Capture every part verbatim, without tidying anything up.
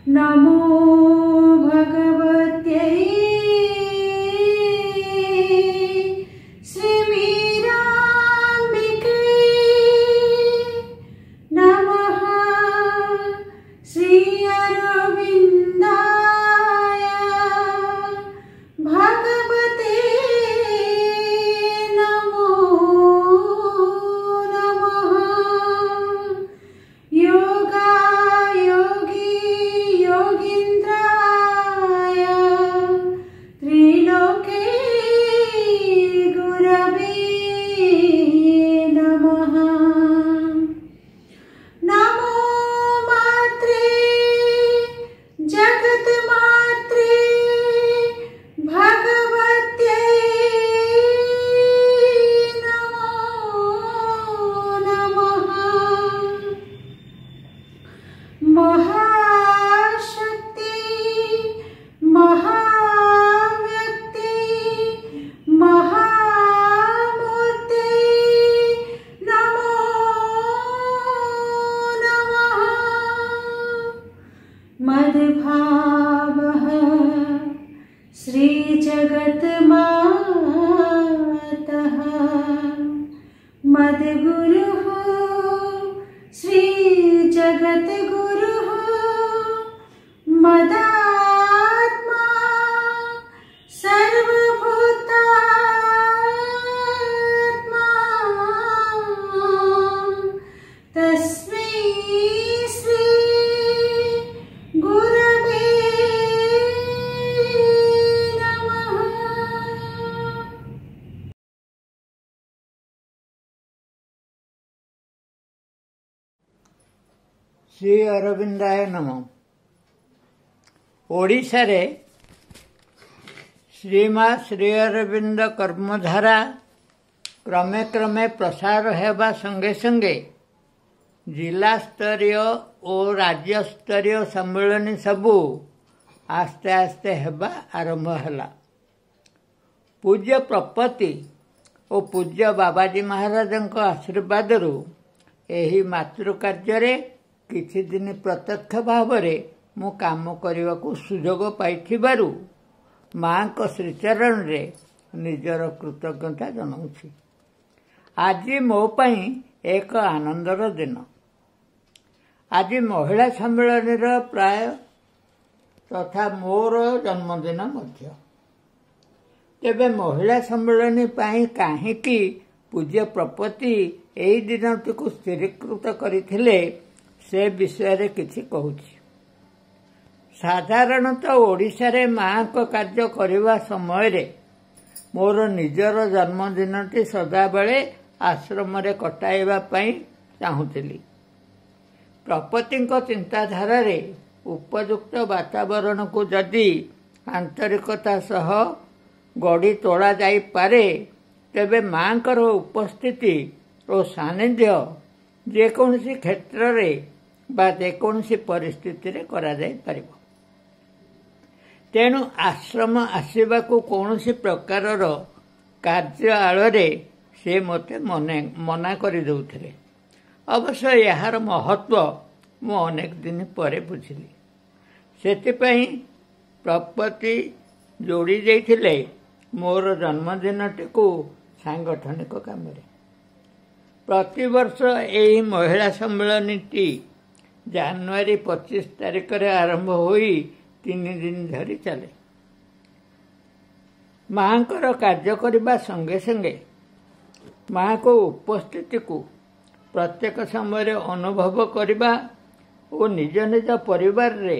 नमो भगवत्यै श्रीमीराम्बिकै नमः। श्री अरविन्दाय भगवते नमो नमः। योगा योगी योगीन्द्राय त्रिलोके गुरवे नमः। नमो मात्रे जगन्मात्रे भगवत्यै नमो नमः। महाशक्ति महाव्यक्ति महामूर्ति नमो नमः। मद्भावः श्रीजगन्मातः मद्गुरुः श्रीजगद्गुरुः मदात्मा सर्वभूतात्मा तस्मै श्री गुरवे नमः। ଶ୍ରୀ ଅରବିନ୍ଦାୟ ନମ। ଓଡ଼ିଶାରେ ଶ୍ରୀମା ଶ୍ରୀ ଅରବିନ୍ଦ କର୍ମଧାରା କ୍ରମେ କ୍ରମେ ପ୍ରସାର ହେବା ସଙ୍ଗେ ସଙ୍ଗେ ଜିଲ୍ଲାସ୍ତରୀୟ ଓ ରାଜ୍ୟସ୍ତରୀୟ ସମ୍ମିଳନୀ ସବୁ ଆସ୍ତେ ଆସ୍ତେ ହେବା ଆରମ୍ଭ ହେଲା। ପୂଜ୍ୟ ପ୍ରପତି ଓ ପୂଜ୍ୟ ବାବାଜୀ ମହାରାଜଙ୍କ ଆଶୀର୍ବାଦରୁ ଏହି ମାତୃକାର୍ଯ୍ୟରେ କିଛି ଦିନ ପ୍ରତ୍ୟକ୍ଷ ଭାବରେ ମୁଁ କାମ କରିବାକୁ ସୁଯୋଗ ପାଇଥିବାରୁ ମାଙ୍କ ଶ୍ରୀଚରଣରେ ନିଜର କୃତଜ୍ଞତା ଜଣାଉଛି। ଆଜି ମୋ ପାଇଁ ଏକ ଆନନ୍ଦର ଦିନ। ଆଜି ମହିଳା ସମ୍ମିଳନୀର ପ୍ରାୟ ତଥା ମୋର ଜନ୍ମଦିନ ମଧ୍ୟ। ତେବେ ମହିଳା ସମ୍ମିଳନୀ ପାଇଁ କାହିଁକି ପୂଜ୍ୟ ପ୍ରପତି ଏହି ଦିନଟିକୁ ସ୍ଥିରୀକୃତ କରିଥିଲେ ସେ ବିଷୟରେ କିଛି କହୁଛି। ସାଧାରଣତଃ ଓଡ଼ିଶାରେ ମାଙ୍କ କାର୍ଯ୍ୟ କରିବା ସମୟରେ ମୋର ନିଜର ଜନ୍ମଦିନଟି ସଦାବେଳେ ଆଶ୍ରମରେ କଟାଇବା ପାଇଁ ଚାହୁଁଥିଲି। ପ୍ରପତିଙ୍କ ଚିନ୍ତାଧାରାରେ ଉପଯୁକ୍ତ ବାତାବରଣକୁ ଯଦି ଆନ୍ତରିକତା ସହ ଗଢ଼ି ତୋଳାଯାଇପାରେ, ତେବେ ମାଙ୍କର ଉପସ୍ଥିତି ଓ ସାନ୍ନିଧ୍ୟ ଯେକୌଣସି କ୍ଷେତ୍ରରେ ବା ଯେକୌଣସି ପରିସ୍ଥିତିରେ କରାଯାଇପାରିବ। ତେଣୁ ଆଶ୍ରମ ଆସିବାକୁ କୌଣସି ପ୍ରକାରର କାର୍ଯ୍ୟ ଆଳରେ ସେ ମୋତେ ମନେ ମନା କରିଦେଉଥିଲେ। ଅବଶ୍ୟ ଏହାର ମହତ୍ତ୍ୱ ମୁଁ ଅନେକ ଦିନ ପରେ ବୁଝିଲି। ସେଥିପାଇଁ ପ୍ରପତି ଯୋଡ଼ି ଦେଇଥିଲେ ମୋର ଜନ୍ମଦିନଟିକୁ ସାଂଗଠନିକ କାମରେ। ପ୍ରତିବର୍ଷ ଏହି ମହିଳା ସମ୍ମିଳନୀଟି ଜାନୁଆରୀ ପଚିଶ ତାରିଖରେ ଆରମ୍ଭ ହୋଇ ତିନି ଦିନ ଧରି ଚାଲେ। ମାଙ୍କର କାର୍ଯ୍ୟ କରିବା ସଙ୍ଗେ ସଙ୍ଗେ ମାଙ୍କ ଉପସ୍ଥିତିକୁ ପ୍ରତ୍ୟେକ ସମୟରେ ଅନୁଭବ କରିବା ଓ ନିଜ ନିଜ ପରିବାରରେ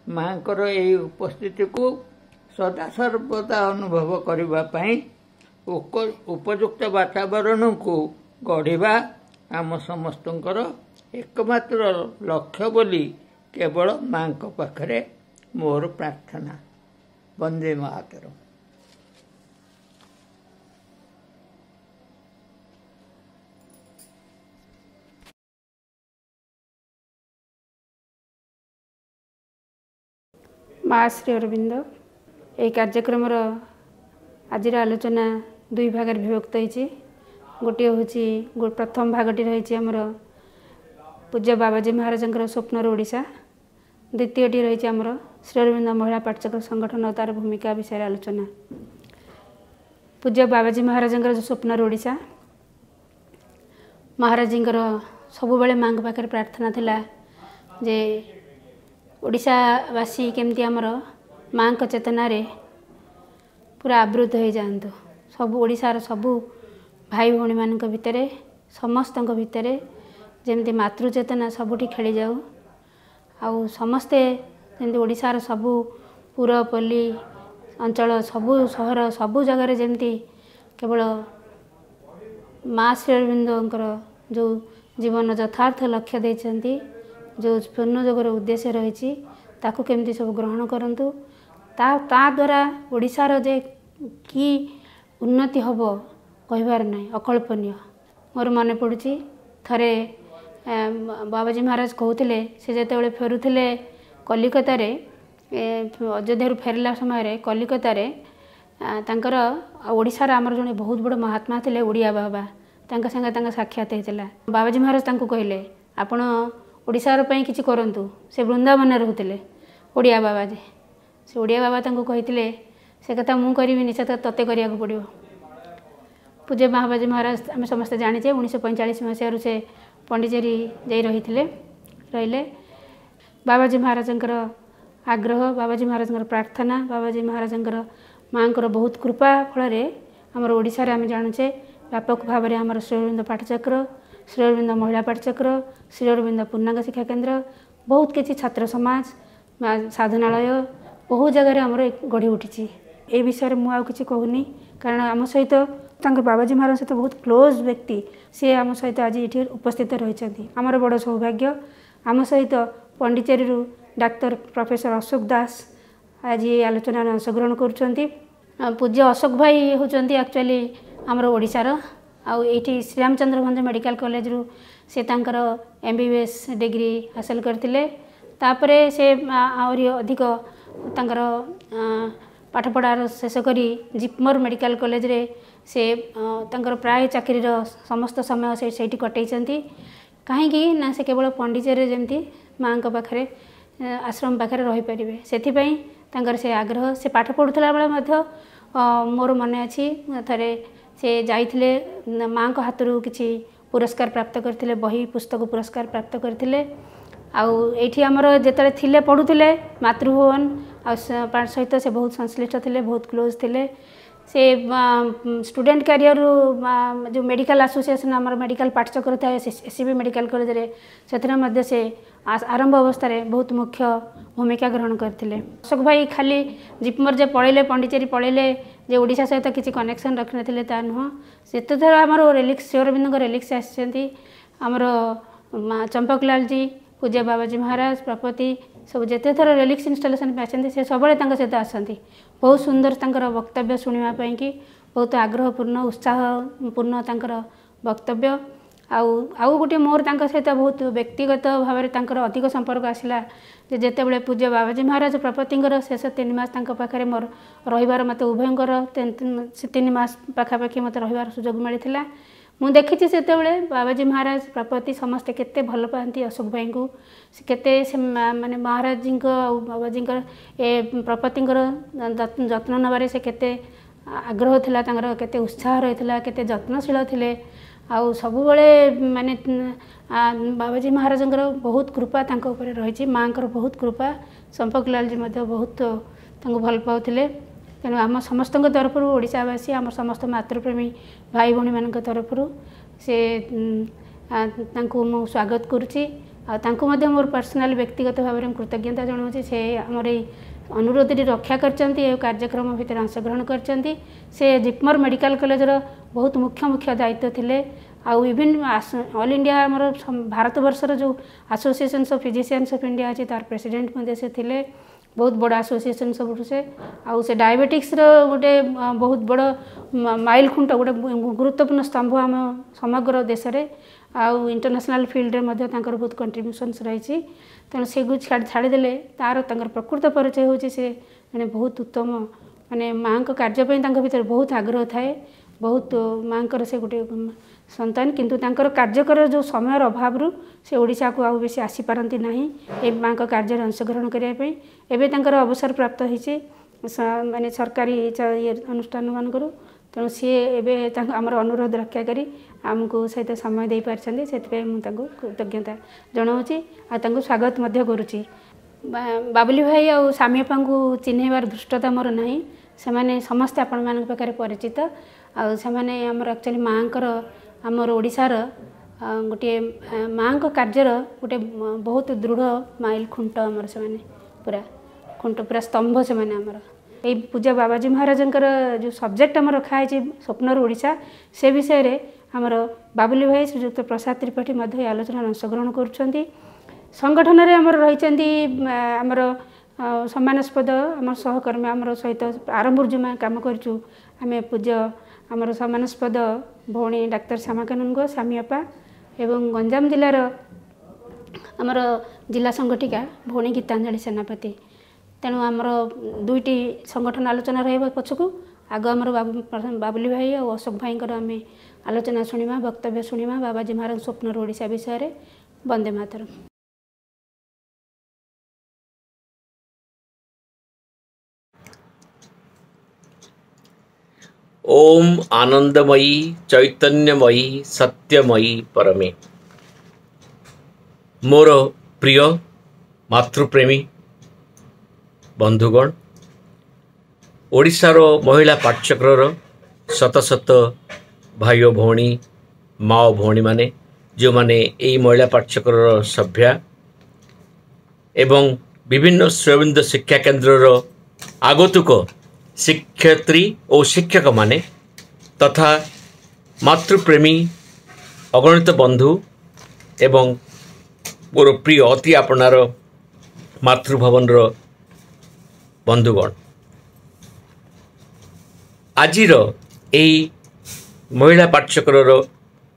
ମାଙ୍କର ଏହି ଉପସ୍ଥିତିକୁ ସଦାସର୍ବଦା ଅନୁଭବ କରିବା ପାଇଁ ଉପଯୁକ୍ତ ବାତାବରଣକୁ ଗଢ଼ିବା ଆମ ସମସ୍ତଙ୍କର ଏକମାତ୍ର ଲକ୍ଷ୍ୟ ବୋଲି କେବଳ ମାଙ୍କ ପାଖରେ ମୋର ପ୍ରାର୍ଥନା। ବନ୍ଦେ ମାତରମ୍। ମା ଶ୍ରୀ ଅରବିନ୍ଦ ଏହି କାର୍ଯ୍ୟକ୍ରମର ଆଜିର ଆଲୋଚନା ଦୁଇ ଭାଗରେ ବିଭକ୍ତ ହୋଇଛି। ଗୋଟିଏ ହେଉଛି ପ୍ରଥମ ଭାଗଟି ରହିଛି ଆମର ପୂଜ୍ୟ ବାବାଜୀ ମହାରାଜଙ୍କର ସ୍ୱପ୍ନର ଓଡ଼ିଶା, ଦ୍ୱିତୀୟଟି ରହିଛି ଆମର ଶ୍ରୀ ଅରବିନ୍ଦ ମହିଳା ପାଠଚକ୍ର ସଂଗଠନ ଓ ତାର ଭୂମିକା ବିଷୟରେ ଆଲୋଚନା। ପୂଜ୍ୟ ବାବାଜୀ ମହାରାଜଙ୍କର ଯେଉଁ ସ୍ୱପ୍ନର ଓଡ଼ିଶା, ମହାରାଜଙ୍କର ସବୁବେଳେ ମାଆଙ୍କ ପାଖରେ ପ୍ରାର୍ଥନା ଥିଲା ଯେ ଓଡ଼ିଶାବାସୀ କେମିତି ଆମର ମାଆଙ୍କ ଚେତନାରେ ପୁରା ଆବୃତ ହୋଇଯାଆନ୍ତୁ। ସବୁ ଓଡ଼ିଶାର ସବୁ ଭାଇ ଭଉଣୀମାନଙ୍କ ଭିତରେ, ସମସ୍ତଙ୍କ ଭିତରେ ଯେମିତି ମାତୃ ଚେତନା ସବୁଠି ଖେଳିଯାଉ, ଆଉ ସମସ୍ତେ ଯେମିତି ଓଡ଼ିଶାର ସବୁ ପୁରପଲ୍ଲୀ ଅଞ୍ଚଳ, ସବୁ ସହର, ସବୁ ଜାଗାରେ ଯେମିତି କେବଳ ମା ଶ୍ରୀ ଅରବିନ୍ଦଙ୍କର ଯେଉଁ ଜୀବନ ଯଥାର୍ଥ ଲକ୍ଷ୍ୟ ଦେଇଛନ୍ତି, ଯେଉଁ ପୂର୍ଣ୍ଣଯୋଗର ଉଦ୍ଦେଶ୍ୟ ରହିଛି, ତାକୁ କେମିତି ସବୁ ଗ୍ରହଣ କରନ୍ତୁ। ତା ତା ଦ୍ୱାରା ଓଡ଼ିଶାର ଯେ କି ଉନ୍ନତି ହେବ କହିବାର ନାହିଁ, ଅକଳ୍ପନୀୟ। ମୋର ମନେ ପଡ଼ୁଛି ଥରେ ବାବାଜୀ ମହାରାଜ କହୁଥିଲେ, ସେ ଯେତେବେଳେ ଫେରୁଥିଲେ କଲିକତାରେ, ଅଯୋଧ୍ୟାରୁ ଫେରିଲା ସମୟରେ କଲିକତାରେ ତାଙ୍କର ଓଡ଼ିଶାର ଆମର ଜଣେ ବହୁତ ବଡ଼ ମହାତ୍ମା ଥିଲେ ଓଡ଼ିଆ ବାବା, ତାଙ୍କ ସାଙ୍ଗେ ତାଙ୍କ ସାକ୍ଷାତ ହେଇଥିଲା। ବାବାଜୀ ମହାରାଜ ତାଙ୍କୁ କହିଲେ, ଆପଣ ଓଡ଼ିଶାର ପାଇଁ କିଛି କରନ୍ତୁ। ସେ ବୃନ୍ଦାବନରେ ରହୁଥିଲେ ଓଡ଼ିଆ ବାବାଜୀ। ସେ ଓଡ଼ିଆ ବାବା ତାଙ୍କୁ କହିଥିଲେ, ସେ କଥା ମୁଁ କରିବିନି, ସେ କଥା ତୋତେ କରିବାକୁ ପଡ଼ିବ। ପୂଜ୍ୟ ବାବାଜୀ ମହାରାଜ ଆମେ ସମସ୍ତେ ଜାଣିଛେ, ଉଣେଇଶହ ପଇଁଚାଳିଶ ମସିହାରୁ ସେ ପଣ୍ଡିଚେରୀ ଯାଇ ରହିଥିଲେ ରହିଲେ। ବାବାଜୀ ମହାରାଜଙ୍କର ଆଗ୍ରହ, ବାବାଜୀ ମହାରାଜଙ୍କର ପ୍ରାର୍ଥନା, ବାବାଜୀ ମହାରାଜଙ୍କର ମାଆଙ୍କର ବହୁତ କୃପା ଫଳରେ ଆମର ଓଡ଼ିଶାରେ ଆମେ ଜାଣୁଛେ ବ୍ୟାପକ ଭାବରେ ଆମର ଶ୍ରୀ ଅରବିନ୍ଦ ପାଠଚକ୍ର, ଶ୍ରୀ ଅରବିନ୍ଦ ମହିଳା ପାଠଚକ୍ର, ଶ୍ରୀ ଅରବିନ୍ଦ ପୂର୍ଣ୍ଣାଙ୍ଗ ଶିକ୍ଷା କେନ୍ଦ୍ର, ବହୁତ କିଛି ଛାତ୍ର ସମାଜ, ସାଧନାଳୟ ବହୁ ଜାଗାରେ ଆମର ଗଢ଼ି ଉଠିଛି। ଏ ବିଷୟରେ ମୁଁ ଆଉ କିଛି କହୁନି, କାରଣ ଆମ ସହିତ ତାଙ୍କ ବାବାଜୀ ମହାରାଜ ସହିତ ବହୁତ କ୍ଲୋଜ୍ ବ୍ୟକ୍ତି, ସିଏ ଆମ ସହିତ ଆଜି ଏଠି ଉପସ୍ଥିତ ରହିଛନ୍ତି। ଆମର ବଡ଼ ସୌଭାଗ୍ୟ। ଆମ ସହିତ ପଣ୍ଡିଚେରୀରୁ ଡାକ୍ତର ପ୍ରଫେସର ଅଶୋକ ଦାସ ଆଜି ଏହି ଆଲୋଚନାରେ ଅଂଶଗ୍ରହଣ କରୁଛନ୍ତି। ପୂଜ୍ୟ ଅଶୋକ ଭାଇ ହେଉଛନ୍ତି ଆକ୍ଚୁଆଲି ଆମର ଓଡ଼ିଶାର, ଆଉ ଏଇଠି ଶ୍ରୀରାମଚନ୍ଦ୍ର ଭଞ୍ଜ ମେଡ଼ିକାଲ କଲେଜରୁ ସେ ତାଙ୍କର M B B S degree ହାସଲ କରିଥିଲେ। ତାପରେ ସେ ଆହୁରି ଅଧିକ ତାଙ୍କର ପାଠପଢ଼ାର ଶେଷ କରି ଜିପମର ମେଡ଼ିକାଲ କଲେଜରେ ସେ ତାଙ୍କର ପ୍ରାୟ ଚାକିରିର ସମସ୍ତ ସମୟ ସେ ସେଇଠି କଟେଇଛନ୍ତି। କାହିଁକି ନା ସେ କେବଳ ପଣ୍ଡିଚେରୀରେ ଯେମିତି ମାଆଙ୍କ ପାଖରେ, ଆଶ୍ରମ ପାଖରେ ରହିପାରିବେ, ସେଥିପାଇଁ ତାଙ୍କର ସେ ଆଗ୍ରହ। ସେ ପାଠ ପଢ଼ୁଥିଲା ବେଳେ ମଧ୍ୟ ମୋର ମନେ ଅଛି, ଥରେ ସେ ଯାଇଥିଲେ, ମାଆଙ୍କ ହାତରୁ କିଛି ପୁରସ୍କାର ପ୍ରାପ୍ତ କରିଥିଲେ, ବହି ପୁସ୍ତକ ପୁରସ୍କାର ପ୍ରାପ୍ତ କରିଥିଲେ। ଆଉ ଏଇଠି ଆମର ଯେତେବେଳେ ଥିଲେ ପଢ଼ୁଥିଲେ ମାତୃଭୁବନ ଆଉ ସହିତ ସେ ବହୁତ ସଂଶ୍ଳିଷ୍ଟ ଥିଲେ, ବହୁତ କ୍ଲୋଜ୍ ଥିଲେ। ସେ ଷ୍ଟୁଡେଣ୍ଟ କ୍ୟାରିୟରରୁ ଯେଉଁ ମେଡ଼ିକାଲ ଆସୋସିଏସନ୍ ଆମର ମେଡ଼ିକାଲ ପାଠଚକ୍ର ଥାଏ ଏସ୍ ସି ବି ମେଡ଼ିକାଲ କଲେଜରେ, ସେଥିରେ ମଧ୍ୟ ସେ ଆରମ୍ଭ ଅବସ୍ଥାରେ ବହୁତ ମୁଖ୍ୟ ଭୂମିକା ଗ୍ରହଣ କରିଥିଲେ। ଅଶୋକ ଭାଇ ଖାଲି ଜିପମର ଯେ ପଳେଇଲେ, ପଣ୍ଡିଚେରୀ ପଳେଇଲେ, ଯେ ଓଡ଼ିଶା ସହିତ କିଛି କନେକ୍ସନ୍ ରଖିନଥିଲେ ତା ନୁହଁ। ସେତେଥର ଆମର ରିଲିକ୍ସ, ଶ୍ରୀ ଅରବିନ୍ଦଙ୍କ ରିଲିକ୍ସ ଆସିଛନ୍ତି, ଆମର ଚମ୍ପକଲାଲଜୀ, ପୂଜ୍ୟ ବାବାଜୀ ମହାରାଜ, ପ୍ରପତି ସବୁ ଯେତେଥର ରିଲିକ୍ସ ଇନଷ୍ଟଲେସନ୍ ପାଇଁ ଆସିଛନ୍ତି, ସେ ସବୁବେଳେ ତାଙ୍କ ସହିତ ଆସନ୍ତି। ବହୁତ ସୁନ୍ଦର ତାଙ୍କର ବକ୍ତବ୍ୟ ଶୁଣିବା ପାଇଁକି, ବହୁତ ଆଗ୍ରହପୂର୍ଣ୍ଣ, ଉତ୍ସାହପୂର୍ଣ୍ଣ ତାଙ୍କର ବକ୍ତବ୍ୟ। ଆଉ ଆଉ ଗୋଟିଏ ମୋର ତାଙ୍କ ସହିତ ବହୁତ ବ୍ୟକ୍ତିଗତ ଭାବରେ ତାଙ୍କର ଅଧିକ ସମ୍ପର୍କ ଆସିଲା ଯେ ଯେତେବେଳେ ପୂଜ୍ୟ ବାବାଜୀ ମହାରାଜ ପ୍ରପତିଙ୍କର ଶେଷ ତିନି ମାସ ତାଙ୍କ ପାଖରେ ମୋର ରହିବାର, ମୋତେ ଉଭୟଙ୍କର ତିନି ମାସ ପାଖାପାଖି ମୋତେ ରହିବାର ସୁଯୋଗ ମିଳିଥିଲା। ମୁଁ ଦେଖିଛି ସେତେବେଳେ ବାବାଜୀ ମହାରାଜ ପ୍ରପତି ସମସ୍ତେ କେତେ ଭଲ ପାଆନ୍ତି ଅଶୋକ ଭାଇଙ୍କୁ, ସେ କେତେ ସେ ମାନେ ମହାରାଜଜୀଙ୍କ ଆଉ ବାବାଜୀଙ୍କର ଏ ପ୍ରପତିଙ୍କର ଯତ୍ନ ନେବାରେ ସେ କେତେ ଆଗ୍ରହ ଥିଲା ତାଙ୍କର, କେତେ ଉତ୍ସାହ ରହିଥିଲା, କେତେ ଯତ୍ନଶୀଳ ଥିଲେ। ଆଉ ସବୁବେଳେ ମାନେ ବାବାଜୀ ମହାରାଜଙ୍କର ବହୁତ କୃପା ତାଙ୍କ ଉପରେ ରହିଛି, ମାଆଙ୍କର ବହୁତ କୃପା। ଚମ୍ପକଲାଲଜୀ ମଧ୍ୟ ବହୁତ ତାଙ୍କୁ ଭଲ ପାଉଥିଲେ। ତେଣୁ ଆମ ସମସ୍ତଙ୍କ ତରଫରୁ, ଓଡ଼ିଶାବାସୀ, ଆମ ସମସ୍ତ ମାତୃପ୍ରେମୀ ଭାଇ ଭଉଣୀମାନଙ୍କ ତରଫରୁ ସେ ତାଙ୍କୁ ମୁଁ ସ୍ୱାଗତ କରୁଛି। ଆଉ ତାଙ୍କୁ ମଧ୍ୟ ମୋର ପର୍ସନାଲ ବ୍ୟକ୍ତିଗତ ଭାବରେ ମୁଁ କୃତଜ୍ଞତା ଜଣାଉଛି। ସେ ଆମର ଏଇ ଅନୁରୋଧଟି ରକ୍ଷା କରିଛନ୍ତି, ଏ କାର୍ଯ୍ୟକ୍ରମ ଭିତରେ ଅଂଶଗ୍ରହଣ କରିଛନ୍ତି। ସେ ଜିପମର ମେଡ଼ିକାଲ କଲେଜର ବହୁତ ମୁଖ୍ୟ ମୁଖ୍ୟ ଦାୟିତ୍ୱ ଥିଲେ। ଆଉ ଇଭିନ୍ ଅଲ୍ ଇଣ୍ଡିଆ ଆମର ଭାରତବର୍ଷର ଯେଉଁ associations of physicians of India ଅଛି, ତାର ପ୍ରେସିଡେଣ୍ଟ ମଧ୍ୟ ସେ ଥିଲେ। ବହୁତ ବଡ଼ ଆସୋସିଏସନ୍ ସବୁଠୁ ସେ। ଆଉ ସେ ଡାଇବେଟିକ୍ସର ଗୋଟେ ବହୁତ ବଡ଼ ମାଇଲ ଖୁଣ୍ଟ, ଗୋଟେ ଗୁରୁତ୍ୱପୂର୍ଣ୍ଣ ସ୍ତମ୍ଭ ଆମ ସମଗ୍ର ଦେଶରେ। ଆଉ ଇଣ୍ଟରନ୍ୟାସନାଲ୍ ଫିଲ୍ଡରେ ମଧ୍ୟ ତାଙ୍କର ବହୁତ କଣ୍ଟ୍ରିବ୍ୟୁସନ୍ସ ରହିଛି। ତେଣୁ ସେଗୁ ଛାଡ଼ିଦେଲେ ତାର ତାଙ୍କର ପ୍ରକୃତ ପରିଚୟ ହେଉଛି ସେ ଜଣେ ବହୁତ ଉତ୍ତମ, ମାନେ ମାଆଙ୍କ କାର୍ଯ୍ୟ ପାଇଁ ତାଙ୍କ ଭିତରେ ବହୁତ ଆଗ୍ରହ ଥାଏ, ବହୁତ ମାଆଙ୍କର ସେ ଗୋଟେ ସନ୍ତାନ, କିନ୍ତୁ ତାଙ୍କର କାର୍ଯ୍ୟକର ଯେଉଁ ସମୟର ଅଭାବରୁ ସେ ଓଡ଼ିଶାକୁ ଆଉ ବେଶୀ ଆସିପାରନ୍ତି ନାହିଁ ଏ ମାଆଙ୍କ କାର୍ଯ୍ୟରେ ଅଂଶଗ୍ରହଣ କରିବା ପାଇଁ। ଏବେ ତାଙ୍କର ଅବସର ପ୍ରାପ୍ତ ହେଇଛି ମାନେ ସରକାରୀ ଇଏ ଅନୁଷ୍ଠାନମାନଙ୍କରୁ, ତେଣୁ ସିଏ ଏବେ ତାଙ୍କ ଆମର ଅନୁରୋଧ ରକ୍ଷା କରି ଆମକୁ ସହିତ ସମୟ ଦେଇପାରିଛନ୍ତି, ସେଥିପାଇଁ ମୁଁ ତାଙ୍କୁ କୃତଜ୍ଞତା ଜଣାଉଛି ଆଉ ତାଙ୍କୁ ସ୍ୱାଗତ ମଧ୍ୟ କରୁଛି। ବାବୁଲି ଭାଇ ଆଉ ସାମି ଅପାଙ୍କୁ ଚିହ୍ନେଇବାର ଧୃଷ୍ଟତା ମୋର ନାହିଁ, ସେମାନେ ସମସ୍ତେ ଆପଣମାନଙ୍କ ପାଖରେ ପରିଚିତ। ଆଉ ସେମାନେ ଆମର ଆକ୍ଚୁଆଲି ମାଆଙ୍କର, ଆମର ଓଡ଼ିଶାର ଗୋଟିଏ ମାଆଙ୍କ କାର୍ଯ୍ୟର ଗୋଟେ ବହୁତ ଦୃଢ଼ ମାଇଲ ଖୁଣ୍ଟ ଆମର, ସେମାନେ ପୁରା ଖୁଣ୍ଟ, ପୁରା ସ୍ତମ୍ଭ ସେମାନେ ଆମର। ଏଇ ପୂଜା ବାବାଜୀ ମହାରାଜଙ୍କର ଯେଉଁ ସବଜେକ୍ଟ ଆମର ରଖାହେଇଛି ସ୍ୱପ୍ନର ଓଡ଼ିଶା, ସେ ବିଷୟରେ ଆମର ବାବୁଲି ଭାଇ ଶ୍ରୀଯୁକ୍ତ ପ୍ରସାଦ ତ୍ରିପାଠୀ ମଧ୍ୟ ଏହି ଆଲୋଚନାରେ ଅଂଶଗ୍ରହଣ କରୁଛନ୍ତି। ସଂଗଠନରେ ଆମର ରହିଛନ୍ତି ଆମର ସମ୍ମାନାସ୍ପଦ ଆମର ସହକର୍ମୀ, ଆମର ସହିତ ଆରମ୍ଭରୁ ଯେଉଁମାନେ କାମ କରିଛୁ ଆମେ, ପୂଜ୍ୟ ଆମର ସମ୍ମାନାସ୍ପଦ ଭଉଣୀ ଡାକ୍ତର ଶ୍ୟାମାକାନୁନଙ୍କ ସାମି ଅପା, ଏବଂ ଗଞ୍ଜାମ ଜିଲ୍ଲାର ଆମର ଜିଲ୍ଲା ସଂଗଠିକା ଭଉଣୀ ଗୀତାଞ୍ଜଳି ସେନାପତି। ତେଣୁ ଆମର ଦୁଇଟି ସଂଗଠନ ଆଲୋଚନା ରହିବ ପଛକୁ, ଆଗ ଆମର ବାବୁଲି ଭାଇ ଆଉ ଅଶୋକ ଭାଇଙ୍କର ଆମେ ଆଲୋଚନା ଶୁଣିବା, ବକ୍ତବ୍ୟ ଶୁଣିବା ବାବାଜୀ ମହାରାଜ ସ୍ୱପ୍ନର ଓଡ଼ିଶା ବିଷୟରେ। ବନ୍ଦେ ମାତରମ୍। ଓମ୍ ଆନନ୍ଦମୟୀ ଚୈତନ୍ୟମୟୀ ସତ୍ୟମୟୀ ପରମେ। ମୋର ପ୍ରିୟ ମାତୃପ୍ରେମୀ ବନ୍ଧୁଗଣ, ଓଡ଼ିଶାର ମହିଳା ପାଠଚକ୍ରର ଶତ ଶତ ଭାଇ ଓ ଭଉଣୀ, ମା ଓ ଭଉଣୀମାନେ, ଯେଉଁମାନେ ଏଇ ମହିଳା ପାଠଚକ୍ରର ସଭ୍ୟା ଏବଂ ବିଭିନ୍ନ ଶ୍ରୀଅରବିନ୍ଦ ଶିକ୍ଷା କେନ୍ଦ୍ରର ଆଗନ୍ତୁକ ଶିକ୍ଷୟିତ୍ରୀ ଓ ଶିକ୍ଷକମାନେ ତଥା ମାତୃପ୍ରେମୀ ଅଗଣିତ ବନ୍ଧୁ ଏବଂ ମୋର ପ୍ରିୟ ଅତି ଆପଣାର ମାତୃଭବନର ବନ୍ଧୁଗଣ, ଆଜିର ଏହି ମହିଳା ପାଠଚକ୍ରର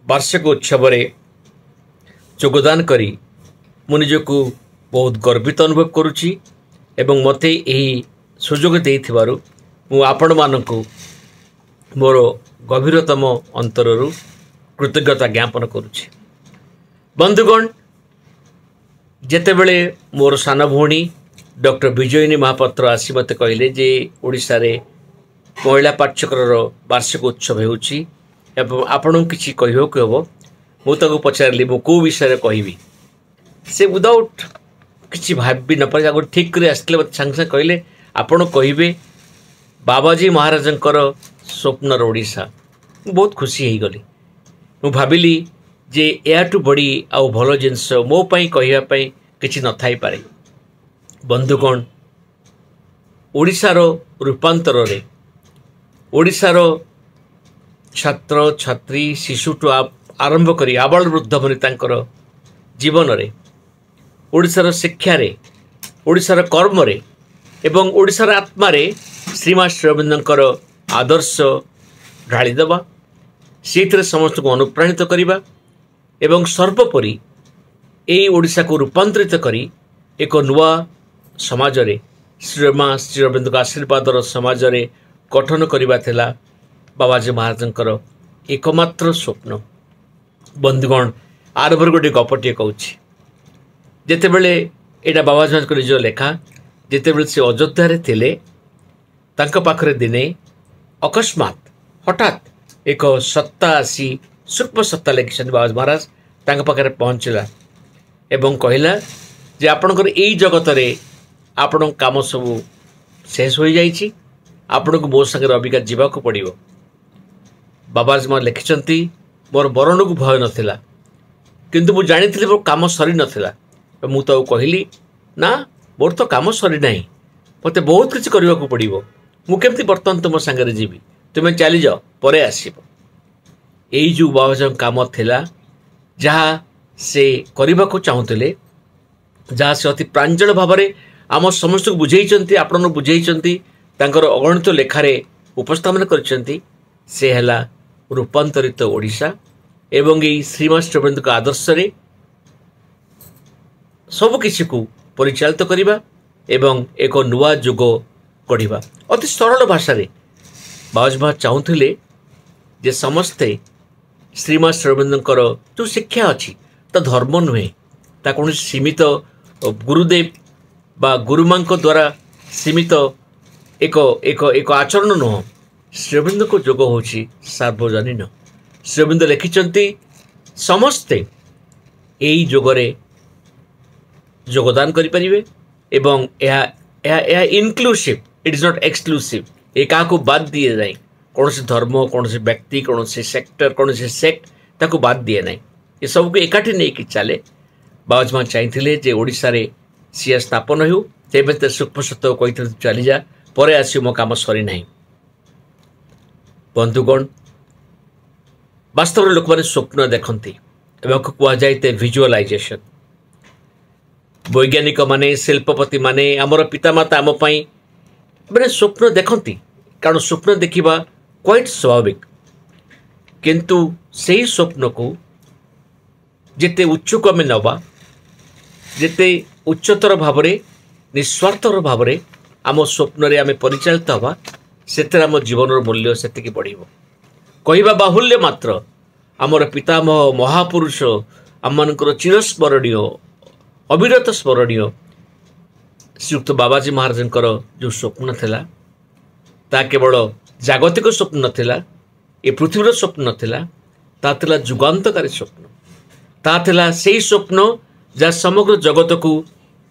ବାର୍ଷିକ ଉତ୍ସବରେ ଯୋଗଦାନ କରି ମୁଁ ନିଜକୁ ବହୁତ ଗର୍ବିତ ଅନୁଭବ କରୁଛି ଏବଂ ମୋତେ ଏହି ସୁଯୋଗ ଦେଇଥିବାରୁ ମୁଁ ଆପଣମାନଙ୍କୁ ମୋର ଗଭୀରତମ ଅନ୍ତରରୁ କୃତଜ୍ଞତା ଜ୍ଞାପନ କରୁଛି। ବନ୍ଧୁଗଣ, ଯେତେବେଳେ ମୋର ସାନ ଭଉଣୀ ଡକ୍ଟର ବିଜୟିନୀ ମହାପାତ୍ର ଆସି ମୋତେ କହିଲେ ଯେ ଓଡ଼ିଶାରେ ମହିଳା ପାଠଚକ୍ରର ବାର୍ଷିକ ଉତ୍ସବ ହେଉଛି ଏବଂ ଆପଣଙ୍କୁ କିଛି କହିବାକୁ ହେବ, ମୁଁ ତାକୁ ପଚାରିଲି ମୁଁ କେଉଁ ବିଷୟରେ କହିବି। ସେ ୱିଦାଉଟ୍ କିଛି ଭାବି ନପାରି ଆଗରୁ ଠିକ୍ କରି ଆସିଥିଲେ, ମୋତେ ସାଙ୍ଗେ ସାଙ୍ଗେ କହିଲେ ଆପଣ କହିବେ ବାବାଜୀ ମହାରାଜଙ୍କର ସ୍ୱପ୍ନର ଓଡ଼ିଶା। ମୁଁ ବହୁତ ଖୁସି ହେଇଗଲି। ମୁଁ ଭାବିଲି ଯେ ଏହାଠୁ ବଡ଼ି ଆଉ ଭଲ ଜିନିଷ ମୋ ପାଇଁ କହିବା ପାଇଁ କିଛି ନଥାଇପାରେ। ବନ୍ଧୁଗଣ, ଓଡ଼ିଶାର ରୂପାନ୍ତରରେ ଓଡ଼ିଶାର ଛାତ୍ର ଛାତ୍ରୀ ଶିଶୁଠୁ ଆରମ୍ଭ କରି ଆବାଳ ବୃଦ୍ଧ ବନିତାଙ୍କର ଜୀବନରେ, ଓଡ଼ିଶାର ଶିକ୍ଷାରେ, ଓଡ଼ିଶାର କର୍ମରେ ଏବଂ ଓଡ଼ିଶାର ଆତ୍ମାରେ ଶ୍ରୀମା ଶ୍ରୀଅରବିନ୍ଦଙ୍କର ଆଦର୍ଶ ଢାଳିଦେବା, ସେଇଥିରେ ସମସ୍ତଙ୍କୁ ଅନୁପ୍ରାଣିତ କରିବା ଏବଂ ସର୍ବୋପରି ଏଇ ଓଡ଼ିଶାକୁ ରୂପାନ୍ତରିତ କରି ଏକ ନୂଆ ସମାଜରେ ଶ୍ରୀମା ଶ୍ରୀଅରବିନ୍ଦଙ୍କ ଆଶୀର୍ବାଦର ସମାଜରେ ଗଠନ କରିବା ଥିଲା ବାବାଜୀ ମହାରାଜଙ୍କର ଏକମାତ୍ର ସ୍ୱପ୍ନ। ବନ୍ଧୁଗଣ, ଆରମ୍ଭରୁ ଗୋଟିଏ ଗପଟିଏ କହୁଛି। ଯେତେବେଳେ ଏଇଟା ବାବାଜୀ ମହାରାଜଙ୍କ ନିଜ ଲେଖା, ଯେତେବେଳେ ସେ ଅଯୋଧ୍ୟାରେ ଥିଲେ, ତାଙ୍କ ପାଖରେ ଦିନେ ଅକସ୍ମାତ ହଠାତ୍ ଏକ ସତ୍ତା ଆସି, ସୂକ୍ଷ୍ମ ସତ୍ତା ଲେଖିଛନ୍ତି ବାବାଜୀ ମହାରାଜ, ତାଙ୍କ ପାଖରେ ପହଞ୍ଚିଲା ଏବଂ କହିଲା ଯେ ଆପଣଙ୍କର ଏଇ ଜଗତରେ ଆପଣଙ୍କ କାମ ସବୁ ଶେଷ ହୋଇଯାଇଛି, ଆପଣଙ୍କୁ ମୋ ସାଙ୍ଗରେ ଅବିକା ଯିବାକୁ ପଡ଼ିବ। ବାବାଜୀ ମହାରାଜ ଲେଖିଛନ୍ତି, ମୋର ମରଣକୁ ଭୟ ନଥିଲା, କିନ୍ତୁ ମୁଁ ଜାଣିଥିଲି ମୋ କାମ ସରିନଥିଲା। ମୁଁ ତାକୁ କହିଲି, ନା ମୋର ତ କାମ ସରିନାହିଁ, ମୋତେ ବହୁତ କିଛି କରିବାକୁ ପଡ଼ିବ, ମୁଁ କେମିତି ବର୍ତ୍ତମାନ ତୁମ ସାଙ୍ଗରେ ଯିବି, ତୁମେ ଚାଲିଯାଅ, ପରେ ଆସିବ। ଏଇ ଯେଉଁ ବାବାଜୀଙ୍କ କାମ ଥିଲା, ଯାହା ସେ କରିବାକୁ ଚାହୁଁଥିଲେ, ଯାହା ସେ ଅତି ପ୍ରାଞ୍ଜଳ ଭାବରେ ଆମ ସମସ୍ତଙ୍କୁ ବୁଝେଇଛନ୍ତି, ଆପଣଙ୍କୁ ବୁଝେଇଛନ୍ତି, ତାଙ୍କର ଅଗଣିତ ଲେଖାରେ ଉପସ୍ଥାପନ କରିଛନ୍ତି, ସେ ହେଲା ରୂପାନ୍ତରିତ ଓଡ଼ିଶା। ଏବଂ ଏଇ ଶ୍ରୀମା ଶ୍ରୀଅରବିନ୍ଦଙ୍କ ଆଦର୍ଶରେ ସବୁକିଛିକୁ ପରିଚାଳିତ କରିବା ଏବଂ ଏକ ନୂଆ ଯୁଗ ଗଢ଼ିବା। ଅତି ସରଳ ଭାଷାରେ ବାବାଜୀ ମହାରାଜ ଚାହୁଁଥିଲେ ଯେ ସମସ୍ତେ ଶ୍ରୀମା ଶ୍ରୀଅରବିନ୍ଦଙ୍କର ଯେଉଁ ଶିକ୍ଷା ଅଛି ତା ଧର୍ମ ନୁହେଁ, ତା କୌଣସି ସୀମିତ ଗୁରୁଦେବ ବା ଗୁରୁମାଙ୍କ ଦ୍ୱାରା ସୀମିତ ଏକ ଏକ ଏକ ଆଚରଣ ନୁହଁ। ଶ୍ରୀଅରବିନ୍ଦଙ୍କ ଯୋଗ ହେଉଛି ସାର୍ବଜନୀନ। ଶ୍ରୀଅରବିନ୍ଦ ଲେଖିଛନ୍ତି ସମସ୍ତେ ଏଇ ଯୋଗରେ ଯୋଗଦାନ କରିପାରିବେ ଏବଂ ଏହା ଏହା ଏହା inclusive, it is not exclusive. ଏ କାହାକୁ ବାଦ ଦିଏ ନାହିଁ, କୌଣସି ଧର୍ମ, କୌଣସି ବ୍ୟକ୍ତି, କୌଣସି ସେକ୍ଟର, କୌଣସି ସେକ୍ଟ ତାକୁ ବାଦ ଦିଏ ନାହିଁ, ଏସବୁକୁ ଏକାଠି ନେଇକି ଚାଲେ। ବାବାଜୀ ମା ଚାହିଁଥିଲେ ଯେ ଓଡ଼ିଶାରେ ସିଏ ସ୍ଥାପନ ହେଉ। ତେବେ ତ ସୂକ୍ଷ୍ମ ସତ୍ୟ କହିଥିଲେ ଚାଲିଯା, ପରେ ଆସିବ, ମୋ କାମ ସରିନାହିଁ। ବନ୍ଧୁଗଣ, ବାସ୍ତବରେ ଲୋକମାନେ ସ୍ୱପ୍ନ ଦେଖନ୍ତି ଏବଂ କୁହାଯାଏ ତେ ଭିଜୁଆଲାଇଜେସନ୍। ବୈଜ୍ଞାନିକମାନେ, ଶିଳ୍ପପତିମାନେ, ଆମର ପିତାମାତା ଆମ ପାଇଁ ମାନେ ସ୍ୱପ୍ନ ଦେଖନ୍ତି, କାରଣ ସ୍ୱପ୍ନ ଦେଖିବା କ୍ୱାଇଟ୍ ସ୍ୱାଭାବିକ। କିନ୍ତୁ ସେହି ସ୍ୱପ୍ନକୁ ଯେତେ ଉଚ୍ଚକୁ ଆମେ ନେବା, ଯେତେ ଉଚ୍ଚତର ଭାବରେ ନିସ୍ୱାର୍ଥର ଭାବରେ ଆମ ସ୍ୱପ୍ନରେ ଆମେ ପରିଚାଳିତ ହେବା, ସେଥିରେ ଆମ ଜୀବନର ମୂଲ୍ୟ ସେତିକି ବଢ଼ିବ। କହିବା ବାହୁଲ୍ୟ ମାତ୍ର, ଆମର ପିତାମହ ମହାପୁରୁଷ ଆମମାନଙ୍କର ଚିରସ୍ମରଣୀୟ, ଅବିରତ ସ୍ମରଣୀୟ ଶ୍ରୀଯୁକ୍ତ ବାବାଜୀ ମହାରାଜଙ୍କର ଯେଉଁ ସ୍ୱପ୍ନ ଥିଲା, ତାହା କେବଳ ଜାଗତିକ ସ୍ୱପ୍ନ ନଥିଲା, ଏ ପୃଥିବୀର ସ୍ୱପ୍ନ ନଥିଲା, ତାହା ଥିଲା ଯୁଗାନ୍ତକାରୀ ସ୍ୱପ୍ନ। ତାହା ଥିଲା ସେଇ ସ୍ୱପ୍ନ ଯାହା ସମଗ୍ର ଜଗତକୁ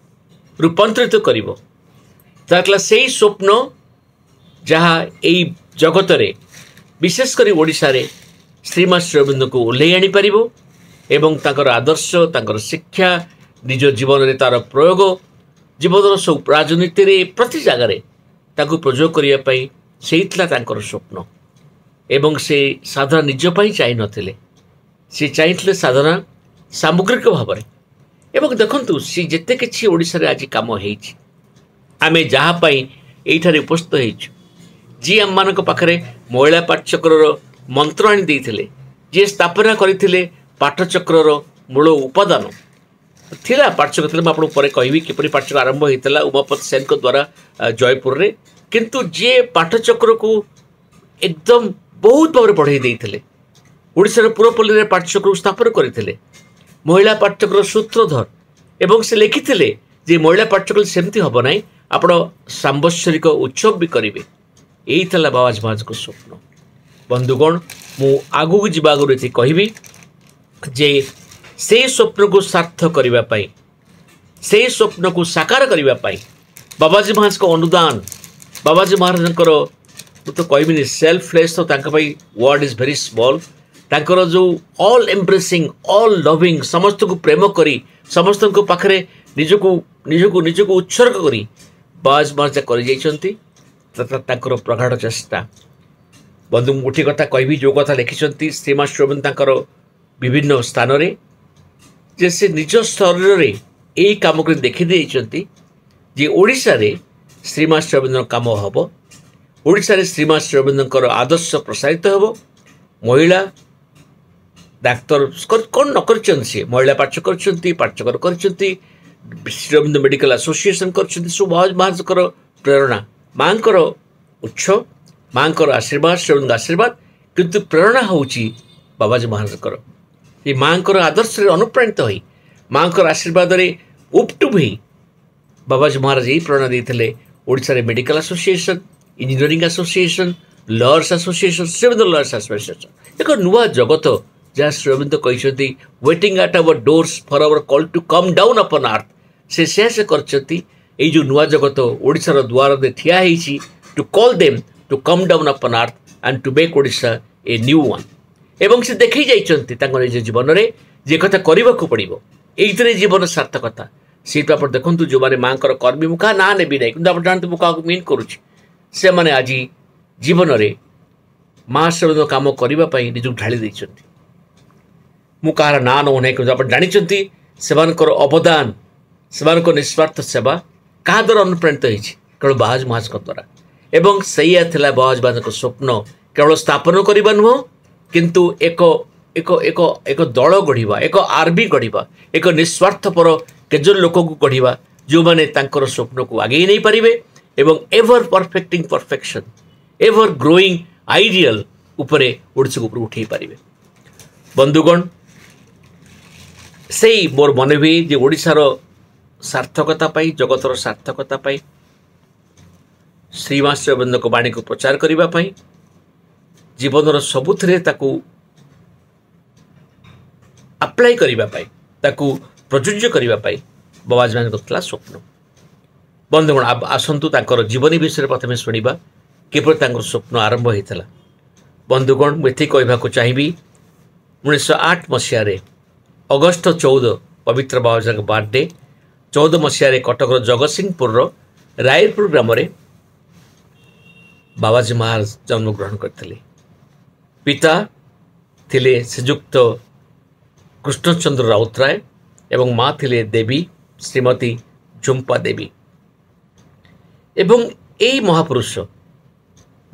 ରୂପାନ୍ତରିତ କରିବ। ତାହା ଥିଲା ସେଇ ସ୍ୱପ୍ନ ଯାହା ଏଇ ଜଗତରେ, ବିଶେଷ କରି ଓଡ଼ିଶାରେ ଶ୍ରୀମା ଶ୍ରୀଅରବିନ୍ଦଙ୍କୁ ଓହ୍ଲେଇ ଆଣିପାରିବ ଏବଂ ତାଙ୍କର ଆଦର୍ଶ, ତାଙ୍କର ଶିକ୍ଷା, ନିଜ ଜୀବନରେ ତା'ର ପ୍ରୟୋଗ, ଜୀବନର ସବୁ ରାଜନୀତିରେ ପ୍ରତି ଜାଗାରେ ତାକୁ ପ୍ରୟୋଗ କରିବା ପାଇଁ ସେଇ ଥିଲା ତାଙ୍କର ସ୍ୱପ୍ନ। ଏବଂ ସେ ସାଧନା ନିଜ ପାଇଁ ଚାହିଁନଥିଲେ, ସେ ଚାହିଁଥିଲେ ସାଧନା ସାମଗ୍ରିକ ଭାବରେ। ଏବଂ ଦେଖନ୍ତୁ, ସେ ଯେତେ କିଛି ଓଡ଼ିଶାରେ ଆଜି କାମ ହେଇଛି, ଆମେ ଯାହା ପାଇଁ ଏଇଠାରେ ଉପସ୍ଥିତ ହେଇଛୁ, ଯିଏ ଆମମାନଙ୍କ ପାଖରେ ମହିଳା ପାଠଚକ୍ରର ମନ୍ତ୍ର ଆଣି ଦେଇଥିଲେ, ଯିଏ ସ୍ଥାପନା କରିଥିଲେ ପାଠଚକ୍ରର ମୂଳ ଉପାଦାନ ଥିଲା ପାଠଚକ୍ର ଥିଲା, ମୁଁ ଆପଣଙ୍କୁ ପରେ କହିବି କିପରି ପାଠଚକ୍ର ଆରମ୍ଭ ହେଇଥିଲା ଉମାପତି ସେନଙ୍କ ଦ୍ୱାରା ଜୟପୁରରେ। କିନ୍ତୁ ଯିଏ ପାଠଚକ୍ରକୁ ଏକଦମ ବହୁତ ଭାବରେ ବଢ଼େଇ ଦେଇଥିଲେ, ଓଡ଼ିଶାର ପୁରପଲ୍ଲୀରେ ପାଠଚକ୍ରକୁ ସ୍ଥାପନ କରିଥିଲେ, ମହିଳା ପାଠଚକ୍ରର ସୂତ୍ରଧର, ଏବଂ ସେ ଲେଖିଥିଲେ ଯେ ମହିଳା ପାଠଚକ୍ର ସେମିତି ହେବ ନାହିଁ, ଆପଣ ସାମ୍ବତ୍ସରିକ ଉତ୍ସବ ବି କରିବେ। ଏଇ ଥିଲା ବାବାଜୀ ମହାରାଜଙ୍କ ସ୍ୱପ୍ନ। ବନ୍ଧୁଗଣ, ମୁଁ ଆଗକୁ ଯିବା ଆଗରୁ ଏତିକି କହିବି ଯେ ସେଇ ସ୍ୱପ୍ନକୁ ସାର୍ଥ କରିବା ପାଇଁ, ସେଇ ସ୍ୱପ୍ନକୁ ସାକାର କରିବା ପାଇଁ ବାବାଜୀ ମହାରାଜଙ୍କ ଅନୁଦାନ, ବାବାଜୀ ମହାରାଜଙ୍କର ମୁଁ ତ କହିବିନି ସେଲ୍ଫଲେସ୍, ତ ତାଙ୍କ ପାଇଁ ୱାର୍ଡ଼ is very small. ତାଙ୍କର ଯେଉଁ ଅଲ୍ ଏମ୍ବ୍ରେସିଂ, ଅଲ୍ ଲଭିଂ, ସମସ୍ତଙ୍କୁ ପ୍ରେମ କରି, ସମସ୍ତଙ୍କ ପାଖରେ ନିଜକୁ ନିଜକୁ ନିଜକୁ ଉତ୍ସର୍ଗ କରି ବାବାଜୀ ମହାରାଜ କରିଯାଇଛନ୍ତି, ତାଙ୍କର ପ୍ରଗାଢ଼ ଚେଷ୍ଟା। ବନ୍ଧୁ, ମୁଁ ଗୋଟିଏ କଥା କହିବି, ଯେଉଁ କଥା ଲେଖିଛନ୍ତି ଶ୍ରୀମା ଶ୍ରୀଅରବିନ୍ଦ ତାଙ୍କର ବିଭିନ୍ନ ସ୍ଥାନରେ, ଯେ ସେ ନିଜ ଶରୀରରେ ଏଇ କାମ କରି ଦେଖିଦେଇଛନ୍ତି ଯେ ଓଡ଼ିଶାରେ ଶ୍ରୀମା ଶ୍ରୀଅରବିନ୍ଦଙ୍କ କାମ ହେବ, ଓଡ଼ିଶାରେ ଶ୍ରୀମା ଶ୍ରୀଅରବିନ୍ଦଙ୍କର ଆଦର୍ଶ ପ୍ରସାରିତ ହେବ। ମହିଳା ଡାକ୍ତର କ'ଣ ନ କରିଛନ୍ତି, ସିଏ ମହିଳା ପାଠ କରିଛନ୍ତି, ପାଠଚକ୍ର କରିଛନ୍ତି, ଶ୍ରୀଅରବିନ୍ଦ ମେଡ଼ିକାଲ ଆସୋସିଏସନ୍ କରିଛନ୍ତି। ସବୁ ମହାରାଜଙ୍କର ପ୍ରେରଣା, ମାଆଙ୍କର ଉତ୍ସ, ମାଆଙ୍କର ଆଶୀର୍ବାଦ, ଶ୍ରୀଅରବିନ୍ଦଙ୍କ ଆଶୀର୍ବାଦ, କିନ୍ତୁ ପ୍ରେରଣା ହେଉଛି ବାବାଜୀ ମହାରାଜଙ୍କର। ଏ ମାଆଙ୍କର ଆଦର୍ଶରେ ଅନୁପ୍ରାଣିତ ହୋଇ, ମାଆଙ୍କର ଆଶୀର୍ବାଦରେ ଉପଟୁପ ହୋଇ ବାବାଜୀ ମହାରାଜ ଏହି ପ୍ରେରଣା ଦେଇଥିଲେ ଓଡ଼ିଶାରେ medical association, engineering association, lawyers association, Sri Aurobindo lawyers association, ଏକ ନୂଆ ଜଗତ ଯାହା ଶ୍ରୀଅରବିନ୍ଦ କହିଛନ୍ତି waiting at our doors for our call to come down upon earth. ସେ ସେୟା ସେ କରିଛନ୍ତି। ଏଇ ଯେଉଁ ନୂଆ ଜଗତ ଓଡ଼ିଶାର ଦୁଆରରେ ଠିଆ ହେଇଛି, to call them to come down upon earth and to make Odisha a new one. ଏବଂ ସେ ଦେଖେଇ ଯାଇଛନ୍ତି ତାଙ୍କ ନିଜ ଜୀବନରେ ଯେ କଥା କରିବାକୁ ପଡ଼ିବ, ଏଇଥିରେ ଜୀବନ ସାର୍ଥକତା। ସେଇଠୁ ଆପଣ ଦେଖନ୍ତୁ ଯେଉଁମାନେ ମାଆଙ୍କର କର୍ମୀ, ମୁଁ କାହା ନାଁ ନେବି ନାହିଁ, କିନ୍ତୁ ଆପଣ ଜାଣନ୍ତୁ ମୁଁ କାହାକୁ ମିନ୍ କରୁଛି, ସେମାନେ ଆଜି ଜୀବନରେ ମା ଶ୍ରୀଅରବିନ୍ଦ କାମ କରିବା ପାଇଁ ନିଜକୁ ଢାଳି ଦେଇଛନ୍ତି। ମୁଁ କାହାର ନାଁ ନେଉନାହିଁ, କିନ୍ତୁ ଆପଣ ଜାଣିଛନ୍ତି ସେମାନଙ୍କର ଅବଦାନ, ସେମାନଙ୍କ ନିସ୍ୱାର୍ଥ ସେବା କାହା ଦ୍ୱାରା ଅନୁପ୍ରାଣିତ ହେଇଛି, କେବଳ ବାବାଜୀ ମହାରାଜଙ୍କ ଦ୍ୱାରା। ଏବଂ ସେଇଆ ଥିଲା ବାବାଜୀ ମହାରାଜଙ୍କ ସ୍ୱପ୍ନ, କେବଳ ସ୍ଥାପନ କରିବା ନୁହଁ, କିନ୍ତୁ ଏକ ଏକ ଏକ ଏକ ଦଳ ଗଢ଼ିବା, ଏକ ଆର୍ମି ଗଢ଼ିବା, ଏକ ନିସ୍ୱାର୍ଥପର କେତେଜଣ ଲୋକଙ୍କୁ ଗଢ଼ିବା ଯେଉଁମାନେ ତାଙ୍କର ସ୍ୱପ୍ନକୁ ଆଗେଇ ନେଇପାରିବେ ଏବଂ ever perfecting perfection, ever growing ideal ଉପରେ ଓଡ଼ିଶାକୁ ଉପରକୁ ଉଠାଇ ପାରିବେ। ବନ୍ଧୁଗଣ, ସେଇ ମୋର ମନେ ହୁଏ ଯେ ଓଡ଼ିଶାର ସାର୍ଥକତା ପାଇଁ, ଜଗତର ସାର୍ଥକତା ପାଇଁ, ଶ୍ରୀମା ଶ୍ରୀ ଅରବିନ୍ଦଙ୍କ ବାଣୀକୁ ପ୍ରଚାର କରିବା ପାଇଁ, ଜୀବନର ସବୁଥିରେ ତାକୁ ଆପ୍ଲାଏ କରିବା ପାଇଁ, ତାକୁ ପ୍ରଯୁଜ୍ୟ କରିବା ପାଇଁ ବାବାଜୀ ମାନଙ୍କର ଥିଲା ସ୍ୱପ୍ନ। ବନ୍ଧୁଗଣ, ଆସନ୍ତୁ ତାଙ୍କର ଜୀବନୀ ବିଷୟରେ ପ୍ରଥମେ ଶୁଣିବା, କିପରି ତାଙ୍କର ସ୍ୱପ୍ନ ଆରମ୍ଭ ହୋଇଥିଲା। ବନ୍ଧୁଗଣ, ମୁଁ ଏତିକି କହିବାକୁ ଚାହିଁବି, ଉଣେଇଶହ ଆଠ ମସିହାରେ ଅଗଷ୍ଟ ଚଉଦ, ପବିତ୍ର ବାବାଜୀଙ୍କ ବାର୍ଥଡେ, ଚଉଦ ମସିହାରେ କଟକର ଜଗତସିଂହପୁରର ରାୟପୁର ଗ୍ରାମରେ ବାବାଜୀ ମହାରାଜ ଜନ୍ମଗ୍ରହଣ କରିଥିଲେ। ପିତା ଥିଲେ ଶ୍ରୀଯୁକ୍ତ କୃଷ୍ଣଚନ୍ଦ୍ର ରାଉତରାୟ ଏବଂ ମା ଥିଲେ ଦେବୀ ଶ୍ରୀମତୀ ଝୁମ୍ପା ଦେବୀ। ଏବଂ ଏଇ ମହାପୁରୁଷ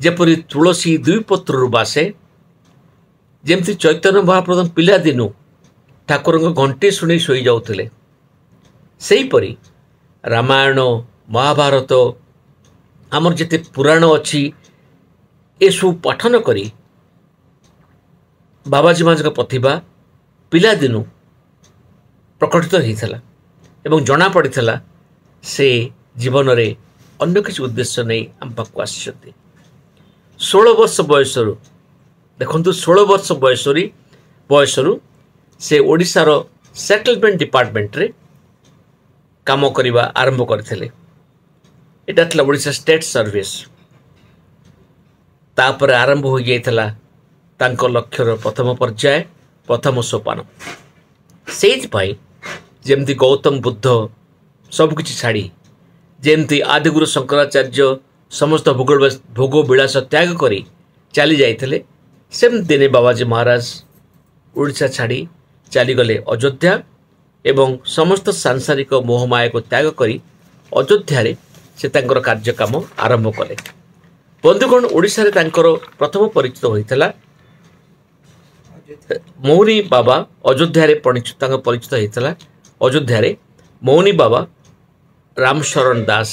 ଯେପରି ତୁଳସୀ ଦୁଇ ପତ୍ରରୁ ବାସେ, ଯେମିତି ଚୈତନ୍ୟ ମହାପ୍ରଭୁ ପିଲାଦିନୁ ଠାକୁରଙ୍କ ଘଣ୍ଟି ଶୁଣି ଶୋଇଯାଉଥିଲେ, ସେହିପରି ରାମାୟଣ, ମହାଭାରତ, ଆମର ଯେତେ ପୁରାଣ ଅଛି ଏସବୁ ପଠନ କରି ବାବାଜୀ ମହାରାଜଙ୍କ ପ୍ରତିଭା ପିଲାଦିନୁ ପ୍ରକଟିତ ହୋଇଥିଲା ଏବଂ ଜଣାପଡ଼ିଥିଲା ସେ ଜୀବନରେ ଅନ୍ୟ କିଛି ଉଦ୍ଦେଶ୍ୟ ନେଇ ଆମ ପାଖକୁ ଆସିଛନ୍ତି। ଷୋହଳ ବର୍ଷ ବୟସରୁ ଦେଖନ୍ତୁ, ଷୋହଳ ବର୍ଷ ବୟସରୁ ବୟସରୁ ସେ ଓଡ଼ିଶାର ସେଟଲମେଣ୍ଟ ଡିପାର୍ଟମେଣ୍ଟରେ କାମ କରିବା ଆରମ୍ଭ କରିଥିଲେ। ଏଇଟା ଥିଲା ଓଡ଼ିଶା ଷ୍ଟେଟ୍ ସର୍ଭିସ୍। ତାପରେ ଆରମ୍ଭ ହୋଇଯାଇଥିଲା ତାଙ୍କ ଲକ୍ଷ୍ୟର ପ୍ରଥମ ପର୍ଯ୍ୟାୟ, ପ୍ରଥମ ସୋପାନ। ସେଇଥିପାଇଁ ଯେମିତି ଗୌତମ ବୁଦ୍ଧ ସବୁକିଛି ଛାଡ଼ି, ଯେମିତି ଆଦିଗୁରୁ ଶଙ୍କରାଚାର୍ଯ୍ୟ ସମସ୍ତ ଭୋଗ ଭୋଗ ବିଳାସ ତ୍ୟାଗ କରି ଚାଲି ଯାଇଥିଲେ, ସେମିତି ଦିନେ ବାବାଜୀ ମହାରାଜ ଓଡ଼ିଶା ଛାଡ଼ି ଚାଲିଗଲେ ଅଯୋଧ୍ୟା ଏବଂ ସମସ୍ତ ସାଂସାରିକ ମୋହମାୟାକୁ ତ୍ୟାଗ କରି ଅଯୋଧ୍ୟାରେ ସେ ତାଙ୍କର କାର୍ଯ୍ୟକାମ ଆରମ୍ଭ କଲେ। ବନ୍ଧୁଗଣ, ଓଡ଼ିଶାରେ ତାଙ୍କର ପ୍ରଥମ ପରିଚିତ ହୋଇଥିଲା ମୌନୀ ବାବା। ଅଯୋଧ୍ୟାରେ ତାଙ୍କ ପରିଚିତ ହୋଇଥିଲା ଅଯୋଧ୍ୟାରେ ମୌନୀ ବାବା ରାମଶରଣ ଦାସ,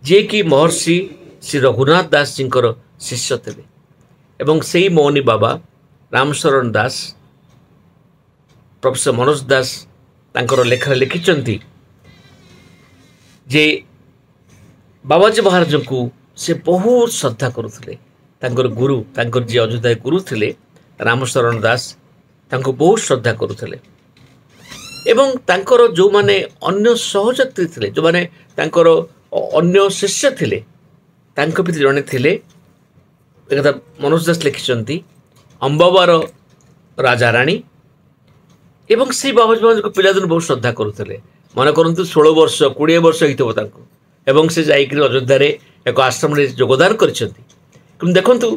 ଯିଏକି ମହର୍ଷି ଶ୍ରୀ ରଘୁନାଥ ଦାସଜୀଙ୍କର ଶିଷ୍ୟ ଥିଲେ। ଏବଂ ସେଇ ମୌନୀ ବାବା ରାମଶରଣ ଦାସ ପ୍ରଫେସର ମନୋଜ ଦାସ ତାଙ୍କର ଲେଖାରେ ଲେଖିଛନ୍ତି ଯେ ବାବାଜୀ ମହାରାଜଙ୍କୁ ସେ ବହୁତ ଶ୍ରଦ୍ଧା କରୁଥିଲେ। ତାଙ୍କର ଗୁରୁ, ତାଙ୍କର ଯିଏ ଅଯୋଧ୍ୟା ଗୁରୁ ଥିଲେ ରାମଶରଣ ଦାସ, ତାଙ୍କୁ ବହୁତ ଶ୍ରଦ୍ଧା କରୁଥିଲେ। ଏବଂ ତାଙ୍କର ଯେଉଁମାନେ ଅନ୍ୟ ସହଯାତ୍ରୀ ଥିଲେ, ଯେଉଁମାନେ ତାଙ୍କର ଅନ୍ୟ ଶିଷ୍ୟ ଥିଲେ, ତାଙ୍କ ଭିତରେ ଜଣେ ଥିଲେ, ଏକଥା ମନୋଜ ଦାସ ଲେଖିଛନ୍ତି, ଅମ୍ବାବାର ରାଜାରାଣୀ। ଏବଂ ସେଇ ବାବାଜୀ ମହାରାଜଙ୍କୁ ପିଲାଦିନୁ ବହୁତ ଶ୍ରଦ୍ଧା କରୁଥିଲେ। ମନେ କରନ୍ତୁ, ଷୋହଳ ବର୍ଷ କୋଡ଼ିଏ ବର୍ଷ ହେଇଥିବ ତାଙ୍କୁ, ଏବଂ ସେ ଯାଇକରି ଅଯୋଧ୍ୟାରେ ଏକ ଆଶ୍ରମରେ ଯୋଗଦାନ କରିଛନ୍ତି। କିନ୍ତୁ ଦେଖନ୍ତୁ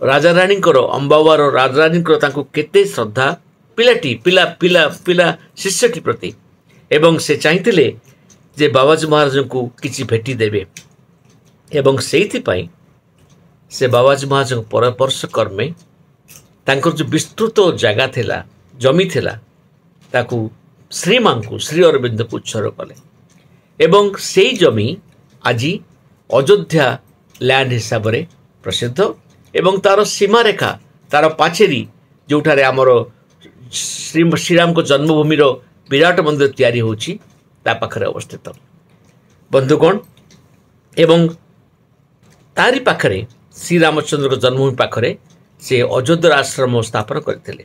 ରାଜାରାଣୀଙ୍କର, ଅମ୍ବାବାର ରାଜାରାଣୀଙ୍କର ତାଙ୍କୁ କେତେ ଶ୍ରଦ୍ଧା ପିଲାଟି ପିଲା ପିଲା ପିଲା ଶିଷ୍ୟଟି ପ୍ରତି। ଏବଂ ସେ ଚାହିଁଥିଲେ ଯେ ବାବାଜୀ ମହାରାଜଙ୍କୁ କିଛି ଭେଟି ଦେବେ, ଏବଂ ସେଇଥିପାଇଁ ସେ ବାବାଜୀ ମହାରାଜଙ୍କ ପରାମର୍ଶ କର୍ମେ ତାଙ୍କର ଯେଉଁ ବିସ୍ତୃତ ଜାଗା ଥିଲା, ଜମି ଥିଲା, ତାକୁ ଶ୍ରୀମାଙ୍କୁ, ଶ୍ରୀ ଅରବିନ୍ଦକୁ ଉତ୍ସର୍ଗ କଲେ। ଏବଂ ସେଇ ଜମି ଆଜି ଅଯୋଧ୍ୟା ଲ୍ୟାଣ୍ଡ ହିସାବରେ ପ୍ରସିଦ୍ଧ ଏବଂ ତା'ର ସୀମାରେଖା, ତା'ର ପାଚେରୀ, ଯେଉଁଠାରେ ଆମର ଶ୍ରୀ ଶ୍ରୀରାମଙ୍କ ଜନ୍ମଭୂମିର ବିରାଟ ମନ୍ଦିର ତିଆରି ହେଉଛି, ତା ପାଖରେ ଅବସ୍ଥିତ। ବନ୍ଧୁଗଣ, ଏବଂ ତାରି ପାଖରେ ଶ୍ରୀରାମଚନ୍ଦ୍ରଙ୍କ ଜନ୍ମଭୂମି ପାଖରେ ସେ ଅଯୋଧ୍ୟାର ଆଶ୍ରମ ସ୍ଥାପନ କରିଥିଲେ।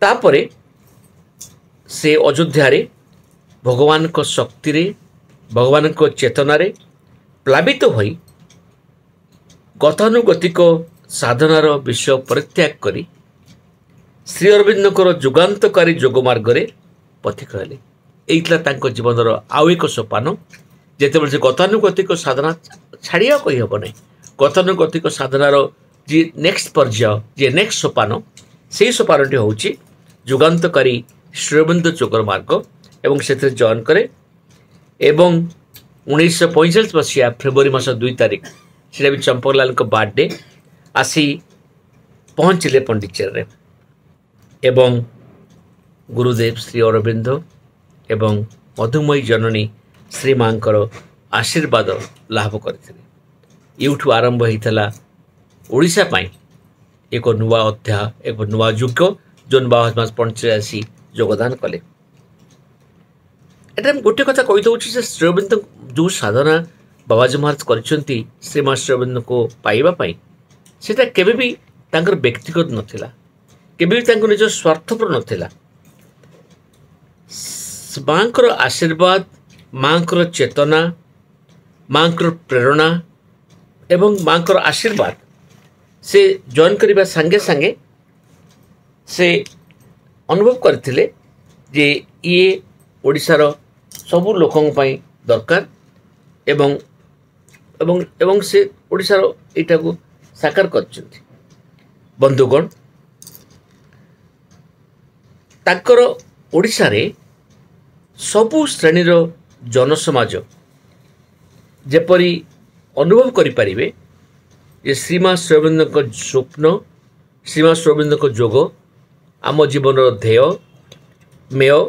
ତାପରେ ସେ ଅଯୋଧ୍ୟାରେ ଭଗବାନଙ୍କ ଶକ୍ତିରେ, ଭଗବାନଙ୍କ ଚେତନାରେ ପ୍ଲାବିତ ହୋଇ ଗତାନୁଗତିକ ସାଧନାର ବିଷୟ ପରିତ୍ୟାଗ କରି ଶ୍ରୀ ଅରବିନ୍ଦଙ୍କର ଯୁଗାନ୍ତକାରୀ ଯୋଗ ମାର୍ଗରେ ପଥିକ ହେଲେ। ଏଇ ଥିଲା ତାଙ୍କ ଜୀବନର ଆଉ ଏକ ସୋପାନ। ଯେତେବେଳେ ସେ ଗତାନୁଗତିକ ସାଧନା ଛାଡ଼ିବା କହିହେବ ନାହିଁ, ଗତାନୁଗତିକ ସାଧନାର ଯିଏ ନେକ୍ସଟ ପର୍ଯ୍ୟାୟ, ଯିଏ ନେକ୍ସଟ ସୋପାନ, ସେଇ ସୋପାନଟି ହେଉଛି ଯୁଗାନ୍ତକାରୀ ଶ୍ରୀଅରବିନ୍ଦ ଯୋଗର ମାର୍ଗ, ଏବଂ ସେଥିରେ ଜଏନ୍ କରେ। ଏବଂ ଉଣେଇଶହ ପଇଁଚାଳିଶ ମସିହା ଫେବୃଆରୀ ମାସ ଦୁଇ ତାରିଖ, ସେଇଟା ବି ଚମ୍ପକଲାଲଙ୍କ ବାର୍ଥଡେ, ଆସି ପହଞ୍ଚିଲେ ପଣ୍ଡିଚେରୀରେ ଏବଂ ଗୁରୁଦେବ ଶ୍ରୀ ଅରବିନ୍ଦ ଏବଂ ମଧୁମୟୀ ଜନନୀ ଶ୍ରୀମାଙ୍କର ଆଶୀର୍ବାଦ ଲାଭ କରିଥିଲେ। ଏଇଠୁ ଆରମ୍ଭ ହୋଇଥିଲା ଓଡ଼ିଶା ପାଇଁ ଏକ ନୂଆ ଅଧ୍ୟାୟ, ଏକ ନୂଆ ଯୁଗ, ଯେଉଁ ବାବାଜୀ ମହାରାଜ ପଣ୍ଡିଚେରୀ ଆସି ଯୋଗଦାନ କଲେ। ଏଟା ମୁଁ ଗୋଟିଏ କଥା କହିଦେଉଛି ଯେ ଶ୍ରୀଅରବିନ୍ଦ ଯେଉଁ ସାଧନା ବାବାଜୀ ମହାରାଜ କରିଛନ୍ତି ଶ୍ରୀମା ଶ୍ରୀଅରବିନ୍ଦଙ୍କୁ ପାଇବା ପାଇଁ, ସେଇଟା କେବେ ବି ତାଙ୍କର ବ୍ୟକ୍ତିଗତ ନଥିଲା, କେବେ ବି ତାଙ୍କ ନିଜ ସ୍ୱାର୍ଥପର ନଥିଲା। ମାଆଙ୍କର ଆଶୀର୍ବାଦ, ମାଆଙ୍କର ଚେତନା, ମାଆଙ୍କର ପ୍ରେରଣା ଏବଂ ମାଆଙ୍କର ଆଶୀର୍ବାଦ ସେ ଜଏନ୍ କରିବା ସାଙ୍ଗେ ସାଙ୍ଗେ ସେ ଅନୁଭବ କରିଥିଲେ ଯେ ଇଏ ଓଡ଼ିଶାର ସବୁ ଲୋକଙ୍କ ପାଇଁ ଦରକାର ଏବଂ ଏବଂ ଏବଂ ସେ ଓଡ଼ିଶାର ଏଇଟାକୁ ସାକାର କରିଛନ୍ତି। ବନ୍ଧୁଗଣ, ତାଙ୍କର ଓଡ଼ିଶାରେ ସବୁ ଶ୍ରେଣୀର ଜନସମାଜ ଯେପରି ଅନୁଭବ କରିପାରିବେ ଯେ ଶ୍ରୀମା ଶ୍ରୀଅରବିନ୍ଦଙ୍କ ସ୍ୱପ୍ନ, ଶ୍ରୀମା ଶ୍ରୀଅରବିନ୍ଦଙ୍କ ଯୋଗ ଆମ ଜୀବନର ଧ୍ୟେୟ, ମେୟ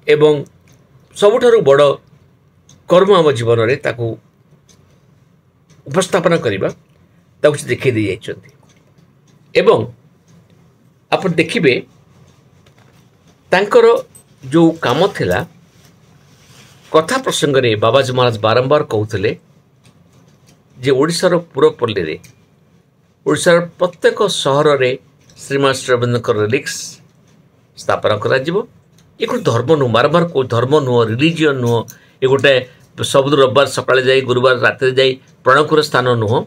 ଏବଂ ସବୁଠାରୁ ବଡ଼ କର୍ମ ଆମ ଜୀବନରେ, ତାକୁ ଉପସ୍ଥାପନା କରିବା, ତାକୁ ସେ ଦେଖାଇ ଦେଇ ଯାଇଛନ୍ତି। ଏବଂ ଆପଣ ଦେଖିବେ ତାଙ୍କର ଯେଉଁ କାମ ଥିଲା, କଥା ପ୍ରସଙ୍ଗରେ ବାବାଜୀ ମହାରାଜ ବାରମ୍ବାର କହୁଥିଲେ ଯେ ଓଡ଼ିଶାର ପୁରପଲ୍ଲୀରେ, ଓଡ଼ିଶାର ପ୍ରତ୍ୟେକ ସହରରେ ଶ୍ରୀମା ଶ୍ରୀଅରବିନ୍ଦଙ୍କର ରିଲିକ୍ସ ସ୍ଥାପନ କରାଯିବ। ଏ ଗୋଟେ ଧର୍ମ ନୁହଁ, ବାରମ୍ବାର କହୁ, ଧର୍ମ ନୁହଁ, ରିଲିଜିଅନ୍ ନୁହଁ, ଏ ଗୋଟେ ସବୁ ରବିବାର ସକାଳେ ଯାଇ ଗୁରୁବାର ରାତିରେ ଯାଇ ପ୍ରଣାମର ସ୍ଥାନ ନୁହଁ।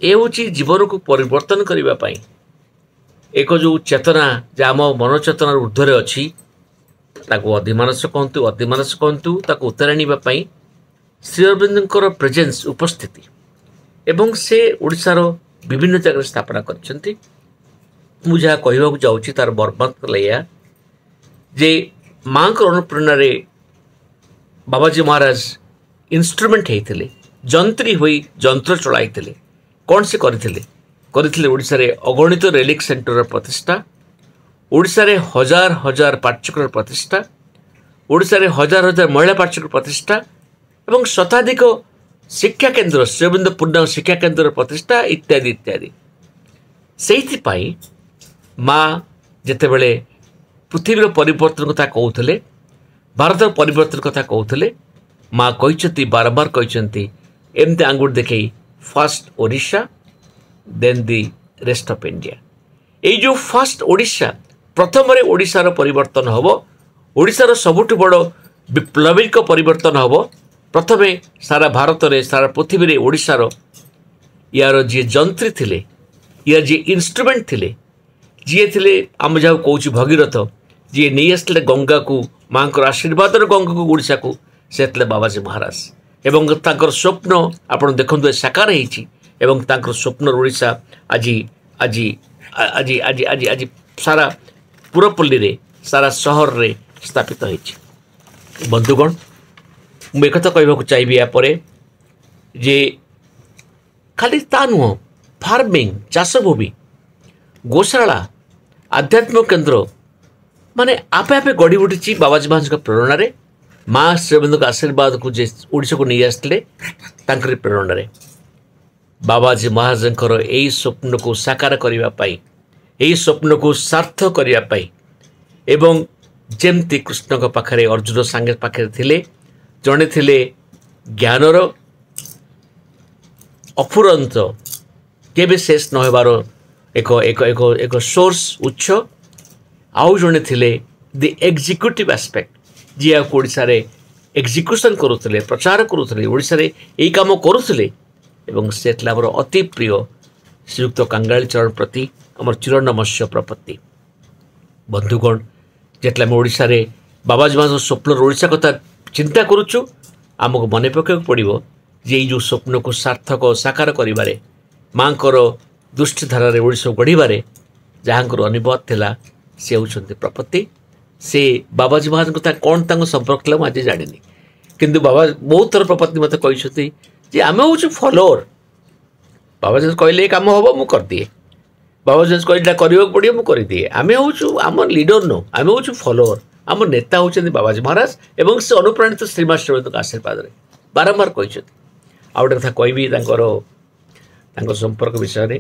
ଏ ହେଉଛି ଜୀବନକୁ ପରିବର୍ତ୍ତନ କରିବା ପାଇଁ ଏକ ଯେଉଁ ଚେତନା, ଯେ ଆମ ମନ ଚେତନାର ଉର୍ଦ୍ଧ୍ୱରେ ଅଛି, ତାକୁ ଅଧିମାନସ କହନ୍ତୁ, ଅତିମାନସ କହନ୍ତୁ, ତାକୁ ଉତ୍ତାରି ଆଣିବା ପାଇଁ ଶ୍ରୀ ଅରବିନ୍ଦଙ୍କର ପ୍ରେଜେନ୍ସ, ଉପସ୍ଥିତି, ଏବଂ ସେ ଓଡ଼ିଶାର ବିଭିନ୍ନ ଜାଗାରେ ସ୍ଥାପନା କରିଛନ୍ତି। ମୁଁ ଯାହା କହିବାକୁ ଯାଉଛି ତାର ବର୍ମାତ୍ମ ହେଲା ଏଇଆ ଯେ ମାଆଙ୍କର ଅନୁପ୍ରେରଣାରେ ବାବାଜୀ ମହାରାଜ ଇନଷ୍ଟ୍ରୁମେଣ୍ଟ ହେଇଥିଲେ, ଯନ୍ତ୍ରୀ ହୋଇ ଯନ୍ତ୍ର ଚଳାଇଥିଲେ। କ'ଣ ସେ କରିଥିଲେ? କରିଥିଲେ ଓଡ଼ିଶାରେ ଅଗଣିତ ରେଲିକ୍ ସେଣ୍ଟରର ପ୍ରତିଷ୍ଠା, ଓଡ଼ିଶାରେ ହଜାର ହଜାର ପାଠଚକ୍ରର ପ୍ରତିଷ୍ଠା, ଓଡ଼ିଶାରେ ହଜାର ହଜାର ମହିଳା ପାଠଚକ୍ର ପ୍ରତିଷ୍ଠା ଏବଂ ଶତାଧିକ ଶିକ୍ଷା କେନ୍ଦ୍ର, ଶ୍ରୀଅରବିନ୍ଦ ପୂର୍ଣ୍ଣାଙ୍ଗ ଶିକ୍ଷା କେନ୍ଦ୍ରର ପ୍ରତିଷ୍ଠା ଇତ୍ୟାଦି ଇତ୍ୟାଦି। ସେଇଥିପାଇଁ ମା ଯେତେବେଳେ ପୃଥିବୀର ପରିବର୍ତ୍ତନ କଥା କହୁଥିଲେ, ଭାରତର ପରିବର୍ତ୍ତନ କଥା କହୁଥିଲେ, ମା କହିଛନ୍ତି, ବାରମ୍ବାର କହିଛନ୍ତି, ଏମିତି ଆଙ୍ଗୁଠି ଦେଖେଇ, first Odisha, then the rest of India. ଏଇ ଯେଉଁ ଫାଷ୍ଟ ଓଡ଼ିଶା, ପ୍ରଥମରେ ଓଡ଼ିଶାର ପରିବର୍ତ୍ତନ ହେବ, ଓଡ଼ିଶାର ସବୁଠୁ ବଡ଼ ବିପ୍ଳବିକ ପରିବର୍ତ୍ତନ ହେବ ପ୍ରଥମେ ସାରା ଭାରତରେ, ସାରା ପୃଥିବୀରେ। ଓଡ଼ିଶାର ୟାର ଯିଏ ଯନ୍ତ୍ରୀ ଥିଲେ, ୟାର ଯିଏ ଇନଷ୍ଟ୍ରୁମେଣ୍ଟ ଥିଲେ, ଯିଏ ଥିଲେ ଆମେ ଯାହାକୁ କହୁଛୁ ଭଗୀରଥ, ଯିଏ ନେଇ ଆସିଥିଲେ ଗଙ୍ଗାକୁ, ମାଆଙ୍କର ଆଶୀର୍ବାଦର ଗଙ୍ଗାକୁ ଓଡ଼ିଶାକୁ, ସେ ଥିଲେ ବାବାଜୀ ମହାରାଜ। ଏବଂ ତାଙ୍କର ସ୍ୱପ୍ନ ଆପଣ ଦେଖନ୍ତୁ ଏ ସାକାର ହେଇଛି ଏବଂ ତାଙ୍କର ସ୍ୱପ୍ନର ଓଡ଼ିଶା ଆଜି ଆଜି ଆଜି ଆଜି ଆଜି ଆଜି ସାରା ପୁରପଲ୍ଲୀରେ, ସାରା ସହରରେ ସ୍ଥାପିତ ହେଇଛି। ବନ୍ଧୁଗଣ, ମୁଁ ଏକଥା କହିବାକୁ ଚାହିଁବି ୟା ପରେ ଯେ ଖାଲି ତା ନୁହଁ, ଫାର୍ମିଂ, ଚାଷଭୂମି, ଗୋଶାଳା, ଆଧ୍ୟାତ୍ମିକ କେନ୍ଦ୍ର ମାନେ ଆପେ ଆପେ ଗଢ଼ି ଉଠିଛି ବାବାଜୀ ମହାରାଜଙ୍କ ପ୍ରେରଣାରେ, ମା ଶ୍ରୀଅରବିନ୍ଦଙ୍କ ଆଶୀର୍ବାଦକୁ ଯେ ଓଡ଼ିଶାକୁ ନେଇ ଆସିଥିଲେ ତାଙ୍କରି ପ୍ରେରଣାରେ। ବାବାଜୀ ମହାରାଜଙ୍କର ଏଇ ସ୍ୱପ୍ନକୁ ସାକାର କରିବା ପାଇଁ, ଏହି ସ୍ୱପ୍ନକୁ ସାର୍ଥକ କରିବା ପାଇଁ, ଏବଂ ଯେମିତି କୃଷ୍ଣଙ୍କ ପାଖରେ ଅର୍ଜୁନ ସାଙ୍ଗେ ପାଖରେ ଥିଲେ, ଜଣେ ଥିଲେ ଜ୍ଞାନର ଅଫୁରନ୍ତ, କେବେ ଶେଷ ନ ହେବାର ଏକ ଏକ ଏକ ଏକ ସୋର୍ସ, ଉତ୍ସ, ଆଉ ଜଣେ ଥିଲେ ଦି ଏକ୍ଜିକ୍ୟୁଟିଭ୍ ଆସ୍ପେକ୍ଟ, ଯିଏ ଏହାକୁ ଓଡ଼ିଶାରେ ଏକ୍ଜିକ୍ୟୁସନ୍ କରୁଥିଲେ, ପ୍ରଚାର କରୁଥିଲେ, ଓଡ଼ିଶାରେ ଏଇ କାମ କରୁଥିଲେ, ଏବଂ ସେ ଥିଲା ଆମର ଅତି ପ୍ରିୟ ଶ୍ରୀଯୁକ୍ତ କାଙ୍ଗାଳି ଚରଣ ପ୍ରତି ଆମର ଚିରନମସ୍ୟ ପ୍ରପତ୍ତି। ବନ୍ଧୁଗଣ, ଯେତେବେଳେ ଆମେ ଓଡ଼ିଶାରେ ବାବାଜୀ ମହାରାଜଙ୍କ ସ୍ୱପ୍ନର ଓଡ଼ିଶା କଥା ଚିନ୍ତା କରୁଛୁ, ଆମକୁ ମନେ ପକାଇବାକୁ ପଡ଼ିବ ଯେ ଏଇ ଯେଉଁ ସ୍ୱପ୍ନକୁ ସାର୍ଥକ ସାକାର କରିବାରେ, ମାଆଙ୍କର ଦୃଷ୍ଟିଧାରାରେ ଓଡ଼ିଶାକୁ ଗଢ଼ିବାରେ ଯାହାଙ୍କର ଅନୁବାଦ ଥିଲା, ସେ ହେଉଛନ୍ତି ପ୍ରପତ୍ତି। ସେ ବାବାଜୀ ମହାରାଜଙ୍କ କଥା କ'ଣ ତାଙ୍କ ସମ୍ପର୍କ ଥିଲା ମୁଁ ଆଜି ଜାଣିନି, କିନ୍ତୁ ବାବା ବହୁତ ଥର ପ୍ରପତ୍ତି ମୋତେ କହିଛନ୍ତି ଯେ ଆମେ ହେଉଛୁ ଫଲୋଅର। ବାବାଜୀ କହିଲେ ଏ କାମ ହେବ, ମୁଁ କରିଦିଏ। ବାବାଜୀ କହିଲେ ଏଇଟା କରିବାକୁ ପଡ଼ିବ, ମୁଁ କରିଦିଏ। ଆମେ ହେଉଛୁ, ଆମ ଲିଡର ନୁହଁ, ଆମେ ହେଉଛୁ ଫଲୋଅର। ଆମ ନେତା ହେଉଛନ୍ତି ବାବାଜୀ ମହାରାଜ ଏବଂ ସେ ଅନୁପ୍ରାଣିତ ଶ୍ରୀମା ଶ୍ରୀଅରବିନ୍ଦଙ୍କ ଆଶୀର୍ବାଦରେ ବାରମ୍ବାର କହିଛନ୍ତି। ଆଉ ଗୋଟେ କଥା କହିବି ତାଙ୍କର ତାଙ୍କ ସମ୍ପର୍କ ବିଷୟରେ।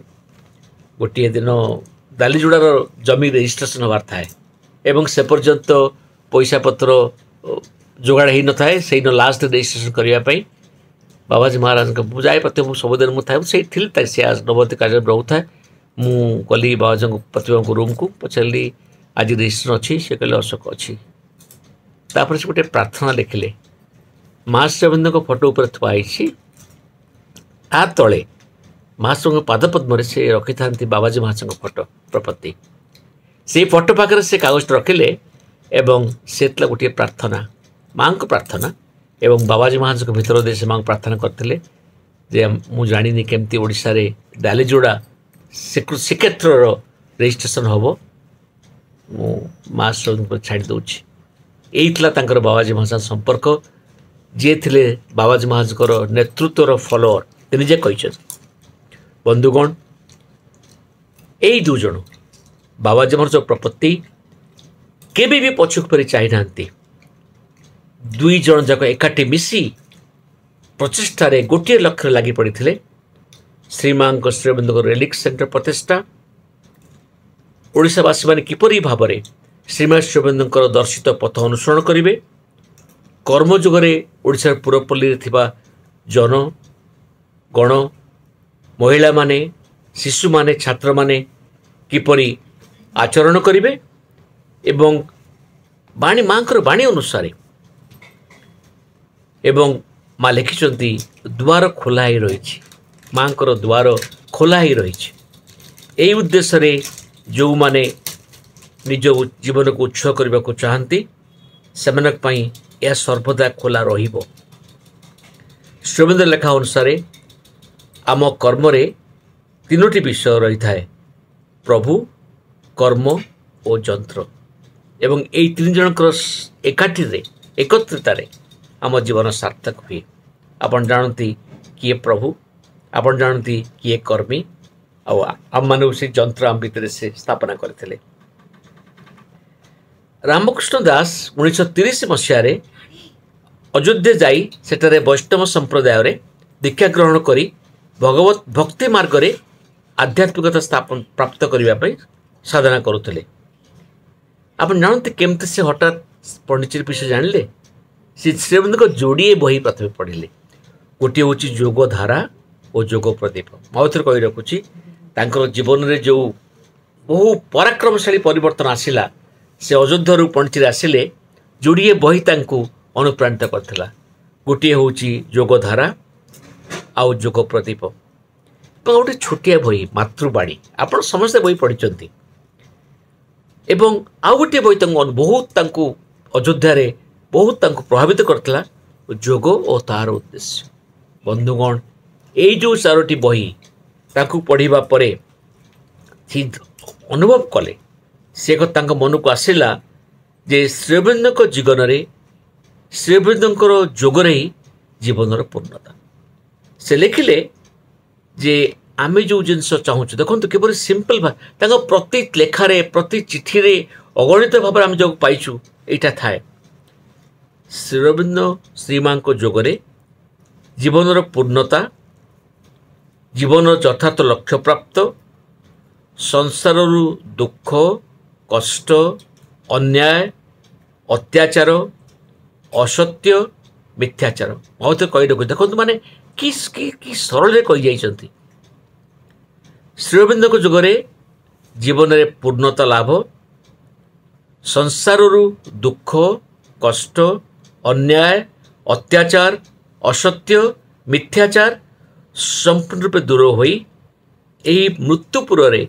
ଗୋଟିଏ ଦିନ ଦାଲିଯୋଡ଼ାର ଜମି ରେଜିଷ୍ଟ୍ରେସନ୍ ହେବାର ଥାଏ ଏବଂ ସେ ପର୍ଯ୍ୟନ୍ତ ପଇସା ପତ୍ର ଯୋଗାଡ଼ ହେଇନଥାଏ। ସେଇଦିନ ଲାଷ୍ଟ ରେଜିଷ୍ଟ୍ରେସନ୍ କରିବା ପାଇଁ ବାବାଜୀ ମହାରାଜଙ୍କ ମୁଁ ଯାଏ ପ୍ରତ୍ୟେକ, ମୁଁ ସବୁଦିନ ମୁଁ ଥାଏ, ମୁଁ ସେଇଠି ଥିଲି। ସେ ନବତୀ କାର୍ଯ୍ୟରେ ରହୁଥାଏ। ମୁଁ ଗଲି ବାବାଜୀଙ୍କ ପ୍ରତିଭାଙ୍କ ରୁମ୍କୁ, ପଚାରିଲି, ଆଜି ରେଜିଷ୍ଟ୍ରେସନ୍ ଅଛି? ସେ କହିଲେ, ଅଶୋକ, ଅଛି। ତାପରେ ସେ ଗୋଟେ ପ୍ରାର୍ଥନା ଲେଖିଲେ। ମା ଶ୍ରୀଅରବିନ୍ଦଙ୍କ ଫଟୋ ଉପରେ ଥୁଆ ହେଇଛି, ତା ତଳେ ମହାପ୍ରଭୁଙ୍କ ପାଦପଦ୍ମରେ ସେ ରଖିଥାନ୍ତି ବାବାଜୀ ମହାଶୟଙ୍କ ଫଟୋ ପ୍ରପତ୍ତି। ସେଇ ଫଟୋ ପାଖରେ ସେ କାଗଜଟା ରଖିଲେ ଏବଂ ସେ ଥିଲା ଗୋଟିଏ ପ୍ରାର୍ଥନା, ମାଆଙ୍କ ପ୍ରାର୍ଥନା। ଏବଂ ବାବାଜୀ ମହାଶୟଙ୍କ ଭିତର ଦେଇ ସେ ମାଆଙ୍କୁ ପ୍ରାର୍ଥନା କରିଥିଲେ ଯେ ମୁଁ ଜାଣିନି କେମିତି ଓଡ଼ିଶାରେ ଡାଲିଯୋଡ଼ା ଶ୍ରୀକ୍ଷେତ୍ରର ରେଜିଷ୍ଟ୍ରେସନ୍ ହେବ, ମୁଁ ମା ଶ୍ରୀଙ୍କୁ ଛାଡ଼ି ଦେଉଛି। ଏଇ ଥିଲା ତାଙ୍କର ବାବାଜୀ ମହାଶୟ ସମ୍ପର୍କ। ଯିଏ ଥିଲେ ବାବାଜୀ ମହାଶୟଙ୍କର ନେତୃତ୍ୱର ଫଲୋଅର, ସେ ନିଜେ କହିଛନ୍ତି। ବନ୍ଧୁଗଣ, ଏଇ ଦୁଇ ଜଣ ବାବାଜୀ ମହାରାଜ ପ୍ରପତ୍ତି କେବେ ବି ପଛକୁ ଫେରି ଚାହିଁନାହାନ୍ତି। ଦୁଇ ଜଣ ଯାକ ଏକାଠି ମିଶି ପ୍ରଚେଷ୍ଟାରେ ଗୋଟିଏ ଲକ୍ଷ୍ୟରେ ଲାଗି ପଡ଼ିଥିଲେ, ଶ୍ରୀମାଙ୍କ ଶ୍ରୀଅରବିନ୍ଦଙ୍କ ରେଲିକ୍ ସେଣ୍ଟର ପ୍ରତିଷ୍ଠା। ଓଡ଼ିଶାବାସୀମାନେ କିପରି ଭାବରେ ଶ୍ରୀମା ଶ୍ରୀଅରବିନ୍ଦଙ୍କର ଦର୍ଶିତ ପଥ ଅନୁସରଣ କରିବେ, କର୍ମଯୁଗରେ ଓଡ଼ିଶାର ପୁରପଲ୍ଲୀରେ ଥିବା ଜନ ଗଣ, ମହିଳାମାନେ, ଶିଶୁମାନେ, ଛାତ୍ରମାନେ କିପରି ଆଚରଣ କରିବେ ଏବଂ ବାଣୀ, ମାଙ୍କର ବାଣୀ ଅନୁସାରେ। ଏବଂ ମା ଲେଖିଛନ୍ତି, ଦ୍ୱାର ଖୋଲା ହେଇ ରହିଛି, ମାଙ୍କର ଦ୍ୱାର ଖୋଲା ହେଇ ରହିଛି। ଏହି ଉଦ୍ଦେଶ୍ୟରେ ଯେଉଁମାନେ ନିଜ ଜୀବନକୁ ଉତ୍ସର୍ଗ କରିବାକୁ ଚାହାନ୍ତି, ସେମାନଙ୍କ ପାଇଁ ଏହା ସର୍ବଦା ଖୋଲା ରହିବ। ଶ୍ରୀଅରବିନ୍ଦ ଲେଖା ଅନୁସାରେ ଆମ କର୍ମରେ ତିନୋଟି ବିଷୟ ରହିଥାଏ, ପ୍ରଭୁ, କର୍ମ ଓ ଯନ୍ତ୍ର। ଏବଂ ଏଇ ତିନି ଜଣଙ୍କର ଏକାଠିରେ, ଏକତ୍ରିତାରେ ଆମ ଜୀବନ ସାର୍ଥକ ହୁଏ। ଆପଣ ଜାଣନ୍ତି କିଏ ପ୍ରଭୁ, ଆପଣ ଜାଣନ୍ତି କିଏ କର୍ମୀ, ଆଉ ଆମମାନଙ୍କୁ ସେ ଯନ୍ତ୍ର ଆମ ଭିତରେ ସେ ସ୍ଥାପନା କରିଥିଲେ। ରାମକୃଷ୍ଣ ଦାସ ଉଣେଇଶହ ତିରିଶ ମସିହାରେ ଅଯୋଧ୍ୟା ଯାଇ ସେଠାରେ ବୈଷ୍ଣବ ସମ୍ପ୍ରଦାୟରେ ଦୀକ୍ଷା ଗ୍ରହଣ କରି ଭଗବତ ଭକ୍ତି ମାର୍ଗରେ ଆଧ୍ୟାତ୍ମିକତା ସ୍ଥାପନ ପ୍ରାପ୍ତ କରିବା ପାଇଁ ସାଧନା କରୁଥିଲେ। ଆପଣ ଜାଣନ୍ତି କେମିତି ସେ ହଠାତ୍ ପଣ୍ଡିଚେରୀ ବିଷୟ ଜାଣିଲେ? ସେ ଶ୍ରୀଅରବିନ୍ଦଙ୍କ ଯୋଡ଼ିଏ ବହି ପ୍ରଥମେ ପଢ଼ିଲେ। ଗୋଟିଏ ହେଉଛି ଯୋଗଧାରା ଓ ଯୋଗ ପ୍ରଦୀପ। ମୁଁ ଆଉ ଥରେ କହି ରଖୁଛି, ତାଙ୍କର ଜୀବନରେ ଯେଉଁ ବହୁ ପରାକ୍ରମଶାଳୀ ପରିବର୍ତ୍ତନ ଆସିଲା, ସେ ଅଯୋଧ୍ୟାରୁ ପଣ୍ଡିଚେରୀ ଆସିଲେ, ଯୋଡ଼ିଏ ବହି ତାଙ୍କୁ ଅନୁପ୍ରାଣିତ କରିଥିଲା। ଗୋଟିଏ ହେଉଛି ଯୋଗଧାରା ଆଉ ଯୋଗ ପ୍ରଦୀପ ଏବଂ ଗୋଟେ ଛୋଟିଆ ବହି ମାତୃବାଣୀ। ଆପଣ ସମସ୍ତେ ବହି ପଢ଼ିଛନ୍ତି। ଏବଂ ଆଉ ଗୋଟିଏ ବହି ତାଙ୍କୁ ବହୁତ, ତାଙ୍କୁ ଅଯୋଧ୍ୟାରେ ବହୁତ ତାଙ୍କୁ ପ୍ରଭାବିତ କରିଥିଲା, ଯୋଗ ଓ ତାହାର ଉଦ୍ଦେଶ୍ୟ। ବନ୍ଧୁଗଣ, ଏଇ ଯେଉଁ ଚାରୋଟି ବହି ତାଙ୍କୁ ପଢ଼ିବା ପରେ ସେ ଅନୁଭବ କଲେ, ସେ ତାଙ୍କ ମନକୁ ଆସିଲା ଯେ ଶ୍ରୀଅରବିନ୍ଦଙ୍କ ଜୀବନରେ, ଶ୍ରୀଅରବିନ୍ଦଙ୍କର ଯୋଗରେ ହିଁ ଜୀବନର ପୂର୍ଣ୍ଣତା। ସେ ଲେଖିଲେ ଯେ ଆମେ ଯେଉଁ ଜିନିଷ ଚାହୁଁଛୁ, ଦେଖନ୍ତୁ କିପରି ସିମ୍ପଲ୍, ତାଙ୍କ ପ୍ରତି ଲେଖାରେ, ପ୍ରତି ଚିଠିରେ ଅଗଣିତ ଭାବରେ ଆମେ ଯେଉଁ ପାଇଛୁ ଏଇଟା ଥାଏ। ଶ୍ରୀଅରବିନ୍ଦ ଶ୍ରୀମାଙ୍କ ଯୋଗରେ ଜୀବନର ପୂର୍ଣ୍ଣତା, ଜୀବନର ଯଥାର୍ଥ ଲକ୍ଷ୍ୟପ୍ରାପ୍ତ, ସଂସାରରୁ ଦୁଃଖ, କଷ୍ଟ, ଅନ୍ୟାୟ, ଅତ୍ୟାଚାର, ଅସତ୍ୟ, ମିଥ୍ୟାଚାର। ମୁଁ ତ କହି ରଖୁଛି, ଦେଖନ୍ତୁ ମାନେ କି କି ସରଳରେ କହିଯାଇଛନ୍ତି। ଶ୍ରୀଅରବିନ୍ଦଙ୍କ ଯୁଗରେ ଜୀବନରେ ପୂର୍ଣ୍ଣତା ଲାଭ, ସଂସାରରୁ ଦୁଃଖ, କଷ୍ଟ, ଅନ୍ୟାୟ, ଅତ୍ୟାଚାର, ଅସତ୍ୟ, ମିଥ୍ୟାଚାର ସମ୍ପୂର୍ଣ୍ଣ ରୂପେ ଦୂର ହୋଇ ଏହି ମୃତ୍ୟୁପୁରରେ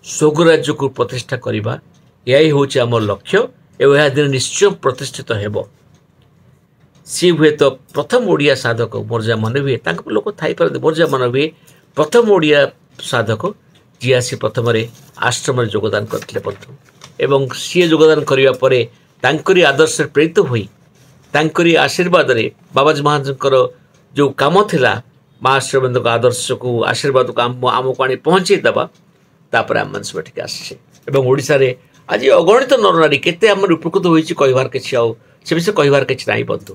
ସ୍ୱର୍ଗରାଜ୍ୟକୁ ପ୍ରତିଷ୍ଠା କରିବା, ଏହା ହିଁ ହେଉଛି ଆମ ଲକ୍ଷ୍ୟ ଏବଂ ଏହା ଦିନ ନିଶ୍ଚୟ ପ୍ରତିଷ୍ଠିତ ହେବ। ସିଏ ହୁଏତ ପ୍ରଥମ ଓଡ଼ିଆ ସାଧକ, ମୋର ଯାହା ମନେ ହୁଏ, ତାଙ୍କ ଲୋକ ଥାଇପାରନ୍ତି, ମୋର ଯାହା ମନେ ହୁଏ ପ୍ରଥମ ଓଡ଼ିଆ ସାଧକ ଯିଏ ଆସି ପ୍ରଥମରେ ଆଶ୍ରମରେ ଯୋଗଦାନ କରିଥିଲେ ବନ୍ଧୁ। ଏବଂ ସିଏ ଯୋଗଦାନ କରିବା ପରେ ତାଙ୍କରି ଆଦର୍ଶରେ ପ୍ରେରିତ ହୋଇ, ତାଙ୍କରି ଆଶୀର୍ବାଦରେ ବାବାଜୀ ମହାରାଜଙ୍କର ଯେଉଁ କାମ ଥିଲା ମା ଶ୍ରୀଅରବିନ୍ଦଙ୍କ ଆଦର୍ଶକୁ, ଆଶୀର୍ବାଦକୁ ଆମ ଆମକୁ ଆଣି ପହଞ୍ଚେଇ ଦେବା, ତାପରେ ଆମମାନେ ସବୁ ଏଠିକି ଆସିଛେ। ଏବଂ ଓଡ଼ିଶାରେ ଆଜି ଅଗଣିତ ନରନାରୀ କେତେ ଆମର ଉପକୃତ ହୋଇଛି, କହିବାର କିଛି ଆଉ ସେ ବିଷୟରେ କହିବାର କିଛି ନାହିଁ ବନ୍ଧୁ।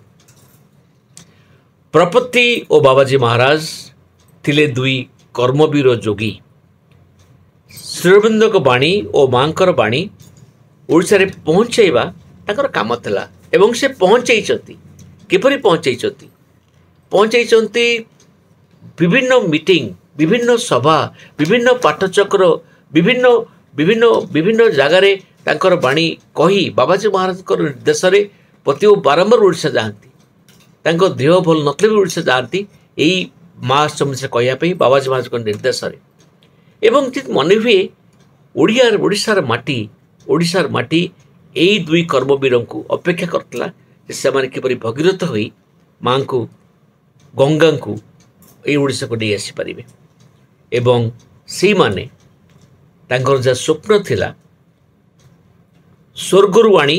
ପ୍ରପତ୍ତି ଓ ବାବାଜୀ ମହାରାଜ ଥିଲେ ଦୁଇ କର୍ମବୀର ଯୋଗୀ। ଶ୍ରୀଅରବିନ୍ଦଙ୍କ ବାଣୀ ଓ ମାଙ୍କର ବାଣୀ ଓଡ଼ିଶାରେ ପହଞ୍ଚାଇବା ତାଙ୍କର କାମ ଥିଲା ଏବଂ ସେ ପହଞ୍ଚାଇଛନ୍ତି। କିପରି ପହଞ୍ଚାଇଛନ୍ତି? ପହଞ୍ଚାଇଛନ୍ତି ବିଭିନ୍ନ ମିଟିଂ, ବିଭିନ୍ନ ସଭା, ବିଭିନ୍ନ ପାଠଚକ୍ର, ବିଭିନ୍ନ ବିଭିନ୍ନ ବିଭିନ୍ନ ଜାଗାରେ ତାଙ୍କର ବାଣୀ କହି ବାବାଜୀ ମହାରାଜଙ୍କର ନିର୍ଦ୍ଦେଶରେ ପ୍ରତି ବାରମ୍ବାର ଓଡ଼ିଶା ଯାଆନ୍ତି। ତାଙ୍କ ଦେହ ଭଲ ନଥିଲେ ବି ଓଡ଼ିଶା ଯାଆନ୍ତି ଏଇ ମା ସମ୍ବନ୍ଧରେ କହିବା ପାଇଁ ବାବାଜୀ ମହାରାଜଙ୍କ ନିର୍ଦ୍ଦେଶରେ। ଏବଂ ଯଦି ମନେ ହୁଏ ଓଡ଼ିଆ ଓଡ଼ିଶାର ମାଟି ଓଡ଼ିଶାର ମାଟି ଏଇ ଦୁଇ କର୍ମବୀରଙ୍କୁ ଅପେକ୍ଷା କରିଥିଲା ଯେ ସେମାନେ କିପରି ଭଗୀରଥ ହୋଇ ମାଙ୍କୁ, ଗଙ୍ଗାଙ୍କୁ ଏଇ ଓଡ଼ିଶାକୁ ନେଇ ଆସିପାରିବେ। ଏବଂ ସେଇମାନେ ତାଙ୍କର ଯାହା ସ୍ୱପ୍ନ ଥିଲା ସ୍ୱର୍ଗରୁ ଆଣି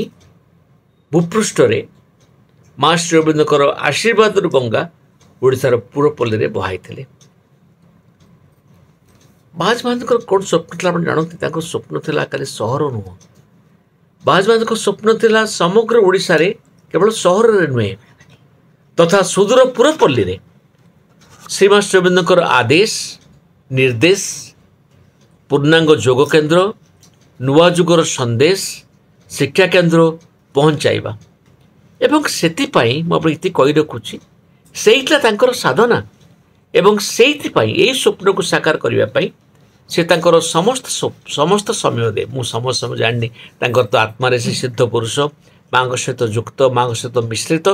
ଭୂପୃଷ୍ଠରେ ମା ଶ୍ରୀଅରବିନ୍ଦଙ୍କର ଆଶୀର୍ବାଦରୁ ଗଙ୍ଗା ଓଡ଼ିଶାର ପୁରପଲ୍ଲୀରେ ବହାଇଥିଲେ। ବାବାଜୀ ମହାରାଜଙ୍କର କ'ଣ ସ୍ୱପ୍ନ ଥିଲା ଆପଣ ଜାଣନ୍ତି? ତାଙ୍କ ସ୍ୱପ୍ନ ଥିଲା ଖାଲି ସହର ନୁହଁ, ବାବାଜୀ ମହାରାଜଙ୍କ ସ୍ୱପ୍ନ ଥିଲା ସମଗ୍ର ଓଡ଼ିଶାରେ, କେବଳ ସହରରେ ନୁହେଁ, ତଥା ସୁଦୂର ପୁରପଲ୍ଲୀରେ ଶ୍ରୀମା ଶ୍ରୀଅରବିନ୍ଦଙ୍କର ଆଦେଶ, ନିର୍ଦ୍ଦେଶ, ପୂର୍ଣ୍ଣାଙ୍ଗ ଯୋଗ କେନ୍ଦ୍ର, ନୂଆ ଯୁଗର ସନ୍ଦେଶ, ଶିକ୍ଷା କେନ୍ଦ୍ର ପହଞ୍ଚାଇବା। ଏବଂ ସେଥିପାଇଁ ମୁଁ ଆପଣଙ୍କୁ ଏତିକି କହି ରଖୁଛି, ସେଇଥିଲା ତାଙ୍କର ସାଧନା। ଏବଂ ସେଇଥିପାଇଁ ଏଇ ସ୍ୱପ୍ନକୁ ସାକାର କରିବା ପାଇଁ ସେ ତାଙ୍କର ସମସ୍ତ ସମସ୍ତ ସମୟ ଦେ ମୁଁ ସମସ୍ତ ସମୟ ଜାଣିନି, ତାଙ୍କର ତ ଆତ୍ମାରେ ସେ ସିଦ୍ଧ ପୁରୁଷ, ମାଆଙ୍କ ସହିତ ଯୁକ୍ତ, ମାଆଙ୍କ ସହିତ ମିଶ୍ରିତ।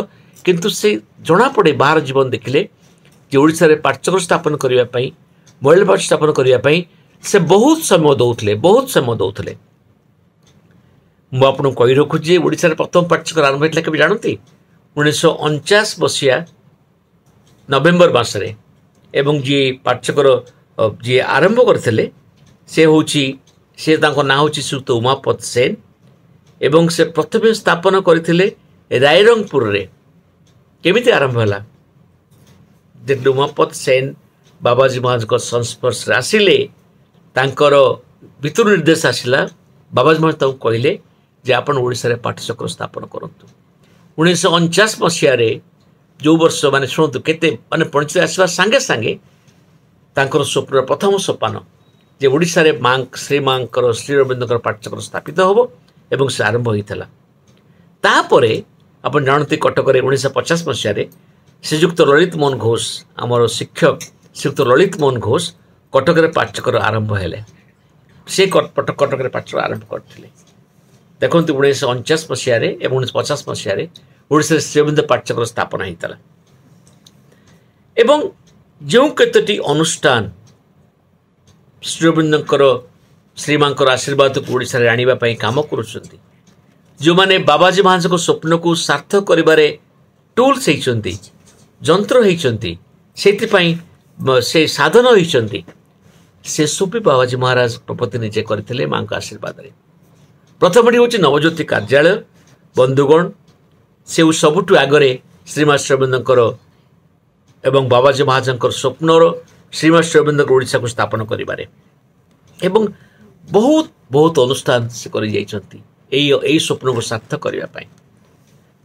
କିନ୍ତୁ ସେ ଜଣାପଡ଼େ ବାହାର ଜୀବନ ଦେଖିଲେ ଯେ ଓଡ଼ିଶାରେ ପାଠଚକ୍ର ସ୍ଥାପନ କରିବା ପାଇଁ, ମହିଳା ପାଠ ସ୍ଥାପନ କରିବା ପାଇଁ ସେ ବହୁତ ସମୟ ଦେଉଥିଲେ, ବହୁତ ସମୟ ଦେଉଥିଲେ। ମୁଁ ଆପଣଙ୍କୁ କହି ରଖୁଛି ଯେ ଓଡ଼ିଶାରେ ପ୍ରଥମ ପାଠଚକ୍ର ଆରମ୍ଭ ହେଇଥିଲା କେବେ ଜାଣନ୍ତି? ଉଣେଇଶହ ଅଣଚାଶ ମସିହା ନଭେମ୍ବର ମାସରେ। ଏବଂ ଯିଏ ପାଠଚକ୍ର ଯିଏ ଆରମ୍ଭ କରିଥିଲେ ସେ ହେଉଛି ସେ ତାଙ୍କ ନାଁ ହେଉଛି ଶ୍ରୀଯୁକ୍ତ ଉମାପଦ ସେନ। ଏବଂ ସେ ପ୍ରଥମେ ସ୍ଥାପନ କରିଥିଲେ ରାଇରଙ୍ଗପୁରରେ। କେମିତି ଆରମ୍ଭ ହେଲା? ଯେତେବେଳେ ଉମାପଦ ସେନ ବାବାଜୀ ମହାରାଜଙ୍କ ସଂସ୍ପର୍ଶରେ ଆସିଲେ, ତାଙ୍କର ଭିତରୁ ନିର୍ଦ୍ଦେଶ ଆସିଲା, ବାବାଜୀ ମହାରାଜ ତାଙ୍କୁ କହିଲେ ଯେ ଆପଣ ଓଡ଼ିଶାରେ ପାଠଚକ୍ର ସ୍ଥାପନ କରନ୍ତୁ। ଉଣେଇଶହ ଅଣଚାଶ ମସିହାରେ ଯେଉଁ ବର୍ଷ, ମାନେ ଶୁଣନ୍ତୁ କେତେ, ମାନେ ପଞ୍ଚାୟତ ଆସିବା ସାଙ୍ଗେ ସାଙ୍ଗେ ତାଙ୍କର ସ୍ୱପ୍ନର ପ୍ରଥମ ସୋପାନ ଯେ ଓଡ଼ିଶାରେ ମା ଶ୍ରୀ ମାଙ୍କର ଶ୍ରୀ ଅରବିନ୍ଦଙ୍କର ପାଠଚକ୍ର ସ୍ଥାପିତ ହେବ, ଏବଂ ସେ ଆରମ୍ଭ ହୋଇଥିଲା। ତାପରେ ଆପଣ ଜାଣନ୍ତି କଟକରେ ଉଣେଇଶହ ପଚାଶ ମସିହାରେ ଶ୍ରୀଯୁକ୍ତ ଲଳିତ ମୋହନ ଘୋଷ, ଆମର ଶିକ୍ଷକ ଶ୍ରୀଯୁକ୍ତ ଲଳିତ ମୋହନ ଘୋଷ କଟକରେ ପାଠଚକ୍ର ଆରମ୍ଭ ହେଲେ। ସେ କଟକରେ ପାଠଚକ୍ର ଆରମ୍ଭ କରିଥିଲେ। ଦେଖନ୍ତୁ ଉଣେଇଶହ ଅଣଚାଶ ମସିହାରେ ଏବଂ ଉଣେଇଶହ ପଚାଶ ମସିହାରେ ଓଡ଼ିଶାରେ ଶ୍ରୀଅରବିନ୍ଦ ପାଠଚକ୍ର ସ୍ଥାପନ ହୋଇଥିଲା। ଏବଂ ଯେଉଁ କେତୋଟି ଅନୁଷ୍ଠାନ ଶ୍ରୀଅରବିନ୍ଦଙ୍କର ଶ୍ରୀମାଙ୍କର ଆଶୀର୍ବାଦକୁ ଓଡ଼ିଶାରେ ଆଣିବା ପାଇଁ କାମ କରୁଛନ୍ତି, ଯେଉଁମାନେ ବାବାଜୀ ମହାରାଜଙ୍କ ସ୍ୱପ୍ନକୁ ସାର୍ଥକ କରିବାରେ ଟୁଲ୍ସ ହେଇଛନ୍ତି, ଯନ୍ତ୍ର ହେଇଛନ୍ତି, ସେଥିପାଇଁ ସେ ସାଧନ ହେଇଛନ୍ତି, ସେସବୁ ବି ବାବାଜୀ ମହାରାଜ ପ୍ରପତି ନିଜେ କରିଥିଲେ ମାଙ୍କ ଆଶୀର୍ବାଦରେ। ପ୍ରଥମଟି ହେଉଛି ନବଜ୍ୟୋତି କାର୍ଯ୍ୟାଳୟ। ବନ୍ଧୁଗଣ, ସେ ସବୁଠୁ ଆଗରେ ଶ୍ରୀମା ଶ୍ରୀଅରବିନ୍ଦଙ୍କର ଏବଂ ବାବାଜୀ ମହାରାଜଙ୍କର ସ୍ୱପ୍ନର ଶ୍ରୀମା ଶ୍ରୀଅରବିନ୍ଦଙ୍କ ଓଡ଼ିଶାକୁ ସ୍ଥାପନ କରିବାରେ, ଏବଂ ବହୁତ ବହୁତ ଅନୁଷ୍ଠାନ ସେ କରିଯାଇଛନ୍ତି ଏଇ ଏଇ ସ୍ୱପ୍ନକୁ ସାର୍ଥକ କରିବା ପାଇଁ।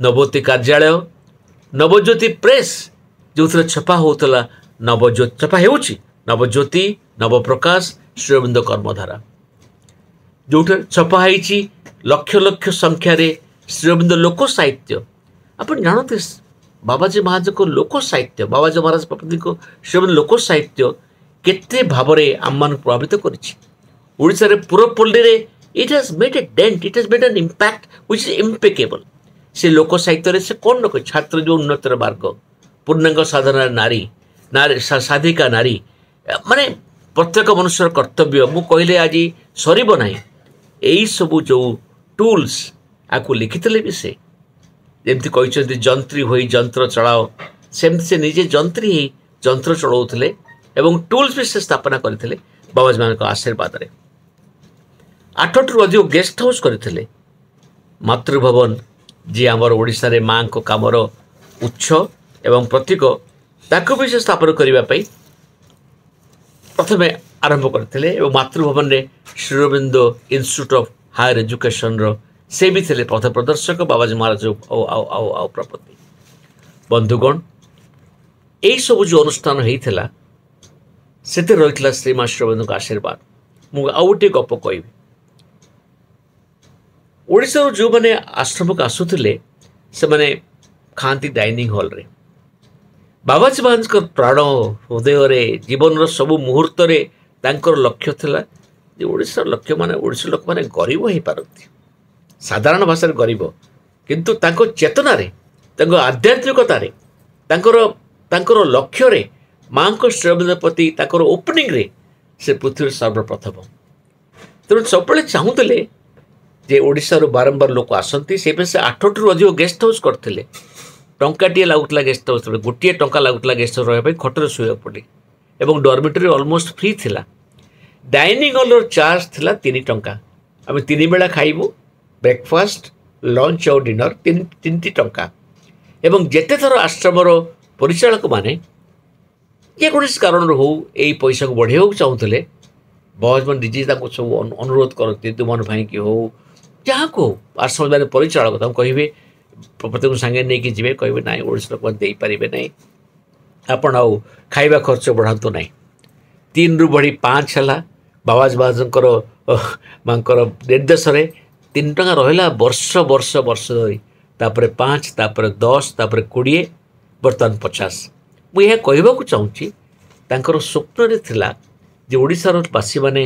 ନବଜ୍ୟୋତି କାର୍ଯ୍ୟାଳୟ, ନବଜ୍ୟୋତି ପ୍ରେସ୍, ଯେଉଁଥିରେ ଛପା ହେଉଥିଲା ନବଜ୍ୟୋତି, ଛପା ହେଉଛି ନବଜ୍ୟୋତି, ନବପ୍ରକାଶ, ଶ୍ରୀଅରବିନ୍ଦ କର୍ମଧାରା, ଯେଉଁଠାରେ ଛପା ହେଇଛି ଲକ୍ଷ ଲକ୍ଷ ସଂଖ୍ୟାରେ ଶ୍ରୀଅରବିନ୍ଦ ଲୋକ ସାହିତ୍ୟ। ଆପଣ ଜାଣନ୍ତି ବାବାଜୀ ମହାରାଜଙ୍କ ଲୋକ ସାହିତ୍ୟ, ବାବାଜୀ ମହାରାଜ ପ୍ରପତିଙ୍କ ଶ୍ରୀଅରବିନ୍ଦ ଲୋକ ସାହିତ୍ୟ କେତେ ଭାବରେ ଆମମାନଙ୍କୁ ପ୍ରଭାବିତ କରିଛି। ଓଡ଼ିଶାରେ ପୁରପଲ୍ଲୀରେ it has made a dent, it has made an impact which is impeccable. ସେ ଲୋକ ସାହିତ୍ୟରେ ସେ କ'ଣ ନ କରେ, ଛାତ୍ର ଯେଉଁ ଉନ୍ନତିର ମାର୍ଗ, ପୂର୍ଣ୍ଣାଙ୍ଗ ସାଧନାର ନାରୀ, ନାରୀ ସାଧିକା ନାରୀ, ମାନେ ପ୍ରତ୍ୟେକ ମନୁଷ୍ୟର କର୍ତ୍ତବ୍ୟ, ମୁଁ କହିଲେ ଆଜି ସରିବ ନାହିଁ। ଏଇସବୁ ଯେଉଁ ଟୁଲ୍ସ ଆକୁ ଲେଖିଥିଲେ ବି ସେ ଯେମିତି କହିଛନ୍ତି ଯନ୍ତ୍ରୀ ହୋଇ ଯନ୍ତ୍ର ଚଳାଅ, ସେମିତି ସେ ନିଜେ ଯନ୍ତ୍ରୀ ହେଇ ଯନ୍ତ୍ର ଚଳାଉଥିଲେ ଏବଂ ଟୁଲ୍ସ ବି ସେ ସ୍ଥାପନା କରିଥିଲେ ବାବାଜୀମାନଙ୍କ ଆଶୀର୍ବାଦରେ। ଆଠଟିରୁ ଅଧିକ ଗେଷ୍ଟ ହାଉସ୍ କରିଥିଲେ। ମାତୃଭବନ, ଯିଏ ଆମର ଓଡ଼ିଶାରେ ମାଆଙ୍କ କାମର ଉତ୍ସ ଏବଂ ପ୍ରତୀକ, ତାକୁ ବି ସେ ସ୍ଥାପନ କରିବା ପାଇଁ ପ୍ରଥମେ ଆରମ୍ଭ କରିଥିଲେ। ଏବଂ ମାତୃଭବନରେ ଶ୍ରୀଅରବିନ୍ଦ ଇନଷ୍ଟିଚ୍ୟୁଟ୍ ଅଫ୍ ହାୟର ଏଜୁକେସନ୍ର ସେ ବି ଥିଲେ ପଥ ପ୍ରଦର୍ଶକ ବାବାଜୀ ମହାରାଜ ଆଉ ଆଉ ଆଉ ଆଉ ପ୍ରପତି। ବନ୍ଧୁଗଣ, ଏଇସବୁ ଯେଉଁ ଅନୁଷ୍ଠାନ ହେଇଥିଲା ସେଥିରେ ରହିଥିଲା ଶ୍ରୀମା ଶ୍ରୀଅରବିନ୍ଦଙ୍କ ଆଶୀର୍ବାଦ। ମୁଁ ଆଉ ଗୋଟିଏ ଗପ କହିବି। ଓଡ଼ିଶାରୁ ଯେଉଁମାନେ ଆଶ୍ରମକୁ ଆସୁଥିଲେ ସେମାନେ ଖାଆନ୍ତି ଡାଇନିଂ ହଲ୍ରେ। ବାବାଜୀ ମହାରାଜଙ୍କ ପ୍ରାଣ ହୃଦୟରେ ଜୀବନର ସବୁ ମୁହୂର୍ତ୍ତରେ ତାଙ୍କର ଲକ୍ଷ୍ୟ ଥିଲା ଯେ ଓଡ଼ିଶାର ଲକ୍ଷ୍ୟମାନେ ଓଡ଼ିଶାର ଲୋକମାନେ ଗରିବ ହେଇପାରନ୍ତି, ସାଧାରଣ ଭାଷାରେ ଗରିବ, କିନ୍ତୁ ତାଙ୍କ ଚେତନାରେ, ତାଙ୍କ ଆଧ୍ୟାତ୍ମିକତାରେ, ତାଙ୍କର ତାଙ୍କର ଲକ୍ଷ୍ୟରେ ମାଆଙ୍କ ଶ୍ରୀଅରବିନ୍ଦ ପ୍ରତି ତାଙ୍କର ଓପନିଂରେ ସେ ପୃଥିବୀର ସର୍ବପ୍ରଥମ। ତେଣୁ ସବୁବେଳେ ଚାହୁଁଥିଲେ ଯେ ଓଡ଼ିଶାରୁ ବାରମ୍ବାର ଲୋକ ଆସନ୍ତି। ସେଇପାଇଁ ସେ ଆଠଟିରୁ ଅଧିକ ଗେଷ୍ଟ ହାଉସ୍ କରିଥିଲେ। ଟଙ୍କାଟିଏ ଲାଗୁଥିଲା ଗେଷ୍ଟ ହାଉସ୍, ଗୋଟିଏ ଟଙ୍କା ଲାଗୁଥିଲା ଗେଷ୍ଟ ହାଉସ୍ ରହିବା ପାଇଁ, ଖଟରେ ଶୋଇବାକୁ ପଡ଼େ, ଏବଂ ଡର୍ମିଟୋରୀ ଅଲମୋଷ୍ଟ ଫ୍ରି ଥିଲା। ଡାଇନିଂ ହଲ୍ର ଚାର୍ଜ ଥିଲା ତିନି ଟଙ୍କା। ଆମେ ତିନି ବେଳା ଖାଇବୁ, ବ୍ରେକଫାଷ୍ଟ, ଲଞ୍ଚ ଆଉ ଡିନର, ତିନି ତିନିଟି ଟଙ୍କା। ଏବଂ ଯେତେ ଥର ଆଶ୍ରମର ପରିଚାଳକମାନେ ଯେକୌଣସି କାରଣରୁ ହଉ ଏଇ ପଇସାକୁ ବଢ଼େଇବାକୁ ଚାହୁଁଥିଲେ, ବାବାଜୀମାନେ ନିଜେ ତାଙ୍କୁ ସବୁ ଅନୁରୋଧ କରନ୍ତି, ଦୁମନ ଭାଇକି ହଉ ଯାହାକୁ ହଉ, ଆଶ୍ରମ ମାନେ ପରିଚାଳକ ତାଙ୍କୁ କହିବେ, ପ୍ରତ୍ୟେକ ସାଙ୍ଗେ ନେଇକି ଯିବେ, କହିବେ ନାଇଁ ଓଡ଼ିଶା ଲୋକମାନେ ଦେଇପାରିବେ ନାହିଁ, ଆପଣ ଆଉ ଖାଇବା ଖର୍ଚ୍ଚ ବଢ଼ାନ୍ତୁ ନାହିଁ। ତିନିରୁ ବଢ଼ି ପାଞ୍ଚ ହେଲା। ବାବାଜୀ ମହାରାଜଙ୍କର ମାଙ୍କର ନିର୍ଦ୍ଦେଶରେ ତିନି ଟଙ୍କା ରହିଲା ବର୍ଷ ବର୍ଷ ବର୍ଷ ଧରି, ତାପରେ ପାଞ୍ଚ, ତାପରେ ଦଶ, ତାପରେ କୋଡ଼ିଏ, ବର୍ତ୍ତମାନ ପଚାଶ। ମୁଁ ଏହା କହିବାକୁ ଚାହୁଁଛି, ତାଙ୍କର ସ୍ୱପ୍ନରେ ଥିଲା ଯେ ଓଡ଼ିଶାର ବାସୀମାନେ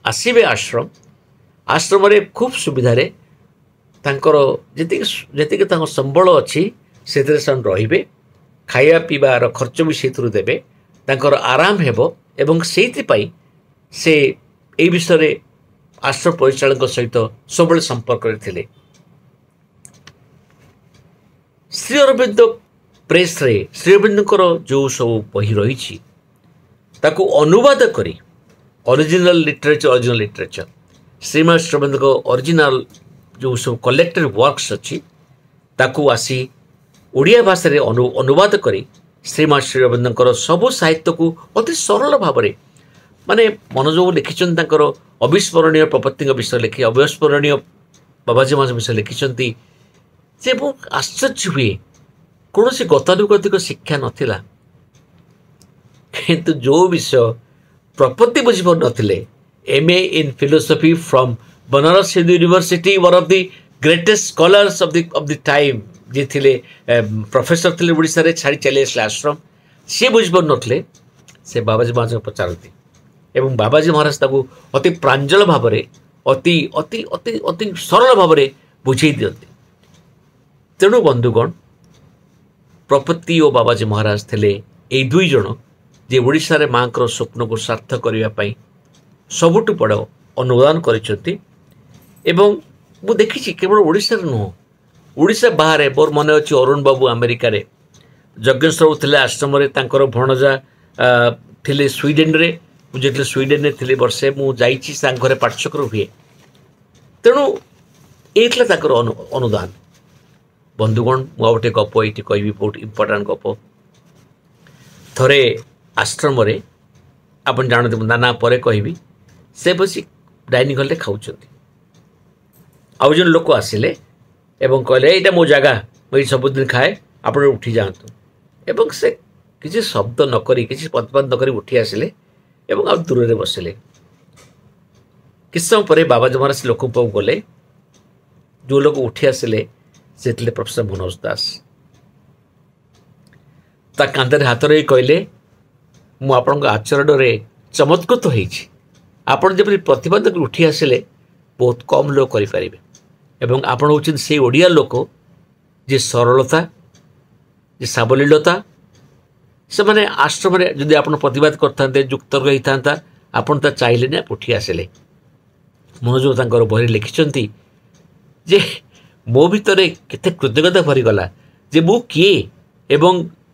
ଆସିବେ ଆଶ୍ରମ, ଆଶ୍ରମରେ ଖୁବ୍ ସୁବିଧାରେ ତାଙ୍କର ଯେତିକି ଯେତିକି ତାଙ୍କ ସମ୍ବଳ ଅଛି ସେଥିରେ ସେମାନେ ରହିବେ, ଖାଇବା ପିଇବାର ଖର୍ଚ୍ଚ ବି ସେଇଥିରୁ ଦେବେ, ତାଙ୍କର ଆରାମ ହେବ। ଏବଂ ସେଇଥିପାଇଁ ସେ ଏଇ ବିଷୟରେ ଆଶ୍ରମ ପରିଚାଳକଙ୍କ ସହିତ ସବୁବେଳେ ସମ୍ପର୍କରେ ଥିଲେ। ଶ୍ରୀ ଅରବିନ୍ଦ ପ୍ରେସ୍ରେ ଶ୍ରୀ ଅରବିନ୍ଦଙ୍କର ଯେଉଁ ସବୁ ବହି ରହିଛି ତାକୁ ଅନୁବାଦ କରି original literature original literature Shrima Shri ଅରବିନ୍ଦଙ୍କ ଅରିଜିନାଲ ଯେଉଁ ସବୁ କଲେକ୍ଟେଡ୍ ୱାର୍କସ୍ ଅଛି ତାକୁ ଆସି ଓଡ଼ିଆ ଭାଷାରେ ଅନୁ ଅନୁବାଦ କରି ଶ୍ରୀମା ଶ୍ରୀ ଅରବିନ୍ଦଙ୍କର ସବୁ ସାହିତ୍ୟକୁ ଅତି ସରଳ ଭାବରେ, ମାନେ ମନୋଜ ବାବୁ ଲେଖିଛନ୍ତି ତାଙ୍କର ଅବିସ୍ମରଣୀୟ ପ୍ରପତ୍ତିଙ୍କ ବିଷୟରେ ଲେଖି, ଅବିସ୍ମରଣୀୟ ବାବାଜୀ ମହାରାଜ ବିଷୟରେ ଲେଖିଛନ୍ତି ଯେ ମୁଁ ଆଶ୍ଚର୍ଯ୍ୟ ହୁଏ, କୌଣସି ଗତାନୁଗତିକ ଶିକ୍ଷା ନଥିଲା, କିନ୍ତୁ ଯେଉଁ ବିଷୟ ପ୍ରପତ୍ତି ବୁଝିପାରୁନଥିଲେ, M A in philosophy from Banaras Hindu University, one of the greatest scholars of the of the time, ଯିଏ ଥିଲେ ପ୍ରଫେସର ଥିଲେ ଓଡ଼ିଶାରେ, ଛାଡ଼ି ଚାଲି ଆସିଲେ ଆଶ୍ରମ, ସିଏ ବୁଝିପାରୁନଥିଲେ, ସେ ବାବାଜୀ ମହାରାଜଙ୍କୁ ପଚାରନ୍ତି ଏବଂ ବାବାଜୀ ମହାରାଜ ତାକୁ ଅତି ପ୍ରାଞ୍ଜଳ ଭାବରେ, ଅତି ଅତି ଅତି ଅତି ସରଳ ଭାବରେ ବୁଝେଇ ଦିଅନ୍ତି। ତେଣୁ ବନ୍ଧୁଗଣ, ପ୍ରପତ୍ତି ଓ ବାବାଜୀ ମହାରାଜ ଥିଲେ ଏଇ ଦୁଇ ଜଣ ଯେ ଓଡ଼ିଶାରେ ମାଆଙ୍କର ସ୍ୱପ୍ନକୁ ସାର୍ଥକ କରିବା ପାଇଁ ସବୁଠୁ ବଡ଼ ଅନୁଦାନ କରିଛନ୍ତି। ଏବଂ ମୁଁ ଦେଖିଛି କେବଳ ଓଡ଼ିଶାରେ ନୁହଁ, ଓଡ଼ିଶା ବାହାରେ, ମୋର ମନେ ଅଛି ଅରୁଣ ବାବୁ ଆମେରିକାରେ, ଯଜ୍ଞେଶ୍ୱର ବାବୁ ଥିଲେ ଆଶ୍ରମରେ, ତାଙ୍କର ଭଣଜା ଥିଲେ ସ୍ୱିଡେନରେ, ମୁଁ ଯେତେବେଳେ ସ୍ୱିଡେନରେ ଥିଲି ବର୍ଷେ, ମୁଁ ଯାଇଛି ତାଙ୍କ ଘରେ ପାଠଚକ୍ର ହୁଏ। ତେଣୁ ଏଇ ଥିଲା ତାଙ୍କର ଅନୁଦାନ। ବନ୍ଧୁଗଣ, ମୁଁ ଆଉ ଗୋଟେ ଗପ ଏଇଠି କହିବି, ବହୁତ ଇମ୍ପୋର୍ଟାଣ୍ଟ ଗପ। ଥରେ ଆଶ୍ରମରେ, ଆପଣ ଜାଣନ୍ତି, ମୁଁ ନାନା ପରେ କହିବି, ସେ ବସି ଡାଇନିଂ ହଲ୍ରେ ଖାଉଛନ୍ତି। ଆଉ ଜଣେ ଲୋକ ଆସିଲେ ଏବଂ କହିଲେ ଏଇଟା ମୋ ଜାଗା, ମୁଁ ଏଇଠି ସବୁଦିନ ଖାଏ, ଆପଣ ଉଠି ଯାଆନ୍ତୁ। ଏବଂ ସେ କିଛି ଶବ୍ଦ ନ କରି, କିଛି ପ୍ରତିବାଦ ନ କରି ଉଠି ଆସିଲେ ଏବଂ ଆଉ ଦୂରରେ ବସିଲେ। କିଛି ସମୟ ପରେ ବାବାଜୀ ମହାରାଜ ସେ ଲୋକଙ୍କ ପାଖକୁ ଗଲେ। ଯେଉଁ ଲୋକ ଉଠି ଆସିଲେ ସେ ଥିଲେ ପ୍ରଫେସର ମନୋଜ ଦାସ। ତା କାନ୍ଧରେ ହାତ ରଖି କହିଲେ, ମୁଁ ଆପଣଙ୍କ ଆଚରଣରେ ଚମତ୍କୃତ ହେଇଛି। ଆପଣ ଯେପରି ପ୍ରତିବାଦ କରି ଉଠି ଆସିଲେ ବହୁତ କମ୍ ଲୋକ କରିପାରିବେ, ଏବଂ ଆପଣ ହେଉଛନ୍ତି ସେଇ ଓଡ଼ିଆ ଲୋକ ଯେ ସରଳତା, ଯେ ସାବଲୀଳତା। ସେମାନେ ଆଶ୍ରମରେ ଯଦି ଆପଣ ପ୍ରତିବାଦ କରିଥାନ୍ତେ, ଯୁକ୍ତର୍କ ହେଇଥାନ୍ତା, ଆପଣ ତା ଚାହିଁଲେନି, ଉଠି ଆସିଲେ। ମନୋଜ ତାଙ୍କର ବହିରେ ଲେଖିଛନ୍ତି ଯେ ମୋ ଭିତରେ କେତେ କୃତଜ୍ଞତା ଭରିଗଲା ଯେ ମୁଁ କିଏ ଏବଂ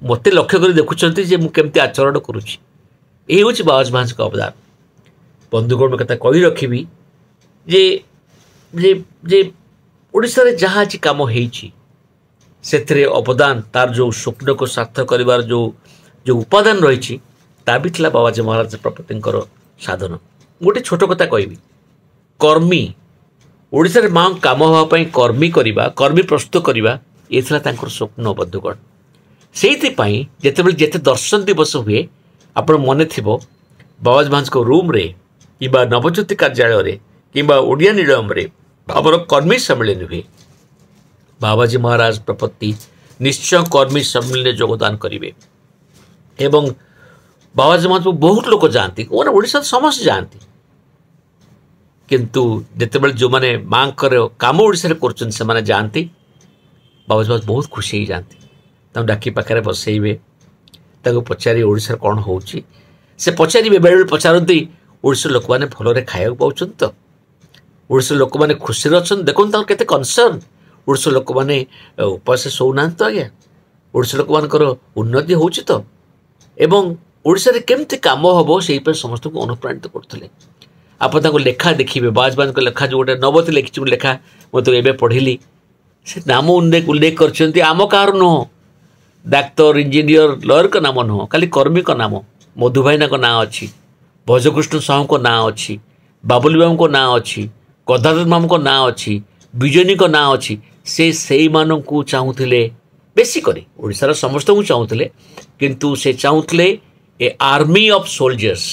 ମୋତେ ଲକ୍ଷ୍ୟ କରି ଦେଖୁଛନ୍ତି ଯେ ମୁଁ କେମିତି ଆଚରଣ କରୁଛି। ଏହି ହେଉଛି ବାବାଜୀ ମହାରାଜଙ୍କ ଅବଦାନ। ବନ୍ଧୁଗଣ, କଥା କହି ରଖିବି ଯେ ଯେ ଓଡ଼ିଶାରେ ଯାହା ଆଜି କାମ ହେଇଛି ସେଥିରେ ଅବଦାନ, ତାର ଯେଉଁ ସ୍ୱପ୍ନକୁ ସାର୍ଥକ କରିବାର ଯେଉଁ ଯେଉଁ ଉପାଦାନ ରହିଛି ତା ବି ଥିଲା ବାବାଜୀ ମହାରାଜ ପ୍ରପତିଙ୍କର ସାଧନ। ଗୋଟେ ଛୋଟ କଥା କହିବି, କର୍ମୀ ଓଡ଼ିଶାରେ ମା କାମ ହେବା ପାଇଁ କର୍ମୀ କରିବା, କର୍ମୀ ପ୍ରସ୍ତୁତ କରିବା, ଏ ଥିଲା ତାଙ୍କର ସ୍ୱପ୍ନ। ବନ୍ଧୁଗଣ, ସେଇଥିପାଇଁ ଯେତେବେଳେ ଯେତେ ଦର୍ଶନ ଦିବସ ହୁଏ, ଆପଣ ମନେ ଥିବ ବାବାଜୀ ମହାରାଜଙ୍କ ରୁମ୍ରେ କିମ୍ବା ନବଜ୍ୟୋତି କାର୍ଯ୍ୟାଳୟରେ କିମ୍ବା ଓଡ଼ିଆ ନିଳୟମରେ ଆମର କର୍ମୀ ସମ୍ମିଳନୀ ହୁଏ, ବାବାଜୀ ମହାରାଜ ପ୍ରପତ୍ତି ନିଶ୍ଚୟ କର୍ମୀ ସମ୍ମିଳନୀରେ ଯୋଗଦାନ କରିବେ। ଏବଂ ବାବାଜୀ ମହାରାଜକୁ ବହୁତ ଲୋକ ଯାଆନ୍ତି, ମାନେ ଓଡ଼ିଶାରେ ସମସ୍ତେ ଯାଆନ୍ତି, କିନ୍ତୁ ଯେତେବେଳେ ଯେଉଁମାନେ ମାଆଙ୍କର କାମ ଓଡ଼ିଶାରେ କରୁଛନ୍ତି ସେମାନେ ଯାଆନ୍ତି, ବାବାଜୀ ମହାରାଜ ବହୁତ ଖୁସି ହେଇଯାଆନ୍ତି। ତାଙ୍କୁ ଡାକି ପାଖରେ ବସେଇବେ, ତାଙ୍କୁ ପଚାରିବେ ଓଡ଼ିଶାରେ କ'ଣ ହେଉଛି। ସେ ପଚାରିବେ, ବେଳେବେଳେ ପଚାରନ୍ତି ଓଡ଼ିଶାର ଲୋକମାନେ ଭଲରେ ଖାଇବାକୁ ପାଉଛନ୍ତି ତ, ଓଡ଼ିଶାର ଲୋକମାନେ ଖୁସିରେ ଅଛନ୍ତି, ଦେଖନ୍ତୁ ତାଙ୍କର କେତେ କନସର୍ନ, ଓଡ଼ିଶାର ଲୋକମାନେ ଉପାସ ଶୋଉନାହାନ୍ତି ତ ଆଜ୍ଞା, ଓଡ଼ିଶା ଲୋକମାନଙ୍କର ଉନ୍ନତି ହେଉଛି ତ, ଏବଂ ଓଡ଼ିଶାରେ କେମିତି କାମ ହେବ ସେଇପାଇଁ ସମସ୍ତଙ୍କୁ ଅନୁପ୍ରାଣିତ କରୁଥିଲେ। ଆପଣ ତାଙ୍କ ଲେଖା ଦେଖିବେ, ବାଜବାଜଙ୍କ ଲେଖା ଯେଉଁ ଗୋଟେ ନବତୀ ଲେଖିଛି ଗୋଟେ ଲେଖା, ମୁଁ ତ ଏବେ ପଢ଼ିଲି, ସେ ନାମ ଉଲ୍ଲେଖ ଉଲ୍ଲେଖ କରିଛନ୍ତି, ଆମ କାହାର ନୁହଁ, ଡାକ୍ତର ଇଞ୍ଜିନିୟର ଲୟରଙ୍କ ନାମ ନୁହଁ, ଖାଲି କର୍ମୀଙ୍କ ନାମ, ମଧୁ ଭାଇନାଙ୍କ ନାଁ ଅଛି, ଭଜକୃଷ୍ଣ ସାହୁଙ୍କ ନାଁ ଅଛି, ବାବୁଲି ବାବୁଙ୍କ ନାଁ ଅଛି, ଗଦାଧର ମାମୁଙ୍କ ନାଁ ଅଛି, ବିଜୟନୀଙ୍କ ନାଁ ଅଛି। ସେ ସେଇମାନଙ୍କୁ ଚାହୁଁଥିଲେ ବେଶୀ କରି, ଓଡ଼ିଶାର ସମସ୍ତଙ୍କୁ ଚାହୁଁଥିଲେ, କିନ୍ତୁ ସେ ଚାହୁଁଥିଲେ ଏ ଆର୍ମି ଅଫ୍ ସୋଲଜର୍ସ,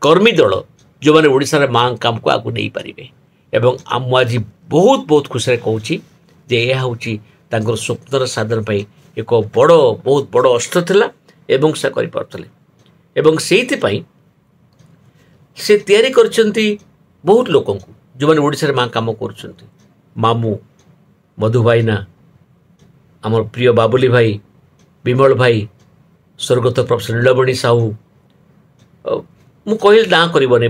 କର୍ମୀ ଦଳ, ଯେଉଁମାନେ ଓଡ଼ିଶାର ମାଆଙ୍କ କାମକୁ ଆଗକୁ ନେଇପାରିବେ। ଏବଂ ମୁଁ ଆଜି ବହୁତ ବହୁତ ଖୁସିରେ କହୁଛି ଯେ ଏହା ହେଉଛି ତାଙ୍କର ସ୍ୱପ୍ନର ସାଧନ ପାଇଁ ଏକ ବଡ଼, ବହୁତ ବଡ଼ ଅସ୍ତ୍ର ଥିଲା ଏବଂ ସେ କରିପାରୁଥିଲେ। ଏବଂ ସେଇଥିପାଇଁ ସେ ତିଆରି କରିଛନ୍ତି ବହୁତ ଲୋକଙ୍କୁ ଯେଉଁମାନେ ଓଡ଼ିଶାରେ ମା କାମ କରୁଛନ୍ତି। ମାମୁଁ, ମଧୁ ଭାଇନା, ଆମର ପ୍ରିୟ ବାବୁଲି ଭାଇ, ବିମଳ ଭାଇ, ସ୍ୱର୍ଗତ ପ୍ରଫେସର ନୀଳମଣି ସାହୁ, ମୁଁ କହିଲେ ନାଁ କରିବନି,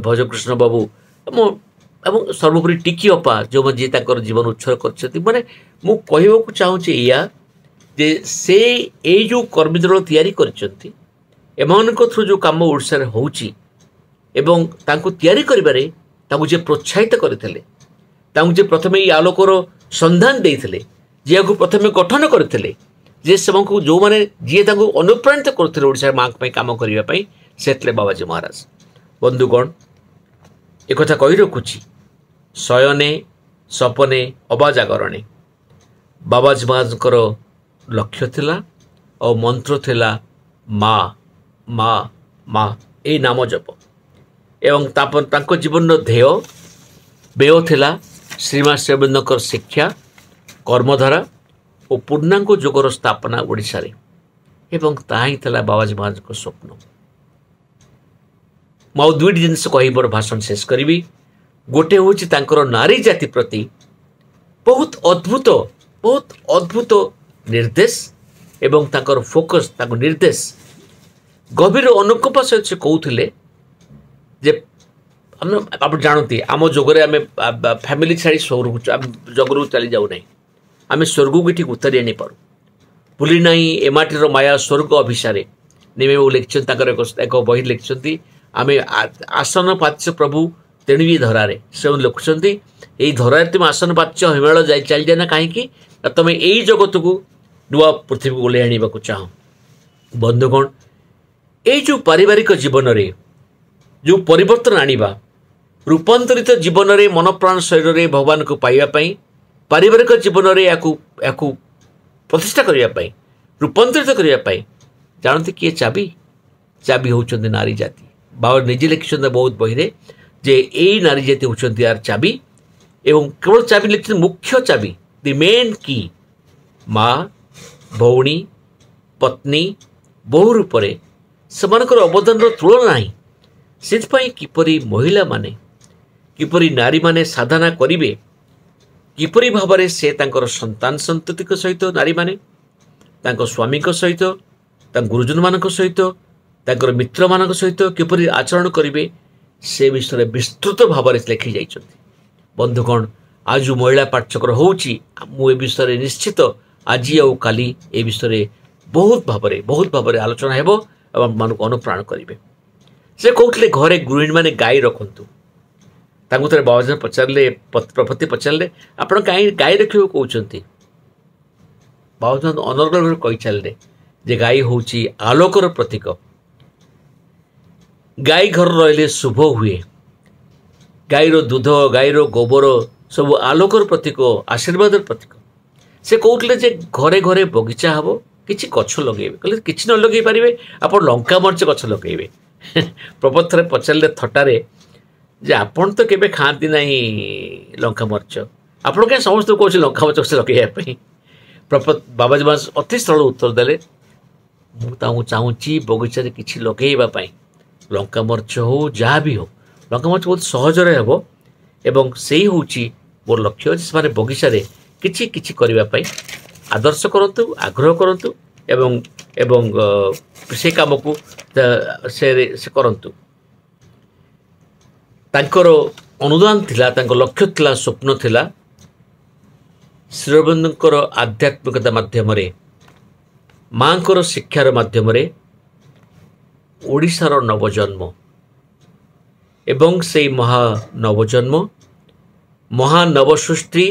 ଭଜକୃଷ୍ଣ ବାବୁ, ମୁଁ ଏବଂ ସର୍ବୋପରି ଟିକି ଅପା, ଯେଉଁମାନେ ଯିଏ ତାଙ୍କର ଜୀବନ ଉତ୍ସର୍ଗ କରିଛନ୍ତି। ମାନେ ମୁଁ କହିବାକୁ ଚାହୁଁଛି ଏଇଆ ଯେ ସେ ଏଇ ଯେଉଁ କର୍ମୀ ଦଳ ତିଆରି କରିଛନ୍ତି, ଏମାନଙ୍କ ଥ୍ରୁ ଯେଉଁ କାମ ଓଡ଼ିଶାରେ ହେଉଛି ଏବଂ ତାଙ୍କୁ ତିଆରି କରିବାରେ ତାଙ୍କୁ ଯିଏ ପ୍ରୋତ୍ସାହିତ କରିଥିଲେ, ତାଙ୍କୁ ଯିଏ ପ୍ରଥମେ ଏଇ ଆଲୋକର ସନ୍ଧାନ ଦେଇଥିଲେ, ଯିଏକୁ ପ୍ରଥମେ ଗଠନ କରିଥିଲେ, ଯେ ସେମାନଙ୍କୁ ଯେଉଁମାନେ ଯିଏ ତାଙ୍କୁ ଅନୁପ୍ରାଣିତ କରୁଥିଲେ ଓଡ଼ିଶାର ମାଆଙ୍କ ପାଇଁ କାମ କରିବା ପାଇଁ, ସେ ଥିଲେ ବାବାଜୀ ମହାରାଜ। ବନ୍ଧୁଗଣ, ଏକଥା କହି ରଖୁଛି, ଶୟନେ ସପନେ ଅବା ଜାଗରଣେ ବାବାଜୀ ମହାରାଜଙ୍କର ଲକ୍ଷ୍ୟ ଥିଲା ଆଉ ମନ୍ତ୍ର ଥିଲା ମା ମା ମା, ଏଇ ନାମ ଜପ। ଏବଂ ତାପରେ ତାଙ୍କ ଜୀବନର ଧ୍ୟେୟ ବ୍ୟୟ ଥିଲା ଶ୍ରୀମା ଶ୍ରୀଅରବିନ୍ଦଙ୍କର ଶିକ୍ଷା, କର୍ମଧାରା ଓ ପୂର୍ଣ୍ଣାଙ୍ଗ ଯୋଗର ସ୍ଥାପନା ଓଡ଼ିଶାରେ, ଏବଂ ତାହା ହିଁ ଥିଲା ବାବାଜୀ ମହାରାଜଙ୍କ ସ୍ୱପ୍ନ। ମୁଁ ଆଉ ଦୁଇଟି ଜିନିଷ କହି ମୋର ଭାଷଣ ଶେଷ କରିବି। ଗୋଟେ ହେଉଛି ତାଙ୍କର ନାରୀ ଜାତି ପ୍ରତି ବହୁତ ଅଦ୍ଭୁତ, ବହୁତ ଅଦ୍ଭୁତ ନିର୍ଦ୍ଦେଶ ଏବଂ ତାଙ୍କର ଫୋକସ୍, ତାଙ୍କ ନିର୍ଦ୍ଦେଶ ଗଭୀର ଅନୁକମ୍ପା ସହିତ ସେ କହୁଥିଲେ ଯେ ଆମେ, ଆପଣ ଜାଣନ୍ତି ଆମ ଯୋଗରେ ଆମେ ଫ୍ୟାମିଲି ଛାଡ଼ି ସ୍ୱର୍ଗକୁ, ଜଗରକୁ ଚାଲି ଯାଉନାହିଁ, ଆମେ ସ୍ୱର୍ଗକୁ ଏଠି ଉତାରି ଆଣିପାରୁ। ଭୁଲି ନାହିଁ ଏ ମାଟିର ମାୟା ସ୍ୱର୍ଗ ଅଭିସାରେ, ନିମେବାବୁ ଲେଖିଛନ୍ତି ତାଙ୍କର ଏକ, ଏକ ବହି ଲେଖିଛନ୍ତି, ଆମେ ଆସନ ପାଚ୍ୟ ପ୍ରଭୁ ତେଣୁ ବି ଧରାରେ। ସେ ଲେଖୁଛନ୍ତି ଏଇ ଧରାରେ ତୁମେ ଆସନ ପାଚ୍ୟ ହିମାଳୟ ଯାଇ ଚାଲିଯାଏ ନା କାହିଁକି, ନା ତୁମେ ଏଇ ଜଗତକୁ ନୂଆ ପୃଥିବୀକୁ ଓହ୍ଲାଇ ଆଣିବାକୁ ଚାହଁ। ବନ୍ଧୁଗଣ, ଏଇ ଯେଉଁ ପାରିବାରିକ ଜୀବନରେ ଯେଉଁ ପରିବର୍ତ୍ତନ ଆଣିବା, ରୂପାନ୍ତରିତ ଜୀବନରେ ମନ ପ୍ରାଣ ଶରୀରରେ ଭଗବାନଙ୍କୁ ପାଇବା ପାଇଁ, ପାରିବାରିକ ଜୀବନରେ ଏହାକୁ, ଏହାକୁ ପ୍ରତିଷ୍ଠା କରିବା ପାଇଁ, ରୂପାନ୍ତରିତ କରିବା ପାଇଁ, ଜାଣନ୍ତି କିଏ ଚାବି? ଚାବି ହେଉଛନ୍ତି ନାରୀ ଜାତି। ବାବା ନିଜେ ଲେଖିଛନ୍ତି ବହୁତ ବହିରେ ଯେ ଏଇ ନାରୀ ଜାତି ହେଉଛନ୍ତି ୟାର ଚାବି, ଏବଂ କେବଳ ଚାବି ଲେଖିଛନ୍ତି ମୁଖ୍ୟ ଚାବି, ଦି ମେନ୍ କି, ମା, ଭଉଣୀ, ପତ୍ନୀ, ବୋହୂ ରୂପରେ ସେମାନଙ୍କର ଅବଦାନର ତୁଳନା ନାହିଁ। ସେଥିପାଇଁ କିପରି ମହିଳାମାନେ, କିପରି ନାରୀମାନେ ସାଧନା କରିବେ, କିପରି ଭାବରେ ସେ ତାଙ୍କର ସନ୍ତାନ ସନ୍ତତିଙ୍କ ସହିତ, ନାରୀମାନେ ତାଙ୍କ ସ୍ୱାମୀଙ୍କ ସହିତ, ତାଙ୍କ ଗୁରୁଜନମାନଙ୍କ ସହିତ, ତାଙ୍କର ମିତ୍ରମାନଙ୍କ ସହିତ କିପରି ଆଚରଣ କରିବେ, ସେ ବିଷୟରେ ବିସ୍ତୃତ ଭାବରେ ଲେଖି ଯାଇଛନ୍ତି। ବନ୍ଧୁଗଣ, ଆଜି ଯେଉଁ ମହିଳା ପାଠଚକ୍ର ହେଉଛି, ମୁଁ ଏ ବିଷୟରେ ନିଶ୍ଚିତ ଆଜି ଆଉ କାଲି ଏ ବିଷୟରେ ବହୁତ ଭାବରେ, ବହୁତ ଭାବରେ ଆଲୋଚନା ହେବ ଏବଂ ଆପଣମାନଙ୍କୁ ଅନୁପ୍ରାଣ କରିବେ। ସେ କହୁଥିଲେ ଘରେ ଗୃହିଣୀମାନେ ଗାଈ ରଖନ୍ତୁ। ତାଙ୍କୁ ଥରେ ବାବାଜୀ ପଚାରିଲେ, ପ୍ରପତି ପଚାରିଲେ, ଆପଣ କାହିଁ ଗାଈ ରଖିବାକୁ କହୁଛନ୍ତି? ବାବାଜୀ ଅନର୍ଗଳ ଭାବରେ କହି ଚାଲିଲେ ଯେ ଗାଈ ହେଉଛି ଆଲୋକର ପ୍ରତୀକ, ଗାଈ ଘର ରହିଲେ ଶୁଭ ହୁଏ, ଗାଈର ଦୁଧ, ଗାଈର ଗୋବର ସବୁ ଆଲୋକର ପ୍ରତୀକ, ଆଶୀର୍ବାଦର ପ୍ରତୀକ। ସେ କହୁଥିଲେ ଯେ ଘରେ ଘରେ ବଗିଚା ହେବ, କିଛି ଗଛ ଲଗେଇବେ। କହିଲେ କିଛି ନ ଲଗେଇ ପାରିବେ ଆପଣ ଲଙ୍କା ମରିଚ ଗଛ ଲଗେଇବେ। ପ୍ରପତ ଥରେ ପଚାରିଲେ ଥଟ୍ଟାରେ ଯେ ଆପଣ ତ କେବେ ଖାଆନ୍ତି ନାହିଁ ଲଙ୍କା ମରିଚ, ଆପଣ କାହିଁ ସମସ୍ତଙ୍କୁ କହୁଛନ୍ତି ଲଙ୍କା ମରିଚ ଲଗେଇବା ପାଇଁ? ପ୍ରପତ ବାବାଜୀ ମହାରାଜ ଅତି ସରଳ ଉତ୍ତର ଦେଲେ, ମୁଁ ତାଙ୍କୁ ଚାହୁଁଛି ବଗିଚାରେ କିଛି ଲଗେଇବା ପାଇଁ, ଲଙ୍କା ମରିଚ ହଉ ଯାହା ବି ହଉ, ଲଙ୍କା ମରିଚ ବହୁତ ସହଜରେ ହେବ ଏବଂ ସେଇ ହେଉଛି ମୋର ଲକ୍ଷ୍ୟ ଯେ ସେମାନେ ବଗିଚାରେ କିଛି କିଛି କରିବା ପାଇଁ ଆଦର୍ଶ କରନ୍ତୁ, ଆଗ୍ରହ କରନ୍ତୁ ଏବଂ ଏବଂ ସେ କାମକୁ ସେ ସେ କରନ୍ତୁ। ତାଙ୍କର ଅନୁଦାନ ଥିଲା, ତାଙ୍କ ଲକ୍ଷ୍ୟ ଥିଲା, ସ୍ୱପ୍ନ ଥିଲା ଶ୍ରୀଅରବିନ୍ଦଙ୍କର ଆଧ୍ୟାତ୍ମିକତା ମାଧ୍ୟମରେ, ମାଆଙ୍କର ଶିକ୍ଷାର ମାଧ୍ୟମରେ ଓଡ଼ିଶାର ନବଜନ୍ମ ଏବଂ ସେଇ ମହା ନବଜନ୍ମ, ମହାନବସୃଷ୍ଟି,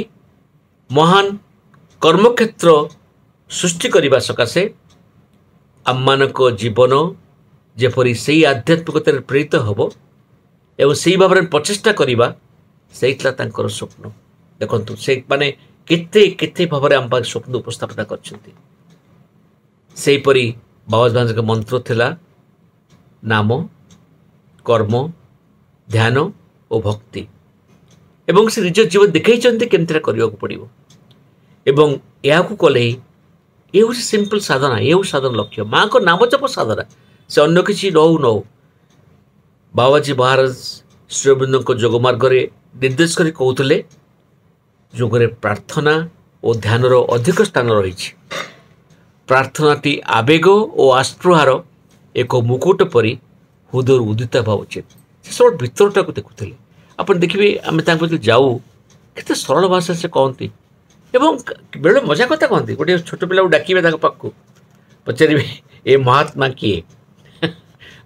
ମହାନ କର୍ମକ୍ଷେତ୍ର ସୃଷ୍ଟି କରିବା ସକାଶେ ଆମମାନଙ୍କ ଜୀବନ ଯେପରି ସେଇ ଆଧ୍ୟାତ୍ମିକତାରେ ପ୍ରେରିତ ହେବ ଏବଂ ସେଇ ଭାବରେ ପ୍ରଚେଷ୍ଟା କରିବା, ସେଇ ଥିଲା ତାଙ୍କର ସ୍ୱପ୍ନ। ଦେଖନ୍ତୁ ସେ ମାନେ କେତେ କେତେ ଭାବରେ ଆମ ପାଖରେ ସ୍ୱପ୍ନ ଉପସ୍ଥାପନା କରିଛନ୍ତି। ସେହିପରି ବାବାଜୀ ମହାରାଜଙ୍କ ମନ୍ତ୍ର ଥିଲା ନାମ, କର୍ମ, ଧ୍ୟାନ ଓ ଭକ୍ତି, ଏବଂ ସେ ନିଜ ଜୀବନ ଦେଖାଇଛନ୍ତି କେମିତି କରିବାକୁ ପଡ଼ିବ ଏବଂ ଏହାକୁ କଲେ ହିଁ ଏ ହେଉଛି ସିମ୍ପଲ୍ ସାଧନା, ଏ ହେଉଛି ସାଧନା ଲକ୍ଷ୍ୟ, ମାଆଙ୍କ ନାମ ଜପ ସାଧନା, ସେ ଅନ୍ୟ କିଛି ନ ହଉ ନ ହଉ। ବାବାଜୀ ମହାରାଜ ଶ୍ରୀଅରବିନ୍ଦଙ୍କ ଯୋଗ ମାର୍ଗରେ ନିର୍ଦ୍ଦେଶ କରି କହୁଥିଲେ ଯୋଗରେ ପ୍ରାର୍ଥନା ଓ ଧ୍ୟାନର ଅଧିକ ସ୍ଥାନ ରହିଛି। ପ୍ରାର୍ଥନାଟି ଆବେଗ ଓ ଆସ୍ପୃହାର ଏକ ମୁକୁଟ ପରି ହୃଦୟରୁ ଉଦିତ ହେବା ଉଚିତ। ସେ ସବୁ ଭିତରଟାକୁ ଦେଖୁଥିଲେ। ଆପଣ ଦେଖିବେ ଆମେ ତାଙ୍କ ପାଖକୁ ଯାଉ, କେତେ ସରଳ ଭାଷାରେ ସେ କହନ୍ତି ଏବଂ ବେଳେ ମଜା କଥା କହନ୍ତି। ଗୋଟିଏ ଛୋଟ ପିଲାକୁ ଡାକିବେ ତାଙ୍କ ପାଖକୁ, ପଚାରିବେ ଏ ମହାତ୍ମା କିଏ,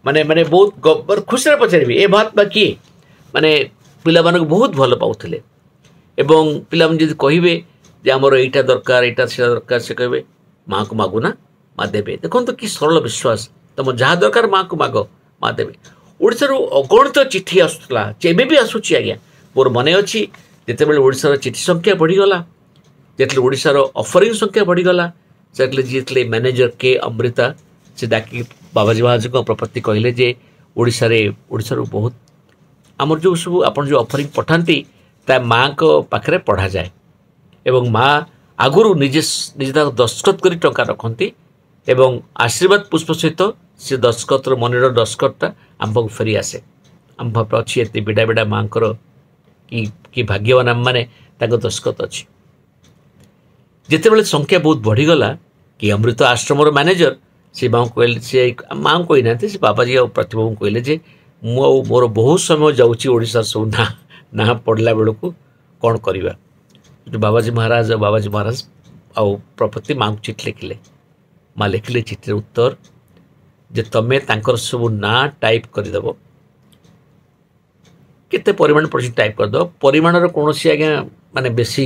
ମାନେ ମାନେ ବହୁତ ଖୁସିରେ ପଚାରିବେ ଏ ମହାତ୍ମା କିଏ, ମାନେ ପିଲାମାନଙ୍କୁ ବହୁତ ଭଲ ପାଉଥିଲେ। ଏବଂ ପିଲାମାନେ ଯଦି କହିବେ ଯେ ଆମର ଏଇଟା ଦରକାର, ଏଇଟା ସେଇଟା ଦରକାର, ସେ କହିବେ ମାଆକୁ ମାଗୁନା, ମା ଦେବେ। ଦେଖନ୍ତୁ କି ସରଳ ବିଶ୍ୱାସ, ତମ ଯାହା ଦରକାର ମାଆକୁ ମାଗ, ମା ଦେବେ। ଓଡ଼ିଶାରୁ ଅଗଣିତ ଚିଠି ଆସୁଥିଲା, ଏବେ ବି ଆସୁଛି ଆଜ୍ଞା। ମୋର ମନେ ଅଛି ଯେତେବେଳେ ଓଡ଼ିଶାର ଚିଠି ସଂଖ୍ୟା ବଢ଼ିଗଲା, ଯେତେବେଳେ ଓଡ଼ିଶାର ଅଫରିଂ ସଂଖ୍ୟା ବଢ଼ିଗଲା, ସେତେବେଳେ ଯିଏ ଥିଲେ ମ୍ୟାନେଜର କେ ଅମୃତା, ସେ ଡାକି ବାବାଜୀ ମହାରାଜଙ୍କ ପ୍ରପତ୍ତି କହିଲେ ଯେ ଓଡ଼ିଶାରେ ଓଡ଼ିଶାରୁ ବହୁତ ଆମର ଯେଉଁ ସବୁ ଆପଣ ଯେଉଁ ଅଫରିଂ ପଠାନ୍ତି ତା ମାଆଙ୍କ ପାଖରେ ପଢ଼ାଯାଏ ଏବଂ ମା' ଆଗରୁ ନିଜେ ନିଜେ ତାକୁ ଦସ୍ତଖତ କରି ଟଙ୍କା ରଖନ୍ତି ଏବଂ ଆଶୀର୍ବାଦ ପୁଷ୍ପ ସହିତ ସେ ଦସ୍ତଖତର ମନିର ଦସ୍ତଖତଟା ଆମ ପାଖକୁ ଫେରି ଆସେ। ଆମ ପାଖରେ ଅଛି ଏତେ ବିଡ଼ା ବିଡ଼ା ମାଆଙ୍କର, କି କି ଭାଗ୍ୟବାନ ଆମମାନେ, ତାଙ୍କ ଦସ୍ତଖତ ଅଛି। ଯେତେବେଳେ ସଂଖ୍ୟା ବହୁତ ବଢ଼ିଗଲା କି ଅମୃତ ଆଶ୍ରମର ମ୍ୟାନେଜର ସେ ମାଆଙ୍କୁ କହିଲେ, ସେ ମାଆଙ୍କୁ କହିନାହାନ୍ତି, ସେ ବାବାଜୀ ଆଉ ପ୍ରତିଭାଙ୍କୁ କହିଲେ ଯେ ମୁଁ ଆଉ ମୋର ବହୁତ ସମୟ ଯାଉଛି ଓଡ଼ିଶାର ସବୁ ନାଁ ନାଁ ପଡ଼ିଲା ବେଳକୁ କ'ଣ କରିବା। ବାବାଜୀ ମହାରାଜ ଆଉ ବାବାଜୀ ମହାରାଜ ଆଉ ପ୍ରପତି ମାଆଙ୍କୁ ଚିଠି ଲେଖିଲେ। ମା ଲେଖିଲେ ଚିଠିର ଉତ୍ତର ଯେ ତମେ ତାଙ୍କର ସବୁ ନାଁ ଟାଇପ୍ କରିଦେବ, କେତେ ପରିମାଣ ପଡ଼ିଛି ଟାଇପ୍ କରିଦେବ। ପରିମାଣର କୌଣସି ଆଜ୍ଞା ମାନେ ବେଶୀ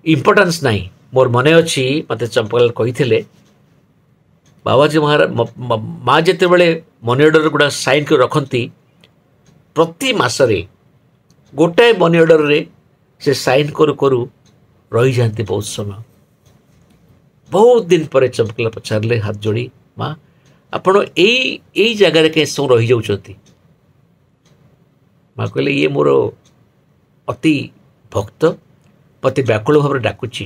ଇମ୍ପୋର୍ଟାନ୍ସ ନାହିଁ। ମୋର ମନେ ଅଛି ମୋତେ ଚମ୍ପକଲାଲ କହିଥିଲେ ବାବାଜୀ ମହାରାଜ ମା ଯେତେବେଳେ ମନି ଅର୍ଡ଼ର ଗୁଡ଼ା ସାଇନ୍ କରି ରଖନ୍ତି, ପ୍ରତି ମାସରେ ଗୋଟାଏ ମନି ଅର୍ଡ଼ରରେ ସେ ସାଇନ୍ କରୁ କରୁ ରହିଯାଆନ୍ତି ବହୁତ ସମୟ। ବହୁତ ଦିନ ପରେ ଚମ୍ପକଲାଲ ପଚାରିଲେ ହାତ ଯୋଡ଼ି, ମା ଆପଣ ଏଇ ଏଇ ଜାଗାରେ କାହିଁ ସବୁ ରହିଯାଉଛନ୍ତି? ମା କହିଲେ ଇଏ ମୋର ଅତି ଭକ୍ତ, ମୋତେ ବ୍ୟାକୁଳ ଭାବରେ ଡାକୁଛି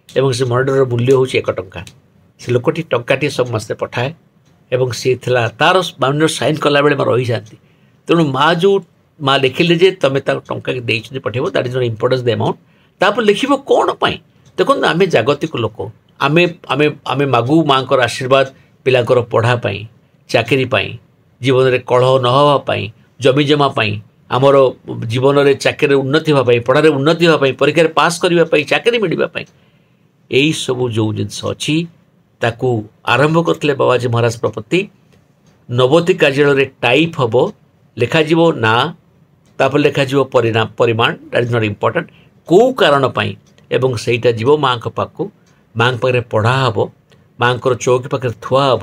ଏବଂ ସେ ମନି ଅର୍ଡ଼ରର ମୂଲ୍ୟ ହେଉଛି ଏକ ଟଙ୍କା। ସେ ଲୋକଟି ଟଙ୍କାଟିଏ ସବୁ ମାସରେ ପଠାଏ ଏବଂ ସିଏ ଥିଲା ତାର ମନି ଅର୍ଡ଼ର ସାଇନ୍ କଲାବେଳେ ମା ରହିଯାଆନ୍ତି। ତେଣୁ ମା ଯେଉଁ ମା ଲେଖିଲେ ଯେ ତୁମେ ତାକୁ ଟଙ୍କା ଦେଇଛନ୍ତି ପଠାଇବ, that is not importance the amount. ତାପରେ ଲେଖିବ କ'ଣ ପାଇଁ? ଦେଖନ୍ତୁ ଆମେ ଜାଗତିକ ଲୋକ, ଆମେ ଆମେ ଆମେ ମାଗୁ ମାଆଙ୍କର ଆଶୀର୍ବାଦ ପିଲାଙ୍କର ପଢ଼ା ପାଇଁ, ଚାକିରି ପାଇଁ, ଜୀବନରେ କଳହ ନ ହେବା ପାଇଁ, ଜମି ଜମା ପାଇଁ, ଆମର ଜୀବନରେ ଚାକିରିରେ ଉନ୍ନତି ହେବା ପାଇଁ, ପଢ଼ାରେ ଉନ୍ନତି ହେବା ପାଇଁ, ପରୀକ୍ଷାରେ ପାସ୍ କରିବା ପାଇଁ, ଚାକିରି ମିଳିବା ପାଇଁ, ଏଇସବୁ ଯେଉଁ ଜିନିଷ ଅଛି ତାକୁ ଆରମ୍ଭ କରିଥିଲେ ବାବାଜୀ ମହାରାଜ ପ୍ରପତି। ନବତୀ କାର୍ଯ୍ୟାଳୟରେ ଟାଇପ୍ ହେବ, ଲେଖାଯିବ ନାଁ, ତାପରେ ଲେଖାଯିବ ପରିଣାମ, ପରିମାଣ, that is not important, କେଉଁ କାରଣ ପାଇଁ, ଏବଂ ସେଇଟା ଯିବ ମାଆଙ୍କ ପାଖକୁ, ମାଆଙ୍କ ପାଖରେ ପଢ଼ା ହେବ, ମାଆଙ୍କର ଚୌକି ପାଖରେ ଥୁଆ ହେବ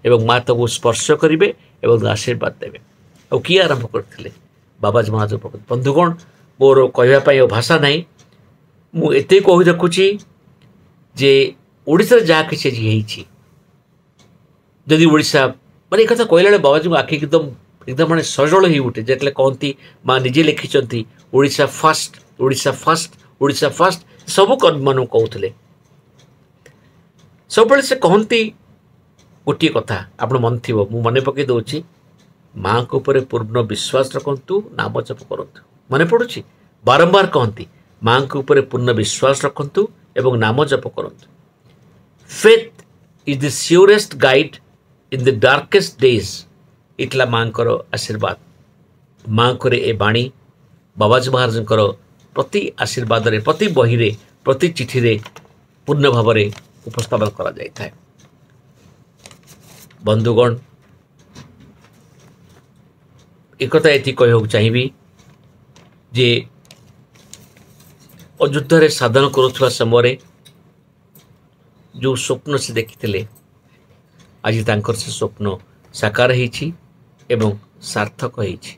ଏବଂ ମା ତାକୁ ସ୍ପର୍ଶ କରିବେ ଏବଂ ଆଶୀର୍ବାଦ ଦେବେ। ଆଉ କିଏ ଆରମ୍ଭ କରିଥିଲେ? ବାବାଜୀ ମହାରାଜ ପ୍ରପତି। ବନ୍ଧୁଗଣ, ମୋର କହିବା ପାଇଁ ଆଉ ଭାଷା ନାହିଁ। ମୁଁ ଏତେ କହି ରଖୁଛି ଯେ ଓଡ଼ିଶାରେ ଯାହା କିଛି ଆଜି ହେଇଛି, ଯଦି ଓଡ଼ିଶା ମାନେ ଏ କଥା କହିଲା ବେଳେ ବାବାଜୀଙ୍କ ଆଖି ଏକଦମ ଏକଦମ ମାନେ ସଜଳ ହେଇ ଉଠେ ଯେତେବେଳେ କହନ୍ତି ମା ନିଜେ ଲେଖିଛନ୍ତି Odisha first Odisha first Odisha first ସବୁ କର୍ମୀମାନଙ୍କୁ କହୁଥିଲେ ସବୁବେଳେ ସେ କହନ୍ତି ଗୋଟିଏ କଥା ଆପଣ ମନେ ଥିବ ମୁଁ ମନେ ପକାଇ ଦେଉଛି ମାଆଙ୍କ ଉପରେ ପୂର୍ଣ୍ଣ ବିଶ୍ୱାସ ରଖନ୍ତୁ ନାମ ଜପ କରନ୍ତୁ ମନେ ପଡ଼ୁଛି ବାରମ୍ବାର କହନ୍ତି ମାଆଙ୍କ ଉପରେ ପୂର୍ଣ୍ଣ ବିଶ୍ୱାସ ରଖନ୍ତୁ ଏବଂ ନାମ ଜପ କରନ୍ତୁ Faith is the surest guide in the darkest days ଏଇଥିଲା ମାଆଙ୍କର ଆଶୀର୍ବାଦ ମାଆଙ୍କର ଏ ବାଣୀ ବାବାଜୀ ମହାରାଜଙ୍କର ପ୍ରତି ଆଶୀର୍ବାଦରେ ପ୍ରତି ବହିରେ ପ୍ରତି ଚିଠିରେ ପୂର୍ଣ୍ଣ ଭାବରେ ଉପସ୍ଥାପନ କରାଯାଇଥାଏ ବନ୍ଧୁଗଣ ଏକଥା ଏଠି କହିବାକୁ ଚାହିଁବି ଯେ ଅଯୋଧ୍ୟାରେ ସାଧନ କରୁଥିବା ସମୟରେ ଯେଉଁ ସ୍ୱପ୍ନ ସେ ଦେଖିଥିଲେ ଆଜି ତାଙ୍କର ସେ ସ୍ୱପ୍ନ ସାକାର ହେଇଛି ଏବଂ ସାର୍ଥକ ହେଇଛି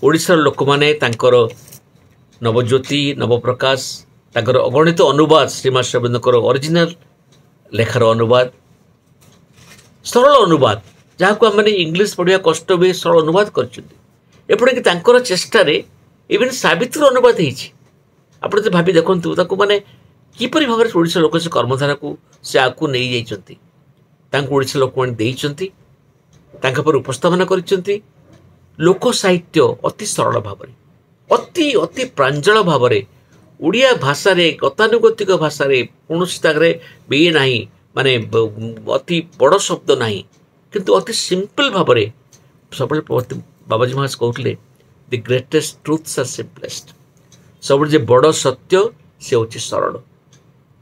ଓଡ଼ିଶାର ଲୋକମାନେ ତାଙ୍କର ନବଜ୍ୟୋତି ନବପ୍ରକାଶ ତାଙ୍କର ଅଗଣିତ ଅନୁବାଦ ଶ୍ରୀମା ଶ୍ରୀଅରବିନ୍ଦଙ୍କର ଅରିଜିନାଲ ଲେଖାର ଅନୁବାଦ ସରଳ ଅନୁବାଦ ଯାହାକୁ ଆମେମାନେ ଇଂଲିଶ ପଢ଼ିବା କଷ୍ଟ ହୁଏ ସରଳ ଅନୁବାଦ କରିଛନ୍ତି ଏପରିକି ତାଙ୍କର ଚେଷ୍ଟାରେ ଇଭେନ୍ ସାବିତ୍ରୀର ଅନୁବାଦ ହେଇଛି ଆପଣ ଯଦି ଭାବି ଦେଖନ୍ତୁ ତାକୁ ମାନେ କିପରି ଭାବରେ ଓଡ଼ିଶା ଲୋକ ସେ କର୍ମଧାରାକୁ ସେ ଆଗକୁ ନେଇଯାଇଛନ୍ତି ତାଙ୍କୁ ଓଡ଼ିଶା ଲୋକମାନେ ଦେଇଛନ୍ତି ତାଙ୍କ ଉପରେ ଉପସ୍ଥାପନା କରିଛନ୍ତି ଲୋକ ସାହିତ୍ୟ ଅତି ସରଳ ଭାବରେ ଅତି ଅତି ପ୍ରାଞ୍ଜଳ ଭାବରେ ଓଡ଼ିଆ ଭାଷାରେ ଗତାନୁଗତିକ ଭାଷାରେ କୌଣସି ତାଙ୍କରେ ଇଏ ନାହିଁ ମାନେ ଅତି ବଡ଼ ଶବ୍ଦ ନାହିଁ କିନ୍ତୁ ଅତି ସିମ୍ପଲ୍ ଭାବରେ ସବୁବେଳେ ବାବାଜୀ ମହାରାଜ କହୁଥିଲେ the greatest truths are simplest ସବୁବେଳେ ଯେ ବଡ଼ ସତ୍ୟ ସେ ହେଉଛି ସରଳ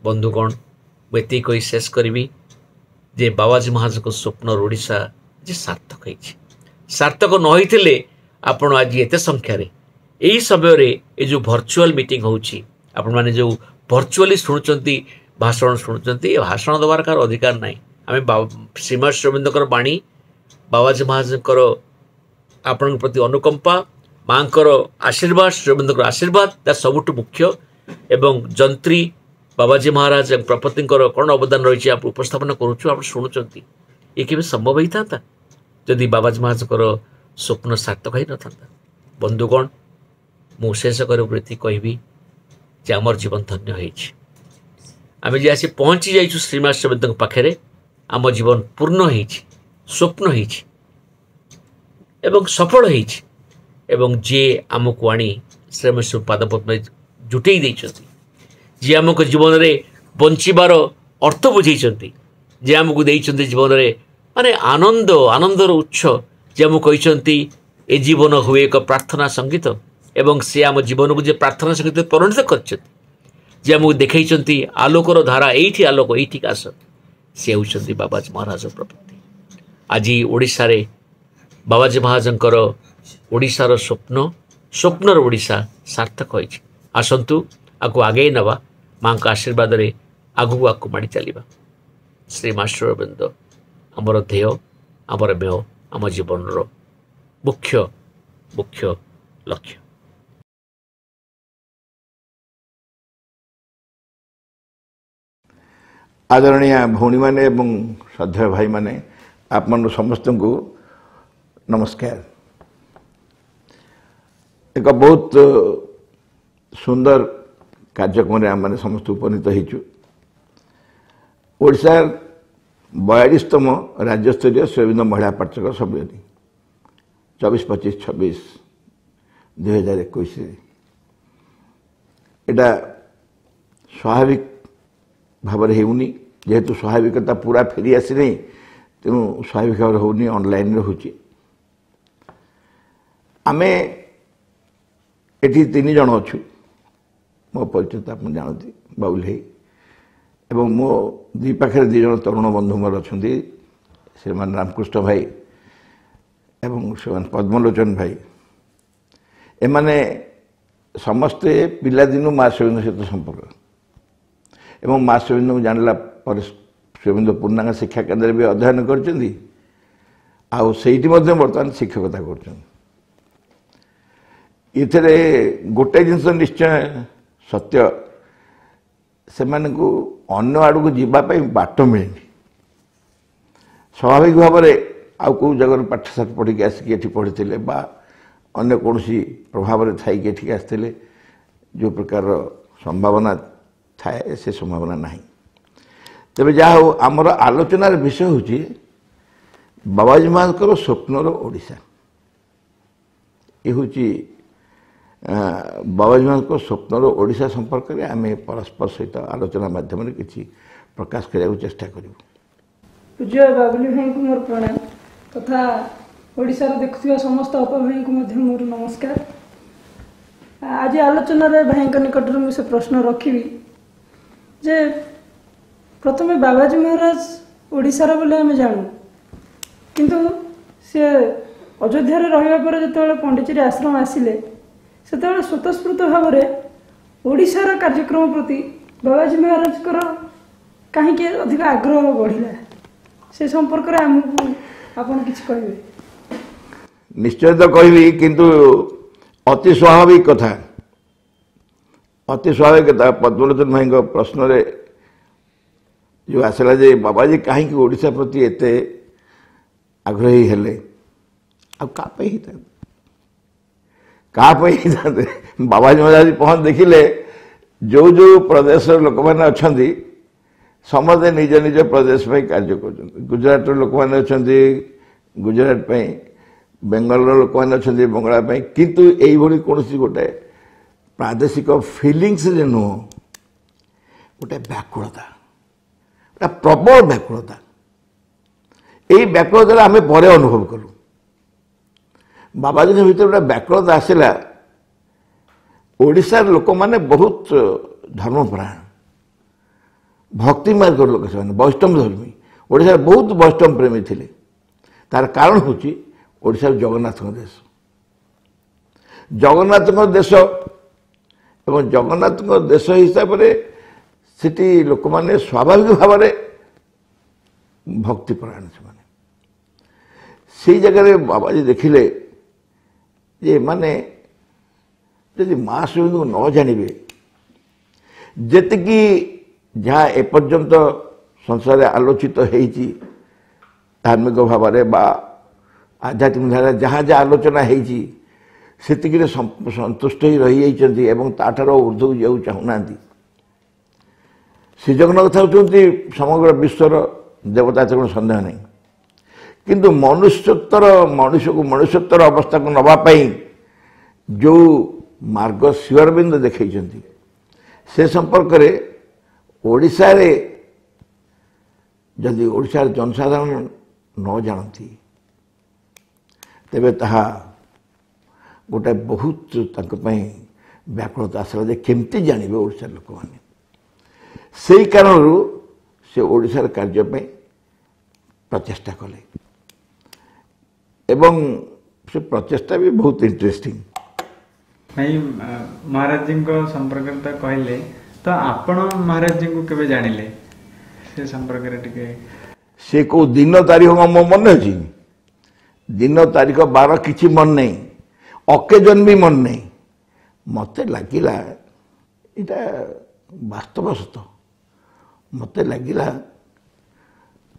ବନ୍ଧୁଗଣ ମୁଁ ଏତିକି କହି ଶେଷ କରିବି ଯେ ବାବାଜୀ ମହାରାଜଙ୍କ ସ୍ୱପ୍ନର ଓଡ଼ିଶା ଯେ ସାର୍ଥକ ହେଇଛି ସାର୍ଥକ ନ ହେଇଥିଲେ ଆପଣ ଆଜି ଏତେ ସଂଖ୍ୟାରେ ଏହି ସମୟରେ ଏ ଯେଉଁ ଭର୍ଚୁଆଲ୍ ମିଟିଂ ହେଉଛି ଆପଣମାନେ ଯେଉଁ ଭର୍ଚୁଆଲି ଶୁଣୁଛନ୍ତି ଭାଷଣ ଶୁଣୁଛନ୍ତି ଏ ଭାଷଣ ଦେବାର କାହାର ଅଧିକାର ନାହିଁ ଆମେ ଶ୍ରୀମା ଶ୍ରୀଅରବିନ୍ଦଙ୍କର ବାଣୀ ବାବାଜୀ ମହାରାଜଙ୍କର ଆପଣଙ୍କ ପ୍ରତି ଅନୁକମ୍ପା ମାଆଙ୍କର ଆଶୀର୍ବାଦ ଶ୍ରୀଅରବିନ୍ଦଙ୍କର ଆଶୀର୍ବାଦ ତା ସବୁଠୁ ମୁଖ୍ୟ ଏବଂ ଯନ୍ତ୍ରୀ ବାବାଜୀ ମହାରାଜ ଏବଂ ପ୍ରପତିଙ୍କର କ'ଣ ଅବଦାନ ରହିଛି ଆପଣ ଉପସ୍ଥାପନା କରୁଛୁ ଆପଣ ଶୁଣୁଛନ୍ତି ଏ କେବେ ସମ୍ଭବ ହେଇଥାନ୍ତା ଯଦି ବାବାଜୀ ମହାରାଜଙ୍କର ସ୍ୱପ୍ନ ସାର୍ଥକ ହେଇନଥାନ୍ତା ବନ୍ଧୁଗଣ ମୁଁ ଶେଷ କରିବାକୁ ଏତିକି କହିବି ଯେ ଆମର ଜୀବନ ଧନ୍ୟ ହେଇଛି ଆମେ ଯେ ଆସି ପହଞ୍ଚି ଯାଇଛୁ ଶ୍ରୀମା ଶ୍ରୀଅରବିନ୍ଦଙ୍କ ପାଖରେ ଆମ ଜୀବନ ପୂର୍ଣ୍ଣ ହେଇଛି ସ୍ୱପ୍ନ ହେଇଛି ଏବଂ ସଫଳ ହେଇଛି ଏବଂ ଯିଏ ଆମକୁ ଆଣି ଶ୍ରୀମା ପାଦପଦ୍ମରେ ଜୁଟେଇ ଦେଇଛନ୍ତି ଯିଏ ଆମକୁ ଜୀବନରେ ବଞ୍ଚିବାର ଅର୍ଥ ବୁଝେଇଛନ୍ତି ଯିଏ ଆମକୁ ଦେଇଛନ୍ତି ଜୀବନରେ ମାନେ ଆନନ୍ଦ ଆନନ୍ଦର ଉତ୍ସ ଯିଏ ଆମକୁ କହିଛନ୍ତି ଏ ଜୀବନ ହୁଏ ଏକ ପ୍ରାର୍ଥନା ସଙ୍ଗୀତ ଏବଂ ସେ ଆମ ଜୀବନକୁ ଯେ ପ୍ରାର୍ଥନା ସଙ୍ଗୀତ ପରିଣତ କରିଛନ୍ତି ଯିଏ ଆମକୁ ଦେଖେଇଛନ୍ତି ଆଲୋକର ଧାରା ଏଇଠି ଆଲୋକ ଏଇଠିକି ଆସ ସେ ହେଉଛନ୍ତି ବାବାଜୀ ମହାରାଜ ପ୍ରପତି ଆଜି ଓଡ଼ିଶାରେ ବାବାଜୀ ମହାରାଜଙ୍କର ଓଡ଼ିଶାର ସ୍ୱପ୍ନ ସ୍ୱପ୍ନର ଓଡ଼ିଶା ସାର୍ଥକ ହୋଇଛି ଆସନ୍ତୁ ଆକୁ ଆଗେଇ ନେବା ମାଆଙ୍କ ଆଶୀର୍ବାଦରେ ଆଗକୁ ଆଗକୁ ମାଡ଼ି ଚାଲିବା ଶ୍ରୀ ମା ଶ୍ରୀଅରବିନ୍ଦ ଆମର ଧ୍ୟେୟ ଆମର ମେୟ ଆମ ଜୀବନର ମୁଖ୍ୟ ମୁଖ୍ୟ ଲକ୍ଷ୍ୟ ଆଦରଣୀୟ ଭଉଣୀମାନେ ଏବଂ ଶ୍ରଦ୍ଧେୟ ଭାଇମାନେ ଆପଣ ସମସ୍ତଙ୍କୁ ନମସ୍କାର ଏକ ବହୁତ ସୁନ୍ଦର କାର୍ଯ୍ୟକ୍ରମରେ ଆମମାନେ ସମସ୍ତେ ଉପନୀତ ହେଇଛୁ ଓଡ଼ିଶାର ବୟାଳିଶତମ ରାଜ୍ୟସ୍ତରୀୟ ଶ୍ରୀଅରବିନ୍ଦ ମହିଳା ପାଠଚକ୍ର ସମ୍ମିଳନୀ ଚବିଶ ପଚିଶ ଛବିଶ ଦୁଇହଜାର ଏକୋଇଶରେ ଏଇଟା ସ୍ୱାଭାବିକ ଭାବରେ ହେଉନି ଯେହେତୁ ସ୍ୱାଭାବିକତା ପୁରା ଫେରି ଆସିନାହିଁ ତେଣୁ ସ୍ୱାଭାବିକ ଭାବରେ ହେଉନି ଅନଲାଇନ୍ରେ ହେଉଛି ଆମେ ଏଠି ତିନି ଜଣ ଅଛୁ ମୋ ପରିଚୟ ତ ଆପଣ ଜାଣନ୍ତି ବାବୁଲ ଭାଇ ଏବଂ ମୋ ଦୁଇ ପାଖରେ ଦୁଇ ଜଣ ତରୁଣ ବନ୍ଧୁ ମୋର ଅଛନ୍ତି ଶ୍ରୀମାନ ରାମକୃଷ୍ଣ ଭାଇ ଏବଂ ଶ୍ରୀମାନ ପଦ୍ମଲୋଚନ ଭାଇ ଏମାନେ ସମସ୍ତେ ପିଲାଦିନୁ ମା ଶ୍ରୀଅରବିନ୍ଦ ସହିତ ସମ୍ପର୍କ ଏବଂ ମା ଶ୍ରୀଅରବିନ୍ଦଙ୍କୁ ଜାଣିଲା ପରେ ଶ୍ରୀଅରବିନ୍ଦ ପୂର୍ଣ୍ଣାଙ୍ଗ ଶିକ୍ଷା କେନ୍ଦ୍ରରେ ବି ଅଧ୍ୟୟନ କରିଛନ୍ତି ଆଉ ସେଇଠି ମଧ୍ୟ ବର୍ତ୍ତମାନ ଶିକ୍ଷକତା କରୁଛନ୍ତି ଏଥିରେ ଗୋଟେ ଜିନିଷ ନିଶ୍ଚୟ ସତ୍ୟ ସେମାନଙ୍କୁ ଅନ୍ୟ ଆଡ଼କୁ ଯିବା ପାଇଁ ବାଟ ମିଳେନି ସ୍ୱାଭାବିକ ଭାବରେ ଆଉ କେଉଁ ଜାଗାରୁ ପାଠଶାଠ ପଢ଼ିକି ଆସିକି ଏଠି ପଢ଼ିଥିଲେ ବା ଅନ୍ୟ କୌଣସି ପ୍ରଭାବରେ ଥାଇକି ଏଠିକି ଆସିଥିଲେ, ଯେଉଁ ପ୍ରକାରର ସମ୍ଭାବନା ଥାଏ ସେ ସମ୍ଭାବନା ନାହିଁ। ତେବେ ଯାହା ହଉ, ଆମର ଆଲୋଚନାର ବିଷୟ ହେଉଛି ବାବାଜୀ ମହାରାଜଙ୍କର ସ୍ୱପ୍ନର ଓଡ଼ିଶା। ଏ ହେଉଛି ବାବାଜୀ ମହାରାଜଙ୍କ ସ୍ୱପ୍ନର ଓଡ଼ିଶା ସମ୍ପର୍କରେ ଆମେ ପରସ୍ପର ସହିତ ଆଲୋଚନା ମାଧ୍ୟମରେ କିଛି ପ୍ରକାଶ କରିବାକୁ ଚେଷ୍ଟା କରିବୁ। ପୂଜ୍ୟ ବାବୁଲି ଭାଇଙ୍କୁ ମୋର ପ୍ରଣାମ ତଥା ଓଡ଼ିଶାର ଦେଖୁଥିବା ସମସ୍ତ ଅପା ଭାଇଙ୍କୁ ମଧ୍ୟ ମୋର ନମସ୍କାର। ଆଜି ଆଲୋଚନାରେ ଭାଇଙ୍କ ନିକଟରେ ମୁଁ ସେ ପ୍ରଶ୍ନ ରଖିବି ଯେ ପ୍ରଥମେ ବାବାଜୀ ମହାରାଜ ଓଡ଼ିଶାର ବୋଲି ଆମେ ଜାଣୁ, କିନ୍ତୁ ସିଏ ଅଯୋଧ୍ୟାରେ ରହିବା ପରେ ଯେତେବେଳେ ପଣ୍ଡିଚେରୀ ଆଶ୍ରମ ଆସିଲେ ସେତେବେଳେ ସ୍ୱତଃସ୍ଫୂର୍ତ୍ତ ଭାବରେ ଓଡ଼ିଶାର କାର୍ଯ୍ୟକ୍ରମ ପ୍ରତି ବାବାଜୀ ମହାରାଜଙ୍କର କାହିଁକି ଅଧିକ ଆଗ୍ରହ ବଢ଼ିଲା, ସେ ସମ୍ପର୍କରେ ଆମକୁ ଆପଣ କିଛି କହିବେ? ନିଶ୍ଚୟ ତ କହିବି, କିନ୍ତୁ ଅତି ସ୍ୱାଭାବିକ କଥା, ଅତି ସ୍ୱାଭାବିକ କଥା। ପଦ୍ମଲୋଚନ ଭାଇଙ୍କ ପ୍ରଶ୍ନରେ ଯେଉଁ ଆସିଲା ଯେ ବାବାଜୀ କାହିଁକି ଓଡ଼ିଶା ପ୍ରତି ଏତେ ଆଗ୍ରହୀ ହେଲେ, ଆଉ କାହା ପାଇଁ ହେଇଥାନ୍ତେ, କାହା ପାଇଁ ହେଇଥାନ୍ତେ? ବାବାଜୀ ମହାରାଜ ପହଞ୍ଚି ଦେଖିଲେ ଯେଉଁ ଯେଉଁ ପ୍ରଦେଶର ଲୋକମାନେ ଅଛନ୍ତି ସମସ୍ତେ ନିଜ ନିଜ ପ୍ରଦେଶ ପାଇଁ କାର୍ଯ୍ୟ କରୁଛନ୍ତି। ଗୁଜରାଟର ଲୋକମାନେ ଅଛନ୍ତି ଗୁଜରାଟ ପାଇଁ, ବେଙ୍ଗଲର ଲୋକମାନେ ଅଛନ୍ତି ବଙ୍ଗଳା ପାଇଁ, କିନ୍ତୁ ଏଇଭଳି କୌଣସି ଗୋଟେ ପ୍ରାଦେଶିକ ଫିଲିଙ୍ଗସରେ ନୁହଁ, ଗୋଟେ ବ୍ୟାକୁଳତା, ଗୋଟେ ପ୍ରବଳ ବ୍ୟାକୁଳତା। ଏଇ ବ୍ୟାକୁଳତାରେ ଆମେ ପରେ ଅନୁଭବ କଲୁ। ବାବାଜୀଙ୍କ ଭିତରେ ଗୋଟେ ବ୍ୟାକୁଳତା ଆସିଲା। ଓଡ଼ିଶାର ଲୋକମାନେ ବହୁତ ଧର୍ମପରାୟଣ, ଭକ୍ତି ମାର୍ଗର ଲୋକ, ସେମାନେ ବୈଷ୍ଣବ ଧର୍ମୀ। ଓଡ଼ିଶାରେ ବହୁତ ବୈଷ୍ଣବ ପ୍ରେମୀ ଥିଲେ। ତାର କାରଣ ହେଉଛି ଓଡ଼ିଶାର ଜଗନ୍ନାଥଙ୍କ ଦେଶ, ଜଗନ୍ନାଥଙ୍କ ଦେଶ ଏବଂ ଜଗନ୍ନାଥଙ୍କ ଦେଶ ହିସାବରେ ସେଠି ଲୋକମାନେ ସ୍ୱାଭାବିକ ଭାବରେ ଭକ୍ତିପରାୟଣ ସେମାନେ। ସେଇ ଜାଗାରେ ବାବାଜୀ ଦେଖିଲେ ଯେ ଏମାନେ ଯଦି ମା ଶ୍ରୀଙ୍କୁ ନ ଜାଣିବେ, ଯେତିକି ଯାହା ଏପର୍ଯ୍ୟନ୍ତ ସଂସାରରେ ଆଲୋଚିତ ହେଇଛି ଧାର୍ମିକ ଭାବରେ ବା ଆଧ୍ୟାତ୍ମିକ ଧାରାରେ ଯାହା ଯାହା ଆଲୋଚନା ହେଇଛି ସେତିକିରେ ସନ୍ତୁଷ୍ଟ ହେଇ ରହିଯାଇଛନ୍ତି ଏବଂ ତାଠାରୁ ଉର୍ଦ୍ଧ୍ୱକୁ ଯିବାକୁ ଚାହୁଁନାହାନ୍ତି। ଶ୍ରୀ ଜଗନ୍ନାଥ ହେଉଛନ୍ତି ସମଗ୍ର ବିଶ୍ୱର ଦେବତା, ଏଥିରେ କୌଣସି ସନ୍ଦେହ ନାହିଁ। କିନ୍ତୁ ମନୁଷ୍ୟତ୍ୱର, ମଣିଷକୁ ମନୁଷ୍ୟତ୍ୱର ଅବସ୍ଥାକୁ ନେବା ପାଇଁ ଯେଉଁ ମାର୍ଗ ଶ୍ରୀ ଅରବିନ୍ଦ ଦେଖେଇଛନ୍ତି ସେ ସମ୍ପର୍କରେ ଓଡ଼ିଶାରେ ଯଦି ଓଡ଼ିଶାର ଜନସାଧାରଣ ନ ଜାଣନ୍ତି ତେବେ ତାହା ଗୋଟେ ବହୁତ ତାଙ୍କ ପାଇଁ ବ୍ୟାକୁଳତା ଆସିଲା ଯେ କେମିତି ଜାଣିବେ ଓଡ଼ିଶାର ଲୋକମାନେ। ସେଇ କାରଣରୁ ସେ ଓଡ଼ିଶାର କାର୍ଯ୍ୟ ପାଇଁ ପ୍ରଚେଷ୍ଟା କଲେ ଏବଂ ସେ ପ୍ରଚେଷ୍ଟା ବି ବହୁତ ଇଣ୍ଟରେଷ୍ଟିଂ। ଭାଇ, ମହାରାଜଜୀଙ୍କ ସମ୍ପର୍କରେ ତ କହିଲେ, ତ ଆପଣ ମହାରାଜଜୀଙ୍କୁ କେବେ ଜାଣିଲେ ସେ ସମ୍ପର୍କରେ ଟିକେ? ସେ କେଉଁ ଦିନ ତାରିଖ ମୋ ମନେ ଅଛି? ଦିନ ତାରିଖ ବାର କିଛି ମନେ ନାହିଁ, ଅକେଜନ ବି ମନେ ନାହିଁ। ମୋତେ ଲାଗିଲା ଏଇଟା ବାସ୍ତବ ସତ। ମୋତେ ଲାଗିଲା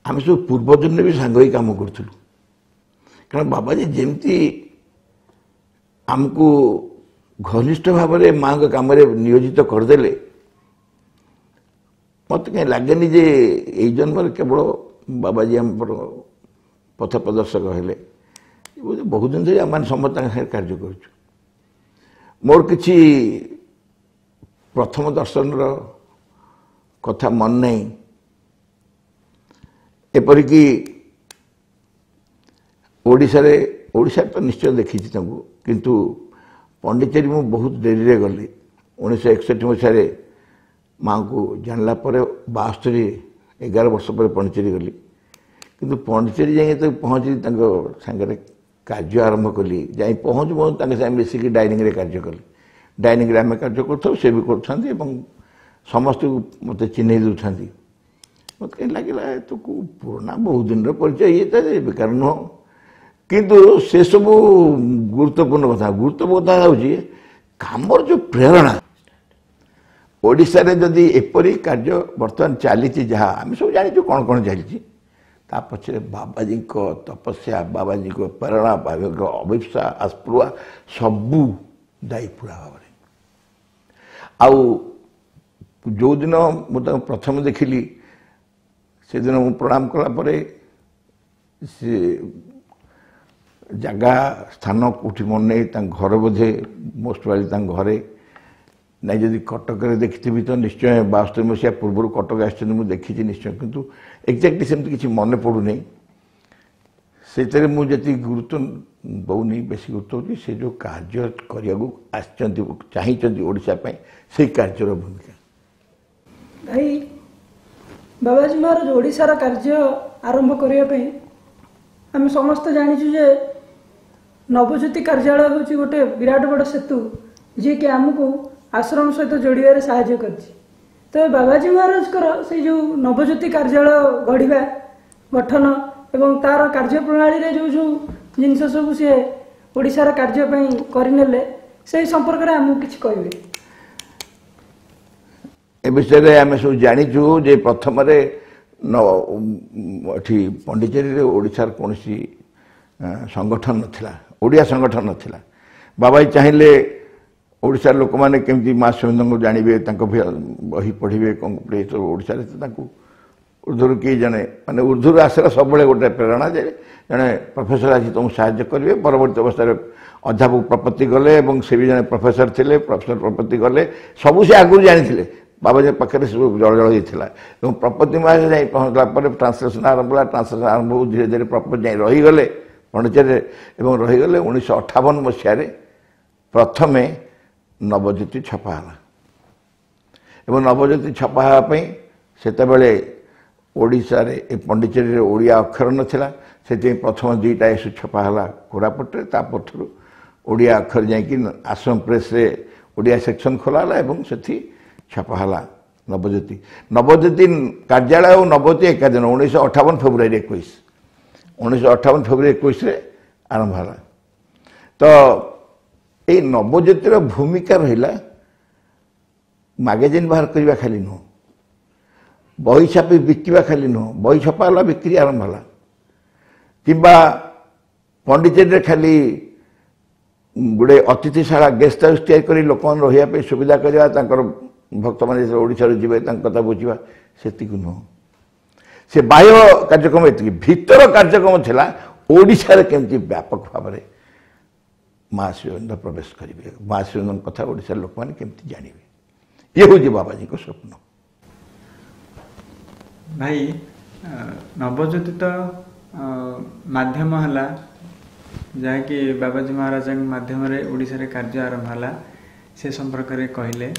ଆମେ ସବୁ ପୂର୍ବଜନ୍ମରେ ବି ସାଙ୍ଗ ହେଇ କାମ କରୁଥିଲୁ। କାରଣ ବାବାଜୀ ଯେମିତି ଆମକୁ ଘନିଷ୍ଠ ଭାବରେ ମାଆଙ୍କ କାମରେ ନିୟୋଜିତ କରିଦେଲେ, ମୋତେ କାହିଁ ଲାଗେନି ଯେ ଏଇ ଜନ୍ମରେ କେବଳ ବାବାଜୀ ଆମର ପଥ ପ୍ରଦର୍ଶକ ହେଲେ। ବହୁତ ଦିନ ଧରି ଆମେମାନେ ସମସ୍ତେ ତାଙ୍କ ସାଙ୍ଗରେ କାର୍ଯ୍ୟ କରୁଛୁ। ମୋର କିଛି ପ୍ରଥମ ଦର୍ଶନର କଥା ମନେ ନାହିଁ। ଏପରିକି ଓଡ଼ିଶାରେ, ଓଡ଼ିଶାରେ ତ ନିଶ୍ଚୟ ଦେଖିଛି ତାଙ୍କୁ, କିନ୍ତୁ ପଣ୍ଡିଚେରୀ ମୁଁ ବହୁତ ଡେରିରେ ଗଲି। ଉଣେଇଶହ ଏକଷଠି ମସିହାରେ ମାଆଙ୍କୁ ଜାଣିଲା ପରେ ବାସ୍ତରି ଏଗାର ବର୍ଷ ପରେ ପଣ୍ଡିଚେରୀ ଗଲି। କିନ୍ତୁ ପଣ୍ଡିଚେରୀ ଯାଇ ଯେତେବେଳେ ପହଞ୍ଚିଲି ତାଙ୍କ ସାଙ୍ଗରେ କାର୍ଯ୍ୟ ଆରମ୍ଭ କଲି, ଯାଇ ପହଞ୍ଚୁ ପହଞ୍ଚୁ ତାଙ୍କ ସାଙ୍ଗେ ମିଶିକି ଡାଇନିଂରେ କାର୍ଯ୍ୟ କଲି। ଡାଇନିଂରେ ଆମେ କାର୍ଯ୍ୟ କରୁଥାଉ, ସେ ବି କରୁଥାନ୍ତି ଏବଂ ସମସ୍ତଙ୍କୁ ମୋତେ ଚିହ୍ନେଇ ଦେଉଥାନ୍ତି। ମୋତେ କାହିଁ ଲାଗିଲା ତ କେଉଁ ପୁରୁଣା ବହୁତ ଦିନର ପରିଚୟ, ଇଏ ତ ବେକାର ନୁହଁ। କିନ୍ତୁ ସେସବୁ ଗୁରୁତ୍ୱପୂର୍ଣ୍ଣ କଥା। ଗୁରୁତ୍ୱପୂର୍ଣ୍ଣ କଥା ହେଉଛି କାମର ଯେଉଁ ପ୍ରେରଣା। ଓଡ଼ିଶାରେ ଯଦି ଏପରି କାର୍ଯ୍ୟ ବର୍ତ୍ତମାନ ଚାଲିଛି, ଯାହା ଆମେ ସବୁ ଜାଣିଛୁ କ'ଣ କ'ଣ ଚାଲିଛି, ତା ପଛରେ ବାବାଜୀଙ୍କ ତପସ୍ୟା, ବାବାଜୀଙ୍କ ପ୍ରେରଣା, ବାବାଜୀଙ୍କ ଅଭିପ୍ସା, ଆସ୍ପୃହା ସବୁ ଦାୟୀ ପୁରା ଭାବରେ। ଆଉ ଯେଉଁଦିନ ମୁଁ ତାଙ୍କୁ ପ୍ରଥମେ ଦେଖିଲି, ସେଦିନ ମୁଁ ପ୍ରଣାମ କଲା ପରେ ସେ ଜାଗା ସ୍ଥାନ କେଉଁଠି ମନେ ନାହିଁ, ତାଙ୍କ ଘର ବୋଧେ ମୋଷ୍ଟ ପ୍ରୋବାବଲି ତାଙ୍କ ଘରେ ନାଇଁ। ଯଦି କଟକରେ ଦେଖିଥିବି ତ ନିଶ୍ଚୟ ବାସ୍ତରି ମସିହା ପୂର୍ବରୁ କଟକ ଆସିଛନ୍ତି, ମୁଁ ଦେଖିଛି ନିଶ୍ଚୟ, କିନ୍ତୁ ଏକ୍ଜାକ୍ଟଲି ସେମିତି କିଛି ମନେ ପଡ଼ୁନି। ସେଥିରେ ମୁଁ ଯେତିକି ଗୁରୁତ୍ୱ ଦେଉନି, ବେଶୀ ଗୁରୁତ୍ୱ ହେଉଛି ସେ ଯେଉଁ କାର୍ଯ୍ୟ କରିବାକୁ ଆସିଛନ୍ତି, ଚାହିଁଛନ୍ତି ଓଡ଼ିଶା ପାଇଁ, ସେଇ କାର୍ଯ୍ୟର ଭୂମିକା। ଭାଇ, ବାବାଜୀ ମହାରାଜ ଓଡ଼ିଶାର କାର୍ଯ୍ୟ ଆରମ୍ଭ କରିବା ପାଇଁ ଆମେ ସମସ୍ତେ ଜାଣିଛୁ ଯେ ନବଜ୍ୟୋତି କାର୍ଯ୍ୟାଳୟ ହେଉଛି ଗୋଟେ ବିରାଟ ବଡ଼ ସେତୁ, ଯିଏକି ଆମକୁ ଆଶ୍ରମ ସହିତ ଯୋଡ଼ିବାରେ ସାହାଯ୍ୟ କରିଛି। ତେବେ ବାବାଜୀ ମହାରାଜଙ୍କର ସେଇ ଯେଉଁ ନବଜ୍ୟୋତି କାର୍ଯ୍ୟାଳୟ ଗଢ଼ିବା, ଗଠନ ଏବଂ ତାର କାର୍ଯ୍ୟପ୍ରଣାଳୀରେ ଯେଉଁ ଯେଉଁ ଜିନିଷ ସବୁ ସିଏ ଓଡ଼ିଶାର କାର୍ଯ୍ୟ ପାଇଁ କରିନେଲେ, ସେଇ ସମ୍ପର୍କରେ ଆମକୁ କିଛି କହିବେ? ଏ ବିଷୟରେ ଆମେ ସବୁ ଜାଣିଛୁ ଯେ ପ୍ରଥମରେ ଏଠି ପଣ୍ଡିଚେରୀରେ ଓଡ଼ିଶାର କୌଣସି ସଂଗଠନ ନଥିଲା, ଓଡ଼ିଆ ସଂଗଠନ ନଥିଲା। ବାବାଜୀ ଚାହିଁଲେ ଓଡ଼ିଶାର ଲୋକମାନେ କେମିତି ମା ଶ୍ରୀଅରବିନ୍ଦଙ୍କୁ ଜାଣିବେ, ତାଙ୍କ ବହି ପଢ଼ିବେ, କ'ଣ ଏସବୁ ଓଡ଼ିଶାରେ ତାଙ୍କୁ ଉର୍ଦ୍ଧରୁ କେହି ଜଣେ, ମାନେ ଉର୍ଦ୍ଧରୁ ଆସିଲା ସବୁବେଳେ ଗୋଟେ ପ୍ରେରଣା ଯେ ଜଣେ ପ୍ରଫେସର ଆସି ତୁମକୁ ସାହାଯ୍ୟ କରିବେ। ପରବର୍ତ୍ତୀ ଅବସ୍ଥାରେ ଅଧ୍ୟାପକ ପ୍ରପତ୍ତି ଗଲେ ଏବଂ ସେ ବି ଜଣେ ପ୍ରଫେସର ଥିଲେ, ପ୍ରଫେସର ପ୍ରପତ୍ତି ଗଲେ, ସବୁ ସେ ଆଗରୁ ଜାଣିଥିଲେ, ବାବାଜୀ ପାଖରେ ସବୁ ଜଳ ଜଳ ହେଇଥିଲା। ଏବଂ ପ୍ରପତ୍ତି ମହାଶୟ ଯାଇ ପହଞ୍ଚିଲା ପରେ ଟ୍ରାନ୍ସଲେସନ୍ ଆରମ୍ଭ ହେଲା। ଟ୍ରାନ୍ସଲେସନ୍ ଆରମ୍ଭ ହଉ ଧୀରେ ଧୀରେ ପ୍ରପତ୍ତି ଯାଇ ରହିଗଲେ ପଣ୍ଡିଚେରୀରେ ଏବଂ ରହିଗଲେ। ଉଣେଇଶହ ଅଠାବନ ମସିହାରେ ପ୍ରଥମେ ନବଜ୍ୟୋତି ଛପା ହେଲା ଏବଂ ନବଜ୍ୟୋତି ଛପା ହେବା ପାଇଁ ସେତେବେଳେ ଓଡ଼ିଶାରେ ଏ ପଣ୍ଡିଚେରୀରେ ଓଡ଼ିଆ ଅକ୍ଷର ନଥିଲା, ସେଥିପାଇଁ ପ୍ରଥମ ଦୁଇଟା ଇସ୍ୟୁ ଛପା ହେଲା କୋରାପୁଟରେ। ତା ପରଠାରୁ ଓଡ଼ିଆ ଅକ୍ଷର ଯାଇକି ଆଶ୍ରମ ପ୍ରେସ୍ରେ ଓଡ଼ିଆ ସେକ୍ସନ୍ ଖୋଲା ହେଲା ଏବଂ ସେଠି ଛପା ହେଲା ନବଜ୍ୟୋତି। ନବଜ୍ୟୋତି କାର୍ଯ୍ୟାଳୟ ଆଉ ନବଜ୍ୟୋତି ଏକା ଦିନ ଉଣେଇଶହ ଅଠାବନ ଫେବୃଆରୀ ଏକୋଇଶ, ଉଣେଇଶହ ଅଠାବନ ଫେବୃଆରୀ ଏକୋଇଶରେ ଆରମ୍ଭ ହେଲା। ତ ଏଇ ନବଜ୍ୟୋତିର ଭୂମିକା ରହିଲା ମାଗାଜିନ୍ ବାହାର କରିବା ଖାଲି ନୁହଁ, ବହି ଛାପି ବିକିବା ଖାଲି ନୁହଁ, ବହି ଛପା ହେଲା, ବିକ୍ରି ଆରମ୍ଭ ହେଲା, କିମ୍ବା ପଣ୍ଡିଚେରୀରେ ଖାଲି ଗୋଟେ ଅତିଥିଶାଳା ଗେଷ୍ଟ ହାଉସ୍ ତିଆରି କରି ଲୋକମାନେ ରହିବା ପାଇଁ ସୁବିଧା କରିବା, ତାଙ୍କର ଭକ୍ତମାନେ ଯେତେବେଳେ ଓଡ଼ିଶାରୁ ଯିବେ ତାଙ୍କ କଥା ବୁଝିବା, ସେତିକି ନୁହଁ। ସେ ବାହ୍ୟ କାର୍ଯ୍ୟକ୍ରମ ଏତିକି, ଭିତର କାର୍ଯ୍ୟକ୍ରମ ଥିଲା ଓଡ଼ିଶାରେ କେମିତି ବ୍ୟାପକ ଭାବରେ ମା ଶ୍ରୀଅରବିନ୍ଦ ପ୍ରବେଶ କରିବେ, ମା ଶ୍ରୀଅରବିନ୍ଦଙ୍କ କଥା ଓଡ଼ିଶାର ଲୋକମାନେ କେମିତି ଜାଣିବେ, ଇଏ ହେଉଛି ବାବାଜୀଙ୍କ ସ୍ୱପ୍ନ। ଭାଇ, ନବଜ୍ୟୋତି ତ ମାଧ୍ୟମ ହେଲା, ଯାହାକି ବାବାଜୀ ମହାରାଜଙ୍କ ମାଧ୍ୟମରେ ଓଡ଼ିଶାରେ କାର୍ଯ୍ୟ ଆରମ୍ଭ ହେଲା, ସେ ସମ୍ପର୍କରେ କହିଲେ।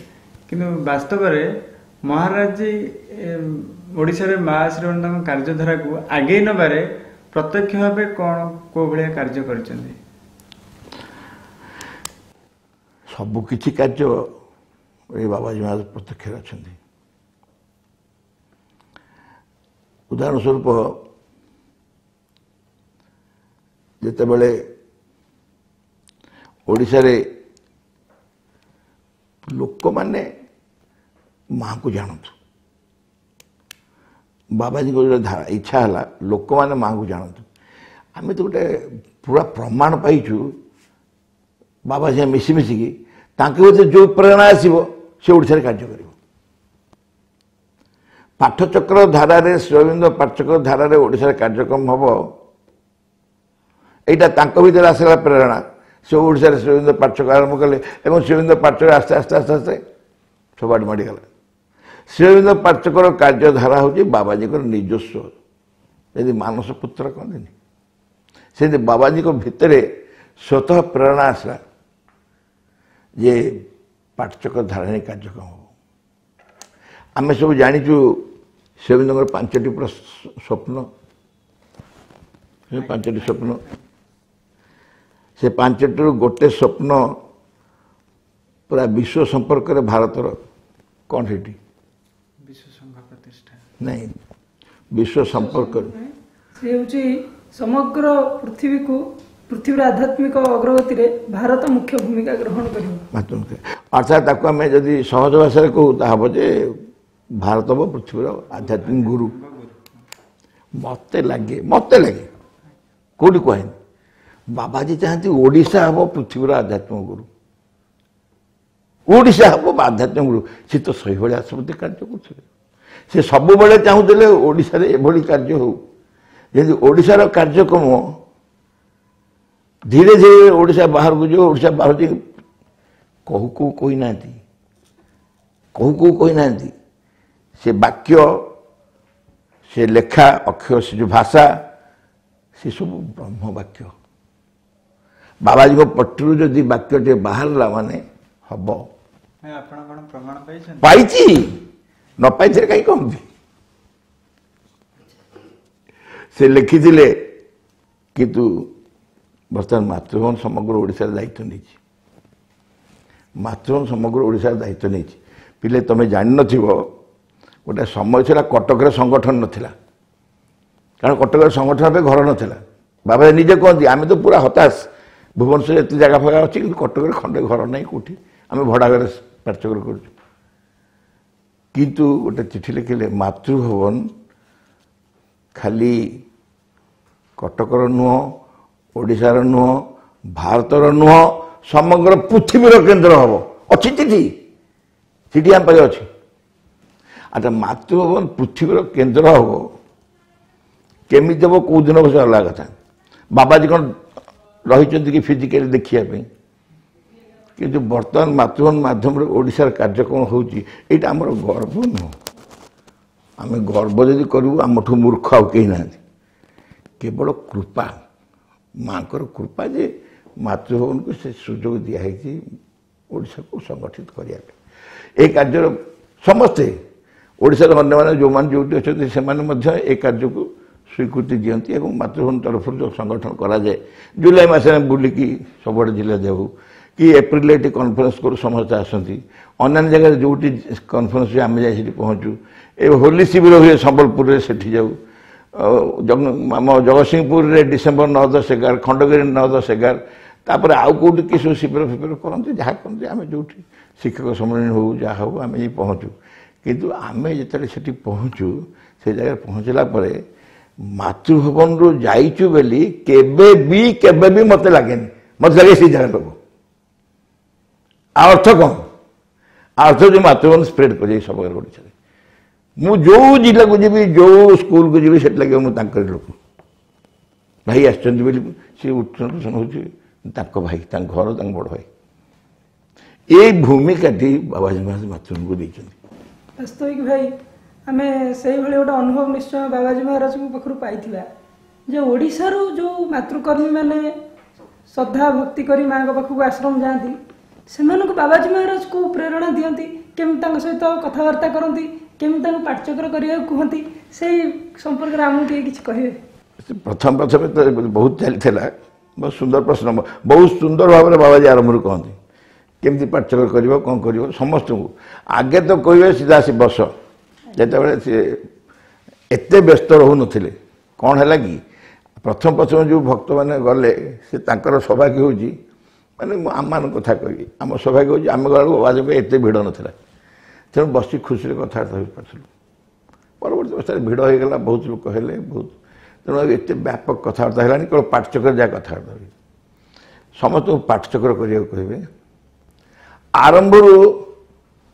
କିନ୍ତୁ ବାସ୍ତବରେ ମହାରାଜଜୀ ଓଡ଼ିଶାରେ ମା ଶ୍ରୀଅରବିନ୍ଦଙ୍କ କାର୍ଯ୍ୟଧାରାକୁ ଆଗେଇ ନେବାରେ ପ୍ରତ୍ୟକ୍ଷ ଭାବେ କ'ଣ କେଉଁ ଭଳିଆ କାର୍ଯ୍ୟ କରିଛନ୍ତି? ସବୁ କିଛି କାର୍ଯ୍ୟ ଏ ବାବାଜୀ ମହାରାଜ ପ୍ରତ୍ୟକ୍ଷରେ ଅଛନ୍ତି। ଉଦାହରଣ ସ୍ୱରୂପ, ଯେତେବେଳେ ଓଡ଼ିଶାରେ ଲୋକମାନେ ମାଆଙ୍କୁ ଜାଣନ୍ତୁ, ବାବାଜୀଙ୍କ ଗୋଟେ ଇଚ୍ଛା ହେଲା ଲୋକମାନେ ମାଆଙ୍କୁ ଜାଣନ୍ତୁ। ଆମେ ତ ଗୋଟେ ପୁରା ପ୍ରମାଣ ପାଇଛୁ, ବାବା ସାଙ୍ଗେ ମିଶି ମିଶିକି ତାଙ୍କ ଭିତରେ ଯେଉଁ ପ୍ରେରଣା ଆସିବ ସେ ଓଡ଼ିଶାରେ କାର୍ଯ୍ୟ କରିବ। ପାଠଚକ୍ର ଧାରାରେ, ଶ୍ରୀଅରବିନ୍ଦ ପାଠଚକ୍ର ଧାରାରେ ଓଡ଼ିଶାରେ କାର୍ଯ୍ୟକ୍ରମ ହେବ, ଏଇଟା ତାଙ୍କ ଭିତରେ ଆସିଲା ପ୍ରେରଣା। ସେ ଓଡ଼ିଶାରେ ଶ୍ରୀଅରବିନ୍ଦ ପାଠଚକ୍ର ଆରମ୍ଭ କଲେ ଏବଂ ଶ୍ରୀଅରବିନ୍ଦ ପାଠଚକ୍ର ଆସ୍ତେ ଆସ୍ତେ ଆସ୍ତେ ଆସ୍ତେ ସବୁଆଡ଼େ ମାଡ଼ିଗଲା। ଶ୍ରୀଅରବିନ୍ଦ ପାଠଚକ୍ର କାର୍ଯ୍ୟଧାରା ହେଉଛି ବାବାଜୀଙ୍କର ନିଜସ୍ୱ, ଯେମିତି ମାନସ ପୁତ୍ର କହନ୍ତିନି, ସେମିତି ବାବାଜୀଙ୍କ ଭିତରେ ସ୍ୱତଃ ପ୍ରେରଣା ଆସିଲା ଯେ ପାଠଚକ୍ର ଧାରାରେ କାର୍ଯ୍ୟକ୍ରମ ହେବ। ଆମେ ସବୁ ଜାଣିଛୁ ଶ୍ରୀଅରବିନ୍ଦଙ୍କର ପାଞ୍ଚଟି ପୁରା ସ୍ୱପ୍ନ, ପାଞ୍ଚଟି ସ୍ୱପ୍ନ। ସେ ପାଞ୍ଚଟିରୁ ଗୋଟେ ସ୍ୱପ୍ନ ପୁରା ବିଶ୍ୱ ସମ୍ପର୍କରେ ଭାରତର କ'ଣ ସେଠି ବିଶ୍ୱ ସଂଘ ପ୍ରତିଷ୍ଠା, ନାଇଁ ବିଶ୍ୱ ସମ୍ପର୍କରେ ସେ ହେଉଛି ସମଗ୍ର ପୃଥିବୀକୁ, ପୃଥିବୀର ଆଧ୍ୟାତ୍ମିକ ଅଗ୍ରଗତିରେ ଭାରତ ମୁଖ୍ୟ ଭୂମିକା ଗ୍ରହଣ କରିବ। ଅର୍ଥାତ୍ ତାକୁ ଆମେ ଯଦି ସହଜ ଭାଷାରେ କହୁ ତାହା ହେବ ଯେ ଭାରତ ହେବ ପୃଥିବୀର ଆଧ୍ୟାତ୍ମିକ ଗୁରୁ। ମୋତେ ଲାଗେ ମୋତେ ଲାଗେ କେଉଁଠି କୁହାହେନି ବାବାଜୀ ଚାହାନ୍ତି ଓଡ଼ିଶା ହେବ ପୃଥିବୀର ଆଧ୍ୟାତ୍ମିକ ଗୁରୁ ଓଡ଼ିଶା ହେବ ଆଧ୍ୟାତ୍ମିକ ଗୁରୁ ସେ ତ ସେଇଭଳି ଆସନ୍ତି କାର୍ଯ୍ୟ କରୁଥିଲେ ସେ ସବୁବେଳେ ଚାହୁଁଥିଲେ ଓଡ଼ିଶାରେ ଏଭଳି କାର୍ଯ୍ୟ ହେଉ ଯେମିତି ଓଡ଼ିଶାର କାର୍ଯ୍ୟକ୍ରମ ଧୀରେ ଧୀରେ ଓଡ଼ିଶା ବାହାରକୁ ଯିବ ଓଡ଼ିଶା ବାହାରକୁ ଯାଇ କହୁ କହୁ କହିନାହାନ୍ତି କହୁ କହୁ କହିନାହାନ୍ତି ସେ ବାକ୍ୟ ସେ ଲେଖା ଅକ୍ଷର ସେ ଯେଉଁ ଭାଷା ସେ ସବୁ ବ୍ରହ୍ମ ବାକ୍ୟ ବାବାଜୀଙ୍କ ପଟିରୁ ଯଦି ବାକ୍ୟଟିଏ ବାହାରିଲା ମାନେ ହବ ଭାଇ ଆପଣ କ'ଣ ପ୍ରମାଣ ପାଇଛନ୍ତି ପାଇଛି ନ ପାଇଥିଲେ କାହିଁ କହନ୍ତି ସେ ଲେଖିଥିଲେ କିନ୍ତୁ ବର୍ତ୍ତମାନ ମାତୃଭବନ ସମଗ୍ର ଓଡ଼ିଶାର ଦାୟିତ୍ୱ ନେଇଛି ମାତୃଭବନ ସମଗ୍ର ଓଡ଼ିଶାର ଦାୟିତ୍ୱ ନେଇଛି ପିଲେ ତମେ ଜାଣିନଥିବ ଗୋଟେ ସମୟ ଥିଲା କଟକରେ ସଂଗଠନ ନଥିଲା କାରଣ କଟକରେ ସଂଗଠନ ପାଇଁ ଘର ନଥିଲା ବାବା ନିଜେ କହନ୍ତି ଆମେ ତ ପୁରା ହତାଶ ଭୁବନେଶ୍ୱରରେ ଏତେ ଜାଗା ଫାଗା ଅଛି କିନ୍ତୁ କଟକରେ ଖଣ୍ଡେ ଘର ନାହିଁ କେଉଁଠି ଆମେ ଭଡ଼ା ଘରେ ପାଠଚକ୍ର କରୁଛୁ କିନ୍ତୁ ଗୋଟେ ଚିଠି ଲେଖିଲେ ମାତୃଭବନ ଖାଲି କଟକର ନୁହଁ ଓଡ଼ିଶାର ନୁହଁ ଭାରତର ନୁହଁ ସମଗ୍ର ପୃଥିବୀର କେନ୍ଦ୍ର ହେବ ଅଛି ଚିଠି ଚିଠି ଆମ ପାଖରେ ଅଛି ଆଚ୍ଛା ମାତୃଭବନ ପୃଥିବୀର କେନ୍ଦ୍ର ହେବ କେମିତି ହେବ କେଉଁ ଦିନ ହେବ ସେ ଅଲଗା କଥା ବାବାଜୀ କ'ଣ ରହିଛନ୍ତି କି ଫିଜିକାଲି ଦେଖିବା ପାଇଁ କିନ୍ତୁ ବର୍ତ୍ତମାନ ମାତୃଭବନ ମାଧ୍ୟମରେ ଓଡ଼ିଶାର କାର୍ଯ୍ୟକ୍ରମ ହେଉଛି ଏଇଟା ଆମର ଗର୍ବ ନୁହଁ ଆମେ ଗର୍ବ ଯଦି କରିବୁ ଆମଠୁ ମୂର୍ଖ ଆଉ କେହି ନାହାନ୍ତି କେବଳ କୃପା ମାଙ୍କର କୃପା ଯେ ମାତୃଭବନକୁ ସେ ସୁଯୋଗ ଦିଆହେଇଛି ଓଡ଼ିଶାକୁ ସଂଗଠିତ କରିବା ପାଇଁ ଏହି କାର୍ଯ୍ୟର ସମସ୍ତେ ଓଡ଼ିଶାର ଅନ୍ୟମାନେ ଯେଉଁମାନେ ଯେଉଁଠି ଅଛନ୍ତି ସେମାନେ ମଧ୍ୟ ଏ କାର୍ଯ୍ୟକୁ ସ୍ୱୀକୃତି ଦିଅନ୍ତି ଏବଂ ମାତୃଭବନ ତରଫରୁ ଯେଉଁ ସଂଗଠନ କରାଯାଏ ଜୁଲାଇ ମାସରେ ଆମେ ବୁଲିକି ସବୁଆଡ଼େ ଜିଲ୍ଲା ଯାଉ କି ଏପ୍ରିଲରେ ଏଠି କନଫରେନ୍ସ କରୁ ସମସ୍ତେ ଆସନ୍ତି ଅନ୍ୟାନ୍ୟ ଜାଗାରେ ଯେଉଁଠି କନଫରେନ୍ସ ହୁଏ ଆମେ ଯାଇ ସେଠି ପହଞ୍ଚୁ ଏ ହୋଲି ଶିବିର ହୁଏ ସମ୍ବଲପୁରରେ ସେଠି ଯାଉ ଆଉ ଆମ ଜଗତସିଂହପୁରରେ ଡିସେମ୍ବର ନଅ ଦଶ ଏଗାର ଖଣ୍ଡଗିରି ନଅ ଦଶ ଏଗାର ତାପରେ ଆଉ କେଉଁଠି କି ସବୁ ଶିବିର ଫିବିର କରନ୍ତି ଯାହା କରନ୍ତି ଆମେ ଯେଉଁଠି ଶିକ୍ଷକ ସମ୍ମିଳନୀ ହଉ ଯାହା ହଉ ଆମେ ଯାଇ ପହଞ୍ଚୁ କିନ୍ତୁ ଆମେ ଯେତେବେଳେ ସେଠି ପହଞ୍ଚୁ ସେ ଜାଗାରେ ପହଞ୍ଚିଲା ପରେ ମାତୃଭବନରୁ ଯାଇଛୁ ବୋଲି କେବେ ବି କେବେ ବି ମୋତେ ଲାଗେନି ମୋତେ ଲାଗେ ସେଇ ଜାଗା ଲୋକ ଆଉ ଅର୍ଥ କ'ଣ ଅର୍ଥ ଯେଉଁ ମାତୃଭବନ ସ୍ପ୍ରେଡ୍ କରିଯାଇ ସମଗ୍ର ଓଡ଼ିଶାରେ ମୁଁ ଯେଉଁ ଜିଲ୍ଲାକୁ ଯିବି ଯେଉଁ ସ୍କୁଲକୁ ଯିବି ସେଠି ଲାଗିବ ମୁଁ ତାଙ୍କରି ଲୋକ ଭାଇ ଆସିଛନ୍ତି ବୋଲି ସେ ଉଠନ ହେଉଛି ତାଙ୍କ ଭାଇ ତାଙ୍କ ଘର ତାଙ୍କ ବଡ଼ ଭାଇ ଏଇ ଭୂମିକାଟି ବାବାଜୀ ମହାରାଜ ମାତୃଭବନକୁ ଦେଇଛନ୍ତି ବାସ୍ତବିକ ଭାଇ ଆମେ ସେଇଭଳି ଗୋଟେ ଅନୁଭବ ନିଶ୍ଚୟ ବାବାଜୀ ମହାରାଜଙ୍କ ପାଖରୁ ପାଇଥିବା ଯେ ଓଡ଼ିଶାରୁ ଯେଉଁ ମାତୃକର୍ମୀମାନେ ଶ୍ରଦ୍ଧା ଭକ୍ତି କରି ମାଆଙ୍କ ପାଖକୁ ଆଶ୍ରମ ଯାଆନ୍ତି ସେମାନଙ୍କୁ ବାବାଜୀ ମହାରାଜ କେଉଁ ପ୍ରେରଣା ଦିଅନ୍ତି କେମିତି ତାଙ୍କ ସହିତ କଥାବାର୍ତ୍ତା କରନ୍ତି କେମିତି ତାଙ୍କୁ ପାଠଚକ୍ର କରିବାକୁ କୁହନ୍ତି ସେଇ ସମ୍ପର୍କରେ ଆମକୁ ଟିକେ କିଛି କହିବେ ପ୍ରଥମ ପ୍ରଥମେ ତ ବହୁତ ଚାଲିଥିଲା ବହୁତ ସୁନ୍ଦର ପ୍ରଶ୍ନ ବହୁତ ସୁନ୍ଦର ଭାବରେ ବାବାଜୀ ଆରମ୍ଭରୁ କହନ୍ତି କେମିତି ପାଠଚକ୍ର କରିବ କ'ଣ କରିବ ସମସ୍ତଙ୍କୁ ଆଗେ ତ କହିବେ ସିଧା ଆସି ବସ ଯେତେବେଳେ ସିଏ ଏତେ ବ୍ୟସ୍ତ ରହୁନଥିଲେ କ'ଣ ହେଲା କି ପ୍ରଥମ ପ୍ରଥମେ ଯେଉଁ ଭକ୍ତମାନେ ଗଲେ ସେ ତାଙ୍କର ସୌଭାଗ୍ୟ ହେଉଛି ମାନେ ମୁଁ ଆମମାନଙ୍କ କଥା କହିବି ଆମ ସୌଭାଗ୍ୟ ହେଉଛି ଆମେ ଗଲାବେଳକୁ ବାବାଜୀଙ୍କ ଏତେ ଭିଡ଼ ନଥିଲା ତେଣୁ ବସି ଖୁସିରେ କଥାବାର୍ତ୍ତା ହୋଇପାରୁଥିଲୁ ପରବର୍ତ୍ତୀ ଅବସ୍ଥାରେ ଭିଡ଼ ହେଇଗଲା ବହୁତ ଲୋକ ହେଲେ ବହୁତ ତେଣୁ ଆଉ ଏତେ ବ୍ୟାପକ କଥାବାର୍ତ୍ତା ହେଲାନି କେବଳ ପାଠଚକ୍ର ଯାହା କଥାବାର୍ତ୍ତା ହୁଏ ସମସ୍ତଙ୍କୁ ପାଠଚକ୍ର କରିବାକୁ କହିବେ ଆରମ୍ଭରୁ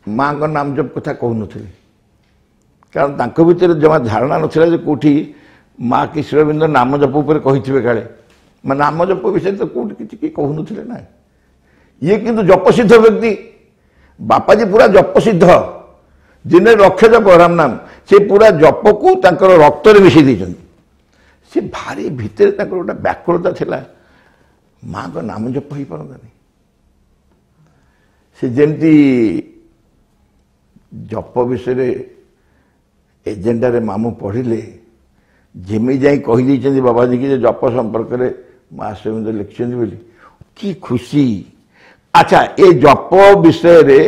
ମାଆଙ୍କ ନାମ ଜପ କଥା କହୁନଥିଲେ କାରଣ ତାଙ୍କ ଭିତରେ ଜମା ଧାରଣା ନଥିଲା ଯେ କେଉଁଠି ମା କି ଶ୍ରୀଅରବିନ୍ଦ ନାମ ଜପ ଉପରେ କହିଥିବେ କାଳେ ମାନେ ନାମ ଜପ ବିଷୟରେ ତ କେଉଁଠି କିଛି କେହି କହୁନଥିଲେ ନା ଇଏ କିନ୍ତୁ ଜପସିଦ୍ଧ ବ୍ୟକ୍ତି ବାପାଜୀ ପୁରା ଜପସିଦ୍ଧ ଦିନେ ଲକ୍ଷ ଜପ ରାମ ନାମ ସେ ପୁରା ଜପକୁ ତାଙ୍କର ରକ୍ତରେ ମିଶାଇ ଦେଇଛନ୍ତି ସେ ଭାରି ଭିତରେ ତାଙ୍କର ଗୋଟେ ବ୍ୟାକୁଳତା ଥିଲା ମାଆଙ୍କ ନାମ ଜପ ହେଇପାରନ୍ତାନି ସେ ଯେମିତି ଜପ ବିଷୟରେ ଏଜେଣ୍ଡାରେ ମାମୁଁ ପଢ଼ିଲେ ଯେମିତି ଯାଇ କହିଦେଇଛନ୍ତି ବାବାଜୀ କି ଯେ ଜପ ସମ୍ପର୍କରେ ମା ଶ୍ରୀଅରବିନ୍ଦ ଲେଖିଛନ୍ତି ବୋଲି କି ଖୁସି ଆଚ୍ଛା ଏ ଜପ ବିଷୟରେ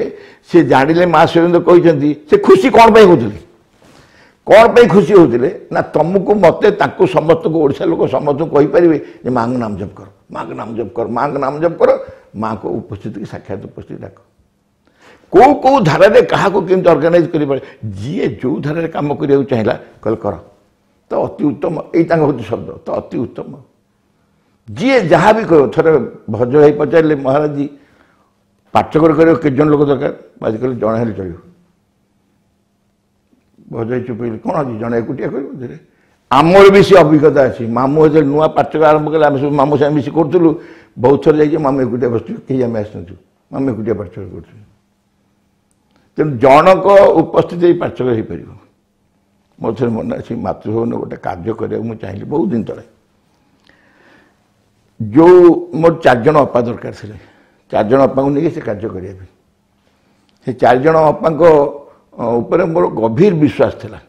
ସେ ଜାଣିଲେ ମା ଶ୍ରୀଅରବିନ୍ଦ କହିଛନ୍ତି ସେ ଖୁସି କ'ଣ ପାଇଁ ହେଉଥିଲେ କ'ଣ ପାଇଁ ଖୁସି ହେଉଥିଲେ ନା ତମକୁ ମୋତେ ତାଙ୍କୁ ସମସ୍ତଙ୍କୁ ଓଡ଼ିଶା ଲୋକ ସମସ୍ତଙ୍କୁ କହିପାରିବେ ଯେ ମାଆଙ୍କ ନାମ ଜପ କର ମାଆଙ୍କ ନାମ ଜପ କର ମାଆଙ୍କ ନାମ ଜପ କର ମାଆଙ୍କ ଉପସ୍ଥିତିକି ସାକ୍ଷାତ ଉପସ୍ଥିତି ଡାକ କେଉଁ କେଉଁ ଧାରାରେ କାହାକୁ କେମିତି ଅର୍ଗାନାଇଜ କରିପାରେ ଯିଏ ଯେଉଁ ଧାରାରେ କାମ କରିବାକୁ ଚାହିଁଲା କହିଲେ କର ତ ଅତି ଉତ୍ତମ। ଏଇ ତାଙ୍କ ହେଉଛି ଶବ୍ଦ, ତ ଅତି ଉତ୍ତମ। ଯିଏ ଯାହା ବି କହିବ, ଥରେ ଭଜ ଭାଇ ପଚାରିଲେ, ମହାରାଜୀ ପାଠଚକ୍ର କରିବାକୁ କେତେ ଜଣ ଲୋକ ଦରକାର? ବାଜି କହିଲେ ଜଣେ ହେଲେ ଚଳିବ। ଭଜ ଭାଇ ଚୁପ ହେଇଗଲେ, କ'ଣ ଅଛି ଜଣେ ଏକୁଟିଆ କରିବ? ଧୀରେ ଆମର ବି ସେ ଅଭିଜ୍ଞତା ଅଛି। ମାମୁଁ ଯେତେବେଳେ ନୂଆ ପାଠଚକ୍ର ଆରମ୍ଭ କଲେ, ଆମେ ସବୁ ମାମୁଁ ସାଙ୍ଗେ ମିଶି କରୁଥିଲୁ। ବହୁତ ଥର ଯାଇକି ମାମୁଁ ଏକୁଟିଆ ବସୁଥିଲୁ, କେହି ଆମେ ଆସିନଥିଲୁ, ମାମୁଁ ଏକୁଟିଆ ପାଠଚକ୍ର କରୁଥିଲୁ। ତେଣୁ ଜଣଙ୍କ ଉପସ୍ଥିତି ଏଇ ପାଠଚକ୍ର ହେଇପାରିବ। ମୋ ଥରେ ମନେ ଅଛି, ମାତୃଭବନ ଗୋଟେ କାର୍ଯ୍ୟ କରିବାକୁ ମୁଁ ଚାହିଁଲି ବହୁତ ଦିନ ତଳେ। ଯେଉଁ ମୋର ଚାରିଜଣ ଅପା ଦରକାର ଥିଲେ, ଚାରିଜଣ ଅପାଙ୍କୁ ନେଇକି ସେ କାର୍ଯ୍ୟ କରିବା ପାଇଁ। ସେ ଚାରିଜଣ ଅପାଙ୍କ ଉପରେ ମୋର ଗଭୀର ବିଶ୍ୱାସ ଥିଲା,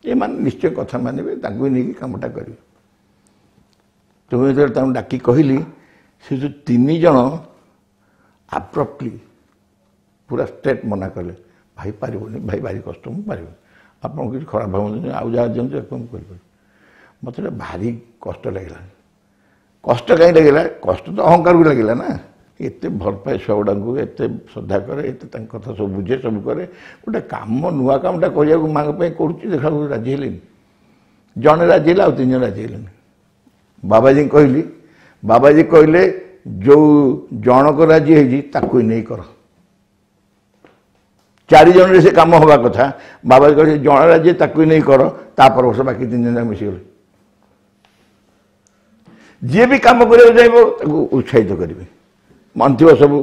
ଏମାନେ ନିଶ୍ଚୟ କଥା ମାନିବେ, ତାଙ୍କୁ ନେଇକି କାମଟା କରିବେ। ତ ମୁଁ ଯେତେବେଳେ ତାଙ୍କୁ ଡାକି କହିଲି, ସେ ଯେଉଁ ତିନି ଜଣ ଆବ୍ରପ୍ଟଲି ପୁରା ଷ୍ଟ୍ରେଟ୍ ମନା କଲେ, ଭାଇ ପାରିବନି, ଭାଇ ଭାରି କଷ୍ଟ, ମୁଁ ପାରିବିନି, ଆପଣ କିଛି ଖରାପ ଭାବନ୍ତୁନି, ଆଉ ଯାହା ଦିଅନ୍ତୁ ତାକୁ ମୁଁ କରିପାରିବି। ମୋତେ ଏଇଟା ଭାରି କଷ୍ଟ ଲାଗିଲା। କଷ୍ଟ କାହିଁ ଲାଗିଲା? କଷ୍ଟ ତ ଅହଙ୍କାରକୁ ଲାଗିଲା ନା। ଏତେ ଭଲ ପାଏ ଛୁଆ ଗୁଡ଼ାଙ୍କୁ, ଏତେ ଶ୍ରଦ୍ଧା କରେ, ଏତେ ତାଙ୍କ କଥା ସବୁ ବୁଝେ, ସବୁ କରେ, ଗୋଟେ କାମ ନୂଆ କାମଟା କରିବାକୁ ମାଆଙ୍କ ପାଇଁ କରୁଛି, ଦେଖିବାକୁ ରାଜି ହେଲେନି। ଜଣେ ରାଜି ହେଲା, ଆଉ ତିନି ଜଣ ରାଜି ହେଲେନି। ବାବାଜୀଙ୍କୁ କହିଲି, ବାବାଜୀ କହିଲେ ଯେଉଁ ଜଣକ ରାଜି ହେଇଛି ତାକୁ ନେଇ କର। ଚାରି ଜଣରେ ସେ କାମ ହେବା କଥା, ବାବାଜୀ କହିଲେ ଜଣେ ରାଜି ତାକୁ ନେଇ କର। ତା ପର ବର୍ଷ ବାକି ତିନି ଜଣ ମିଶିଗଲେ। ଯିଏ ବି କାମ କରିବାକୁ ଚାହିଁବ ତାକୁ ଉତ୍ସାହିତ କରିବେ। ମନେ ଥିବ ସବୁ,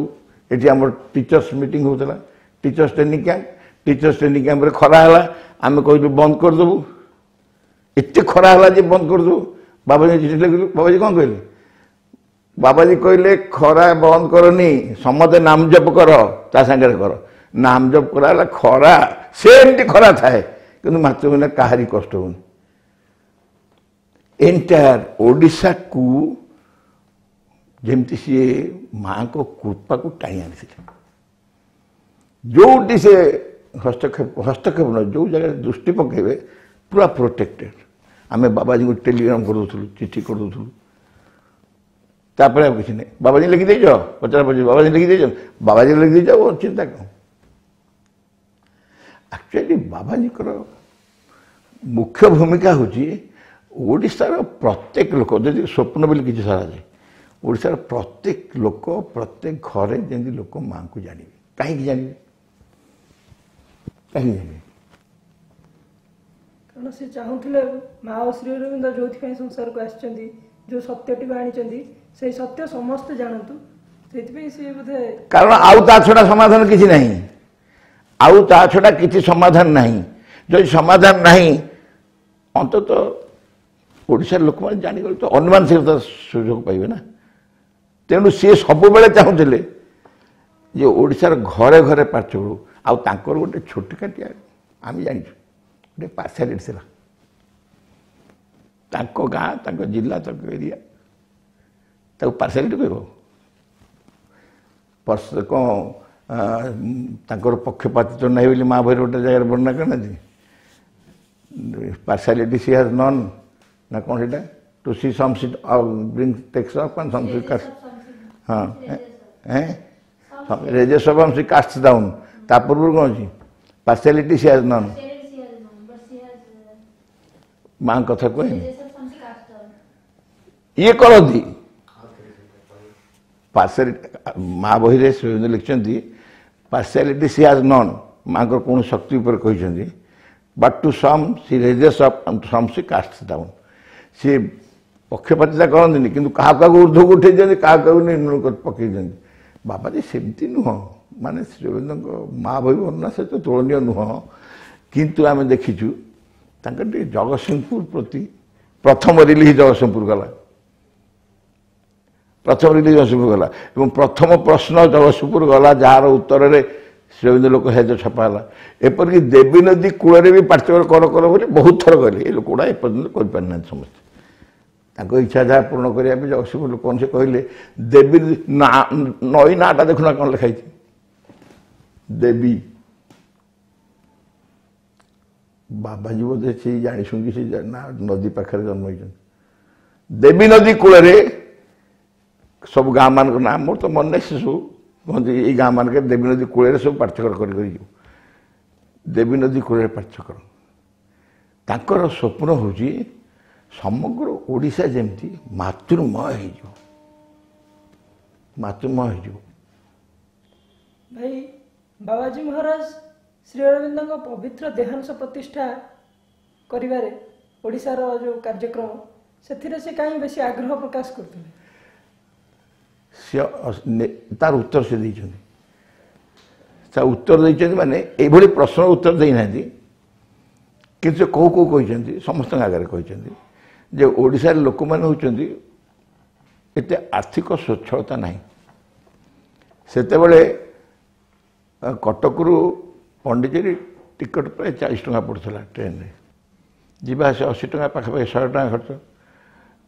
ଏଠି ଆମର ଟିଚର୍ସ ମିଟିଂ ହେଉଥିଲା, teachers training camp. Teachers training କ୍ୟାମ୍ପରେ ଖରା ହେଲା, ଆମେ କହିଲୁ ବନ୍ଦ କରିଦେବୁ, ଏତେ ଖରା ହେଲା ଯେ ବନ୍ଦ କରିଦେବୁ। ବାବାଜୀ ଚିଠି ଲେଖିଲୁ। ବାବାଜୀ କ'ଣ କହିଲେ? ବାବାଜୀ କହିଲେ ଖରା ବନ୍ଦ କରନି, ସମସ୍ତେ ନାମ ଜପ କର, ତା ସାଙ୍ଗରେ କର। ନାମ ଜପ କରାହେଲା, ଖରା ସେମିତି ଖରା ଥାଏ, କିନ୍ତୁ ମାତୃଭୂମି କାହାରି କଷ୍ଟ ହେଉନି। ଏଣ୍ଟାୟାର ଓଡ଼ିଶାକୁ ଯେମିତି ସିଏ ମାଆଙ୍କ କୃପାକୁ ଟାଣି ଆଣିଥିଲେ। ଯେଉଁଠି ସେ ହସ୍ତକ୍ଷେପ, ହସ୍ତକ୍ଷେପ ନୁହେଁ, ଯେଉଁ ଜାଗାରେ ଦୃଷ୍ଟି ପକାଇବେ ପୁରା ପ୍ରୋଟେକ୍ଟେଡ଼। ଆମେ ବାବାଜୀଙ୍କୁ ଟେଲିଗ୍ରାମ କରିଦେଉଥିଲୁ, ଚିଠି କରିଦେଉଥିଲୁ, ତାପରେ ଆଉ କିଛି ନାହିଁ। ବାବାଜୀ ଲେଖିଦେଇଛ, ପଚରା ପଚରି ବାବାଜୀ ଲେଖିଦେଇଛ, ବାବାଜୀ ଲେଖିଦେଇଛ, ଆଉ ଚିନ୍ତା କ'ଣ? ଆକ୍ଚୁଆଲି ବାବାଜୀଙ୍କର ମୁଖ୍ୟ ଭୂମିକା ହେଉଛି ଓଡ଼ିଶାର ପ୍ରତ୍ୟେକ ଲୋକ, ଯଦି ସ୍ୱପ୍ନ ବୋଲି କିଛି ସରାଯାଏ, ଓଡ଼ିଶାର ପ୍ରତ୍ୟେକ ଲୋକ ପ୍ରତ୍ୟେକ ଘରେ ଯେମିତି ଲୋକ ମାଆଙ୍କୁ ଜାଣିବେ। କାହିଁକି ଜାଣିବେ? କାହିଁକି ଜାଣିବେ? କାରଣ ସେ ଚାହୁଁଥିଲେ ମା ଓ ଶ୍ରୀ ଅରବିନ୍ଦ ଯେଉଁଥିପାଇଁ ସଂସାରକୁ ଆସିଛନ୍ତି, ଯେଉଁ ସତ୍ୟଟିକୁ ଆଣିଛନ୍ତି, ସେଇ ସତ୍ୟ ସମସ୍ତେ ଜାଣନ୍ତୁ, ସେଇଥିପାଇଁ ସିଏ ବୋଧେ। କାରଣ ଆଉ ତା ଛଡ଼ା ସମାଧାନ କିଛି ନାହିଁ, ଆଉ ତା ଛଡ଼ା କିଛି ସମାଧାନ ନାହିଁ। ଯଦି ସମାଧାନ ନାହିଁ, ଅନ୍ତତଃ ଓଡ଼ିଶାର ଲୋକମାନେ ଜାଣିଗଲେ ତ ଅନୁମାନସିକତା ସୁଯୋଗ ପାଇବେ ନା। ତେଣୁ ସିଏ ସବୁବେଳେ ଚାହୁଁଥିଲେ ଯେ ଓଡ଼ିଶାର ଘରେ ଘରେ ପାଠ୍ୟକ୍ରମ। ଆଉ ତାଙ୍କର ଗୋଟେ ଛୋଟକାଟିଆ, ଆମେ ଜାଣିଛୁ, ଗୋଟେ ପାର୍ସିଆଲିଟି ଥିଲା। ତାଙ୍କ ଗାଁ, ତାଙ୍କ ଜିଲ୍ଲା, ତାଙ୍କ ଏରିଆ, ତାକୁ ପାର୍ସିଆଲିଟି କହିବ କ'ଣ? ତାଙ୍କର ପକ୍ଷପାତିତ୍ୱ ନାହିଁ ବୋଲି ମା ବହିରେ ଗୋଟେ ଜାଗାରେ ବର୍ଣ୍ଣନା କରିନାହାନ୍ତି? ପାର୍ସିଆଲିଟି ସି ହାଜ୍ ନନ୍ ନା କ'ଣ ସେଇଟା? To see some she bring takes up and some she cast, ହଁ, raises up she cast down. ତା ପୂର୍ବରୁ କ'ଣ ଅଛି? ପାର୍ସିଆଲିଟି ସି ହାଜ୍ ନନ୍, ମାଙ୍କ କଥା କୁହେନି। ଇଏ କରନ୍ତି ପାର୍ସିଆଲିଟି। ମା ବହିରେ ଶ୍ରୀଅରବିନ୍ଦ ଲେଖିଛନ୍ତି ପାର୍ସିଆଲିଟି ସି ହାଜ୍ ନନ୍, ମାଙ୍କର କୌଣସି ଶକ୍ତି ଉପରେ କହିଛନ୍ତି, but to some she raises up, some she cast down. ସିଏ ପକ୍ଷପାତିତା କରନ୍ତିନି, କିନ୍ତୁ କାହାକୁ କାହାକୁ ଉର୍ଦ୍ଧ୍ୱକୁ ଉଠେଇ ଦିଅନ୍ତି, କାହାକୁ କାହାକୁ ନିମ୍ନକୁ ପକେଇ ଦିଅନ୍ତି। ବାବାଜୀ ସେମିତି ନୁହଁ, ମାନେ ଶ୍ରୀଅରବିନ୍ଦଙ୍କ ମା ବହି ବର୍ଣ୍ଣନା ସହିତ ତୁଳନୀୟ ନୁହଁ, କିନ୍ତୁ ଆମେ ଦେଖିଛୁ ତାଙ୍କର ଟିକେ ଜଗତସିଂହପୁର ପ୍ରତି। ପ୍ରଥମ ରିଲିଜ୍ ଜଗତସିଂହପୁର ଗଲା, ପ୍ରଥମ ରିଲିଜ୍ ଜଗତସିଂହପୁର ଗଲା ଏବଂ ପ୍ରଥମ ପ୍ରଶ୍ନ ଜଗତସିଂହପୁର ଗଲା, ଯାହାର ଉତ୍ତରରେ ଶ୍ରୀଅରବିନ୍ଦ ଲୋକ ସାହିତ୍ୟ ଛପା ହେଲା। ଏପରିକି ଦେବୀ ନଦୀ କୂଳରେ ବି ପାଠ୍ୟକ୍ରମ କର କର ବୋଲି ବହୁତ ଥର କହିଲେ। ଏ ଲୋକଗୁଡ଼ା ଏପର୍ଯ୍ୟନ୍ତ କରିପାରିନାହାନ୍ତି ସମସ୍ତେ। ତାଙ୍କ ଇଚ୍ଛା ଯାହା ପୂରଣ କରିବା ପାଇଁ ଜଗତସିଂହପୁର ଲୋକମାନେ ସେ କହିଲେ ଦେବୀ ନା, ନଈ ନାଁଟା ଦେଖୁନା କ'ଣ ଲେଖା ହେଇଛି, ଦେବୀ। ବାବାଜୀ ବୋଧେ ସେଇ ଜାଣି ଶୁଣିକି ସେ ନା ନଦୀ ପାଖରେ ଜନ୍ମ ହେଇଛନ୍ତି। ଦେବୀ ନଦୀ କୂଳରେ ସବୁ ଗାଁ ମାନଙ୍କ ନାଁ ମୋର ତ ମନେ ନାହିଁ, ସେ ସବୁ କୁହନ୍ତି ଏଇ ଗାଁ ମାନଙ୍କରେ ଦେବୀ ନଦୀ କୂଳରେ ସବୁ ପାଠ୍ୟକ୍ରମ କରି କରି ଯିବୁ। ଦେବୀ ନଦୀ କୂଳରେ ପାଠ୍ୟକ୍ରମ, ତାଙ୍କର ସ୍ୱପ୍ନ ହେଉଛି ସମଗ୍ର ଓଡ଼ିଶା ଯେମିତି ମାତୃମୟ ହେଇଯିବ, ମାତୃମୟ ହେଇଯିବ। ଭାଇ, ବାବାଜୀ ମହାରାଜ ଶ୍ରୀ ଅରବିନ୍ଦଙ୍କ ପବିତ୍ର ଦେହାଂଶ ପ୍ରତିଷ୍ଠା କରିବାରେ ଓଡ଼ିଶାର ଯେଉଁ କାର୍ଯ୍ୟକ୍ରମ, ସେଥିରେ ସେ କାହିଁ ବେଶୀ ଆଗ୍ରହ ପ୍ରକାଶ କରୁଥିଲେ? ସେ ତାର ଉତ୍ତର ସେ ଦେଇଛନ୍ତି। ତା ଉତ୍ତର ଦେଇଛନ୍ତି ମାନେ ଏଇଭଳି ପ୍ରଶ୍ନର ଉତ୍ତର ଦେଇନାହାନ୍ତି, କିନ୍ତୁ ସେ କେଉଁ କେଉଁ କହିଛନ୍ତି, ସମସ୍ତଙ୍କ ଆଗରେ କହିଛନ୍ତି ଯେ ଓଡ଼ିଶାର ଲୋକମାନେ ହେଉଛନ୍ତି ଏତେ ଆର୍ଥିକ ସ୍ୱଚ୍ଛଳତା ନାହିଁ। ସେତେବେଳେ କଟକରୁ ପଣ୍ଡିଚେରୀ ଟିକଟ ପ୍ରାୟ ଚାଳିଶ ଟଙ୍କା ପଡ଼ୁଥିଲା ଟ୍ରେନରେ, ଯିବା ଆସିବା ଅଶୀ ଟଙ୍କା ପାଖାପାଖି ଶହେ ଟଙ୍କା ଖର୍ଚ୍ଚ।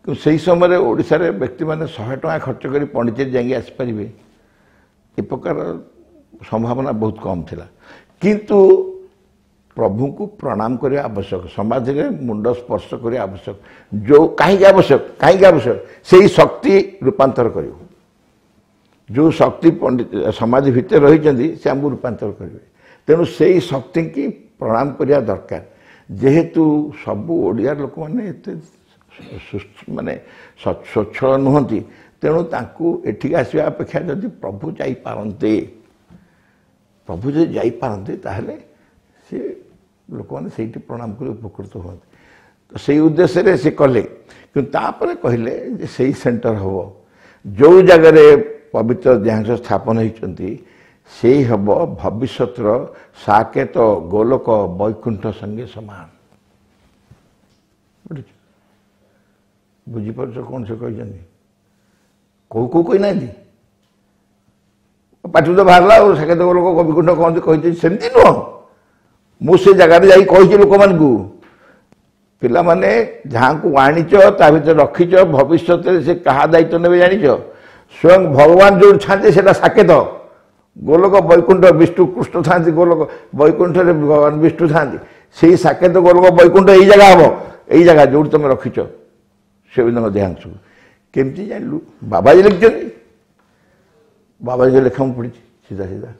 କିନ୍ତୁ ସେହି ସମୟରେ ଓଡ଼ିଶାରେ ବ୍ୟକ୍ତିମାନେ ଶହେ ଟଙ୍କା ଖର୍ଚ୍ଚ କରି ପଣ୍ଡିଚେରୀ ଯାଇକି ଆସିପାରିବେ ଏ ପ୍ରକାର ସମ୍ଭାବନା ବହୁତ କମ୍ ଥିଲା। କିନ୍ତୁ ପ୍ରଭୁଙ୍କୁ ପ୍ରଣାମ କରିବା ଆବଶ୍ୟକ, ସମାଧିରେ ମୁଣ୍ଡ ସ୍ପର୍ଶ କରିବା ଆବଶ୍ୟକ। ଯେଉଁ କାହିଁକି ଆବଶ୍ୟକ, କାହିଁକି ଆବଶ୍ୟକ? ସେଇ ଶକ୍ତି ରୂପାନ୍ତର କରିବ। ଯେଉଁ ଶକ୍ତି ପଣ୍ଡିତ ସମାଧି ଭିତରେ ରହିଛନ୍ତି ସେ ଆମକୁ ରୂପାନ୍ତର କରିବେ। ତେଣୁ ସେଇ ଶକ୍ତିକି ପ୍ରଣାମ କରିବା ଦରକାର। ଯେହେତୁ ସବୁ ଓଡ଼ିଆ ଲୋକମାନେ ଏତେ ମାନେ ସ୍ୱଚ୍ଛଳ ନୁହନ୍ତି, ତେଣୁ ତାଙ୍କୁ ଏଠିକି ଆସିବା ଅପେକ୍ଷା ଯଦି ପ୍ରଭୁ ଯାଇପାରନ୍ତେ, ପ୍ରଭୁ ଯଦି ଯାଇପାରନ୍ତେ ତାହେଲେ ସେ ଲୋକମାନେ ସେଇଠି ପ୍ରଣାମ କରି ଉପକୃତ ହୁଅନ୍ତେ। ତ ସେଇ ଉଦ୍ଦେଶ୍ୟରେ ସେ କଲେ। କିନ୍ତୁ ତାପରେ କହିଲେ ଯେ ସେଇ ସେଣ୍ଟର ହେବ ଯେଉଁ ଜାଗାରେ ପବିତ୍ର ଦେହାଂଶ ସ୍ଥାପନ ହେଇଛନ୍ତି, ସେଇ ହେବ ଭବିଷ୍ୟତର ସାକେତ ଗୋଲକ ବୈକୁଣ୍ଠ ସଙ୍ଗେ ସମାନ। ବୁଝୁଛ, ବୁଝିପାରୁଛ କ'ଣ ସେ କହିଛନ୍ତି? କେଉଁ କେଉଁ କହିନାହାନ୍ତି, ପାଟିରୁ ତ ବାହାରିଲା ଆଉ ସାକେତ ଗୋଲକ ବୈକୁଣ୍ଠ କହନ୍ତି କହିଛନ୍ତି, ସେମିତି ନୁହଁ। ମୁଁ ସେ ଜାଗାରେ ଯାଇ କହିଛି ଲୋକମାନଙ୍କୁ, ପିଲାମାନେ ଯାହାଙ୍କୁ ଆଣିଛ ତା ଭିତରେ ରଖିଛ, ଭବିଷ୍ୟତରେ ସେ କାହା ଦାୟିତ୍ୱ ନେବେ ଜାଣିଛ? ସ୍ୱୟଂ ଭଗବାନ ଯେଉଁଠି ଥାନ୍ତି ସେଇଟା ସାକେତ ଗୋଲକ ବୈକୁଣ୍ଠ। ବିଷ୍ଣୁ କୃଷ୍ଣ ଥାନ୍ତି ଗୋଲକ ବୈକୁଣ୍ଠରେ, ଭଗବାନ ବିଷ୍ଣୁ ଥାନ୍ତି, ସେଇ ସାକେତ ଗୋଲକ ବୈକୁଣ୍ଠ ଏଇ ଜାଗା ହେବ, ଏଇ ଜାଗା ଯେଉଁଠି ତୁମେ ରଖିଛ ଶ୍ରୀଅରବିନ୍ଦଙ୍କ ଦେହାଂଶକୁ। କେମିତି ଜାଣିଲୁ? ବାବାଜୀ ଲେଖିଛନ୍ତି, ବାବାଜୀଙ୍କ ଲେଖା ମୁଁ ପଢ଼ିଛି ସିଧା ସିଧା।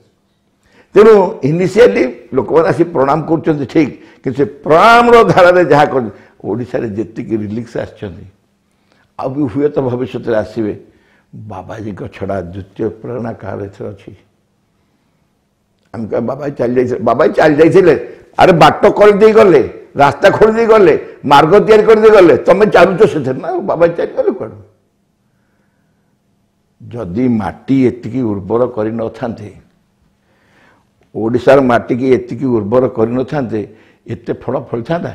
ତେଣୁ ଇନିସିଆଲି ଲୋକମାନେ ଆସି ପ୍ରଣାମ କରୁଛନ୍ତି ଠିକ୍, କିନ୍ତୁ ସେ ପ୍ରଣାମର ଧାରାରେ ଯାହା କରୁଛନ୍ତି, ଓଡ଼ିଶାରେ ଯେତିକି ରିଲିକ୍ସ ଆସିଛନ୍ତି ଆଉ ବି ହୁଏତ ଭବିଷ୍ୟତରେ ଆସିବେ, ବାବାଜୀଙ୍କ ଛଡ଼ା ଦ୍ୱିତୀୟ ପ୍ରେରଣା କାହାର ଏଥିରେ ଅଛି? ଆମେ କହିବା ବାବାଜୀ ଚାଲି ଯାଇଥିଲେ, ବାବାଜୀ ଚାଲି ଯାଇଥିଲେ, ଆରେ ବାଟ କରିଦେଇ ଗଲେ, ରାସ୍ତା ଖୋଲି ଦେଇ ଗଲେ, ମାର୍ଗ ତିଆରି କରିଦେଇ ଗଲେ, ତମେ ଚାଲୁଛ ସେଥିରେ ନା, ବାବାଜୀ ଚାଲିଗଲେ କୁଆଡ଼ୁ? ଯଦି ମାଟି ଏତିକି ଉର୍ବର କରିନଥାନ୍ତେ, ଓଡ଼ିଶାର ମାଟିକି ଏତିକି ଉର୍ବର କରିନଥାନ୍ତେ, ଏତେ ଫଳ ଫଳିଥାନ୍ତା?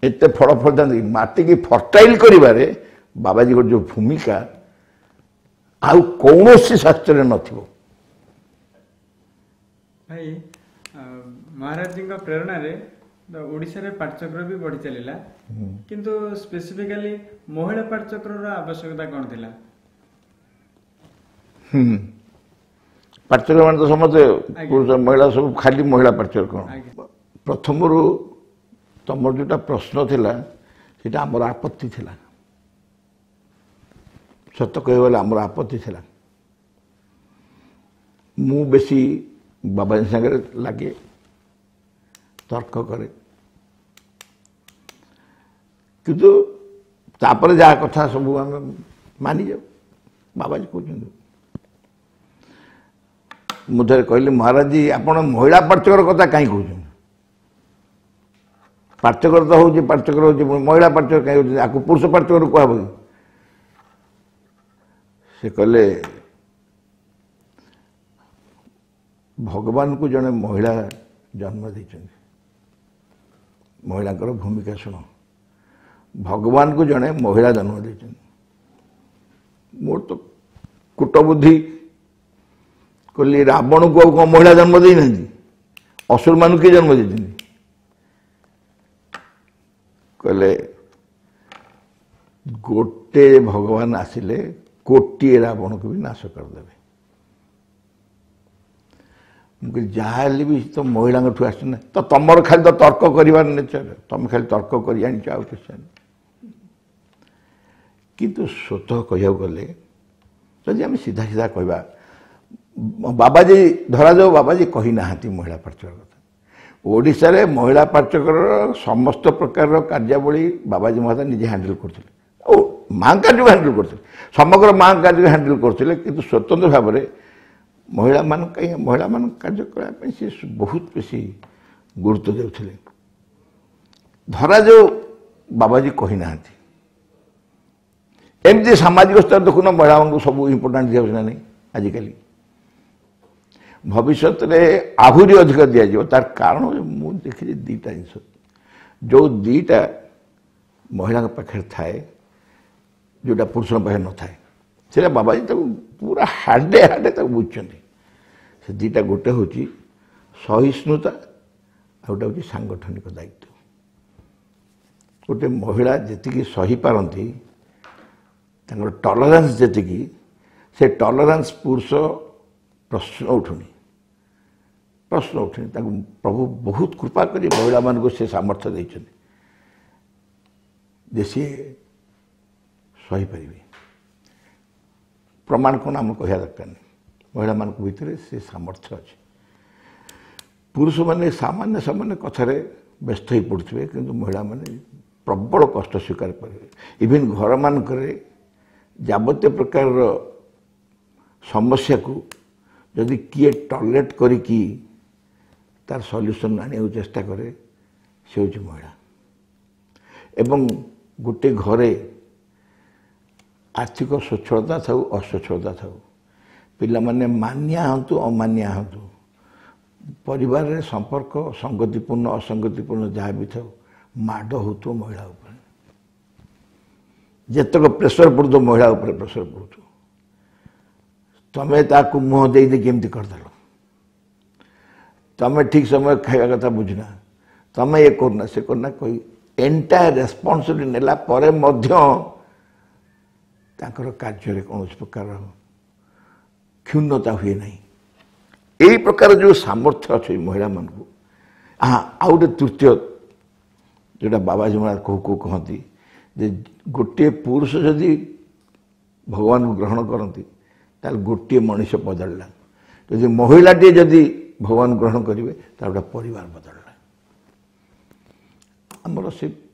ଏତେ ଫଳ ଫଳିଥାନ୍ତା? ମାଟିକି ଫର୍ଟାଇଲ୍ କରିବାରେ ବାବାଜୀଙ୍କର ଯେଉଁ ଭୂମିକା ଆଉ କୌଣସି ଶାସ୍ତ୍ରରେ ନଥିବ। ଭାଇ, ମହାରାଜଜୀଙ୍କ ପ୍ରେରଣାରେ ଓଡ଼ିଶାରେ ପାଠଚକ୍ର ବି ବଢ଼ି ଚାଲିଲା, କିନ୍ତୁ ସ୍ପେସିଫିକାଲି ମହିଳା ପାଠଚକ୍ରର ଆବଶ୍ୟକତା କ'ଣ ଥିଲା? ହୁଁ, ପାଠଚକ୍ର ମାନେ ତ ସମସ୍ତେ ପୁରୁଷ ମହିଳା ସବୁ, ଖାଲି ମହିଳା ପାଠଚକ୍ର କ'ଣ? ପ୍ରଥମରୁ ତମର ଯେଉଁଟା ପ୍ରଶ୍ନ ଥିଲା ସେଇଟା ଆମର ଆପତ୍ତି ଥିଲା। ସତ କହିବାକୁ ଗଲେ ଆମର ଆପତ୍ତି ଥିଲା। ମୁଁ ବେଶୀ ବାବାଜୀ ସାଙ୍ଗରେ ଲାଗେ, ତର୍କ କରେ, କିନ୍ତୁ ତାପରେ ଯାହା କଥା ସବୁ ଆମେ ମାନିଯାଉ, ବାବାଜୀ କହୁଛନ୍ତି। ମୁଁ ଥରେ କହିଲି, ମହାରାଜଜୀ ଆପଣ ମହିଳା ପାଠଚକ୍ର କଥା କାହିଁ କହୁଛନ୍ତି? ପାଠଚକ୍ର ତ ହେଉଛି, ପାଠଚକ୍ର ହେଉଛି, ମହିଳା ପାଠଚକ୍ର କାହିଁ କହୁଛନ୍ତି? ଆକୁ ପୁରୁଷ ପାଠଚକ୍ର କୁହାହବ କି? ସେ କହିଲେ, ଭଗବାନଙ୍କୁ ଜଣେ ମହିଳା ଜନ୍ମ ଦେଇଛନ୍ତି। ମହିଳାଙ୍କର ଭୂମିକା ଶୁଣ, ଭଗବାନଙ୍କୁ ଜଣେ ମହିଳା ଜନ୍ମ ଦେଇଛନ୍ତି। ମୋର ତ କୂଟବୁଦ୍ଧି, କହିଲି ରାବଣକୁ ଆଉ କ'ଣ ମହିଳା ଜନ୍ମ ଦେଇନାହାନ୍ତି? ଅସୁରମାନଙ୍କୁ କିଏ ଜନ୍ମ ଦେଇଛନ୍ତି? କହିଲେ ଗୋଟେ ଭଗବାନ ଆସିଲେ କୋଟିଏ ରାବଣକୁ ବି ନାଶ କରିଦେବେ। ମୁଁ କହିଲି ଯାହା ହେଲେ ବି ତ ମହିଳାଙ୍କଠୁ ଆସିଛି ନା, ତ ତମର ଖାଲି ତ ତର୍କ କରିବାର ନେଚର, ତମେ ଖାଲି ତର୍କ କରି ଆଣିଛ ଆଉ କିଛି ଜାଣିନ। କିନ୍ତୁ ସ୍ୱତଃ କହିବାକୁ ଗଲେ ଯଦି ଆମେ ସିଧା ସିଧା କହିବା, ବାବାଜୀ ଧରାଯାଉ ବାବାଜୀ କହିନାହାନ୍ତି ମହିଳା ପାଠଚକ୍ର କଥା, ଓଡ଼ିଶାରେ ମହିଳା ପାଠ୍ୟକ୍ରମର ସମସ୍ତ ପ୍ରକାରର କାର୍ଯ୍ୟାବଳୀ ବାବାଜୀ ମହାରାଜ ନିଜେ ହ୍ୟାଣ୍ଡେଲ୍ କରୁଥିଲେ ଆଉ ମାଙ୍କ କାର୍ଯ୍ୟକୁ ହ୍ୟାଣ୍ଡେଲ୍ କରୁଥିଲେ, ସମଗ୍ର ମାଙ୍କ କାର୍ଯ୍ୟକୁ ହ୍ୟାଣ୍ଡେଲ୍ କରୁଥିଲେ। କିନ୍ତୁ ସ୍ୱତନ୍ତ୍ର ଭାବରେ ମହିଳାମାନଙ୍କ ପାଇଁ ମହିଳାମାନଙ୍କ କାର୍ଯ୍ୟ କରିବା ପାଇଁ ସେ ବହୁତ ବେଶୀ ଗୁରୁତ୍ୱ ଦେଉଥିଲେ। ଧରାଯାଉ ବାବାଜୀ କହିନାହାନ୍ତି, ଏମିତି ସାମାଜିକ ସ୍ତର ଦେଖୁନ ମହିଳାମାନଙ୍କୁ ସବୁ ଇମ୍ପୋର୍ଟାଣ୍ଟ ଦିଆଯାଉଛି ନା ନାହିଁ ଆଜିକାଲି, ଭବିଷ୍ୟତରେ ଆହୁରି ଅଧିକ ଦିଆଯିବ। ତାର କାରଣ ମୁଁ ଦେଖିଛି ଦୁଇଟା ଜିନିଷ, ଯେଉଁ ଦୁଇଟା ମହିଳାଙ୍କ ପାଖରେ ଥାଏ ଯେଉଁଟା ପୁରୁଷଙ୍କ ପାଖରେ ନଥାଏ, ସେଇଟା ବାବାଜୀ ତାକୁ ପୁରା ହାଡ଼େ ହାଡ଼େ ତାକୁ ବୁଝିଛନ୍ତି। ସେ ଦୁଇଟା, ଗୋଟେ ହେଉଛି ସହିଷ୍ଣୁତା ଆଉ ଗୋଟେ ହେଉଛି ସାଙ୍ଗଠନିକ ଦାୟିତ୍ୱ। ଗୋଟେ ମହିଳା ଯେତିକି ସହିପାରନ୍ତି, ତାଙ୍କର ଟଲରାନ୍ସ ଯେତିକି, ସେ ଟଲରାନ୍ସ ପୁରୁଷ ପ୍ରଶ୍ନ ଉଠୁନି, ପ୍ରଶ୍ନ ଉଠୁନି। ତାଙ୍କୁ ପ୍ରଭୁ ବହୁତ କୃପା କରି ମହିଳାମାନଙ୍କୁ ସେ ସାମର୍ଥ୍ୟ ଦେଇଛନ୍ତି ଯେ ସିଏ ସହିପାରିବେ। ପ୍ରମାଣ କ'ଣ ଆମେ କହିବା ଦରକାର ନାହିଁ, ମହିଳାମାନଙ୍କ ଭିତରେ ସେ ସାମର୍ଥ୍ୟ ଅଛି। ପୁରୁଷମାନେ ସାମାନ୍ୟ ସାମାନ୍ୟ କଥାରେ ବ୍ୟସ୍ତ ହୋଇ ପଡ଼ୁଥିବେ, କିନ୍ତୁ ମହିଳାମାନେ ପ୍ରବଳ କଷ୍ଟ ସ୍ୱୀକାର କରିବେ। ଇଭିନ୍ ଘରମାନଙ୍କରେ ଯାବତୀୟ ପ୍ରକାରର ସମସ୍ୟାକୁ ଯଦି କିଏ ଟଲରେଟ୍ କରିକି ତାର ସଲ୍ୟୁସନ୍ ଆଣିବାକୁ ଚେଷ୍ଟା କରେ, ସେ ହେଉଛି ମହିଳା। ଏବଂ ଗୋଟେ ଘରେ ଆର୍ଥିକ ସ୍ୱଚ୍ଛଳତା ଥାଉ ଅସ୍ୱଚ୍ଛଳତା ଥାଉ, ପିଲାମାନେ ମାନିଆ ହୁଅନ୍ତୁ ଅମାନିଆ ହୁଅନ୍ତୁ, ପରିବାରରେ ସମ୍ପର୍କ ସଙ୍ଗତିପୂର୍ଣ୍ଣ ଅସଙ୍ଗତିପୂର୍ଣ୍ଣ ଯାହା ବି ଥାଉ, ମାଡ଼ ହେଉଥିବ ମହିଳା ଉପରେ। ଯେତେକ ପ୍ରେସର ପଡ଼ୁଥିବ ମହିଳା ଉପରେ ପ୍ରେସର ପଡ଼ୁଥିବ, ତମେ ତାକୁ ମୁହଁ ଦେଇ ଦେଇକି ଏମିତି କରିଦେଲ, ତମେ ଠିକ୍ ସମୟ ଖାଇବା କଥା ବୁଝୁନା, ତମେ ଇଏ କରୁନା ସେ କରୁନା କହି ଏଣ୍ଟାୟାର ରେସ୍ପନ୍ସିବିଲିଟି ନେଲା ପରେ ମଧ୍ୟ ତାଙ୍କର କାର୍ଯ୍ୟରେ କୌଣସି ପ୍ରକାର କ୍ଷୁଣ୍ଣତା ହୁଏ ନାହିଁ। ଏଇ ପ୍ରକାର ଯେଉଁ ସାମର୍ଥ୍ୟ ଅଛି ମହିଳାମାନଙ୍କୁ। ହଁ, ଆଉ ଗୋଟେ ତୃତୀୟ ଯେଉଁଟା ବାବାଜୀ ମହାରାଜ କହୁ କହୁ କହନ୍ତି ଯେ ଗୋଟିଏ ପୁରୁଷ ଯଦି ଭଗବାନଙ୍କୁ ଗ୍ରହଣ କରନ୍ତି ତାହେଲେ ଗୋଟିଏ ମଣିଷ ବଦଳିଲା, ଯଦି ମହିଳାଟିଏ ଯଦି ଭଗବାନ ଗ୍ରହଣ କରିବେ ତାହେଲେ ଗୋଟେ ପରିବାର ବଦଳିଲା। ଆମର ସେ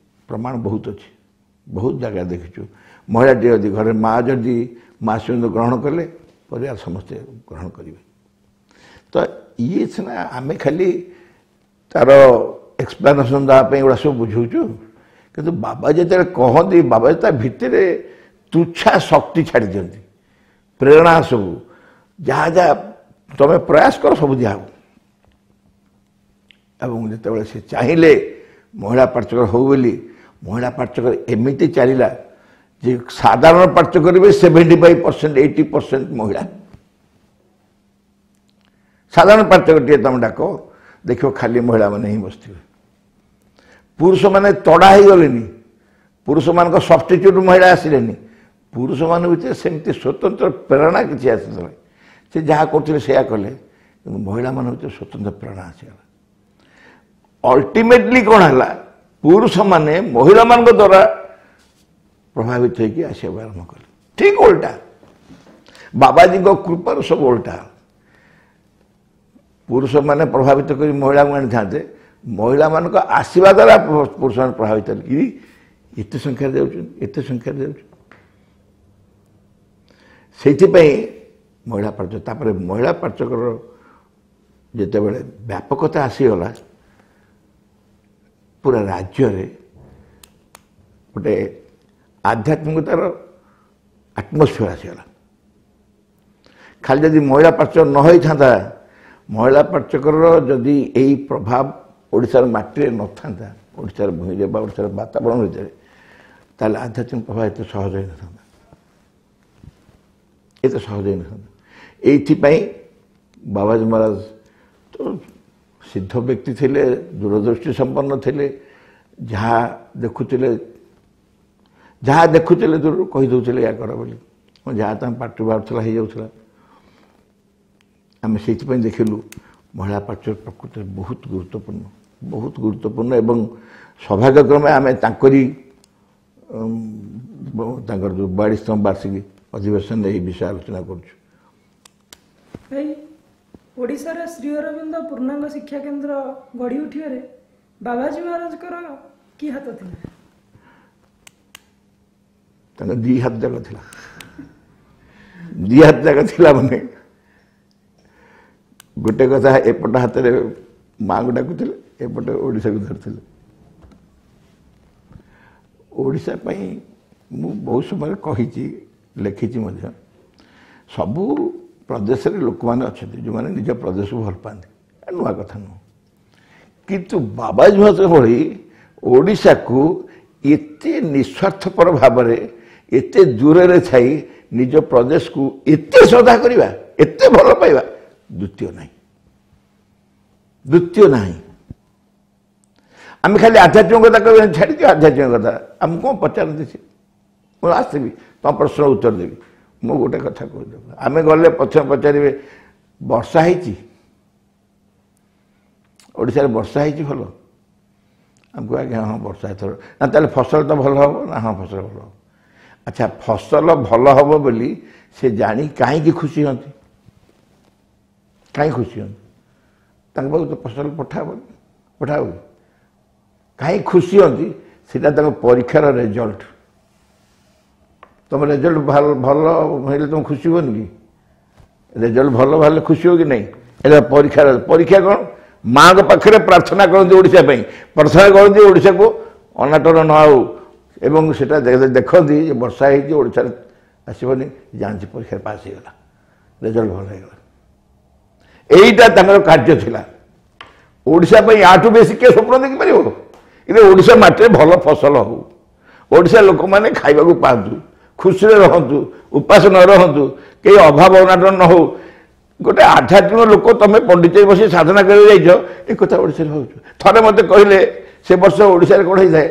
ପ୍ରମାଣ ବହୁତ ଅଛି, ବହୁତ ଜାଗା ଦେଖିଛୁ। ମହିଳାଟିଏ ଯଦି ଘରେ ମା ଯଦି ମା ସହିତ ଗ୍ରହଣ କଲେ ପରିବାର ସମସ୍ତେ ଗ୍ରହଣ କରିବେ। ତ ଇଏ ସିନା ଆମେ ଖାଲି ତାର ଏକ୍ସପ୍ଲାନେସନ୍ ଦେବା ପାଇଁ ଏଗୁଡ଼ା ସବୁ ବୁଝାଉଛୁ, କିନ୍ତୁ ବାବା ଯେତେବେଳେ କହନ୍ତି, ବାବା ତା ଭିତରେ ତୁଚ୍ଛା ଶକ୍ତି ଛାଡ଼ି ଦିଅନ୍ତି, ପ୍ରେରଣା ସବୁ ଯାହା ଯାହା ତମେ ପ୍ରୟାସ କର ସବୁ ଦିଆହେବ। ଏବଂ ଯେତେବେଳେ ସେ ଚାହିଁଲେ ମହିଳା ପାଠ୍ୟକ୍ରମ ହଉ ବୋଲି, ମହିଳା ପାଠ୍ୟକ୍ରମ ଏମିତି ଚାଲିଲା ଯେ ସାଧାରଣ ପାଠ୍ୟକ୍ରମ ବି seventy five percent eighty percent ମହିଳା। ସାଧାରଣ ପାଠ୍ୟକ୍ରମଟିଏ ତମେ ଡାକ ଦେଖିବ ଖାଲି ମହିଳାମାନେ ହିଁ ବସିଥିବେ, ପୁରୁଷମାନେ ତଡ଼ା ହେଇଗଲେନି, ପୁରୁଷମାନଙ୍କ ସବଷ୍ଟିଚ୍ୟୁଟ୍ ମହିଳା ଆସିଲେନି, ପୁରୁଷମାନଙ୍କ ଭିତରେ ସେମିତି ସ୍ୱତନ୍ତ୍ର ପ୍ରେରଣା କିଛି ଆସିଥିଲା, ସେ ଯାହା କରୁଥିଲେ ସେଇଆ କଲେ, କିନ୍ତୁ ମହିଳାମାନଙ୍କ ଭିତରେ ସ୍ୱତନ୍ତ୍ର ପ୍ରେରଣା ଆସିଗଲା। ଅଲ୍ଟିମେଟଲି କ'ଣ ହେଲା, ପୁରୁଷମାନେ ମହିଳାମାନଙ୍କ ଦ୍ୱାରା ପ୍ରଭାବିତ ହେଇକି ଆସିବାକୁ ଆରମ୍ଭ କଲେ। ଠିକ୍ ଓଲଟା, ବାବାଜୀଙ୍କ କୃପାରୁ ସବୁ ଓଲଟା। ପୁରୁଷମାନେ ପ୍ରଭାବିତ କରି ମହିଳାଙ୍କୁ ଆଣିଥାନ୍ତେ, ମହିଳାମାନଙ୍କ ଆସିବା ଦ୍ୱାରା ପୁରୁଷମାନେ ପ୍ରଭାବିତ ହେଲେ କି ଏତେ ସଂଖ୍ୟାରେ ଯାଉଛନ୍ତି, ଏତେ ସଂଖ୍ୟାରେ ଯାଉଛନ୍ତି। ସେଇଥିପାଇଁ ମହିଳା ପାଠ୍ୟ, ତାପରେ ମହିଳା ପାଠ୍ୟକ୍ରମର ଯେତେବେଳେ ବ୍ୟାପକତା ଆସିଗଲା ପୁରା ରାଜ୍ୟରେ ଗୋଟେ ଆଧ୍ୟାତ୍ମିକତାର ଆଟମୋସ୍ଫିୟର ଆସିଗଲା। ଖାଲି ଯଦି ମହିଳା ପାଠ୍ୟକ୍ରମ ନ ହେଇଥାନ୍ତା, ମହିଳା ପାଠ୍ୟକ୍ରମର ଯଦି ଏଇ ପ୍ରଭାବ ଓଡ଼ିଶାର ମାଟିରେ ନଥାନ୍ତା, ଓଡ଼ିଶାର ଭୂଇଁରେ ବା ଓଡ଼ିଶାର ବାତାବରଣ ଭିତରେ, ତାହେଲେ ଆଧ୍ୟାତ୍ମିକ ପ୍ରଭାବ ଏତେ ସହଜ ହେଇନଥାନ୍ତା, ଏତେ ସହଜ ହେଇନଥାନ୍ତା। ଏଇଥିପାଇଁ ବାବାଜୀ ମହାରାଜ ତ ସିଦ୍ଧ ବ୍ୟକ୍ତି ଥିଲେ, ଦୂରଦୃଷ୍ଟି ସମ୍ପନ୍ନ ଥିଲେ, ଯାହା ଦେଖୁଥିଲେ ଯାହା ଦେଖୁଥିଲେ ଦୂରରୁ କହିଦେଉଥିଲେ ଏହା କର ବୋଲି, ଯାହା ତାଙ୍କ ପାଟିରୁ ବାହାରୁଥିଲା ହେଇଯାଉଥିଲା। ଆମେ ସେଇଥିପାଇଁ ଦେଖିଲୁ ମହିଳା ପାଠ୍ୟ ପ୍ରକୃତରେ ବହୁତ ଗୁରୁତ୍ୱପୂର୍ଣ୍ଣ, ବହୁତ ଗୁରୁତ୍ୱପୂର୍ଣ୍ଣ। ଏବଂ ସୌଭାଗ୍ୟକ୍ରମେ ଆମେ ତାଙ୍କରି ତାଙ୍କର ଯେଉଁ ବୟାଳିଶତମ ବାର୍ଷିକୀ ଅଧିବେଶନରେ ଏହି ବିଷୟ ଆଲୋଚନା କରୁଛୁ। ଭାଇ, ଓଡ଼ିଶାରେ ଶ୍ରୀ ଅରବିନ୍ଦ ପୂର୍ଣ୍ଣାଙ୍ଗ ଶିକ୍ଷା କେନ୍ଦ୍ର ଗଢ଼ି ଉଠିବାରେ ବାବାଜୀ ମହାରାଜଙ୍କର କି ହାତ ଥିଲା? ତାଙ୍କ ଦି ହାତ ଯାକ ଥିଲା। ଦି ହାତ ଯାକ ଥିଲା ମାନେ ଗୋଟେ କଥା, ଏପଟ ହାତରେ ମାଆଙ୍କୁ ଡାକୁଥିଲେ, ଏପଟେ ଓଡ଼ିଶାକୁ ଧରିଥିଲେ। ଓଡ଼ିଶା ପାଇଁ ମୁଁ ବହୁତ ସମୟରେ କହିଛି, ଲେଖିଛି ମଧ୍ୟ। ସବୁ ପ୍ରଦେଶରେ ଲୋକମାନେ ଅଛନ୍ତି ଯେଉଁମାନେ ନିଜ ପ୍ରଦେଶକୁ ଭଲ ପାଆନ୍ତି, ନୂଆ କଥା ନୁହଁ। କିନ୍ତୁ ବାବାଜୀ ମହାରାଜ ଭଳି ଓଡ଼ିଶାକୁ ଏତେ ନିସ୍ୱାର୍ଥପର ଭାବରେ ଏତେ ଦୂରରେ ଥାଇ ନିଜ ପ୍ରଦେଶକୁ ଏତେ ଶ୍ରଦ୍ଧା କରିବା, ଏତେ ଭଲ ପାଇବା, ଦ୍ୱିତୀୟ ନାହିଁ, ଦ୍ୱିତୀୟ ନାହିଁ। ଆମେ ଖାଲି ଆଧ୍ୟାତ୍ମିକ କଥା କହିବା, ଛାଡ଼ିଦିଅ ଆଧ୍ୟାତ୍ମିକ କଥା। ଆମକୁ କ'ଣ ପଚାରନ୍ତି ସେ? ମୁଁ ଆସିବି, ତମ ପ୍ରଶ୍ନର ଉତ୍ତର ଦେବି। ମୁଁ ଗୋଟେ କଥା କହୁଛି, ଆମେ ଗଲେ ପ୍ରଥମେ ପଚାରିବେ ବର୍ଷା ହେଇଛି ଓଡ଼ିଶାରେ? ବର୍ଷା ହେଇଛି ଭଲ? ଆମକୁ ଆଜ୍ଞା ହଁ ବର୍ଷା ଏଥର। ନା ତାହେଲେ ଫସଲ ତ ଭଲ ହେବ? ନା ହଁ ଫସଲ ଭଲ ହେବ। ଆଚ୍ଛା, ଫସଲ ଭଲ ହେବ ବୋଲି ସେ ଜାଣି କାହିଁକି ଖୁସି ହୁଅନ୍ତି? କାହିଁ ଖୁସି ହୁଅନ୍ତି? ତାଙ୍କ ପାଖକୁ ତ ଫସଲ ପଠାହବନି, ପଠାହବ କି? କାହିଁ ଖୁସି ହୁଅନ୍ତି? ସେଇଟା ତାଙ୍କ ପରୀକ୍ଷାର ରେଜଲ୍ଟ। ତୁମ ରେଜଲ୍ଟ ଭଲ ହେଲେ ତୁମେ ଖୁସି ହୁଅନି କି? ରେଜଲ୍ଟ ଭଲ ବାହାରିଲେ ଖୁସି ହୁଅ କି ନାହିଁ? ଏଇଟା ପରୀକ୍ଷାର। ପରୀକ୍ଷା କ'ଣ? ମାଆଙ୍କ ପାଖରେ ପ୍ରାର୍ଥନା କରନ୍ତି ଓଡ଼ିଶା ପାଇଁ, ପ୍ରାର୍ଥନା କରନ୍ତି ଓଡ଼ିଶାକୁ ଅନାଟନ ନ ହଉ, ଏବଂ ସେଟା ଦେଖନ୍ତି ଯେ ବର୍ଷା ହେଇଛି ଓଡ଼ିଶାରେ ଆସିବନି, ଜାଣିଛି ପରୀକ୍ଷାରେ ପାସ୍ ହେଇଗଲା, ରେଜଲ୍ଟ ଭଲ ହେଇଗଲା। ଏଇଟା ତାଙ୍କର କାର୍ଯ୍ୟ ଥିଲା ଓଡ଼ିଶା ପାଇଁ। ୟାଠୁ ବେଶୀ କିଏ ସ୍ୱପ୍ନ ଦେଖିପାରିବ? କିନ୍ତୁ ଓଡ଼ିଶା ମାଟିରେ ଭଲ ଫସଲ ହଉ, ଓଡ଼ିଶା ଲୋକମାନେ ଖାଇବାକୁ ପାଆନ୍ତୁ, ଖୁସିରେ ରହନ୍ତୁ, ଉପାସ ନ ରହନ୍ତୁ, କେହି ଅଭାବ ଅନାଟନ ନ ହଉ। ଗୋଟେ ଆଧ୍ୟାତ୍ମିକ ଲୋକ ତମେ ପଣ୍ଡିଚେରୀ ବସି ସାଧନା କରିବାକୁ ଯାଇଛ, ଏ କଥା ଓଡ଼ିଶାରେ ଭାବୁଛ? ଥରେ ମୋତେ କହିଲେ ସେ ବର୍ଷ ଓଡ଼ିଶାରେ କ'ଣ ହେଇଥାଏ,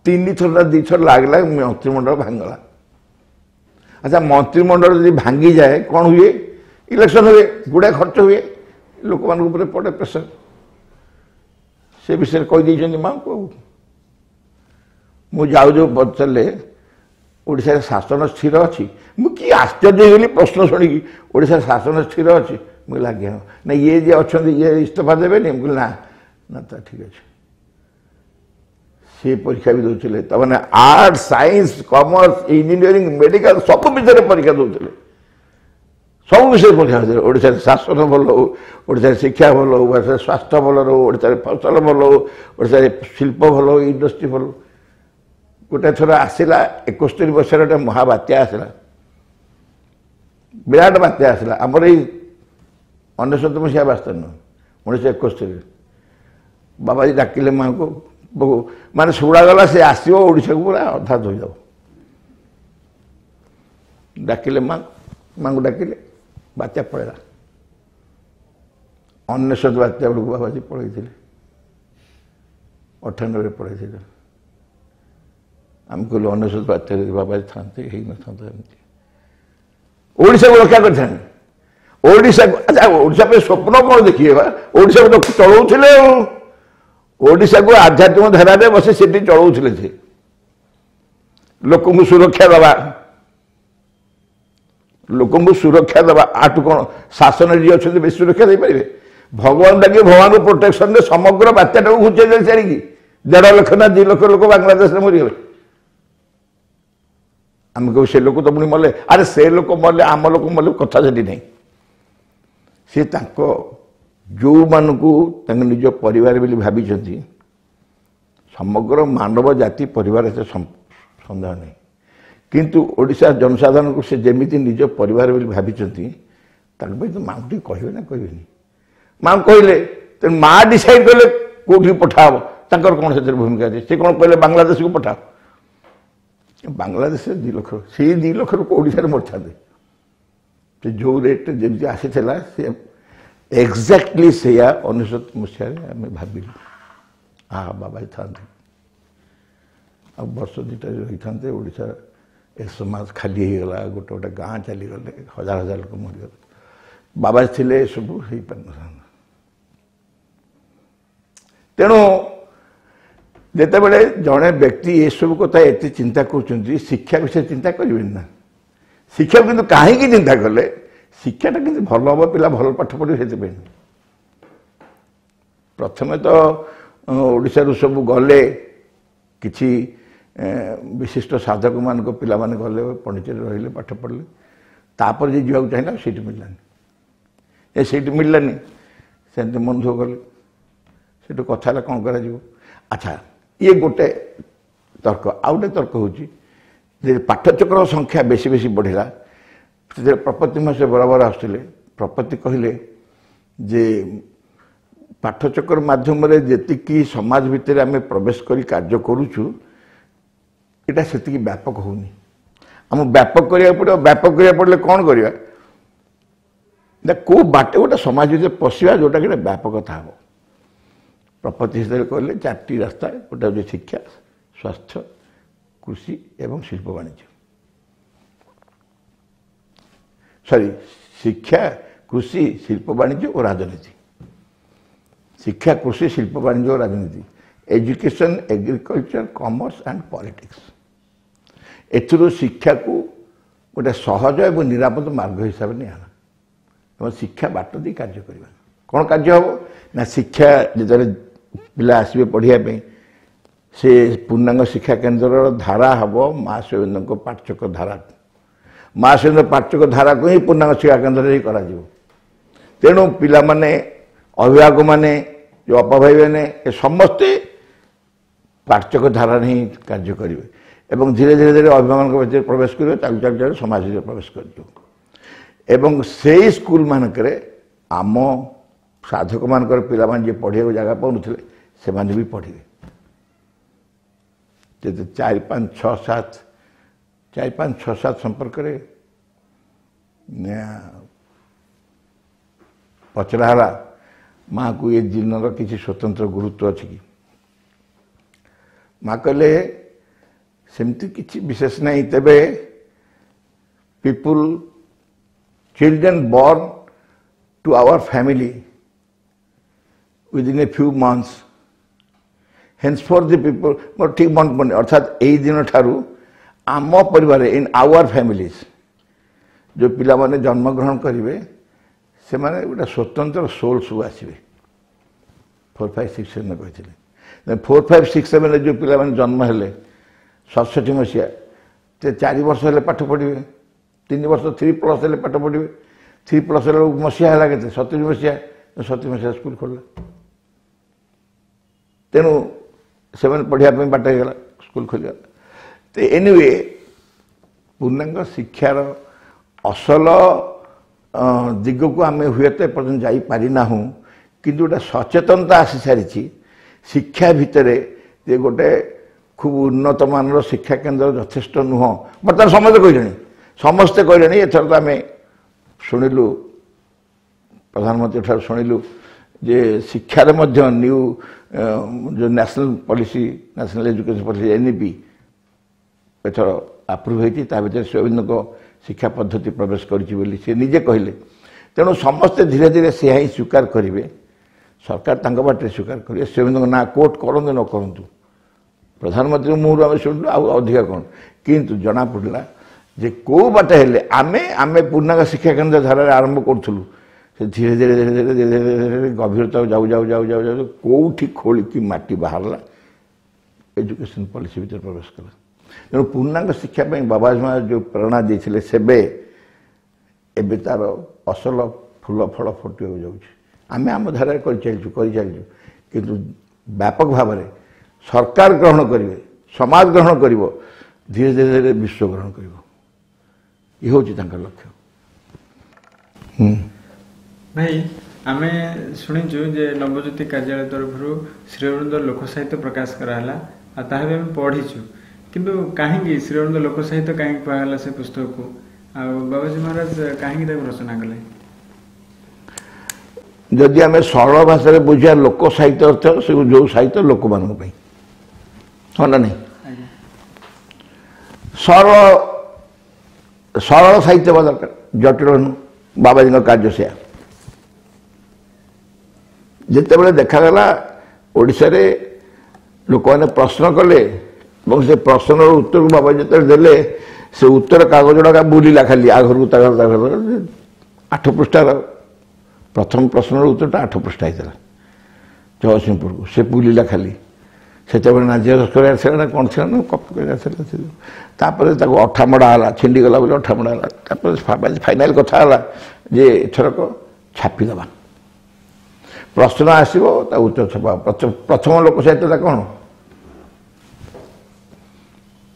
ତିନି ଥର ନା ଦୁଇଥର ଲାଗିଲା ମନ୍ତ୍ରିମଣ୍ଡଳ ଭାଙ୍ଗିଗଲା। ଆଚ୍ଛା, ମନ୍ତ୍ରିମଣ୍ଡଳ ଯଦି ଭାଙ୍ଗିଯାଏ କ'ଣ ହୁଏ? ଇଲେକ୍ସନ୍ ହୁଏ, ଗୁଡ଼ାଏ ଖର୍ଚ୍ଚ ହୁଏ, ଲୋକମାନଙ୍କ ଉପରେ ପଡ଼େ ପ୍ରେସର। ସେ ବିଷୟରେ କହିଦେଇଛନ୍ତି ମାଆଙ୍କୁ। ଆଉ ମୁଁ ଯାଉ ଯାଉ ପଚାରିଲେ ଓଡ଼ିଶାରେ ଶାସନ ସ୍ଥିର ଅଛି? ମୁଁ କି ଆଶ୍ଚର୍ଯ୍ୟ ହେଇଗଲି ପ୍ରଶ୍ନ ଶୁଣିକି। ଓଡ଼ିଶାରେ ଶାସନ ସ୍ଥିର ଅଛି? ମୁଁ କହିଲି ଆଜ୍ଞା ହଁ। ନା ଇଏ ଯିଏ ଅଛନ୍ତି ଇଏ ଇସ୍ତଫା ଦେବେନି? ମୁଁ କହିଲି ନା ନା, ତା ଠିକ୍ ଅଛି। ସେ ପରୀକ୍ଷା ବି ଦେଉଥିଲେ, ତାମାନେ art, science, commerce, engineering, medical ସବୁ ବିଷୟରେ ପରୀକ୍ଷା ଦେଉଥିଲେ, ସବୁ ବିଷୟରେ ପରୀକ୍ଷା ଦେଉଥିଲେ। ଓଡ଼ିଶାରେ ଶାସନ ଭଲ ହଉ, ଓଡ଼ିଶାରେ ଶିକ୍ଷା ଭଲ ହଉ, ଓଡ଼ିଶାରେ ସ୍ୱାସ୍ଥ୍ୟ ଭଲ ରହୁ, ଓଡ଼ିଶାରେ ଫସଲ ଭଲ ହଉ, ଓଡ଼ିଶାରେ ଶିଳ୍ପ ଭଲ ହଉ, ଇଣ୍ଡଷ୍ଟ୍ରି ଭଲ ହଉ। ଗୋଟେ ଥର ଆସିଲା ଏକସ୍ତରୀ ବର୍ଷରେ ଗୋଟେ ମହାବାତ୍ୟା ଆସିଲା, ବିରାଟ ବାତ୍ୟା ଆସିଲା। ଆମର ଏଇ ଅନେଶତ ମସିହା ବାସ୍ତବ ନୁହଁ, ଉଣେଇଶହ ଏକସ୍ତରୀରେ ବାବାଜୀ ଡାକିଲେ ମାଆଙ୍କୁ, ମାନେ ଶୁଣାଗଲା ସେ ଆସିବ ଓଡ଼ିଶାକୁ ପୁରା ଅଧା ଧୋଇଦେବ। ଡାକିଲେ ମା, ମାଆଙ୍କୁ ଡାକିଲେ, ବାତ୍ୟା ପଳେଇଲା। ଅନେଶତ ବାତ୍ୟା ବେଳକୁ ବାବାଜୀ ପଳେଇଥିଲେ, ଅଠାନବେରେ ପଳେଇଥିଲେ। ଆମେ କହିଲୁ ଅନେଶତ ବାତ୍ୟାରେ ବାବାଜୀ ଥାନ୍ତେ ହେଇନଥାନ୍ତା ଏମିତି, ଓଡ଼ିଶାକୁ ରକ୍ଷା କରିଥାନ୍ତେ ଓଡ଼ିଶାକୁ। ଆଚ୍ଛା, ଓଡ଼ିଶା ପାଇଁ ସ୍ୱପ୍ନ କ'ଣ ଦେଖିବେ ବା? ଓଡ଼ିଶାକୁ ତ ଚଳଉଥିଲେ, ଆଉ ଓଡ଼ିଶାକୁ ଆଧ୍ୟାତ୍ମିକ ଧାରାରେ ବସି ସେଠି ଚଳଉଥିଲେ। ସେ ଲୋକଙ୍କୁ ସୁରକ୍ଷା ଦେବା, ଲୋକଙ୍କୁ ସୁରକ୍ଷା ଦେବା ଆଠୁ କ'ଣ ଶାସନରେ ଯିଏ ଅଛନ୍ତି ବେଶୀ ସୁରକ୍ଷା ଦେଇପାରିବେ? ଭଗବାନ ଡାକି ଭଗବାନଙ୍କ ପ୍ରୋଟେକ୍ସନରେ ସମଗ୍ର ବାତ୍ୟାଟାକୁ ଘୁଞ୍ଚେଇ ଦେଲେ ଛାଡ଼ିକି, ଦେଢ଼ ଲକ୍ଷ ନା ଦୁଇ ଲକ୍ଷ ଲୋକ ବାଂଲାଦେଶରେ ମରିଗଲେ। ଆମେ କହିବୁ ସେ ଲୋକ ତ ପୁଣି ମଲେ। ଆରେ ସେ ଲୋକ ମଲେ, ଆମ ଲୋକ ମଲେ, କଥା ସେଠି ନାହିଁ। ସେ ତାଙ୍କ ଯେଉଁମାନଙ୍କୁ ତାଙ୍କ ନିଜ ପରିବାର ବୋଲି ଭାବିଛନ୍ତି, ସମଗ୍ର ମାନବ ଜାତି ପରିବାର ସେ ସନ୍ଦେହ ନାହିଁ, କିନ୍ତୁ ଓଡ଼ିଶା ଜନସାଧାରଣଙ୍କୁ ସେ ଯେମିତି ନିଜ ପରିବାର ବୋଲି ଭାବିଛନ୍ତି, ତାଙ୍କ ପାଇଁ ତ ମାଆଙ୍କୁ ଟିକେ କହିବେ ନା କହିବେନି? ମାଆଙ୍କୁ କହିଲେ, ତେଣୁ ମା' ଡିସାଇଡ୍ କଲେ କେଉଁଠିକି ପଠାହବ। ତାଙ୍କର କ'ଣ ସେଥିରେ ଭୂମିକା ଅଛି? ସେ କ'ଣ କହିଲେ ବାଂଲାଦେଶକୁ ପଠାଅ? ବାଂଲାଦେଶରେ ଦୁଇ ଲକ୍ଷ, ସେଇ ଦୁଇ ଲକ୍ଷ ଲୋକ ଓଡ଼ିଶାରେ ମରିଥାନ୍ତେ। ସେ ଯେଉଁ ରେଟ୍ରେ ଯେମିତି ଆସିଥିଲା ସେ ଏକ୍ଜାକ୍ଟଲି ସେଇଆ ଅନେଶତ ମସିହାରେ ଆମେ ଭାବିଲୁ, ଆ ବାବା ଥାନ୍ତେ ଆଉ ବର୍ଷ ଦୁଇଟା ରହିଥାନ୍ତେ, ଓଡ଼ିଶା ଏ ସମାଜ ଖାଲି ହେଇଗଲା, ଗୋଟେ ଗୋଟେ ଗାଁ ଚାଲିଗଲେ, ହଜାର ହଜାର ଲୋକ ମରିଗଲେ। ବାବା ଥିଲେ ଏସବୁ ହେଇପାରିନଥାନ୍ତା। ତେଣୁ ଯେତେବେଳେ ଜଣେ ବ୍ୟକ୍ତି ଏସବୁ କଥା ଏତେ ଚିନ୍ତା କରୁଛନ୍ତି, ଶିକ୍ଷା ବିଷୟରେ ଚିନ୍ତା କରିବେନି ନା? ଶିକ୍ଷାକୁ କିନ୍ତୁ କାହିଁକି ଚିନ୍ତା କଲେ? ଶିକ୍ଷାଟା କିନ୍ତୁ ଭଲ ହେବ, ପିଲା ଭଲ ପାଠ ପଢ଼ିବେ, ସେଥିପାଇଁ ନୁହେଁ। ପ୍ରଥମେ ତ ଓଡ଼ିଶାରୁ ସବୁ ଗଲେ, କିଛି ବିଶିଷ୍ଟ ସାଧକମାନଙ୍କ ପିଲାମାନେ ଗଲେ, ପଣ୍ଡିଚେରୀ ରହିଲେ, ପାଠ ପଢ଼ିଲେ। ତାପରେ ଯିଏ ଯିବାକୁ ଚାହିଁଲା ସେଇଠି ମିଳିଲାନି, ଏ ସେଇଠି ମିଳିଲାନି, ସେମିତି ମନ ଦୁଃଖ କଲେ। ସେଠୁ କଥା ହେଲା କ'ଣ କରାଯିବ। ଆଚ୍ଛା, ଇଏ ଗୋଟେ ତର୍କ। ଆଉ ଗୋଟେ ତର୍କ ହେଉଛି ଯେ ପାଠଚକ୍ର ସଂଖ୍ୟା ବେଶୀ ବେଶୀ ବଢ଼ିଲା, ସେଥିରେ ପ୍ରପତି ମାସ ବରାବର ଆସୁଥିଲେ। ପ୍ରପତି କହିଲେ ଯେ ପାଠଚକ୍ର ମାଧ୍ୟମରେ ଯେତିକି ସମାଜ ଭିତରେ ଆମେ ପ୍ରବେଶ କରି କାର୍ଯ୍ୟ କରୁଛୁ, ଏଇଟା ସେତିକି ବ୍ୟାପକ ହେଉନି, ଆମକୁ ବ୍ୟାପକ କରିବାକୁ ପଡ଼ିବ। ବ୍ୟାପକ କରିବାକୁ ପଡ଼ିଲେ କ'ଣ କରିବା ନା, କେଉଁ ବାଟେ ଗୋଟେ ସମାଜ ଭିତରେ ପଶିବା ଯେଉଁଟାକି ଗୋଟେ ବ୍ୟାପକତା ହେବ। ପ୍ରପତି ହିସାବରେ କହିଲେ ଚାରିଟି ରାସ୍ତା, ଗୋଟେ ହେଉଛି ଶିକ୍ଷା, ସ୍ୱାସ୍ଥ୍ୟ, କୃଷି ଏବଂ ଶିଳ୍ପ ବାଣିଜ୍ୟ। ସରି, ଶିକ୍ଷା, କୃଷି, ଶିଳ୍ପ ବାଣିଜ୍ୟ ଓ ରାଜନୀତି। ଶିକ୍ଷା, କୃଷି, ଶିଳ୍ପ ବାଣିଜ୍ୟ ଓ ରାଜନୀତି, education, agriculture, commerce and politics. ଏଥିରୁ ଶିକ୍ଷାକୁ ଗୋଟେ ସହଜ ଏବଂ ନିରାପଦ ମାର୍ଗ ହିସାବରେ ନିଆହେଲା ଏବଂ ଶିକ୍ଷା ବାଟ ଦେଇ କାର୍ଯ୍ୟ କରିବା। କ'ଣ କାର୍ଯ୍ୟ ହେବ ନା, ଶିକ୍ଷା ଯେତେବେଳେ ପିଲା ଆସିବେ ପଢ଼ିବା ପାଇଁ, ସେ ପୂର୍ଣ୍ଣାଙ୍ଗ ଶିକ୍ଷା କେନ୍ଦ୍ରର ଧାରା ହେବ ମା ଶ୍ରୀଅରବିନ୍ଦଙ୍କ ପାଠଚକ୍ର ଧାରା। ମା ଶ୍ରୀଅରବିନ୍ଦ ପାଠଚକ୍ର ଧାରାକୁ ହିଁ ପୂର୍ଣ୍ଣାଙ୍ଗ ଶିକ୍ଷା କେନ୍ଦ୍ରରେ ହିଁ କରାଯିବ। ତେଣୁ ପିଲାମାନେ, ଅଭିଭାବକମାନେ, ଯେଉଁ ଅପା ଭାଇମାନେ, ଏ ସମସ୍ତେ ପାଠଚକ୍ର ଧାରାରେ ହିଁ କାର୍ଯ୍ୟ କରିବେ ଏବଂ ଧୀରେ ଧୀରେ ଧୀରେ ଅଭିଭାବକଙ୍କ ଭିତରେ ପ୍ରବେଶ କରିବେ, ଚାଲୁ ଚାଲୁ ଚାଲୁ ସମାଜ ଭିତରେ ପ୍ରବେଶ କରିଯିବ। ଏବଂ ସେଇ ସ୍କୁଲମାନଙ୍କରେ ଆମ ସାଧକମାନଙ୍କର ପିଲାମାନେ ଯିଏ ପଢ଼ିବାକୁ ଜାଗା ପାଉନଥିଲେ, ସେମାନେ ବି ପଢ଼ିବେ। ଯେତେ ଚାରି ପାଞ୍ଚ ଛଅ ସାତ, ଚାରି ପାଞ୍ଚ ଛଅ ସାତ ସମ୍ପର୍କରେ ପଚରା ହେଲା ମାଆକୁ, ଏ ଦିନର କିଛି ସ୍ୱତନ୍ତ୍ର ଗୁରୁତ୍ୱ ଅଛି କି? ମା କହିଲେ ସେମିତି କିଛି ବିଶେଷ ନାହିଁ, ତେବେ people, children born to our family within a few months henceforth the people, ମୋର ଠିକ୍ ମନେ ପଡ଼ୁନି, ଅର୍ଥାତ୍ ଏଇ ଦିନଠାରୁ ଆମ ପରିବାରରେ, ଇନ୍ ଆୱାର ଫ୍ୟାମିଲିଜ୍, ଯେଉଁ ପିଲାମାନେ ଜନ୍ମଗ୍ରହଣ କରିବେ ସେମାନେ ଗୋଟେ ସ୍ୱତନ୍ତ୍ର ସୋଲ୍ ସବୁ ଆସିବେ। ଫୋର୍ ଫାଇଭ୍ ସିକ୍ସ ସେଭେନ୍ କହିଥିଲେ। ଫୋର୍ ଫାଇଭ୍ ସିକ୍ସ ସେଭେନ୍ରେ ଯେଉଁ ପିଲାମାନେ ଜନ୍ମ ହେଲେ ସତଷଠି ମସିହା, ସେ ଚାରି ବର୍ଷ ହେଲେ ପାଠ ପଢ଼ିବେ, ତିନି ବର୍ଷ ଥ୍ରୀ ପ୍ଲସ୍ ହେଲେ ପାଠ ପଢ଼ିବେ। ଥ୍ରୀ ପ୍ଲସ୍ ହେଲା ମସିହା ହେଲା କେତେ? ସତୁରି ମସିହା। ସତୁରି ମସିହା ସ୍କୁଲ ଖୋଲିଲା, ତେଣୁ ସେମାନେ ପଢ଼ିବା ପାଇଁ ବାଟ ହେଇଗଲା, ସ୍କୁଲ ଖୋଲିଗଲା। ତ ଏନିୱେ, ପୂର୍ଣ୍ଣାଙ୍ଗ ଶିକ୍ଷାର ଅସଲ ଦିଗକୁ ଆମେ ହୁଏତ ଏପର୍ଯ୍ୟନ୍ତ ଯାଇପାରିନାହୁଁ, କିନ୍ତୁ ଗୋଟେ ସଚେତନତା ଆସିସାରିଛି ଶିକ୍ଷା ଭିତରେ ଯେ ଗୋଟେ ଖୁବ୍ ଉନ୍ନତ ମାନର ଶିକ୍ଷା କେନ୍ଦ୍ର ଯଥେଷ୍ଟ ନୁହଁ। ବର୍ତ୍ତମାନ ସମସ୍ତେ କହିଲେଣି, ସମସ୍ତେ କହିଲେଣି। ଏଥର ତ ଆମେ ଶୁଣିଲୁ, ପ୍ରଧାନମନ୍ତ୍ରୀ ଠାରୁ ଶୁଣିଲୁ ଯେ ଶିକ୍ଷାରେ ମଧ୍ୟ ନ୍ୟୁ ଯେଉଁ national policy, national education policy N E P ଏଥର ଆପ୍ରୁଭ୍ ହେଇଛି, ତା ଭିତରେ ଶ୍ରୀଅରବିନ୍ଦଙ୍କ ଶିକ୍ଷା ପଦ୍ଧତି ପ୍ରବେଶ କରିଛି ବୋଲି ସେ ନିଜେ କହିଲେ। ତେଣୁ ସମସ୍ତେ ଧୀରେ ଧୀରେ ସେୟା ହିଁ ସ୍ୱୀକାର କରିବେ, ସରକାର ତାଙ୍କ ବାଟରେ ସ୍ୱୀକାର କରିବେ। ଶ୍ରୀଅରବିନ୍ଦଙ୍କ ନାଁ କୋର୍ଟ କରନ୍ତୁ ନ କରନ୍ତୁ, ପ୍ରଧାନମନ୍ତ୍ରୀ ମୁହଁରୁ ଆମେ ଶୁଣିଲୁ, ଆଉ ଅଧିକା କ'ଣ? କିନ୍ତୁ ଜଣାପଡ଼ିଲା ଯେ କେଉଁ ବାଟ ହେଲେ ଆମେ ଆମେ ପୂର୍ଣ୍ଣାଙ୍ଗ ଶିକ୍ଷା କେନ୍ଦ୍ର ଧାରାରେ ଆରମ୍ଭ କରୁଥିଲୁ, ସେ ଧୀରେ ଧୀରେ ଧୀରେ ଧୀରେ ଧୀରେ ଧୀରେ ଧୀରେ ଗଭୀରତା ଯାଉ ଯାଉ ଯାଉ ଯାଉ ଯାଉ କେଉଁଠି ଖୋଳିକି ମାଟି ବାହାରିଲା, ଏଜୁକେସନ୍ ପଲିସି ଭିତରେ ପ୍ରବେଶ କଲା। ତେଣୁ ପୂର୍ଣ୍ଣାଙ୍ଗ ଶିକ୍ଷା ପାଇଁ ବାବାଜୀ ମହାରାଜ ଯେଉଁ ପ୍ରେରଣା ଦେଇଥିଲେ ସେବେ, ଏବେ ତାର ଅସଲ ଫୁଲ ଫଳ ଫୁଟିବାକୁ ଯାଉଛି। ଆମେ ଆମ ଧାରାରେ କରିଚାଲିଛୁ କରିଚାଲିଛୁ, କିନ୍ତୁ ବ୍ୟାପକ ଭାବରେ ସରକାର ଗ୍ରହଣ କରିବେ, ସମାଜ ଗ୍ରହଣ କରିବ, ଧୀରେ ଧୀରେ ଧୀରେ ବିଶ୍ୱ ଗ୍ରହଣ କରିବ, ଇଏ ହେଉଛି ତାଙ୍କର ଲକ୍ଷ୍ୟ। ଭାଇ, ଆମେ ଶୁଣିଛୁ ଯେ ନବଜ୍ୟୋତି କାର୍ଯ୍ୟାଳୟ ତରଫରୁ ଶ୍ରୀଅରବିନ୍ଦ ଲୋକ ସାହିତ୍ୟ ପ୍ରକାଶ କରାହେଲା, ଆଉ ତାହା ବି ଆମେ ପଢ଼ିଛୁ। କିନ୍ତୁ କାହିଁକି ଶ୍ରୀଅରବିନ୍ଦ ଲୋକ ସାହିତ୍ୟ କାହିଁକି କୁହାଗଲା ସେ ପୁସ୍ତକକୁ, ଆଉ ବାବାଜୀ ମହାରାଜ କାହିଁକି ତାକୁ ରଚନା କଲେ? ଯଦି ଆମେ ସରଳ ଭାଷାରେ ବୁଝିବା, ଲୋକ ସାହିତ୍ୟ ଅର୍ଥ ସେ ଯେଉଁ ସାହିତ୍ୟ ଲୋକମାନଙ୍କ ପାଇଁ, ହଁ ନା ନାହିଁ? ସରଳ ସରଳ ସାହିତ୍ୟ ହେବା ଦରକାର, ଜଟିଳ ନୁହଁ। ବାବାଜୀଙ୍କ କାର୍ଯ୍ୟ ସେୟା। ଯେତେବେଳେ ଦେଖାଗଲା ଓଡ଼ିଶାରେ ଲୋକମାନେ ପ୍ରଶ୍ନ କଲେ ଏବଂ ସେ ପ୍ରଶ୍ନର ଉତ୍ତରକୁ ବାବା ଯେତେବେଳେ ଦେଲେ ସେ ଉତ୍ତର କାଗଜଟା ବୁଲିଲା ଖାଲି ଆ ଘରକୁ ତା ଘର ତା ଘର ଆଠ ପୃଷ୍ଠାର ପ୍ରଥମ ପ୍ରଶ୍ନର ଉତ୍ତରଟା ଆଠ ପୃଷ୍ଠା ହେଇଥିଲା ଜଗତସିଂହପୁରକୁ ସେ ବୁଲିଲା ଖାଲି ସେତେବେଳେ ନା ଜେରକ୍ସ କରିବାର ଥିଲା ନା କ'ଣ ଥିଲା ନା କପି କରିବାର ଥିଲା ତାପରେ ତାକୁ ଅଠା ମଡ଼ା ହେଲା ଛିଣ୍ଡିଗଲା ବୋଲି ଅଠା ମଡ଼ା ହେଲା ତାପରେ ଫାଇନାଲ କଥା ହେଲା ଯେ ଏଥରକ ଛାପିଦେବା ପ୍ରଶ୍ନ ଆସିବ ତା ଉତ୍ତର ଛପା ପ୍ରଥମ ଲୋକ ସାହିତ୍ୟଟା କ'ଣ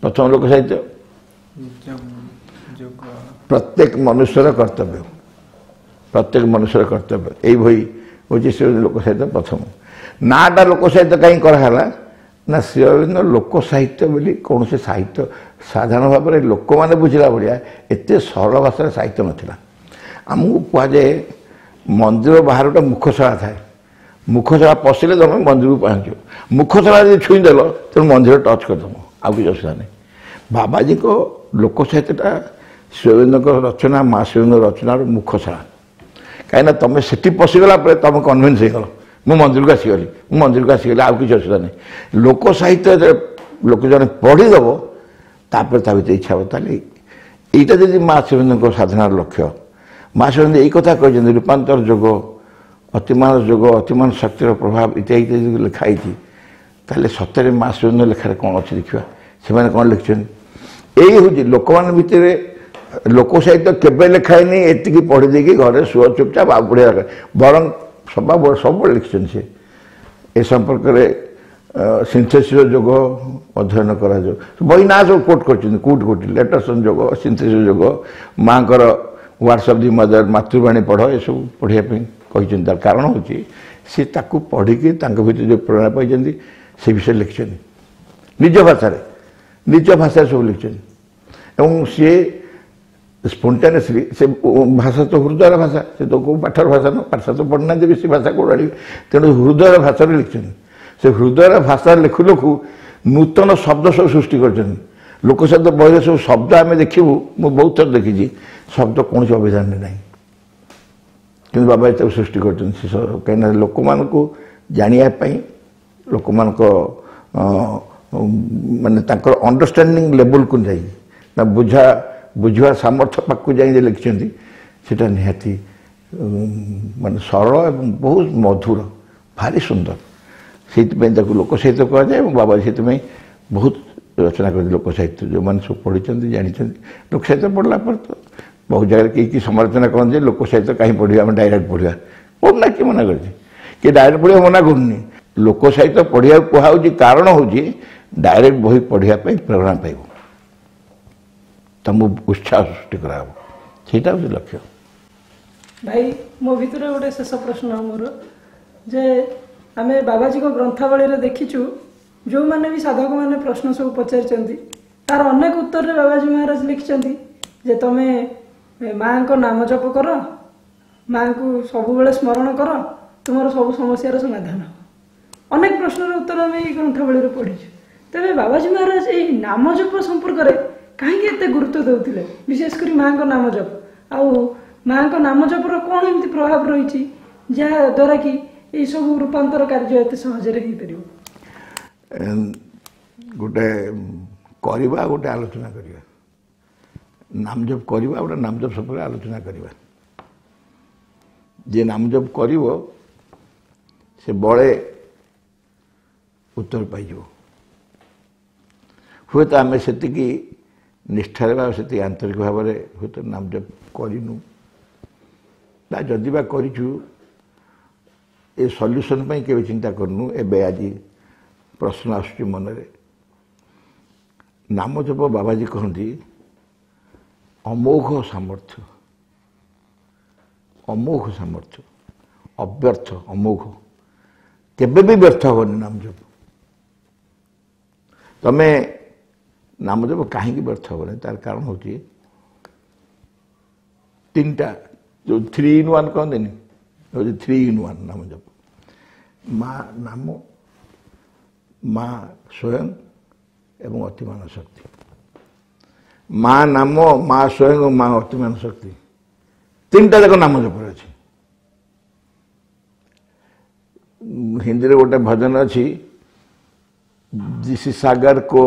ପ୍ରଥମ ଲୋକ ସାହିତ୍ୟ ପ୍ରତ୍ୟେକ ମନୁଷ୍ୟର କର୍ତ୍ତବ୍ୟ ପ୍ରତ୍ୟେକ ମନୁଷ୍ୟର କର୍ତ୍ତବ୍ୟ ଏଇ ବହି ହେଉଛି ଶ୍ରୀ ଲୋକ ସାହିତ୍ୟ ପ୍ରଥମ ନାଁଟା ଲୋକ ସାହିତ୍ୟ କାହିଁ କରାହେଲା ନା ଶ୍ରୀ ଅରବିନ୍ଦ ଲୋକ ସାହିତ୍ୟ ବୋଲି କୌଣସି ସାହିତ୍ୟ ସାଧାରଣ ଭାବରେ ଲୋକମାନେ ବୁଝିଲା ଭଳିଆ ଏତେ ସରଳ ଭାଷାରେ ସାହିତ୍ୟ ନଥିଲା ଆମକୁ କୁହାଯାଏ ମନ୍ଦିର ବାହାରେ ଗୋଟେ ମୁଖଶାଳା ଥାଏ ମୁଖଶାଳା ପଶିଲେ ତୁମେ ମନ୍ଦିରକୁ ପହଞ୍ଚିବ ମୁଖଶାଳା ଯଦି ଛୁଇଁଦେଲ ତେଣୁ ମନ୍ଦିର ଟଚ୍ କରିଦେବ ଆଉ କିଛି ଅସୁବିଧା ନାହିଁ ବାବାଜୀଙ୍କ ଲୋକ ସାହିତ୍ୟଟା ଶ୍ରୀ ଅରବିନ୍ଦଙ୍କ ରଚନା ମା ଶ୍ରୀ ଅରବିନ୍ଦ ରଚନାର ମୁଖଶାଳା କାହିଁକିନା ତୁମେ ସେଠି ପଶିଗଲା ପରେ ତୁମେ କନଭିନ୍ସ ହେଇଗଲ ମୁଁ ମନ୍ଦିରକୁ ଆସିଗଲି ମୁଁ ମନ୍ଦିରକୁ ଆସିଗଲି ଆଉ କିଛି ଅସୁବିଧା ନାହିଁ ଲୋକ ସାହିତ୍ୟ ଲୋକ ଜଣେ ପଢ଼ିଦେବ ତାପରେ ତା ଭିତରେ ଇଚ୍ଛା ହେବ ତାହେଲେ ଏଇଟା ଯଦି ମା ଶ୍ରୀ ଅରବିନ୍ଦଙ୍କ ସାଧନାର ଲକ୍ଷ୍ୟ ମା ଶ୍ରୀ ଅରବିନ୍ଦ ଏଇ କଥା କହିଛନ୍ତି ରୂପାନ୍ତର ଯୋଗ ଅତିମାନ ଯୋଗ ଅତିମାନ ଶକ୍ତିର ପ୍ରଭାବ ଇତ୍ୟାଦି ଇତ୍ୟାଦି ଲେଖା ହେଇଛି ତାହେଲେ ସତରେ ମା ଶ୍ରୀ ଅରବିନ୍ଦ ଲେଖାରେ କ'ଣ ଅଛି ଦେଖିବା ସେମାନେ କ'ଣ ଲେଖିଛନ୍ତି ଏଇ ହେଉଛି ଲୋକମାନଙ୍କ ଭିତରେ ଲୋକ ସାହିତ୍ୟ କେବେ ଲେଖା ହେଇନି ଏତିକି ପଢ଼ି ଦେଇକି ଘରେ ଶୁଅ ଚୁପଚାପ ଆଉ ପଢ଼ିବା ଦରକାର ବରଂ ସବା ସବୁବେଳେ ଲେଖିଛନ୍ତି ସେ ଏ ସମ୍ପର୍କରେ ସିନ୍ଥେସିସ୍ ଯୋଗ ଅଧ୍ୟୟନ କରାଯାଉ ବହି ନାଁ ସବୁ କୋଟ୍ କରିଛନ୍ତି କୋଉଠି କୋଉଠି ଲେଟର୍ସ ଯୋଗ ସିନ୍ଥେସିସ୍ ଯୋଗ ମାଆଙ୍କର ୱାର୍ଡସ୍ ଅଫ୍ the ମଦର ମାତୃବାଣୀ ପଢ଼ ଏସବୁ ପଢ଼ିବା ପାଇଁ କହିଛନ୍ତି ତାର କାରଣ ହେଉଛି ସେ ତାକୁ ପଢ଼ିକି ତାଙ୍କ ଭିତରେ ଯେଉଁ ପ୍ରେରଣା ପାଇଛନ୍ତି ସେ ବିଷୟରେ ଲେଖିଛନ୍ତି ନିଜ ଭାଷାରେ ନିଜ ଭାଷାରେ ସବୁ ଲେଖିଛନ୍ତି ଏବଂ ସିଏ ସ୍ପଣ୍ଟାନିୟସଲି ସେ ଭାଷା ତ ହୃଦୟର ଭାଷା ସେ ତ କେଉଁ ପାଠର ଭାଷା ନୁହଁ ପାଠ ତ ପଢ଼ିନାହାନ୍ତି ବେଶୀ ଭାଷା କେଉଁଠୁ ଆଣିବେ ତେଣୁ ହୃଦୟର ଭାଷାରେ ଲେଖିଛନ୍ତି ସେ ହୃଦୟର ଭାଷାରେ ଲେଖୁ ଲେଖୁ ନୂତନ ଶବ୍ଦ ସବୁ ସୃଷ୍ଟି କରିଛନ୍ତି ଲୋକ ସାହିତ୍ୟ ବହିରେ ସବୁ ଶବ୍ଦ ଆମେ ଦେଖିବୁ ମୁଁ ବହୁତ ଥର ଦେଖିଛି ଶବ୍ଦ କୌଣସି ଅଭିଧାନରେ ନାହିଁ କିନ୍ତୁ ବାବା ତାକୁ ସୃଷ୍ଟି କରିଛନ୍ତି ସେ କାହିଁକିନା ଲୋକମାନଙ୍କୁ ଜାଣିବା ପାଇଁ ଲୋକମାନଙ୍କ ମାନେ ତାଙ୍କର ଅଣ୍ଡରଷ୍ଟାଣ୍ଡିଂ ଲେବୁଲକୁ ଯାଇ ନା ବୁଝା ବୁଝିବା ସାମର୍ଥ୍ୟ ପାଖକୁ ଯାଇ ଯେ ଲେଖିଛନ୍ତି ସେଇଟା ନିହାତି ମାନେ ସରଳ ଏବଂ ବହୁତ ମଧୁର ଭାରି ସୁନ୍ଦର ସେଇଥିପାଇଁ ତାକୁ ଲୋକ ସାହିତ୍ୟ କୁହାଯାଏ ଏବଂ ବାବା ସେଥିପାଇଁ ବହୁତ ରଚନା କରିଛନ୍ତି ଲୋକ ସାହିତ୍ୟ ଯେଉଁମାନେ ସବୁ ପଢ଼ିଛନ୍ତି ଜାଣିଛନ୍ତି ଲୋକ ସାହିତ୍ୟ ପଢ଼ିଲା ପରେ ତ ବହୁତ ଜାଗାରେ କେହି କି ସମାଲୋଚନା କରନ୍ତି ଯେ ଲୋକ ସାହିତ୍ୟ କାହିଁ ପଢ଼ିବା ଆମେ ଡାଇରେକ୍ଟ ପଢ଼ିବା ପଢ଼ୁନା କିଏ ମନା କରିଛି କିଏ ଡାଇରେକ୍ଟ ପଢ଼ିବା ମନା କରୁନି ଲୋକ ସାହିତ୍ୟ ପଢ଼ିବାକୁ କୁହାହେଉଛି କାରଣ ହେଉଛି ଡାଇରେକ୍ଟ ବହି ପଢ଼ିବା ପାଇଁ ପ୍ରେରଣା ପାଇବ ତୁମକୁ ଉତ୍ସାହ ସୃଷ୍ଟି କରାହେବ ସେଇଟା ହେଉଛି ଲକ୍ଷ୍ୟ ଭାଇ ମୋ ଭିତରେ ଗୋଟେ ଶେଷ ପ୍ରଶ୍ନ ମୋର ଯେ ଆମେ ବାବାଜୀଙ୍କ ଗ୍ରନ୍ଥାବଳୀରେ ଦେଖିଛୁ ଯେଉଁମାନେ ବି ସାଧକମାନେ ପ୍ରଶ୍ନ ସବୁ ପଚାରିଛନ୍ତି ତାର ଅନେକ ଉତ୍ତରରେ ବାବାଜୀ ମହାରାଜ ଲେଖିଛନ୍ତି ଯେ ତମେ ମାଆଙ୍କ ନାମ ଜପ କର ମାଆଙ୍କୁ ସବୁବେଳେ ସ୍ମରଣ କର ତୁମର ସବୁ ସମସ୍ୟାର ସମାଧାନ ହେବ ଅନେକ ପ୍ରଶ୍ନର ଉତ୍ତର ଆମେ ଏଇ ଗ୍ରନ୍ଥାବଳୀରେ ପଢ଼ିଛୁ ତେବେ ବାବାଜୀ ମହାରାଜ ଏଇ ନାମ ଜପ ସମ୍ପର୍କରେ କାହିଁକି ଏତେ ଗୁରୁତ୍ୱ ଦେଉଥିଲେ ବିଶେଷ କରି ମାଆଙ୍କ ନାମ ଜପ ଆଉ ମାଆଙ୍କ ନାମ ଜପର କ'ଣ ଏମିତି ପ୍ରଭାବ ରହିଛି ଯାହା ଦ୍ୱାରା କି ଏଇସବୁ ରୂପାନ୍ତର କାର୍ଯ୍ୟ ଏତେ ସହଜରେ ହେଇପାରିବ ଗୋଟେ କରିବା ଗୋଟେ ଆଲୋଚନା କରିବା ନାମ ଜପ କରିବା ଗୋଟେ ନାମ ଜପ ସମ୍ପର୍କରେ ଆଲୋଚନା କରିବା ଯିଏ ନାମ ଜପ କରିବ ସେ ବଳେ ଉତ୍ତର ପାଇଯିବ ହୁଏତ ଆମେ ସେତିକି ନିଷ୍ଠାରେ ବା ସେତିକି ଆନ୍ତରିକ ଭାବରେ ହୁଏତ ନାମ ଜପ କରିନୁ ବା ଯଦି ବା କରିଛୁ ଏ ସଲ୍ୟୁସନ୍ ପାଇଁ କେବେ ଚିନ୍ତା କରିନୁ ଏବେ ଆଜି ପ୍ରଶ୍ନ ଆସୁଛି ମନରେ ନାମ ଜପ ବାବାଜୀ କହନ୍ତି ଅମୋଘ ସାମର୍ଥ୍ୟ ଅମୋଘ ସାମର୍ଥ୍ୟ ଅବ୍ୟର୍ଥ ଅମୋଘ କେବେ ବି ବ୍ୟର୍ଥ ହେବନି ନାମ ଜପ ତମେ ନାମ ଜପ କାହିଁକି ବ୍ୟର୍ଥ ହେବନି ତାର କାରଣ ହେଉଛି ତିନିଟା ଯେଉଁ ଥ୍ରୀ ଇନ୍ ୱାନ୍ କହନ୍ତିନି ହେଉଛି ଥ୍ରୀ ଇନ୍ ୱାନ୍ ନାମ ଜପ ମା ନାମ ମା ସ୍ୱୟଂ ଏବଂ ଅତିମାନ ଶକ୍ତି ମା ନାମ ମା ସ୍ୱୟଂ ମା ଅତିମାନ ଶକ୍ତି ତିନିଟା ଯାକ ନାମ ଜପରେ ଅଛି ହିନ୍ଦୀରେ ଗୋଟେ ଭଜନ ଅଛି जिस सागर को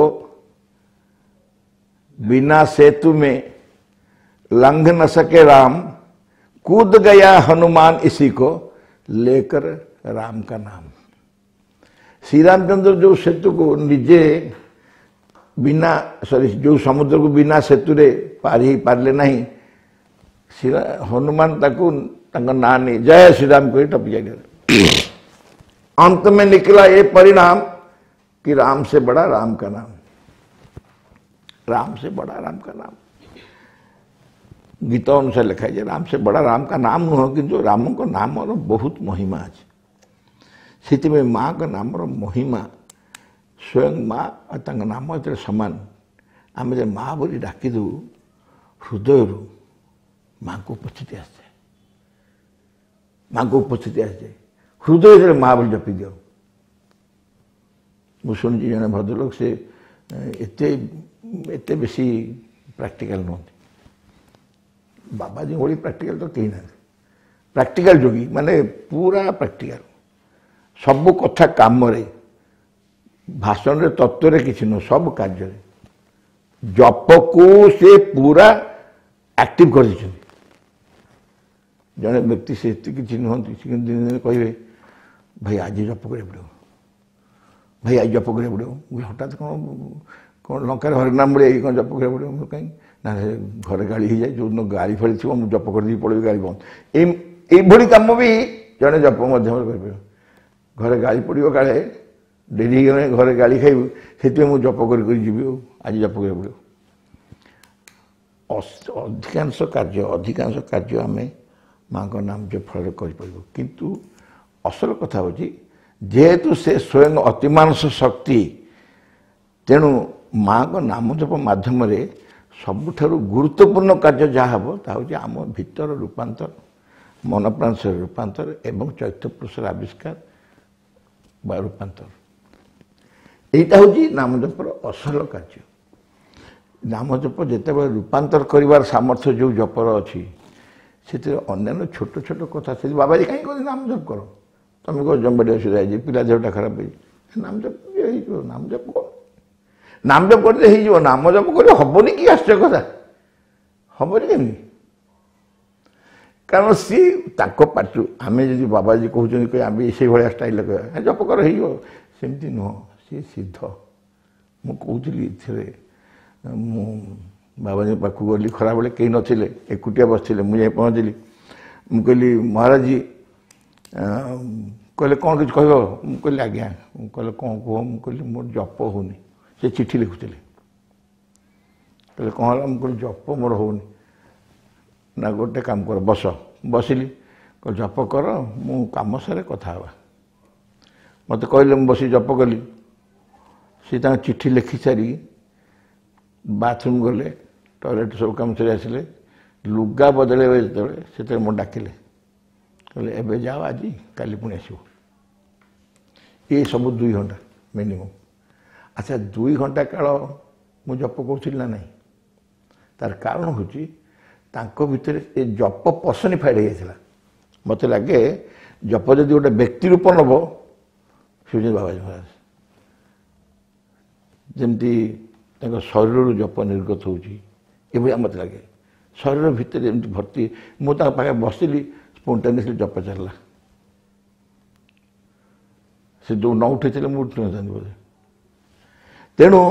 बिना सेतु में लंघ न सके राम, कूद गया हनुमान इसी को लेकर राम का नाम। श्री रामचंद्र जो सेतु को निजे बिना सॉरी जो समुद्र को बिना सेतुरे पार ही पारिले नहीं, श्री हनुमान ताकू तांको ना नहीं जय श्री राम कही टपी जाए। अंत में निकला ये परिणाम कि राम से बड़ा राम का नाम, राम से बड़ा राम का नाम। गीता अनुसार लिखा जाए राम से बड़ा राम का नाम नुह, किंतु राम का नाम और बहुत महिमा अच्छे। से माँ का नाम महिमा स्वयं माँ और नाम जो समान। आम जो माँ बोली डाकिदू हृदय माँ को उपस्थिति आसे, माँ को उपस्थिति आसे हृदय माँ बोली जपी दिओ। मुझे जड़े भद्रलोक से एत एत बेसी प्राक्टिकाल नुहति, बाबाजी भली प्राक्टिकाल तो कहीं ना, प्राक्टिकाल जोगी माने पूरा प्राक्टिकाल, सब कथा काम रे भाषण रे तत्व रे किसी नुह, सब कार्य जप को से पूरा आक्टिव कर जड़े व्यक्ति से किसी नुहति, दिन दिन कहे भाई आज जप करा पड़ो, भाई आज जप करा पड़ो। हठात कौन कौन लंकार हरिनाम मिले कौन जप करा पड़ो कहीं ना, घरे गाड़ी हो जाए जो दिन गाड़ी फाड़ी थी मुझे जप कर पड़े गाड़ी बंद। ये कम भी जड़े जप मध्यम कर घरे गाड़ी पड़ो काले डेरी गले घरे गाड़ी खाइबू, से मुझे जप कर आज जप करा पड़ो। अधिकांश कार्य अधिकांश कार्य आम माँ नाम जप फल कर, किंतु असल कथा हूँ जेहेतु से स्वयं अतिमानस शक्ति, तेणु माँ नाम जप माध्यम सबुठारू गुरुत्वपूर्ण कार्य जहाँ हम ता हूँ आम भितर रूपांतर, मन प्राण रूपांतर एवं चैत्य पुरुषर आविष्कार बा रूपांतर। এইটা হচ্ছে নাম জপর অসল কার্য। নাম জপ যেতবে রূপান্তর করিবার সামর্থ্য যে জপর অছি, সেতিরে অন্যান্য ছোট ছোট কথা সে বাবাজি কাହିଁ করি নাম জপ কর, তুমি কহ জম্বাড়ি অসুবিধা হয়েছে, পিলা দেহটা খারাপ হয়েছে, নাম জপ হয়ে নাম জপ কর, নাম জপ করলে হয়ে নাম জপ করলে হবনি কি আশ্চর্য কথা, হবনি কেমনি? কারণ সি তাঙ্ক পাটিରୁ আমি যদি বাবাজি কହୁଛନ୍ତି আমি সেইভাবে ଷ୍ଟାଇଲ୍ କହିବା ଜପ କର ହେଇଯିବ, ସେମିତି ନୁହଁ, ସିଏ ସିଦ୍ଧ। ମୁଁ କହୁଥିଲି ଏଥିରେ ମୁଁ ବାବାଜୀ ପାଖକୁ ଗଲି ଖରାବେଳେ, କେହି ନଥିଲେ, ଏକୁଟିଆ ବସିଥିଲେ, ମୁଁ ଯାଇ ପହଞ୍ଚିଲି। ମୁଁ କହିଲି ମହାରାଜୀ, କହିଲେ କ'ଣ କିଛି କହିବ? ମୁଁ କହିଲି ଆଜ୍ଞା। ମୁଁ କହିଲେ କ'ଣ କୁହ? ମୁଁ କହିଲି ମୋର ଜପ ହେଉନି। ସେ ଚିଠି ଲେଖୁଥିଲେ, କହିଲେ କ'ଣ ହେଲା? ମୁଁ କହିଲି ଜପ ମୋର ହେଉନି। ନା ଗୋଟେ କାମ କର ବସ। ବସିଲି, କହିଲେ ଜପ କର, ମୁଁ କାମ ସାରେ କଥା ହେବା। ମୋତେ କହିଲେ, ମୁଁ ବସି ଜପ କଲି। ସେ ତାଙ୍କ ଚିଠି ଲେଖି ସାରି ବାଥରୁମ୍ ଗଲେ, ଟଏଲେଟ୍ ସବୁ କାମ ସାରି ଆସିଲେ, ଲୁଗା ବଦଳେଇବେ ଯେତେବେଳେ, ସେତେବେଳେ ମୁଁ ଡାକିଲେ, କହିଲେ ଏବେ ଯାଅ ଆଜି, କାଲି ପୁଣି ଆସିବ। ଏ ସବୁ ଦୁଇ ଘଣ୍ଟା ମିନିମମ୍। ଆଚ୍ଛା ଦୁଇ ଘଣ୍ଟା କାଳ ମୁଁ ଜପ କରୁଥିଲି ନା ନାହିଁ? ତାର କାରଣ ହେଉଛି ତାଙ୍କ ଭିତରେ ଏ ଜପ ପର୍ସନିଫାଇଡ଼୍ ହେଇଯାଇଥିଲା। ମୋତେ ଲାଗେ ଜପ ଯଦି ଗୋଟେ ବ୍ୟକ୍ତି ରୂପ ନେବ, ସେ ହେଉଛନ୍ତି ବାବାଜୀ ମହାରାଜ। ଯେମିତି ତାଙ୍କ ଶରୀରରୁ ଜପ ନିର୍ଗତ ହେଉଛି, ଏଭଳିଆ ମୋତେ ଲାଗେ। ଶରୀର ଭିତରେ ଏମିତି ଭର୍ତ୍ତି। ମୁଁ ତାଙ୍କ ପାଖରେ ବସିଲି, ସ୍ପଣ୍ଟାନିୟସଲି ଜପ ଚାଲିଲା। ସେ ଯେଉଁ ନ ଉଠେଇଥିଲେ ମୁଁ ଉଠି ନଥାନ୍ତି ବୋଧେ। ତେଣୁ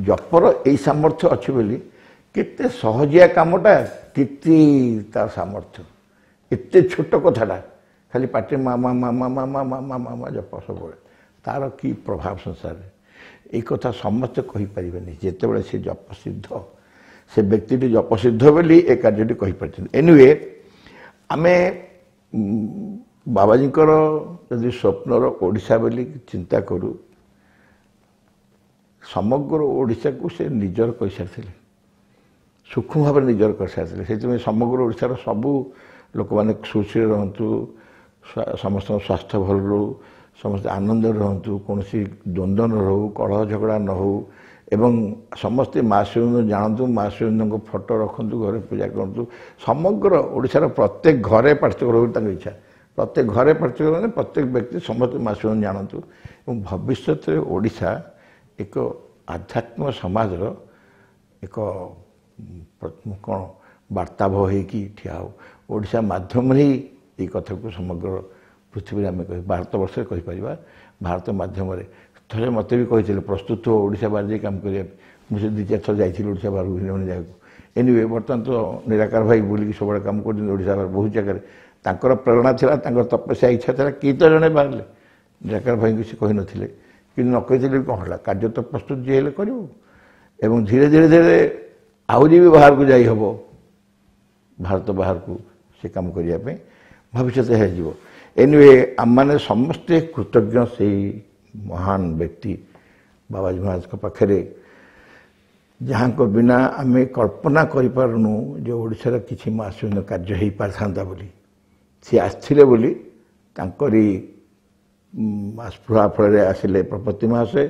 ଜପର ଏଇ ସାମର୍ଥ୍ୟ ଅଛି ବୋଲି କେତେ ସହଜିଆ କାମଟା, କେତେ ତାର ସାମର୍ଥ୍ୟ। ଏତେ ଛୋଟ କଥାଟା ଖାଲି ପାଟିରେ ମା ମା ମା ମା ମା ମା ମା ମା ମା ମା ଜପ ସବୁବେଳେ, ତାର କି ପ୍ରଭାବ ସଂସାରରେ, ଏଇ କଥା ସମସ୍ତେ କହିପାରିବେନି। ଯେତେବେଳେ ସେ ଜପ ସିଦ୍ଧ, ସେ ବ୍ୟକ୍ତିଟି ଜପ ସିଦ୍ଧ ବୋଲି ଏ କାର୍ଯ୍ୟଟି କହିପାରିଛନ୍ତି। ଏନିୱେ ଆମେ ବାବାଜୀଙ୍କର ଯଦି ସ୍ୱପ୍ନର ଓଡ଼ିଶା ବୋଲି ଚିନ୍ତା କରୁ, ସମଗ୍ର ଓଡ଼ିଶାକୁ ସେ ନିଜର କରିସାରିଥିଲେ, ସୂକ୍ଷ୍ମ ଭାବରେ ନିଜର କରିସାରିଥିଲେ। ସେଥିପାଇଁ ସମଗ୍ର ଓଡ଼ିଶାର ସବୁ ଲୋକମାନେ ଖୁସିରେ ରହନ୍ତୁ, ସମସ୍ତଙ୍କ ସ୍ୱାସ୍ଥ୍ୟ ଭଲ ରହୁ, ସମସ୍ତେ ଆନନ୍ଦରେ ରହନ୍ତୁ, କୌଣସି ଦ୍ୱନ୍ଦ୍ୱ ନ ରହୁ, କଳହ ଝଗଡ଼ା ନ ହେଉ, ଏବଂ ସମସ୍ତେ ମା ଶ୍ରୀଅରବିନ୍ଦ ଜାଣନ୍ତୁ, ମା ଶ୍ରୀଅରବିନ୍ଦଙ୍କ ଫଟୋ ରଖନ୍ତୁ, ଘରେ ପୂଜା କରନ୍ତୁ। ସମଗ୍ର ଓଡ଼ିଶାର ପ୍ରତ୍ୟେକ ଘରେ ପାଠ୍ୟକ୍ରମ ରହୁ ତାଙ୍କ ଇଚ୍ଛା। ପ୍ରତ୍ୟେକ ଘରେ ପାଠ୍ୟକ୍ରମ ମାନେ ପ୍ରତ୍ୟେକ ବ୍ୟକ୍ତି ସମସ୍ତେ ମା ଶ୍ରୀଅରବିନ୍ଦ ଜାଣନ୍ତୁ, ଏବଂ ଭବିଷ୍ୟତରେ ଓଡ଼ିଶା ଏକ ଆଧ୍ୟାତ୍ମିକ ସମାଜର ଏକ କ'ଣ ବାର୍ତ୍ତାବହ ହେଇକି ଠିଆ ହେଉ। ଓଡ଼ିଶା ମାଧ୍ୟମରେ ହିଁ ଏଇ କଥାକୁ ସମଗ୍ର ପୃଥିବୀରେ ଆମେ କହି ଭାରତବର୍ଷରେ କହିପାରିବା। ଭାରତ ମାଧ୍ୟମରେ ଥରେ ମୋତେ ବି କହିଥିଲେ ପ୍ରସ୍ତୁତ ହୁଅ ଓଡ଼ିଶା ବାହାରେ ଯାଇ କାମ କରିବା ପାଇଁ। ମୁଁ ସେ ଦୁଇ ଚାରି ଥର ଯାଇଥିଲି ଓଡ଼ିଶା ବାହାରକୁ ଭିନ୍ନ ଭିନ୍ନ ଜାଗାକୁ। ଏନିୱେ ବର୍ତ୍ତମାନ ତ ନିରାକାର ଭାଇ ବୁଲିକି ସବୁବେଳେ କାମ କରୁଛନ୍ତି ଓଡ଼ିଶା ବାହାରେ ବହୁତ ଜାଗାରେ। ତାଙ୍କର ପ୍ରେରଣା ଥିଲା, ତାଙ୍କର ତପସ୍ୟା ଇଚ୍ଛା ଥିଲା, କିଏ ତ ଜଣେ ବାହାରିଲେ। ନିରାକାର ଭାଇଙ୍କୁ ସେ କହିନଥିଲେ, କିନ୍ତୁ ନ କହିଥିଲେ ବି କ'ଣ ହେଲା, କାର୍ଯ୍ୟ ତ ପ୍ରସ୍ତୁତ ଯିଏ ହେଲେ କରିବ। ଏବଂ ଧୀରେ ଧୀରେ ଧୀରେ ଆହୁରି ବି ବାହାରକୁ ଯାଇ ହେବ, ଭାରତ ବାହାରକୁ ସେ କାମ କରିବା ପାଇଁ ଭବିଷ୍ୟତ ହେଇଯିବ। ଏନିୱେ ଆମମାନେ ସମସ୍ତେ କୃତଜ୍ଞ ସେଇ ମହାନ ବ୍ୟକ୍ତି ବାବାଜୀ ମହାରାଜଙ୍କ ପାଖରେ, ଯାହାଙ୍କ ବିନା ଆମେ କଳ୍ପନା କରିପାରୁନୁ ଯେ ଓଡ଼ିଶାର କିଛି ମାସୁନ କାର୍ଯ୍ୟ ହେଇପାରିଥାନ୍ତା ବୋଲି। ସିଏ ଆସିଥିଲେ ବୋଲି ତାଙ୍କରି ଆସ୍ପୃହା ଫଳରେ ଆସିଲେ ପ୍ରପତି ମହାଶୟ,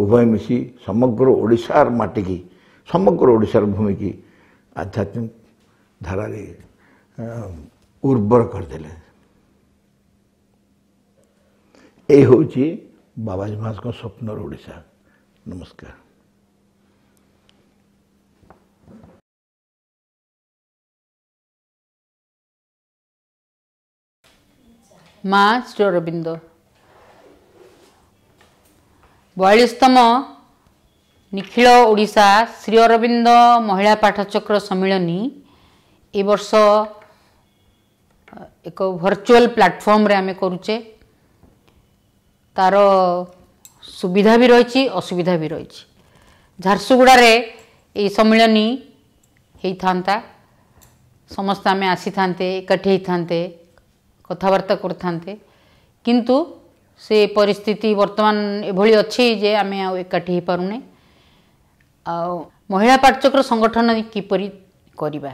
ଉଭୟ ମିଶି ସମଗ୍ର ଓଡ଼ିଶାର ମାଟିକି, ସମଗ୍ର ଓଡ଼ିଶାର ଭୂମିକି ଆଧ୍ୟାତ୍ମିକ ଧାରାରେ ଉର୍ବର କରିଦେଲେ। ଏଇ ହେଉଛି ବାବାଜୀ ମହାରାଜଙ୍କ ସ୍ୱପ୍ନର ଓଡ଼ିଶା। ନମସ୍କାର। ମା ଶ୍ରୀ ଅରବିନ୍ଦ ବୟାଳିଶତମ ନିଖିଳ ଓଡ଼ିଶା ଶ୍ରୀ ଅରବିନ୍ଦ ମହିଳା ପାଠଚକ୍ର ସମ୍ମିଳନୀ ଏ ବର୍ଷ ଏକ ଭର୍ଚୁଆଲ ପ୍ଲାଟଫର୍ମରେ ଆମେ କରୁଛେ। ତାର ସୁବିଧା ବି ରହିଛି, ଅସୁବିଧା ବି ରହିଛି। ଝାରସୁଗୁଡ଼ାରେ ଏଇ ସମ୍ମିଳନୀ ହେଇଥାନ୍ତା, ସମସ୍ତେ ଆମେ ଆସିଥାନ୍ତେ, ଏକାଠି ହେଇଥାନ୍ତେ, କଥାବାର୍ତ୍ତା କରିଥାନ୍ତେ, କିନ୍ତୁ ସେ ପରିସ୍ଥିତି ବର୍ତ୍ତମାନ ଏଭଳି ଅଛି ଯେ ଆମେ ଆଉ ଏକାଠି ହେଇପାରୁନେ। ଆଉ ମହିଳା ପାଠଚକ୍ର ସଂଗଠନ କିପରି କରିବା,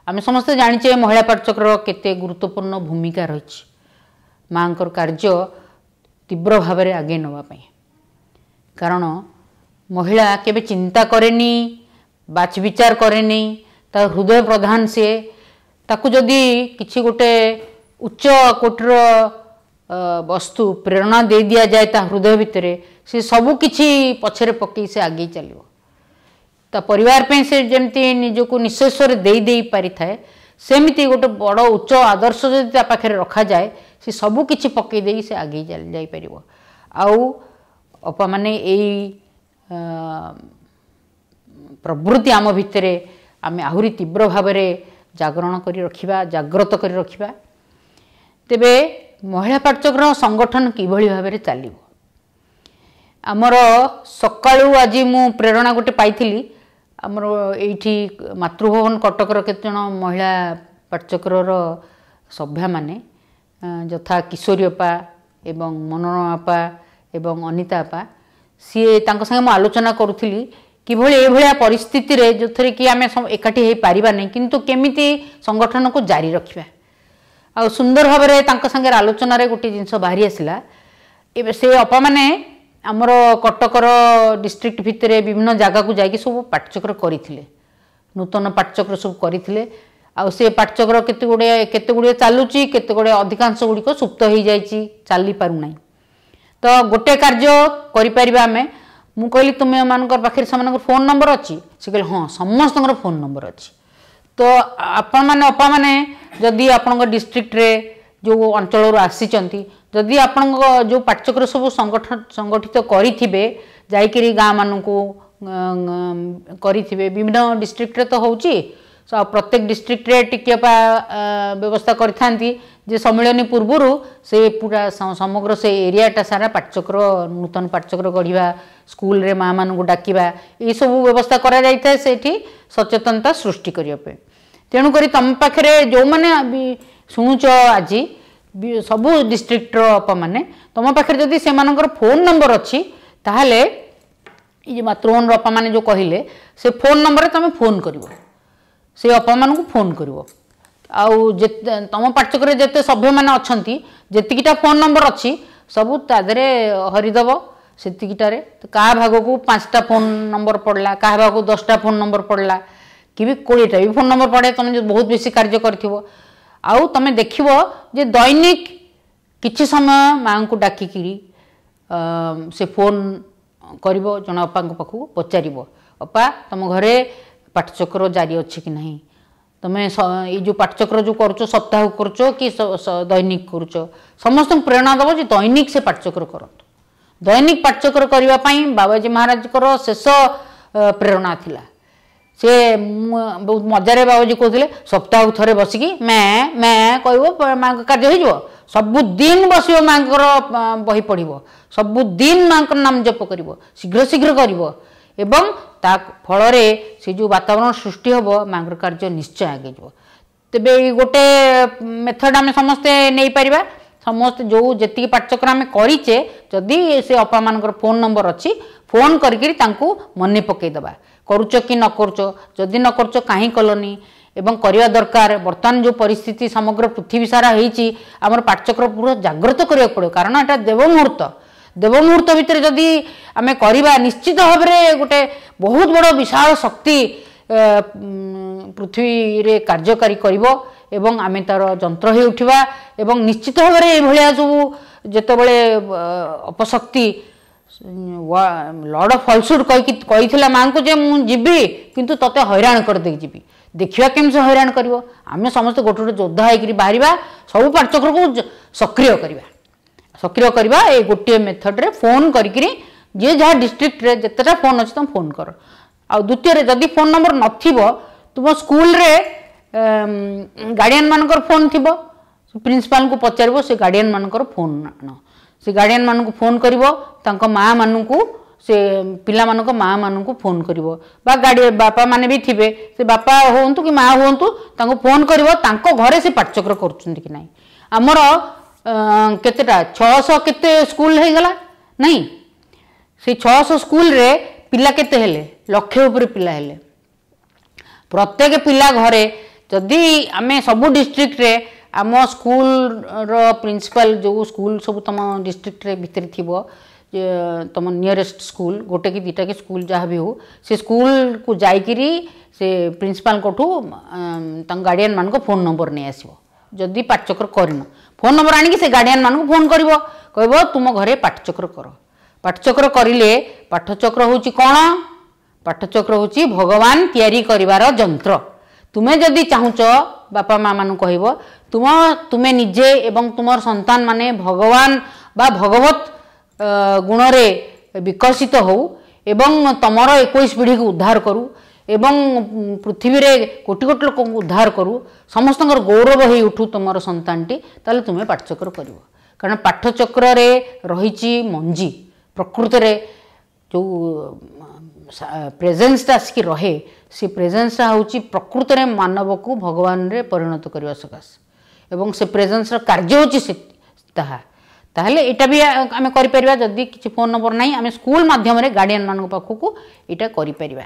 ଆମେ ସମସ୍ତେ ଜାଣିଛେ ମହିଳା ପାଠଚକ୍ରର କେତେ ଗୁରୁତ୍ୱପୂର୍ଣ୍ଣ ଭୂମିକା ରହିଛି ମାଆଙ୍କର କାର୍ଯ୍ୟ ତୀବ୍ର ଭାବରେ ଆଗେଇ ନେବା ପାଇଁ। କାରଣ ମହିଳା କେବେ ଚିନ୍ତା କରେନି, ବାଛ ବିଚାର କରେନି, ତା ହୃଦୟ ପ୍ରଧାନ ସିଏ। ତାକୁ ଯଦି କିଛି ଗୋଟେ ଉଚ୍ଚ କୋଟିର ବସ୍ତୁ ପ୍ରେରଣା ଦେଇ ଦିଆଯାଏ ତା ହୃଦୟ ଭିତରେ, ସେ ସବୁ କିଛି ପଛରେ ପକେଇ ସେ ଆଗେଇ ଚାଲିବ। ତା ପରିବାର ପାଇଁ ସେ ଯେମିତି ନିଜକୁ ନିଃଶେଷରେ ଦେଇ ଦେଇ ପାରିଥାଏ, ସେମିତି ଗୋଟେ ବଡ଼ ଉଚ୍ଚ ଆଦର୍ଶ ଯଦି ତା ପାଖରେ ରଖାଯାଏ, ସେ ସବୁ କିଛି ପକେଇ ଦେଇ ସେ ଆଗେଇ ଯାଇପାରିବ। ଆଉ ଅପାମାନେ ଏଇ ପ୍ରବୃତ୍ତି ଆମ ଭିତରେ ଆମେ ଆହୁରି ତୀବ୍ର ଭାବରେ ଜାଗରଣ କରି ରଖିବା, ଜାଗ୍ରତ କରି ରଖିବା। ତେବେ ମହିଳା ପାଠଚକ୍ର ସଂଗଠନ କିଭଳି ଭାବରେ ଚାଲିବ, ଆମର ସକାଳୁ ଆଜି ମୁଁ ପ୍ରେରଣା ଗୋଟେ ପାଇଥିଲି। ଆମର ଏଇଠି ମାତୃଭବନ କଟକର କେତେଜଣ ମହିଳା ପାଠଚକ୍ରର ସଭ୍ୟାମାନେ, ଯଥା କିଶୋରୀ ଅପା ଏବଂ ମନୋରମା ଅପା ଏବଂ ଅନିତା ଅପା, ସିଏ ତାଙ୍କ ସାଙ୍ଗେ ମୁଁ ଆଲୋଚନା କରୁଥିଲି କିଭଳି ଏଇଭଳିଆ ପରିସ୍ଥିତିରେ ଯେଉଁଥିରେ କି ଆମେ ଏକାଠି ହେଇପାରିବା ନାହିଁ, କିନ୍ତୁ କେମିତି ସଂଗଠନକୁ ଜାରି ରଖିବା। ଆଉ ସୁନ୍ଦର ଭାବରେ ତାଙ୍କ ସାଙ୍ଗରେ ଆଲୋଚନାରେ ଗୋଟିଏ ଜିନିଷ ବାହାରି ଆସିଲା। ଏବେ ସେ ଅପାମାନେ ଆମର କଟକର ଡିଷ୍ଟ୍ରିକ୍ଟ ଭିତରେ ବିଭିନ୍ନ ଜାଗାକୁ ଯାଇକି ସବୁ ପାଠଚକ୍ର କରିଥିଲେ, ନୂତନ ପାଠଚକ୍ର ସବୁ କରିଥିଲେ। ଆଉ ସେ ପାଠଚକ୍ର କେତେ ଗୁଡ଼ିଏ କେତେ ଗୁଡ଼ିଏ ଚାଲୁଛି, କେତେ ଗୁଡ଼ିଏ ଅଧିକାଂଶ ଗୁଡ଼ିକ ସୁପ୍ତ ହେଇଯାଇଛି, ଚାଲିପାରୁନାହିଁ। ତ ଗୋଟେ କାର୍ଯ୍ୟ କରିପାରିବା ଆମେ। ମୁଁ କହିଲି ତୁମେମାନଙ୍କର ପାଖରେ ସେମାନଙ୍କର ଫୋନ୍ ନମ୍ବର ଅଛି? ସେ କହିଲେ ହଁ, ସମସ୍ତଙ୍କର ଫୋନ୍ ନମ୍ବର ଅଛି। ତ ଆପଣମାନେ ଅପାମାନେ ଯଦି ଆପଣଙ୍କ ଡିଷ୍ଟ୍ରିକ୍ଟରେ ଯେଉଁ ଅଞ୍ଚଳରୁ ଆସିଛନ୍ତି, ଯଦି ଆପଣଙ୍କ ଯେଉଁ ପାଠଚକ୍ର ସବୁ ସଂଗଠନ ସଂଗଠିତ କରିଥିବେ, ଯାଇକିରି ଗାଁମାନଙ୍କୁ କରିଥିବେ, ବିଭିନ୍ନ ଡିଷ୍ଟ୍ରିକ୍ଟରେ ତ ହେଉଛି, ପ୍ରତ୍ୟେକ ଡିଷ୍ଟ୍ରିକ୍ଟରେ ଟିକେ ଅପା ବ୍ୟବସ୍ଥା କରିଥାନ୍ତି ଯେ ସମ୍ମିଳନୀ ପୂର୍ବରୁ ସେ ପୁରା ସମଗ୍ର ସେ ଏରିଆଟା ସାରା ପାଠଚକ୍ର, ନୂତନ ପାଠଚକ୍ର ଗଢ଼ିବା, ସ୍କୁଲରେ ମାଆମାନଙ୍କୁ ଡାକିବା, ଏଇସବୁ ବ୍ୟବସ୍ଥା କରାଯାଇଥାଏ ସେଇଠି ସଚେତନତା ସୃଷ୍ଟି କରିବା ପାଇଁ। ତେଣୁକରି ତୁମ ପାଖରେ ଯେଉଁମାନେ ବି ଶୁଣୁଛ ଆଜି ସବୁ ଡିଷ୍ଟ୍ରିକ୍ଟର ଅପାମାନେ, ତୁମ ପାଖରେ ଯଦି ସେମାନଙ୍କର ଫୋନ୍ ନମ୍ବର ଅଛି, ତାହେଲେ ଏଇ ଯେ ମାତୃଭବନର ଅପାମାନେ ଯେଉଁ କହିଲେ, ସେ ଫୋନ୍ ନମ୍ବରରେ ତୁମେ ଫୋନ୍ କରିବ, ସେ ଅପାମାନଙ୍କୁ ଫୋନ୍ କରିବ। ଆଉ ଯେତେ ତୁମ ପାଠଚକ୍ରରେ ଯେତେ ସଭ୍ୟମାନେ ଅଛନ୍ତି, ଯେତିକିଟା ଫୋନ୍ ନମ୍ବର ଅଛି ସବୁ ତା ଦେହରେ ହରିଦେବ। ସେତିକିଟାରେ କାହା ଭାଗକୁ ପାଞ୍ଚଟା ଫୋନ୍ ନମ୍ବର ପଡ଼ିଲା, କାହା ଭାଗକୁ ଦଶଟା ଫୋନ୍ ନମ୍ବର ପଡ଼ିଲା, କି ବି କୋଡ଼ିଏଟା ବି ଫୋନ୍ ନମ୍ବର ପଡ଼େ, ତୁମେ ଯଦି ବହୁତ ବେଶୀ କାର୍ଯ୍ୟ କରିଥିବ। ଆଉ ତୁମେ ଦେଖିବ ଯେ ଦୈନିକ କିଛି ସମୟ ମାଆଙ୍କୁ ଡାକିକିରି ସେ ଫୋନ୍ କରିବ, ଜଣେ ଅପାଙ୍କ ପାଖକୁ ପଚାରିବ, ଅପା ତୁମ ଘରେ ପାଠଚକ୍ର ଜାରି ଅଛି କି ନାହିଁ, ତୁମେ ଏଇ ଯେଉଁ ପାଠଚକ୍ର ଯେଉଁ କରୁଛ ସପ୍ତାହକୁ କରୁଛ କି ଦୈନିକ କରୁଛ, ସମସ୍ତଙ୍କୁ ପ୍ରେରଣା ଦେବ ଯେ ଦୈନିକ ସେ ପାଠଚକ୍ର କରନ୍ତୁ। ଦୈନିକ ପାଠଚକ୍ର କରିବା ପାଇଁ ବାବାଜୀ ମହାରାଜଙ୍କର ଶେଷ ପ୍ରେରଣା ଥିଲା। ସେ ବହୁତ ମଜାରେ ବାବାଜୀ କହୁଥିଲେ ସପ୍ତାହକୁ ଥରେ ବସିକି ମ୍ୟାଁ ମ୍ୟାଁ କହିବ, ମାଆଙ୍କ କାର୍ଯ୍ୟ ହେଇଯିବ। ସବୁଦିନ ବସିବ, ମାଆଙ୍କର ବହି ପଢ଼ିବ, ସବୁଦିନ ମାଆଙ୍କର ନାମ ଜପ କରିବ, ଶୀଘ୍ର ଶୀଘ୍ର କରିବ ଏବଂ ତା ଫଳରେ ସେ ଯେଉଁ ବାତାବରଣ ସୃଷ୍ଟି ହେବ ମାଆଙ୍କର କାର୍ଯ୍ୟ ନିଶ୍ଚୟ ଆଗେଇଯିବ। ତେବେ ଏଇ ଗୋଟେ ମେଥଡ଼ ଆମେ ସମସ୍ତେ ନେଇପାରିବା। ସମସ୍ତେ ଯେଉଁ ଯେତିକି ପାଠଚକ୍ର ଆମେ କରିଛେ, ଯଦି ସେ ଅପାମାନଙ୍କର ଫୋନ୍ ନମ୍ବର ଅଛି, ଫୋନ୍ କରିକିରି ତାଙ୍କୁ ମନେ ପକାଇଦେବା, କରୁଛ କି ନ କରୁଛ, ଯଦି ନ କରୁଛ କାହିଁ କଲନି, ଏବଂ କରିବା ଦରକାର। ବର୍ତ୍ତମାନ ଯେଉଁ ପରିସ୍ଥିତି ସମଗ୍ର ପୃଥିବୀ ସାରା ହେଇଛି, ଆମର ପାଠଚକ୍ର ପୁରା ଜାଗ୍ରତ କରିବାକୁ ପଡ଼ିବ। କାରଣ ଏଇଟା ଦେବ ମୁହୂର୍ତ୍ତ। ଦେବ ମୁହୂର୍ତ୍ତ ଭିତରେ ଯଦି ଆମେ କରିବା, ନିଶ୍ଚିତ ଭାବରେ ଗୋଟେ ବହୁତ ବଡ଼ ବିଶାଳ ଶକ୍ତି ପୃଥିବୀରେ କାର୍ଯ୍ୟକାରୀ କରିବ ଏବଂ ଆମେ ତାର ଯନ୍ତ୍ର ହେଇ ଉଠିବା। ଏବଂ ନିଶ୍ଚିତ ଭାବରେ ଏଇଭଳିଆ ସବୁ ଯେତେବେଳେ ଅପଶକ୍ତି ଲର୍ଡ଼ ଅଫ୍ ଫଲସୁଡ୍ କହିକି କହିଥିଲା ମାଆଙ୍କୁ ଯେ ମୁଁ ଯିବି କିନ୍ତୁ ତୋତେ ହଇରାଣ କରିଦେଇକି ଯିବି, ଦେଖିବା କେମିତି ସେ ହଇରାଣ କରିବ। ଆମେ ସମସ୍ତେ ଗୋଟେ ଗୋଟେ ଯୋଦ୍ଧା ହେଇକିରି ବାହାରିବା, ସବୁ ପାଠଚକ୍ରକୁ ସକ୍ରିୟ କରିବା। ସକ୍ରିୟ କରିବା ଏଇ ଗୋଟିଏ ମେଥଡ଼ରେ ଫୋନ୍ କରିକିରି ଯିଏ ଯାହା ଡିଷ୍ଟ୍ରିକ୍ଟରେ ଯେତେଟା ଫୋନ୍ ଅଛି ତୁମେ ଫୋନ୍ କର। ଆଉ ଦ୍ୱିତୀୟରେ ଯଦି ଫୋନ୍ ନମ୍ବର ନଥିବ, ତୁମ ସ୍କୁଲରେ ଗାର୍ଡ଼ିଆନ୍ ମାନଙ୍କର ଫୋନ୍ ଥିବ, ପ୍ରିନ୍ସିପାଲଙ୍କୁ ପଚାରିବ, ସେ ଗାର୍ଡ଼ିଆନ୍ ମାନଙ୍କର ଫୋନ୍ ଆଣ, ସେ ଗାର୍ଡ଼ିଆନ୍ ମାନଙ୍କୁ ଫୋନ୍ କରିବ, ତାଙ୍କ ମାଆ ମାନଙ୍କୁ, ସେ ପିଲାମାନଙ୍କ ମାଆ ମାନଙ୍କୁ ଫୋନ୍ କରିବ, ବା ଗାର୍ଡ଼ିଆ ବାପାମାନେ ବି ଥିବେ, ସେ ବାପା ହୁଅନ୍ତୁ କି ମାଆ ହୁଅନ୍ତୁ ତାଙ୍କୁ ଫୋନ୍ କରିବ, ତାଙ୍କ ଘରେ ସେ ପାଠଚକ୍ର କରୁଛନ୍ତି କି ନାହିଁ। ଆମର କେତେଟା ଛଅଶହ କେତେ ସ୍କୁଲ ହେଇଗଲା ନାଇଁ, ସେଇ ଛଅଶହ ସ୍କୁଲରେ ପିଲା କେତେ ହେଲେ? ଲକ୍ଷେ ଉପରେ ପିଲା ହେଲେ। ପ୍ରତ୍ୟେକ ପିଲା ଘରେ ଯଦି ଆମେ ସବୁ ଡିଷ୍ଟ୍ରିକ୍ଟରେ ଆମ ସ୍କୁଲର ପ୍ରିନ୍ସିପାଲ, ଯେଉଁ ସ୍କୁଲ ସବୁ ତୁମ ଡିଷ୍ଟ୍ରିକ୍ଟରେ ଭିତରେ ଥିବ, ତୁମ ନିୟରେଷ୍ଟ ସ୍କୁଲ ଗୋଟେ କି ଦୁଇଟା କି ସ୍କୁଲ ଯାହା ବି ହେଉ, ସେ ସ୍କୁଲକୁ ଯାଇକିରି ସେ ପ୍ରିନ୍ସିପାଲଙ୍କଠୁ ତାଙ୍କ ଗାର୍ଡ଼ିଆନ୍ ମାନଙ୍କ ଫୋନ୍ ନମ୍ବର ନେଇ ଆସିବ। ଯଦି ପାଠଚକ୍ର କରିନ, ଫୋନ୍ ନମ୍ବର ଆଣିକି ସେ ଗାର୍ଡ଼ିଆନ୍ ମାନଙ୍କୁ ଫୋନ୍ କରିବ, କହିବ ତୁମ ଘରେ ପାଠଚକ୍ର କର। ପାଠଚକ୍ର କରିଲେ, ପାଠଚକ୍ର ହେଉଛି କ'ଣ? ପାଠଚକ୍ର ହେଉଛି ଭଗବାନ ତିଆରି କରିବାର ଯନ୍ତ୍ର। ତୁମେ ଯଦି ଚାହୁଁଛ, ବାପା ମା ମାନଙ୍କୁ କହିବ, ତୁମ ତୁମେ ନିଜେ ଏବଂ ତୁମର ସନ୍ତାନ ମାନେ ଭଗବାନ ବା ଭଗବତ ଗୁଣରେ ବିକଶିତ ହଉ ଏବଂ ତମର ଏକୋଇଶ ପିଢ଼ିକୁ ଉଦ୍ଧାର କରୁ ଏବଂ ପୃଥିବୀରେ କୋଟି କୋଟି ଲୋକଙ୍କୁ ଉଦ୍ଧାର କରୁ, ସମସ୍ତଙ୍କର ଗୌରବ ହେଇ ଉଠୁ ତୁମର ସନ୍ତାନଟି, ତାହେଲେ ତୁମେ ପାଠଚକ୍ର କରିବ। କାରଣ ପାଠଚକ୍ରରେ ରହିଛି ମଞ୍ଜି। ପ୍ରକୃତରେ ଯେଉଁ ପ୍ରେଜେନ୍ସଟା ଆସିକି ରହେ, ସେ ପ୍ରେଜେନ୍ସଟା ହେଉଛି ପ୍ରକୃତରେ ମାନବକୁ ଭଗବାନରେ ପରିଣତ କରିବା ସକାଶେ, ଏବଂ ସେ ପ୍ରେଜେନ୍ସର କାର୍ଯ୍ୟ ହେଉଛି ସେ ତାହା। ତାହେଲେ ଏଇଟା ବି ଆମେ କରିପାରିବା। ଯଦି କିଛି ଫୋନ୍ ନମ୍ବର ନାହିଁ, ଆମେ ସ୍କୁଲ ମାଧ୍ୟମରେ ଗାର୍ଡ଼ିଆନ୍ ମାନଙ୍କ ପାଖକୁ ଏଇଟା କରିପାରିବା।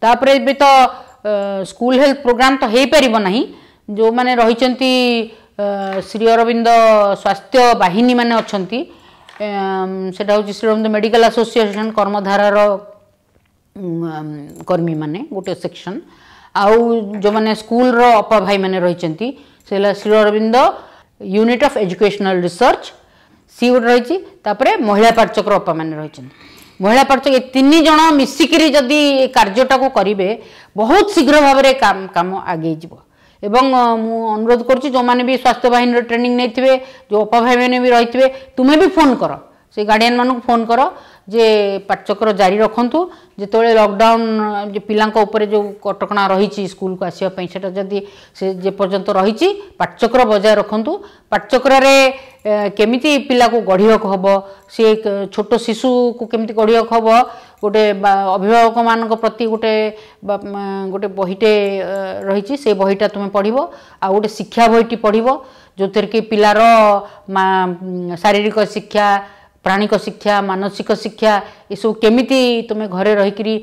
ତାପରେ ଏବେ ତ ସ୍କୁଲ ହେଲ୍ଥ ପ୍ରୋଗ୍ରାମ୍ ତ ହେଇପାରିବ ନାହିଁ, ଯେଉଁମାନେ ରହିଛନ୍ତି ଶ୍ରୀ ଅରବିନ୍ଦ ସ୍ୱାସ୍ଥ୍ୟ ବାହିନୀ ମାନେ ଅଛନ୍ତି, ସେଟା ହେଉଛି ଶ୍ରୀ ଅରବିନ୍ଦ ମେଡ଼ିକାଲ ଆସୋସିଏସନ୍ କର୍ମଧାରାର କର୍ମୀମାନେ ଗୋଟେ ସେକ୍ସନ୍, ଆଉ ଯେଉଁମାନେ ସ୍କୁଲର ଅପା ଭାଇମାନେ ରହିଛନ୍ତି, ସେ ହେଲା Shri Aurobindo unit of educational research C ଗୋଟେ ରହିଛି, ତାପରେ ମହିଳା ପାଠଚକ୍ର ଅପାମାନେ ରହିଛନ୍ତି। ମହିଳା ପାଠଚକ୍ର ଏ ତିନି ଜଣ ମିଶିକିରି ଯଦି ଏ କାର୍ଯ୍ୟଟାକୁ କରିବେ, ବହୁତ ଶୀଘ୍ର ଭାବରେ କାମ ଆଗେଇ ଯିବ। ଏବଂ ମୁଁ ଅନୁରୋଧ କରୁଛି, ଯେଉଁମାନେ ବି ସ୍ୱାସ୍ଥ୍ୟ ବାହିନୀର ଟ୍ରେନିଂ ନେଇଥିବେ, ଯେଉଁ ଅପା ଭାଇମାନେ ବି ରହିଥିବେ, ତୁମେ ବି ଫୋନ୍ କର, ସେ ଗାର୍ଡ଼ିଆନ୍ ମାନଙ୍କୁ ଫୋନ୍ କର ଯେ ପାଠଚକ୍ର ଜାରି ରଖନ୍ତୁ। ଯେତେବେଳେ ଲକଡାଉନ୍ ପିଲାଙ୍କ ଉପରେ ଯେଉଁ କଟକଣା ରହିଛି ସ୍କୁଲକୁ ଆସିବା ପାଇଁ, ସେଟା ଯଦି ସେ ଯେପର୍ଯ୍ୟନ୍ତ ରହିଛି ପାଠଚକ୍ର ବଜାୟ ରଖନ୍ତୁ। ପାଠଚକ୍ରରେ କେମିତି ପିଲାକୁ ଗଢ଼ିବାକୁ ହେବ, ସେ ଛୋଟ ଶିଶୁକୁ କେମିତି ଗଢ଼ିବାକୁ ହେବ, ଗୋଟେ ଅଭିଭାବକମାନଙ୍କ ପ୍ରତି ଗୋଟେ ଗୋଟେ ବହିଟେ ରହିଛି, ସେ ବହିଟା ତୁମେ ପଢ଼ିବ, ଆଉ ଗୋଟେ ଶିକ୍ଷା ବହିଟି ପଢ଼ିବ, ଯେଉଁଥିରେ କି ପିଲାର ଶାରୀରିକ ଶିକ୍ଷା, ପ୍ରାଣିକ ଶିକ୍ଷା, ମାନସିକ ଶିକ୍ଷା ଏସବୁ କେମିତି ତୁମେ ଘରେ ରହିକିରି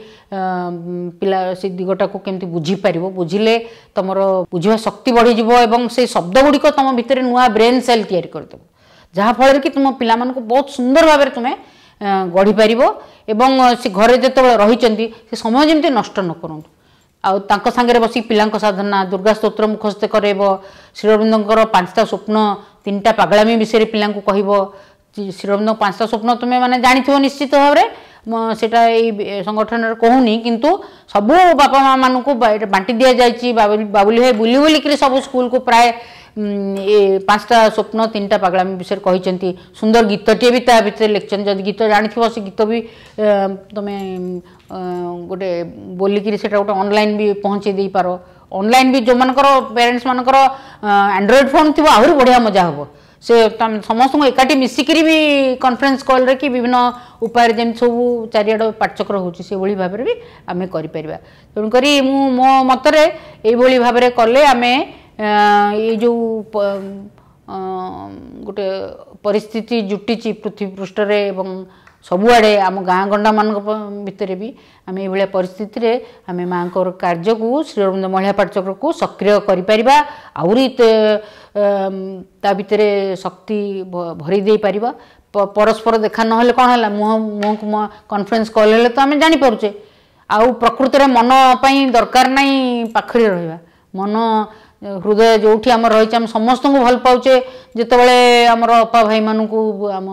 ପିଲା ସେ ଦିଗଟାକୁ କେମିତି ବୁଝିପାରିବ, ବୁଝିଲେ ତୁମର ବୁଝିବା ଶକ୍ତି ବଢ଼ିଯିବ ଏବଂ ସେଇ ଶବ୍ଦ ଗୁଡ଼ିକ ତୁମ ଭିତରେ ନୂଆ ବ୍ରେନ୍ ସେଲ୍ ତିଆରି କରିଦେବ, ଯାହାଫଳରେ କି ତୁମ ପିଲାମାନଙ୍କୁ ବହୁତ ସୁନ୍ଦର ଭାବରେ ତୁମେ ଗଢ଼ିପାରିବ। ଏବଂ ସେ ଘରେ ଯେତେବେଳେ ରହିଛନ୍ତି ସେ ସମୟ ଯେମିତି ନଷ୍ଟ ନ କରନ୍ତୁ, ଆଉ ତାଙ୍କ ସାଙ୍ଗରେ ବସିକି ପିଲାଙ୍କ ସାଧନା, ଦୁର୍ଗା ସ୍ତୋତ୍ର ମୁଖସ୍ଥ କରାଇବ, ଶ୍ରୀ ଅରବିନ୍ଦଙ୍କର ପାଞ୍ଚଟା ସ୍ୱପ୍ନ, ତିନିଟା ପାଗଳାମି ବିଷୟରେ ପିଲାଙ୍କୁ କହିବ। ଶ୍ରୀ ଅରବିନ୍ଦଙ୍କ ପାଞ୍ଚଟା ସ୍ୱପ୍ନ ତୁମେ ମାନେ ଜାଣିଥିବ ନିଶ୍ଚିତ ଭାବରେ, ସେଇଟା ଏଇ ସଂଗଠନରେ କହୁନି, କିନ୍ତୁ ସବୁ ବାପା ମା ମାନଙ୍କୁ ବାଣ୍ଟି ଦିଆଯାଇଛି। ବାବୁଲି ଭାଇ ବୁଲି ବୁଲିକିରି ସବୁ ସ୍କୁଲକୁ ପ୍ରାୟ ଏ ପାଞ୍ଚଟା ସ୍ୱପ୍ନ ତିନିଟା ପାଗଳାମି ବିଷୟରେ କହିଛନ୍ତି। ସୁନ୍ଦର ଗୀତଟିଏ ବି ତା ଭିତରେ ଲେଖିଛନ୍ତି। ଯଦି ଗୀତ ଜାଣିଥିବ ସେ ଗୀତ ବି ତମେ ଗୋଟେ ବୋଲିକିରି ସେଇଟା ଗୋଟେ ଅନଲାଇନ୍ ବି ପହଞ୍ଚେଇ ଦେଇପାର। ଅନଲାଇନ୍ ବି ଯେଉଁମାନଙ୍କର ପ୍ୟାରେଣ୍ଟସ୍ ମାନଙ୍କର ଆଣ୍ଡ୍ରଏଡ଼୍ ଫୋନ୍ ଥିବ ଆହୁରି ବଢ଼ିଆ ମଜା ହେବ। ସେ ସମସ୍ତଙ୍କୁ ଏକାଠି ମିଶିକିରି ବି କନଫରେନ୍ସ କଲ୍ରେ କି ବିଭିନ୍ନ ଉପାୟରେ ଯେମିତି ସବୁ ଚାରିଆଡ଼ ପାଠଚକ୍ର ହେଉଛି ସେଭଳି ଭାବରେ ବି ଆମେ କରିପାରିବା। ତେଣୁକରି ମୁଁ ମୋ ମତରେ ଏଇଭଳି ଭାବରେ କଲେ ଆମେ ଏଇ ଯେଉଁ ଗୋଟେ ପରିସ୍ଥିତି ଜୁଟିଛି ପୃଥିବୀ ପୃଷ୍ଠରେ ଏବଂ ସବୁଆଡ଼େ ଆମ ଗାଁ ଗଣ୍ଡାମାନଙ୍କ ଭିତରେ ବି ଆମେ ଏଇଭଳିଆ ପରିସ୍ଥିତିରେ ଆମେ ମାଆଙ୍କର କାର୍ଯ୍ୟକୁ ଶ୍ରୀ ଅରବିନ୍ଦ ମହିଳା ପାଠଚକ୍ରକୁ ସକ୍ରିୟ କରିପାରିବା, ଆହୁରି ତା ଭିତରେ ଶକ୍ତି ଭରି ଦେଇପାରିବା। ପରସ୍ପର ଦେଖା ନହେଲେ କ'ଣ ହେଲା, ମୁହଁ ମୁହଁକୁ ମୁହଁ କନଫରେନ୍ସ କଲ୍ ହେଲେ ତ ଆମେ ଜାଣିପାରୁଛେ। ଆଉ ପ୍ରକୃତରେ ମନ ପାଇଁ ଦରକାର ନାହିଁ ପାଖରେ ରହିବା, ମନ ହୃଦୟ ଯେଉଁଠି ଆମର ରହିଛି ଆମେ ସମସ୍ତଙ୍କୁ ଭଲ ପାଉଛେ। ଯେତେବେଳେ ଆମର ଅପା ଭାଇମାନଙ୍କୁ ଆମ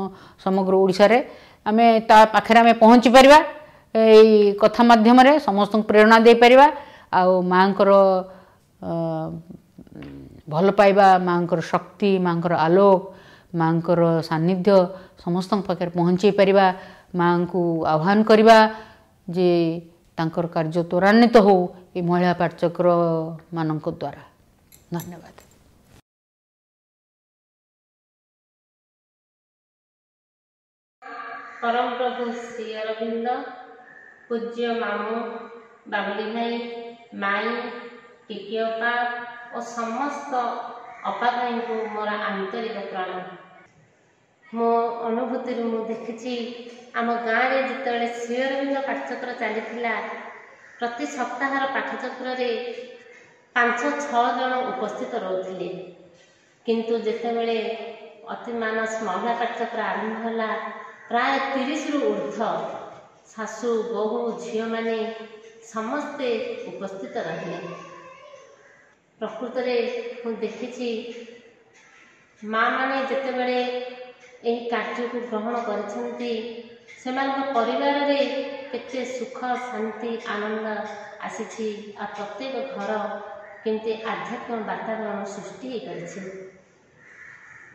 ସମଗ୍ର ଓଡ଼ିଶାରେ ଆମେ ତା ପାଖରେ ଆମେ ପହଞ୍ଚି ପାରିବା, ଏଇ କଥା ମାଧ୍ୟମରେ ସମସ୍ତଙ୍କୁ ପ୍ରେରଣା ଦେଇପାରିବା। ଆଉ ମାଆଙ୍କର ଭଲ ପାଇବା, ମାଆଙ୍କର ଶକ୍ତି, ମାଆଙ୍କର ଆଲୋକ, ମାଆଙ୍କର ସାନ୍ନିଧ୍ୟ ସମସ୍ତଙ୍କ ପାଖରେ ପହଞ୍ଚେଇ ପାରିବା। ମାଆଙ୍କୁ ଆହ୍ୱାନ କରିବା ଯେ ତାଙ୍କର କାର୍ଯ୍ୟ ତ୍ୱରାନ୍ୱିତ ହେଉ ଏ ମହିଳା ପାଠଚକ୍ର ମାନଙ୍କ ଦ୍ୱାରା। ଧନ୍ୟବାଦ। ପରମ ପ୍ରଭୁ ଶ୍ରୀ ଅରବିନ୍ଦ, ପୂଜ୍ୟ ମାମୁଁ ବାବୁଲି ଭାଇ, ମାଇଁ, ଟିକି ଅପା ଓ ସମସ୍ତ ଅପା ଭାଇଙ୍କୁ ମୋର ଆନ୍ତରିକ ପ୍ରଣାମ। ମୋ ଅନୁଭୂତିରୁ ମୁଁ ଦେଖିଛି ଆମ ଗାଁରେ ଯେତେବେଳେ ଶ୍ରୀ ଅରବିନ୍ଦ ପାଠଚକ୍ର ଚାଲିଥିଲା, ପ୍ରତି ସପ୍ତାହର ପାଠଚକ୍ରରେ ପାଞ୍ଚ ଛଅ ଜଣ ଉପସ୍ଥିତ ରହୁଥିଲେ। କିନ୍ତୁ ଯେତେବେଳେ ଅତିମାନସ ମହିଳା ପାଠଚକ୍ର ଆରମ୍ଭ ହେଲା, ପ୍ରାୟ ତିରିଶରୁ ଉର୍ଦ୍ଧ୍ୱ ଶାଶୁ ବୋହୂ ଝିଅମାନେ ସମସ୍ତେ ଉପସ୍ଥିତ ରହିଲେ। ପ୍ରକୃତରେ ମୁଁ ଦେଖିଛି ମାଆମାନେ ଯେତେବେଳେ ଏହି କାର୍ଯ୍ୟକୁ ଗ୍ରହଣ କରିଛନ୍ତି, ସେମାନଙ୍କ ପରିବାରରେ କେତେ ସୁଖ ଶାନ୍ତି ଆନନ୍ଦ ଆସିଛି ଆଉ ପ୍ରତ୍ୟେକ ଘର କେମିତି ଆଧ୍ୟାତ୍ମିକ ବାତାବରଣ ସୃଷ୍ଟି ହୋଇପାରିଛି।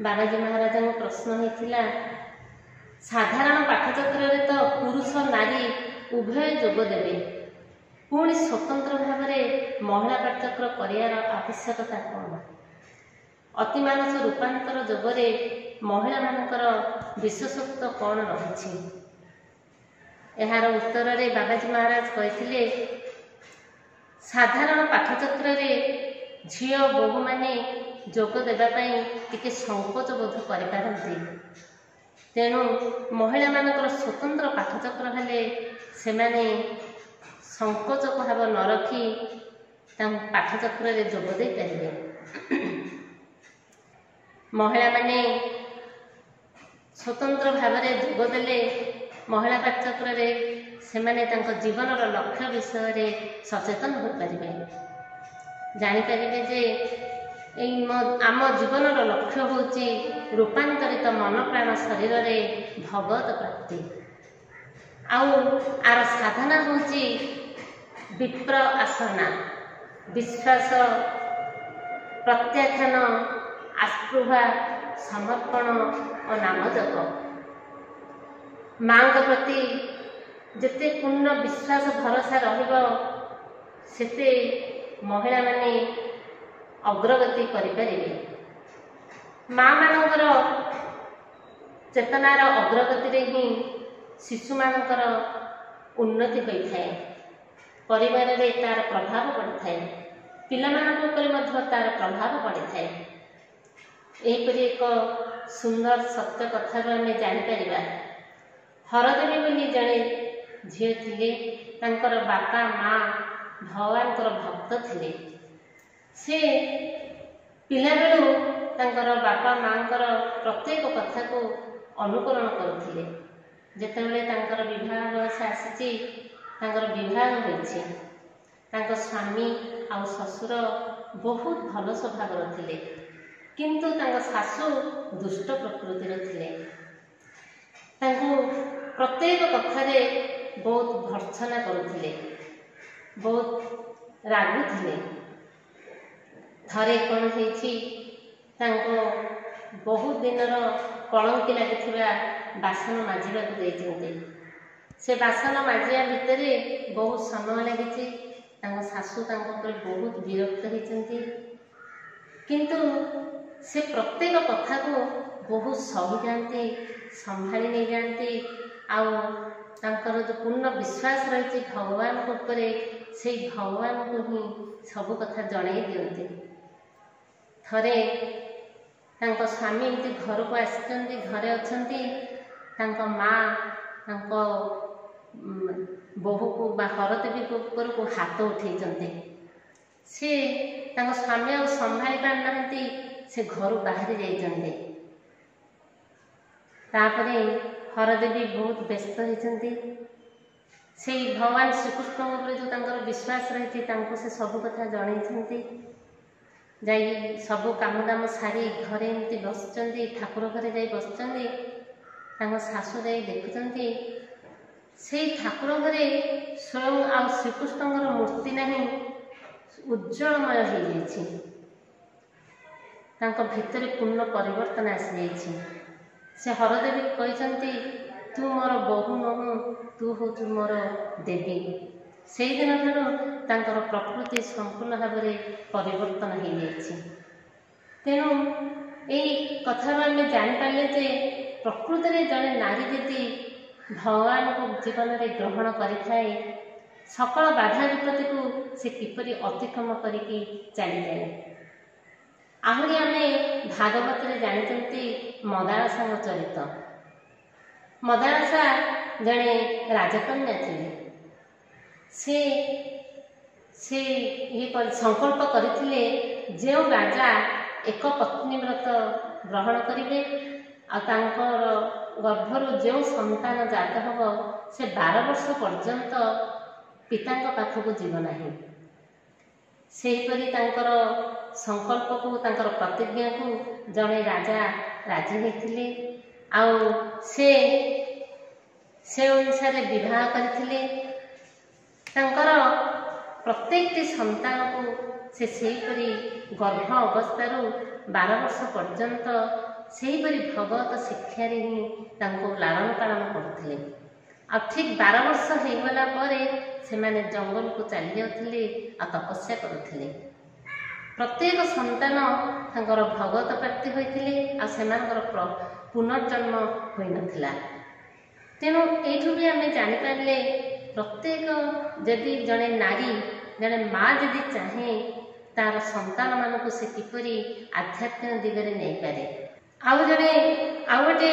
ବାବାଜୀ ମହାରାଜଙ୍କ ପ୍ରଶ୍ନ ହେଇଥିଲା, ସାଧାରଣ ପାଠଚକ୍ରରେ ତ ପୁରୁଷ ନାରୀ ଉଭୟ ଯୋଗ ଦେବେ, ପୁଣି ସ୍ୱତନ୍ତ୍ର ଭାବରେ ମହିଳା ପାଠଚକ୍ର କରିବାର ଆବଶ୍ୟକତା କ'ଣ? ଅତିମାନସ ରୂପାନ୍ତର ଯୋଗରେ ମହିଳାମାନଙ୍କର ବିଶେଷତ୍ୱ କ'ଣ ରହିଛି? ଏହାର ଉତ୍ତରରେ ବାବାଜୀ ମହାରାଜ କହିଥିଲେ, ସାଧାରଣ ପାଠଚକ୍ରରେ ଝିଅ ବୋହୂମାନେ ଯୋଗ ଦେବା ପାଇଁ ଟିକେ ସଂକୋଚ ବୋଧ କରିପାରନ୍ତି। ତେଣୁ ମହିଳାମାନଙ୍କର ସ୍ୱତନ୍ତ୍ର ପାଠଚକ୍ର ହେଲେ ସେମାନେ ସଂକୋଚ ଭାବ ନ ରଖି ତାଙ୍କ ପାଠଚକ୍ରରେ ଯୋଗ ଦେଇପାରିବେ। ମହିଳାମାନେ ସ୍ୱତନ୍ତ୍ର ଭାବରେ ଯୋଗ ଦେଲେ ମହିଳା ପାଠଚକ୍ରରେ ସେମାନେ ତାଙ୍କ ଜୀବନର ଲକ୍ଷ୍ୟ ବିଷୟରେ ସଚେତନ ହୋଇପାରିବେ, ଜାଣିପାରିବେ ଯେ ଏଇ ଆମ ଜୀବନର ଲକ୍ଷ୍ୟ ହେଉଛି ରୂପାନ୍ତରିତ ମନ ପ୍ରାଣ ଶରୀରରେ ଭଗବତ ପ୍ରାପ୍ତି, ଆଉ ଆର ସାଧନା ହେଉଛି ବିପ୍ର ଆସନା, ବିଶ୍ୱାସ, ପ୍ରତ୍ୟାଖ୍ୟାନ, ଆସ୍ପୃହା, ସମର୍ପଣ ଓ ନାମଜପ। ମାଆଙ୍କ ପ୍ରତି ଯେତେ ପୂର୍ଣ୍ଣ ବିଶ୍ୱାସ ଭରସା ରହିବ, ସେତେ ମହିଳାମାନେ ଅଗ୍ରଗତି କରିପାରିବେ। ମାଆମାନଙ୍କର ଚେତନାର ଅଗ୍ରଗତିରେ ହିଁ ଶିଶୁମାନଙ୍କର ଉନ୍ନତି ହୋଇଥାଏ, ପରିବାରରେ ତାର ପ୍ରଭାବ ପଡ଼ିଥାଏ, ପିଲାମାନଙ୍କ ଉପରେ ମଧ୍ୟ ତାର ପ୍ରଭାବ ପଡ଼ିଥାଏ। ଏହିପରି ଏକ ସୁନ୍ଦର ସତ୍ୟ କଥାରୁ ଆମେ ଜାଣିପାରିବା। ହରଦେବୀ ବୋଲି ଜଣେ ଝିଅ ଥିଲେ, ତାଙ୍କର ବାପା ମା ଭଗବାନଙ୍କର ଭକ୍ତ ଥିଲେ। ସେ ପିଲାବେଳୁ ତାଙ୍କର ବାପା ମାଙ୍କର ପ୍ରତ୍ୟେକ କଥାକୁ ଅନୁକରଣ କରୁଥିଲେ। ଯେତେବେଳେ ତାଙ୍କର ବିବାହ ବୟସ ଆସିଛି, ତାଙ୍କର ବିବାହ ହୋଇଛି। ତାଙ୍କ ସ୍ୱାମୀ ଆଉ ଶ୍ୱଶୁର ବହୁତ ଭଲ ସ୍ୱଭାବର ଥିଲେ, କିନ୍ତୁ ତାଙ୍କ ଶାଶୁ ଦୁଷ୍ଟ ପ୍ରକୃତିର ଥିଲେ। ତାଙ୍କୁ ପ୍ରତ୍ୟେକ କଥାରେ ବହୁତ ଭର୍ତ୍ସନା କରୁଥିଲେ, ବହୁତ ରାଗୁଥିଲେ। ଥରେ କ'ଣ ହେଇଛି, ତାଙ୍କ ବହୁତ ଦିନର କଳଙ୍କି ଲାଗିଥିବା ବାସନ ମାଜିବାକୁ ଦେଇଛନ୍ତି। ସେ ବାସନ ମାଜିବା ଭିତରେ ବହୁତ ସମୟ ଲାଗିଛି। ତାଙ୍କ ଶାଶୁ ତାଙ୍କ ଉପରେ ବହୁତ ବିରକ୍ତ ହେଇଛନ୍ତି, କିନ୍ତୁ ସେ ପ୍ରତ୍ୟେକ କଥାକୁ ବହୁତ ସହିଯାଆନ୍ତି, ସମ୍ଭାଳି ନେଇଯାଆନ୍ତି। ଆଉ ତାଙ୍କର ଯେଉଁ ପୂର୍ଣ୍ଣ ବିଶ୍ୱାସ ରହିଛି ଭଗବାନଙ୍କ ଉପରେ, ସେଇ ଭଗବାନଙ୍କୁ ହିଁ ସବୁ କଥା ଜଣାଇ ଦିଅନ୍ତି। ଥରେ ତାଙ୍କ ସ୍ୱାମୀ ଏମିତି ଘରକୁ ଆସିଛନ୍ତି, ଘରେ ଅଛନ୍ତି, ତାଙ୍କ ମା ତାଙ୍କ ବୋହୂକୁ ବା ହରଦେବୀଙ୍କ ଉପରକୁ ହାତ ଉଠେଇଛନ୍ତି। ସେ ତାଙ୍କ ସ୍ୱାମୀ ଆଉ ସମ୍ଭାଳି ପାରୁନାହାନ୍ତି, ସେ ଘରୁ ବାହାରି ଯାଇଛନ୍ତି। ତାପରେ ହରଦେବୀ ବହୁତ ବ୍ୟସ୍ତ ହେଇଛନ୍ତି। ସେଇ ଭଗବାନ ଶ୍ରୀକୃଷ୍ଣଙ୍କ ଉପରେ ଯେଉଁ ତାଙ୍କର ବିଶ୍ୱାସ ରହିଛି, ତାଙ୍କୁ ସେ ସବୁ କଥା ଜଣେଇଛନ୍ତି। ଯାଇ ସବୁ କାମ ଦାମ ସାରି ଘରେ ଏମିତି ବସିଛନ୍ତି, ଠାକୁର ଘରେ ଯାଇ ବସିଛନ୍ତି। ତାଙ୍କ ଶାଶୁ ଯାଇ ଦେଖୁଛନ୍ତି, ସେଇ ଠାକୁର ଘରେ ସ୍ୱୟଂ ଆଉ ଶ୍ରୀକୃଷ୍ଣଙ୍କର ମୂର୍ତ୍ତି ନାହିଁ, ଉଜ୍ଜଳମୟ ହେଇଯାଇଛି। ତାଙ୍କ ଭିତରେ ପୂର୍ଣ୍ଣ ପରିବର୍ତ୍ତନ ଆସିଯାଇଛି। ସେ ହରଦେବୀ କହିଛନ୍ତି, ତୁ ମୋର ବୋହୂ ନୁହଁ, ତୁ ହେଉଛୁ ମୋର ଦେବୀ। ସେଇଦିନଠାରୁ ତାଙ୍କର ପ୍ରକୃତି ସମ୍ପୂର୍ଣ୍ଣ ଭାବରେ ପରିବର୍ତ୍ତନ ହେଇଯାଇଛି। ତେଣୁ ଏଇ କଥାରୁ ଆମେ ଜାଣିପାରିଲେ ଯେ ପ୍ରକୃତରେ ଜଣେ ନାରୀ ଯଦି ଭଗବାନଙ୍କୁ ଜୀବନରେ ଗ୍ରହଣ କରିଥାଏ, ସକଳ ବାଧା ବିପତ୍ତିକୁ ସେ କିପରି ଅତିକ୍ରମ କରିକି ଚାଲିଯାଏ। ଆହୁରି ଆମେ ଭାଗବତରେ ଜାଣିଛନ୍ତି ମଦାଳସାଙ୍କ ଚରିତ। ମଦାଳସା ଜଣେ ରାଜକନ୍ୟା ଥିଲେ। ସେ ସେ ଇଏ ସଂକଳ୍ପ କରିଥିଲେ, ଯେଉଁ ରାଜା ଏକ ପତ୍ନୀ ବ୍ରତ ଗ୍ରହଣ କରିବେ ଆଉ ତାଙ୍କର ଗର୍ଭରୁ ଯେଉଁ ସନ୍ତାନ ଜାତ ହେବ, ସେ ବାର ବର୍ଷ ପର୍ଯ୍ୟନ୍ତ ପିତାଙ୍କ ପାଖକୁ ଯିବ ନାହିଁ। ସେହିପରି ତାଙ୍କର ସଂକଳ୍ପକୁ, ତାଙ୍କର ପ୍ରତିଜ୍ଞାକୁ ଜଣେ ରାଜା ରାଜି ହୋଇଥିଲେ ଆଉ ସେ ସେ ଅନୁସାରେ ବିବାହ କରିଥିଲେ। ତାଙ୍କର ପ୍ରତ୍ୟେକଟି ସନ୍ତାନକୁ ସେ ସେହିପରି ଗର୍ଭ ଅବସ୍ଥାରୁ ବାର ବର୍ଷ ପର୍ଯ୍ୟନ୍ତ ସେହିପରି ଭଗବତ ଶିକ୍ଷାରେ ହିଁ ତାଙ୍କୁ ଲାଳନ ପାଳନ କରୁଥିଲେ। ଆଉ ଠିକ୍ ବାର ବର୍ଷ ହେଇଗଲା ପରେ ସେମାନେ ଜଙ୍ଗଲକୁ ଚାଲି ଯାଉଥିଲେ ଆଉ ତପସ୍ୟା କରୁଥିଲେ। ପ୍ରତ୍ୟେକ ସନ୍ତାନ ତାଙ୍କର ଭଗବତ ପ୍ରାପ୍ତି ହୋଇଥିଲେ ଆଉ ସେମାନଙ୍କର ପୁନର୍ଜନ୍ମ ହୋଇନଥିଲା। ତେଣୁ ଏଇଠୁ ବି ଆମେ ଜାଣିପାରିଲେ, ପ୍ରତ୍ୟେକ ଯଦି ଜଣେ ନାରୀ, ଜଣେ ମା ଯଦି ଚାହେଁ, ତାର ସନ୍ତାନମାନଙ୍କୁ ସେ କିପରି ଆଧ୍ୟାତ୍ମିକ ଦିଗରେ ନେଇପାରେ। ଆଉ ଜଣେ ଆଉ ଗୋଟେ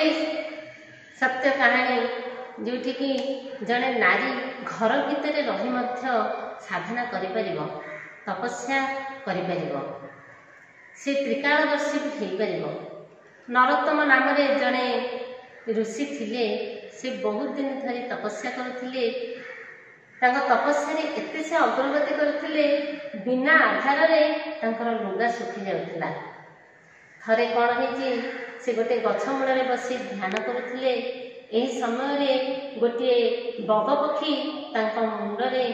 ସତ୍ୟ କାହାଣୀ, ଯେଉଁଠିକି ଜଣେ ନାରୀ ଘର ଭିତରେ ରହି ମଧ୍ୟ ସାଧନା କରିପାରିବ, ତପସ୍ୟା କରିପାରିବ, ସେ ତ୍ରିକାଳଦର୍ଶୀ ବି ହେଇପାରିବ। ନରୋତ୍ତମ ନାମରେ ଜଣେ ଋଷି ଥିଲେ। ସେ ବହୁତ ଦିନ ଧରି ତପସ୍ୟା କରୁଥିଲେ। ତାଙ୍କ ତପସ୍ୟାରେ ଏତେ ସେ ଅଗ୍ରଗତି କରୁଥିଲେ, ବିନା ଆଧାରରେ ତାଙ୍କର ଲୁଗା ଶୁଖି ଯାଉଥିଲା। ଥରେ କ'ଣ ହେଇଛି, ସେ ଗୋଟେ ଗଛ ମୂଳରେ ବସି ଧ୍ୟାନ କରୁଥିଲେ। ଏହି ସମୟରେ ଗୋଟିଏ ବଗ ପକ୍ଷୀ ତାଙ୍କ ମୁଣ୍ଡରେ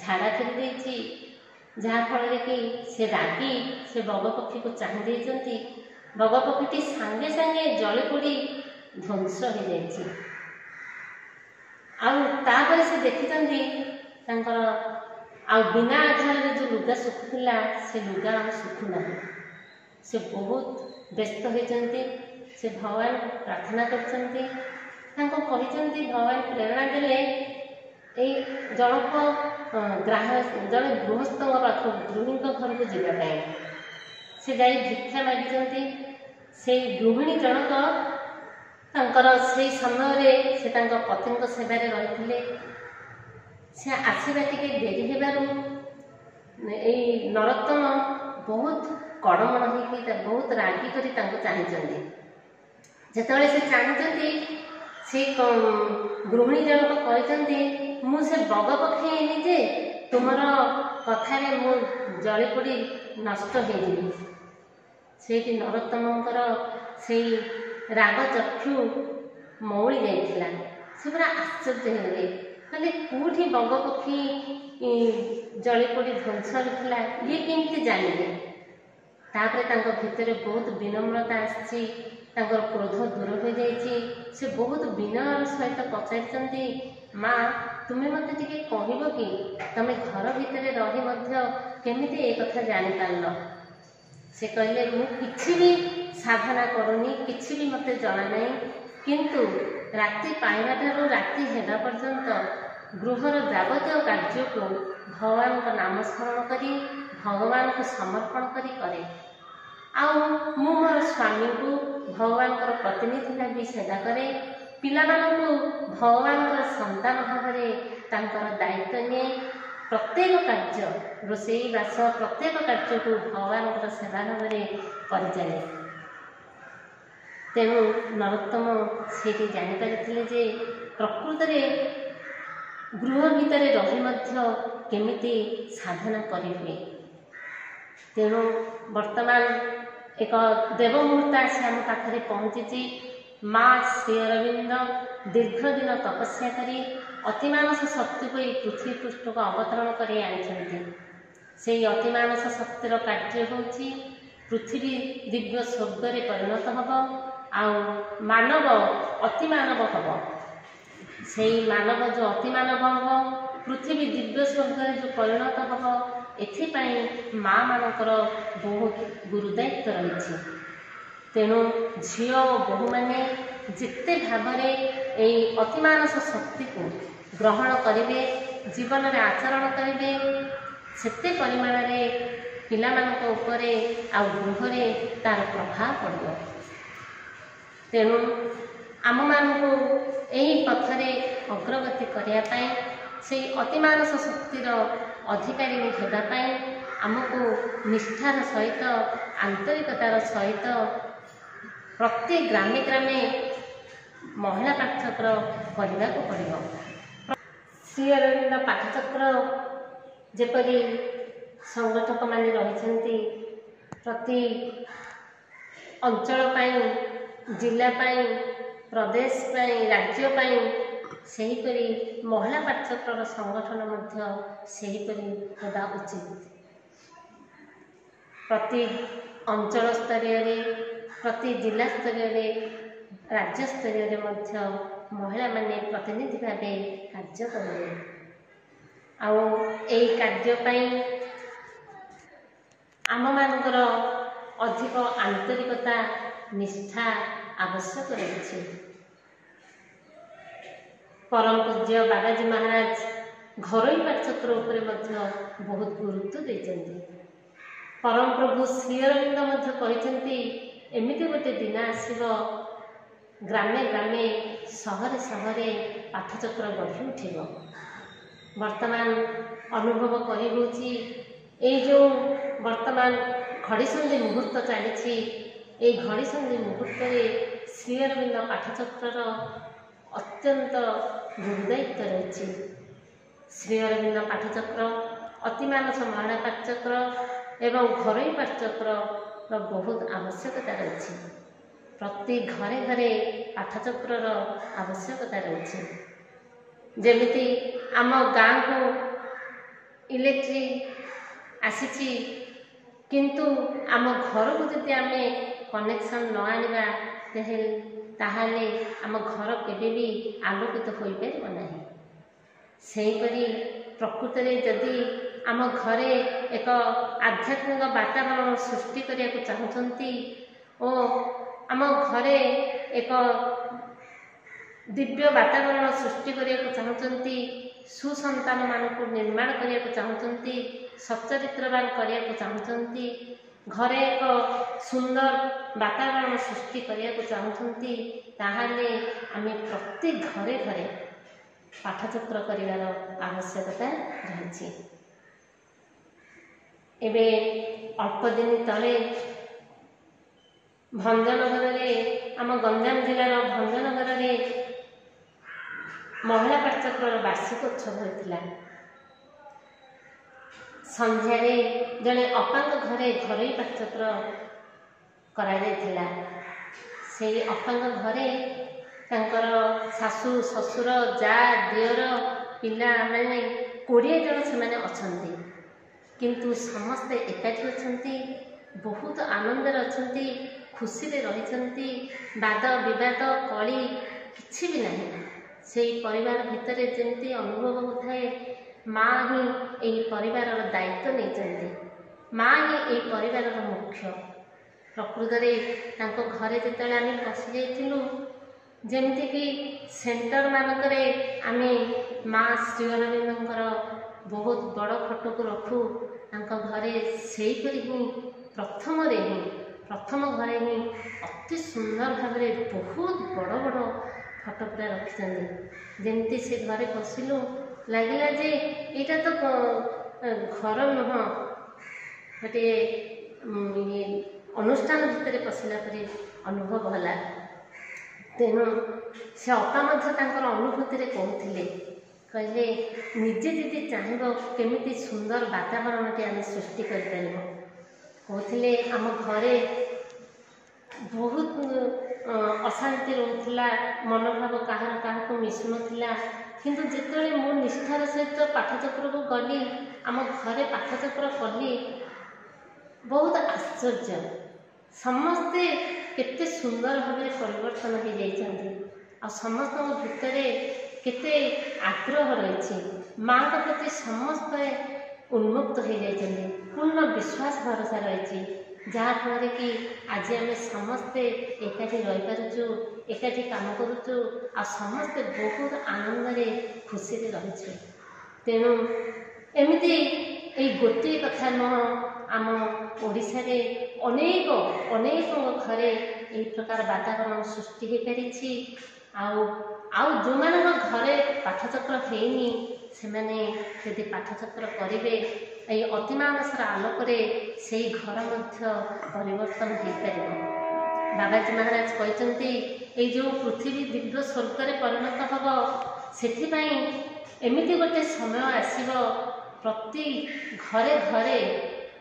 ଝାଡ଼ା ଫେରି ଦେଇଛି, ଯାହାଫଳରେ କି ସେ ରାଗି ସେ ବଗ ପକ୍ଷୀକୁ ଚାହିଁ ଦେଇଛନ୍ତି। ବଗ ପକ୍ଷୀଟି ସାଙ୍ଗେ ସାଙ୍ଗେ ଜଳି ପୋଡ଼ି ଧ୍ୱଂସ ହେଇଯାଇଛି। ଆଉ ତାପରେ ସେ ଦେଖିଛନ୍ତି, ତାଙ୍କର ଆଉ ବିନା ଆଧାରରେ ଯେଉଁ ଲୁଗା ଶୁଖୁଥିଲା, ସେ ଲୁଗା ଆଉ ଶୁଖୁନାହିଁ। ସେ ବହୁତ ବ୍ୟସ୍ତ ହୋଇଛନ୍ତି। ସେ ଭଗବାନଙ୍କୁ ପ୍ରାର୍ଥନା କରିଛନ୍ତି। ତାଙ୍କୁ କହିଛନ୍ତି, ଭଗବାନ ପ୍ରେରଣା ଦେଲେ ଏଇ ଜଣକ ଗ୍ରାହ ଜଣେ ଗୃହସ୍ଥଙ୍କ ପାଖକୁ, ଗୃହିଣୀଙ୍କ ଘରକୁ ଯିବା ପାଇଁ। ସେ ଯାଇ ଭିକ୍ଷା ମାଗିଛନ୍ତି। ସେଇ ଗୃହିଣୀ ଜଣକ ତାଙ୍କର ସେଇ ସମୟରେ ସେ ତାଙ୍କ ପତିଙ୍କ ସେବାରେ ରହିଥିଲେ। ସେ ଆସିବା ଟିକେ ଡେରି ହେବାରୁ ଏଇ ନରୋତ୍ତମ ବହୁତ କଡ଼ମଣ ହେଇକି, ବହୁତ ରାଗି କରି ତାଙ୍କୁ ଚାହିଁଛନ୍ତି। ଯେତେବେଳେ ସେ ଚାହିଁଛନ୍ତି, ସେ ଗୃହିଣୀ ଜଣକ କହିଛନ୍ତି, ମୁଁ ସେ ବଗ ପକ୍ଷୀ ହେଇନି ଯେ ତୁମର କଥାରେ ମୁଁ ଜଳି ପୋଡ଼ି ନଷ୍ଟ ହେଇଯିବି। ସେଇଠି ନରୋତ୍ତମଙ୍କର ସେଇ ରାଗ ଚକ୍ଷୁ ମଉଳି ଯାଇଥିଲା। ସେ ପୁରା ଆଶ୍ଚର୍ଯ୍ୟ ହେଇଗଲେ, କହିଲେ କେଉଁଠି ବଗ ପକ୍ଷୀ ଜଳି ପୋଡ଼ି ଧ୍ୱଂସ ହେଉଥିଲା, ଇଏ କେମିତି ଜାଣିଲେ? ତାପରେ ତାଙ୍କ ଭିତରେ ବହୁତ ବିନମ୍ରତା ଆସିଛି, ତାଙ୍କର କ୍ରୋଧ ଦୂର ହୋଇଯାଇଛି। ସେ ବହୁତ ବିନୟର ସହିତ ପଚାରିଛନ୍ତି, ମା ତୁମେ ମୋତେ ଟିକେ କହିବ କି ତମେ ଘର ଭିତରେ ରହି ମଧ୍ୟ କେମିତି ଏ କଥା ଜାଣିପାରିଲ? ସେ କହିଲେ, ମୁଁ କିଛି ବି ସାଧନା କରୁନି, କିଛି ବି ମୋତେ ଜଣା ନାହିଁ, କିନ୍ତୁ ରାତି ପାଇବା ଠାରୁ ରାତି ହେବା ପର୍ଯ୍ୟନ୍ତ ଗୃହର ଯାବତୀୟ କାର୍ଯ୍ୟକୁ ଭଗବାନଙ୍କ ନାମ ସ୍ମରଣ କରି ଭଗବାନଙ୍କୁ ସମର୍ପଣ କରି କରେ। ଆଉ ମୁଁ ମୋର ସ୍ୱାମୀଙ୍କୁ ଭଗବାନଙ୍କର ପ୍ରତିନିଧି ଭାବି ସେବା କରେ, ପିଲାମାନଙ୍କୁ ଭଗବାନଙ୍କର ସନ୍ତାନ ଭାବରେ ତାଙ୍କର ଦାୟିତ୍ୱ ନିଏ। ପ୍ରତ୍ୟେକ କାର୍ଯ୍ୟ, ରୋଷେଇ ବାସ ପ୍ରତ୍ୟେକ କାର୍ଯ୍ୟକୁ ଭଗବାନଙ୍କର ସେବା ଭାବରେ କରିଚାଲେ। ତେଣୁ ନରୋତ୍ତମ ସେଇଠି ଜାଣିପାରିଥିଲେ ଯେ ପ୍ରକୃତରେ ଗୃହ ଭିତରେ ରହି ମଧ୍ୟ କେମିତି ସାଧନା କରିହୁଏ। ତେଣୁ ବର୍ତ୍ତମାନ ଏକ ଦେବ ମୁହୂର୍ତ୍ତ ଆସି ଆମ ପାଖରେ ପହଞ୍ଚିଛି। ମା ଶ୍ରୀ ଅରବିନ୍ଦ ଦୀର୍ଘ ଦିନ ତପସ୍ୟା କରି ଅତିମାନସ ଶକ୍ତିକୁ ଏଇ ପୃଥିବୀ ପୃଷ୍ଠକୁ ଅବତରଣ କରି ଆଣିଛନ୍ତି। ସେଇ ଅତିମାନସ ଶକ୍ତିର କାର୍ଯ୍ୟ ହେଉଛି ପୃଥିବୀ ଦିବ୍ୟ ସ୍ୱର୍ଗରେ ପରିଣତ ହେବ ଆଉ ମାନବ ଅତିମାନବ ହେବ। ସେଇ ମାନବ ଯେଉଁ ଅତିମାନବ ହେବ, ପୃଥିବୀ ଦିବ୍ୟ ସ୍ୱର୍ଗରେ ଯେଉଁ ପରିଣତ ହେବ, ଏଥିପାଇଁ ମା ମାନଙ୍କର ବହୁତ ଗୁରୁଦାୟିତ୍ୱ ରହିଛି। ତେଣୁ ଝିଅ ଓ ବୋହୂମାନେ ଯେତେ ଭାବରେ ଏଇ ଅତିମାନସ ଶକ୍ତିକୁ ଗ୍ରହଣ କରିବେ, ଜୀବନରେ ଆଚରଣ କରିବେ, ସେତେ ପରିମାଣରେ ପିଲାମାନଙ୍କ ଉପରେ ଆଉ ଗୃହରେ ତାର ପ୍ରଭାବ ପଡ଼ିବ। ତେଣୁ ଆମମାନଙ୍କୁ ଏହି ପଥରେ ଅଗ୍ରଗତି କରିବା ପାଇଁ, ସେଇ ଅତିମାନସ ଶକ୍ତିର ଅଧିକାରିଣୀ ହେବା ପାଇଁ ଆମକୁ ନିଷ୍ଠାର ସହିତ, ଆନ୍ତରିକତାର ସହିତ ପ୍ରତି ଗ୍ରାମେ ଗ୍ରାମେ ମହିଳା ପାଠଚକ୍ର କରିବାକୁ ପଡ଼ିବ। ଶ୍ରୀ ଅରବିନ୍ଦ ପାଠଚକ୍ର ଯେପରି ସଂଗଠକମାନେ ରହିଛନ୍ତି, ପ୍ରତି ଅଞ୍ଚଳ ପାଇଁ, ଜିଲ୍ଲା ପାଇଁ, ପ୍ରଦେଶ ପାଇଁ, ରାଜ୍ୟ ପାଇଁ, ସେହିପରି ମହିଳା ପାଠଚକ୍ରର ସଂଗଠନ ମଧ୍ୟ ସେହିପରି ହେବା ଉଚିତ। ପ୍ରତି ଅଞ୍ଚଳ ସ୍ତରୀୟରେ, ପ୍ରତି ଜିଲ୍ଲା ସ୍ତରୀୟରେ, ରାଜ୍ୟ ସ୍ତରୀୟରେ ମଧ୍ୟ ମହିଳାମାନେ ପ୍ରତିନିଧି ଭାବେ କାର୍ଯ୍ୟ କରିବେ। ଆଉ ଏଇ କାର୍ଯ୍ୟ ପାଇଁ ଆମମାନଙ୍କର ଅଧିକ ଆନ୍ତରିକତା, ନିଷ୍ଠା ଆବଶ୍ୟକ ରହିଛି। ପରମ ପୂଜ୍ୟ ବାବାଜୀ ମହାରାଜ ଘରୋଇ ପାଠଚକ୍ର ଉପରେ ମଧ୍ୟ ବହୁତ ଗୁରୁତ୍ୱ ଦେଇଛନ୍ତି। ପରମ ପ୍ରଭୁ ଶ୍ରୀ ଅରବିନ୍ଦ ମଧ୍ୟ କହିଛନ୍ତି, ଏମିତି ଗୋଟେ ଦିନ ଆସିବ ଗ୍ରାମେ ଗ୍ରାମେ, ସହରେ ସହରେ ପାଠଚକ୍ର ଗଢ଼ି ଉଠିବ। ବର୍ତ୍ତମାନ ଅନୁଭବ କରି ହେଉଛି ଏଇ ଯେଉଁ ବର୍ତ୍ତମାନ ଘଡ଼ିସନ୍ଧି ମୁହୂର୍ତ୍ତ ଚାଲିଛି, ଏଇ ଘଡ଼ିସନ୍ଧି ମୁହୂର୍ତ୍ତରେ ଶ୍ରୀ ଅରବିନ୍ଦ ପାଠଚକ୍ରର ଅତ୍ୟନ୍ତ ଗୁରୁଦାୟିତ୍ୱ ରହିଛି। ଶ୍ରୀ ଅରବିନ୍ଦ ପାଠଚକ୍ର, ଅତିମାନସ ମହିଳା ପାଠଚକ୍ର ଏବଂ ଘରୋଇ ପାଠଚକ୍ରର ବହୁତ ଆବଶ୍ୟକତା ରହିଛି। ପ୍ରତି ଘରେ ଘରେ ପାଠଚକ୍ରର ଆବଶ୍ୟକତା ରହିଛି। ଯେମିତି ଆମ ଗାଁକୁ ଇଲେକ୍ଟ୍ରି ଆସିଛି, କିନ୍ତୁ ଆମ ଘରକୁ ଯଦି ଆମେ କନେକ୍ସନ୍ ନ ଆଣିବା ତାହେଲେ ଆମ ଘର କେବେ ବି ଆଲୋକିତ ହୋଇପାରିବ ନାହିଁ। ସେହିପରି ପ୍ରକୃତରେ ଯଦି ଆମ ଘରେ ଏକ ଆଧ୍ୟାତ୍ମିକ ବାତାବରଣ ସୃଷ୍ଟି କରିବାକୁ ଚାହୁଁଛନ୍ତି ଓ ଆମ ଘରେ ଏକ ଦିବ୍ୟ ବାତାବରଣ ସୃଷ୍ଟି କରିବାକୁ ଚାହୁଁଛନ୍ତି, ସୁସନ୍ତାନମାନଙ୍କୁ ନିର୍ମାଣ କରିବାକୁ ଚାହୁଁଛନ୍ତି, ସଚ୍ଚରିତ୍ରବାନ କରିବାକୁ ଚାହୁଁଛନ୍ତି, ଘରେ ଏକ ସୁନ୍ଦର ବାତାବରଣ ସୃଷ୍ଟି କରିବାକୁ ଚାହୁଁଛନ୍ତି, ତାହେଲେ ଆମେ ପ୍ରତି ଘରେ ଘରେ ପାଠଚକ୍ର କରିବାର ଆବଶ୍ୟକତା ରହିଛି। ଏବେ ଅଳ୍ପ ଦିନ ତଳେ ଭଞ୍ଜନଗରରେ, ଆମ ଗଞ୍ଜାମ ଜିଲ୍ଲାର ଭଞ୍ଜନଗରରେ ମହିଳା ପାଠଚକ୍ରର ବାର୍ଷିକ ଉତ୍ସବ ହୋଇଥିଲା। ସନ୍ଧ୍ୟାରେ ଜଣେ ଅପାଙ୍କ ଘରେ ଘରୋଇ ପାଠଚକ୍ର କରାଯାଇଥିଲା। ସେଇ ଅପାଙ୍କ ଘରେ ତାଙ୍କର ଶାଶୁ ଶ୍ୱଶୁର ଯା ଦିଅର ପିଲାମାନେ କୋଡ଼ିଏ ଜଣ ସେମାନେ ଅଛନ୍ତି, କିନ୍ତୁ ସମସ୍ତେ ଏକାଠି ଅଛନ୍ତି, ବହୁତ ଆନନ୍ଦରେ ଅଛନ୍ତି, ଖୁସିରେ ରହିଛନ୍ତି। ବାଦ ବିବାଦ କଳି କିଛି ବି ନାହିଁ। ସେଇ ପରିବାର ଭିତରେ ଯେମିତି ଅନୁଭବ ହେଉଥାଏ ମା ହିଁ ଏହି ପରିବାରର ଦାୟିତ୍ୱ ନେଇଛନ୍ତି, ମା ହିଁ ଏହି ପରିବାରର ମୁଖ୍ୟ। ପ୍ରକୃତରେ ତାଙ୍କ ଘରେ ଯେତେବେଳେ ଆମେ ପଶି ଯାଇଥିଲୁ, ଯେମିତିକି ସେଣ୍ଟର ମାନଙ୍କରେ ଆମେ ମା ଶ୍ରୀ ଅରବିନ୍ଦଙ୍କର ବହୁତ ବଡ଼ ଫଟୋକୁ ରଖୁ, ତାଙ୍କ ଘରେ ସେହିପରି ହିଁ ପ୍ରଥମରେ ହିଁ ପ୍ରଥମ ଘରେ ହିଁ ଅତି ସୁନ୍ଦର ଭାବରେ ବହୁତ ବଡ଼ ବଡ଼ ଫଟୋ ପୁରା ରଖିଛନ୍ତି। ଯେମିତି ସେ ଘରେ ପଶିଲୁ ଲାଗିଲା ଯେ ଏଇଟା ତ ଘର ନୁହଁ, ଗୋଟିଏ ଅନୁଷ୍ଠାନ ଭିତରେ ପଶିଲା ପରି ଅନୁଭବ ହେଲା। ତେଣୁ ସେ ଅପା ମଧ୍ୟ ତାଙ୍କର ଅନୁଭୂତିରେ କହୁଥିଲେ, କହିଲେ ନିଜେ ଯଦି ଚାହିଁବ କେମିତି ସୁନ୍ଦର ବାତାବରଣଟି ଆମେ ସୃଷ୍ଟି କରିପାରିବ। କହୁଥିଲେ ଆମ ଘରେ ବହୁତ ଅଶାନ୍ତି ରହୁଥିଲା, ମନୋଭାବ କାହାର କାହାକୁ ମିଶୁନଥିଲା, କିନ୍ତୁ ଯେତେବେଳେ ମୁଁ ନିଷ୍ଠାର ସହିତ ପାଠଚକ୍ରକୁ ଗଲି, ଆମ ଘରେ ପାଠଚକ୍ର କଲି, ବହୁତ ଆଶ୍ଚର୍ଯ୍ୟ, ସମସ୍ତେ କେତେ ସୁନ୍ଦର ଭାବରେ ପରିବର୍ତ୍ତନ ହେଇଯାଇଛନ୍ତି। ଆଉ ସମସ୍ତଙ୍କ ଭିତରେ କେତେ ଆଗ୍ରହ ରହିଛି, ମାଆଙ୍କ ପ୍ରତି ସମସ୍ତେ ଉନ୍ମୁକ୍ତ ହେଇଯାଇଛନ୍ତି, ପୂର୍ଣ୍ଣ ବିଶ୍ୱାସ ଭରସା ରହିଛି, ଯାହାଫଳରେ କି ଆଜି ଆମେ ସମସ୍ତେ ଏକାଠି ରହିପାରୁଛୁ, ଏକାଠି କାମ କରୁଛୁ, ଆଉ ସମସ୍ତେ ବହୁତ ଆନନ୍ଦରେ ଖୁସିରେ ରହିଛୁ। ତେଣୁ ଏମିତି ଏଇ ଗୋଟିଏ କଥା ନୁହଁ, ଆମ ଓଡ଼ିଶାରେ ଅନେକ ଅନେକଙ୍କ ଘରେ ଏହି ପ୍ରକାର ବାତାବରଣ ସୃଷ୍ଟି ହୋଇପାରିଛି। ଆଉ ଆଉ ଯେଉଁମାନଙ୍କ ଘରେ ପାଠଚକ୍ର ହେଇନି, ସେମାନେ ଯଦି ପାଠଚକ୍ର କରିବେ, ଏଇ ଅତିମାନସର ଆଲୋକରେ ସେଇ ଘର ମଧ୍ୟ ପରିବର୍ତ୍ତନ ହୋଇପାରିବ। ବାବାଜୀ ମହାରାଜ କହିଛନ୍ତି ଏଇ ଯେଉଁ ପୃଥିବୀ ଦିବ୍ୟ ସ୍ୱର୍ଗରେ ପରିଣତ ହେବ, ସେଥିପାଇଁ ଏମିତି ଗୋଟେ ସମୟ ଆସିବ ପ୍ରତି ଘରେ ଘରେ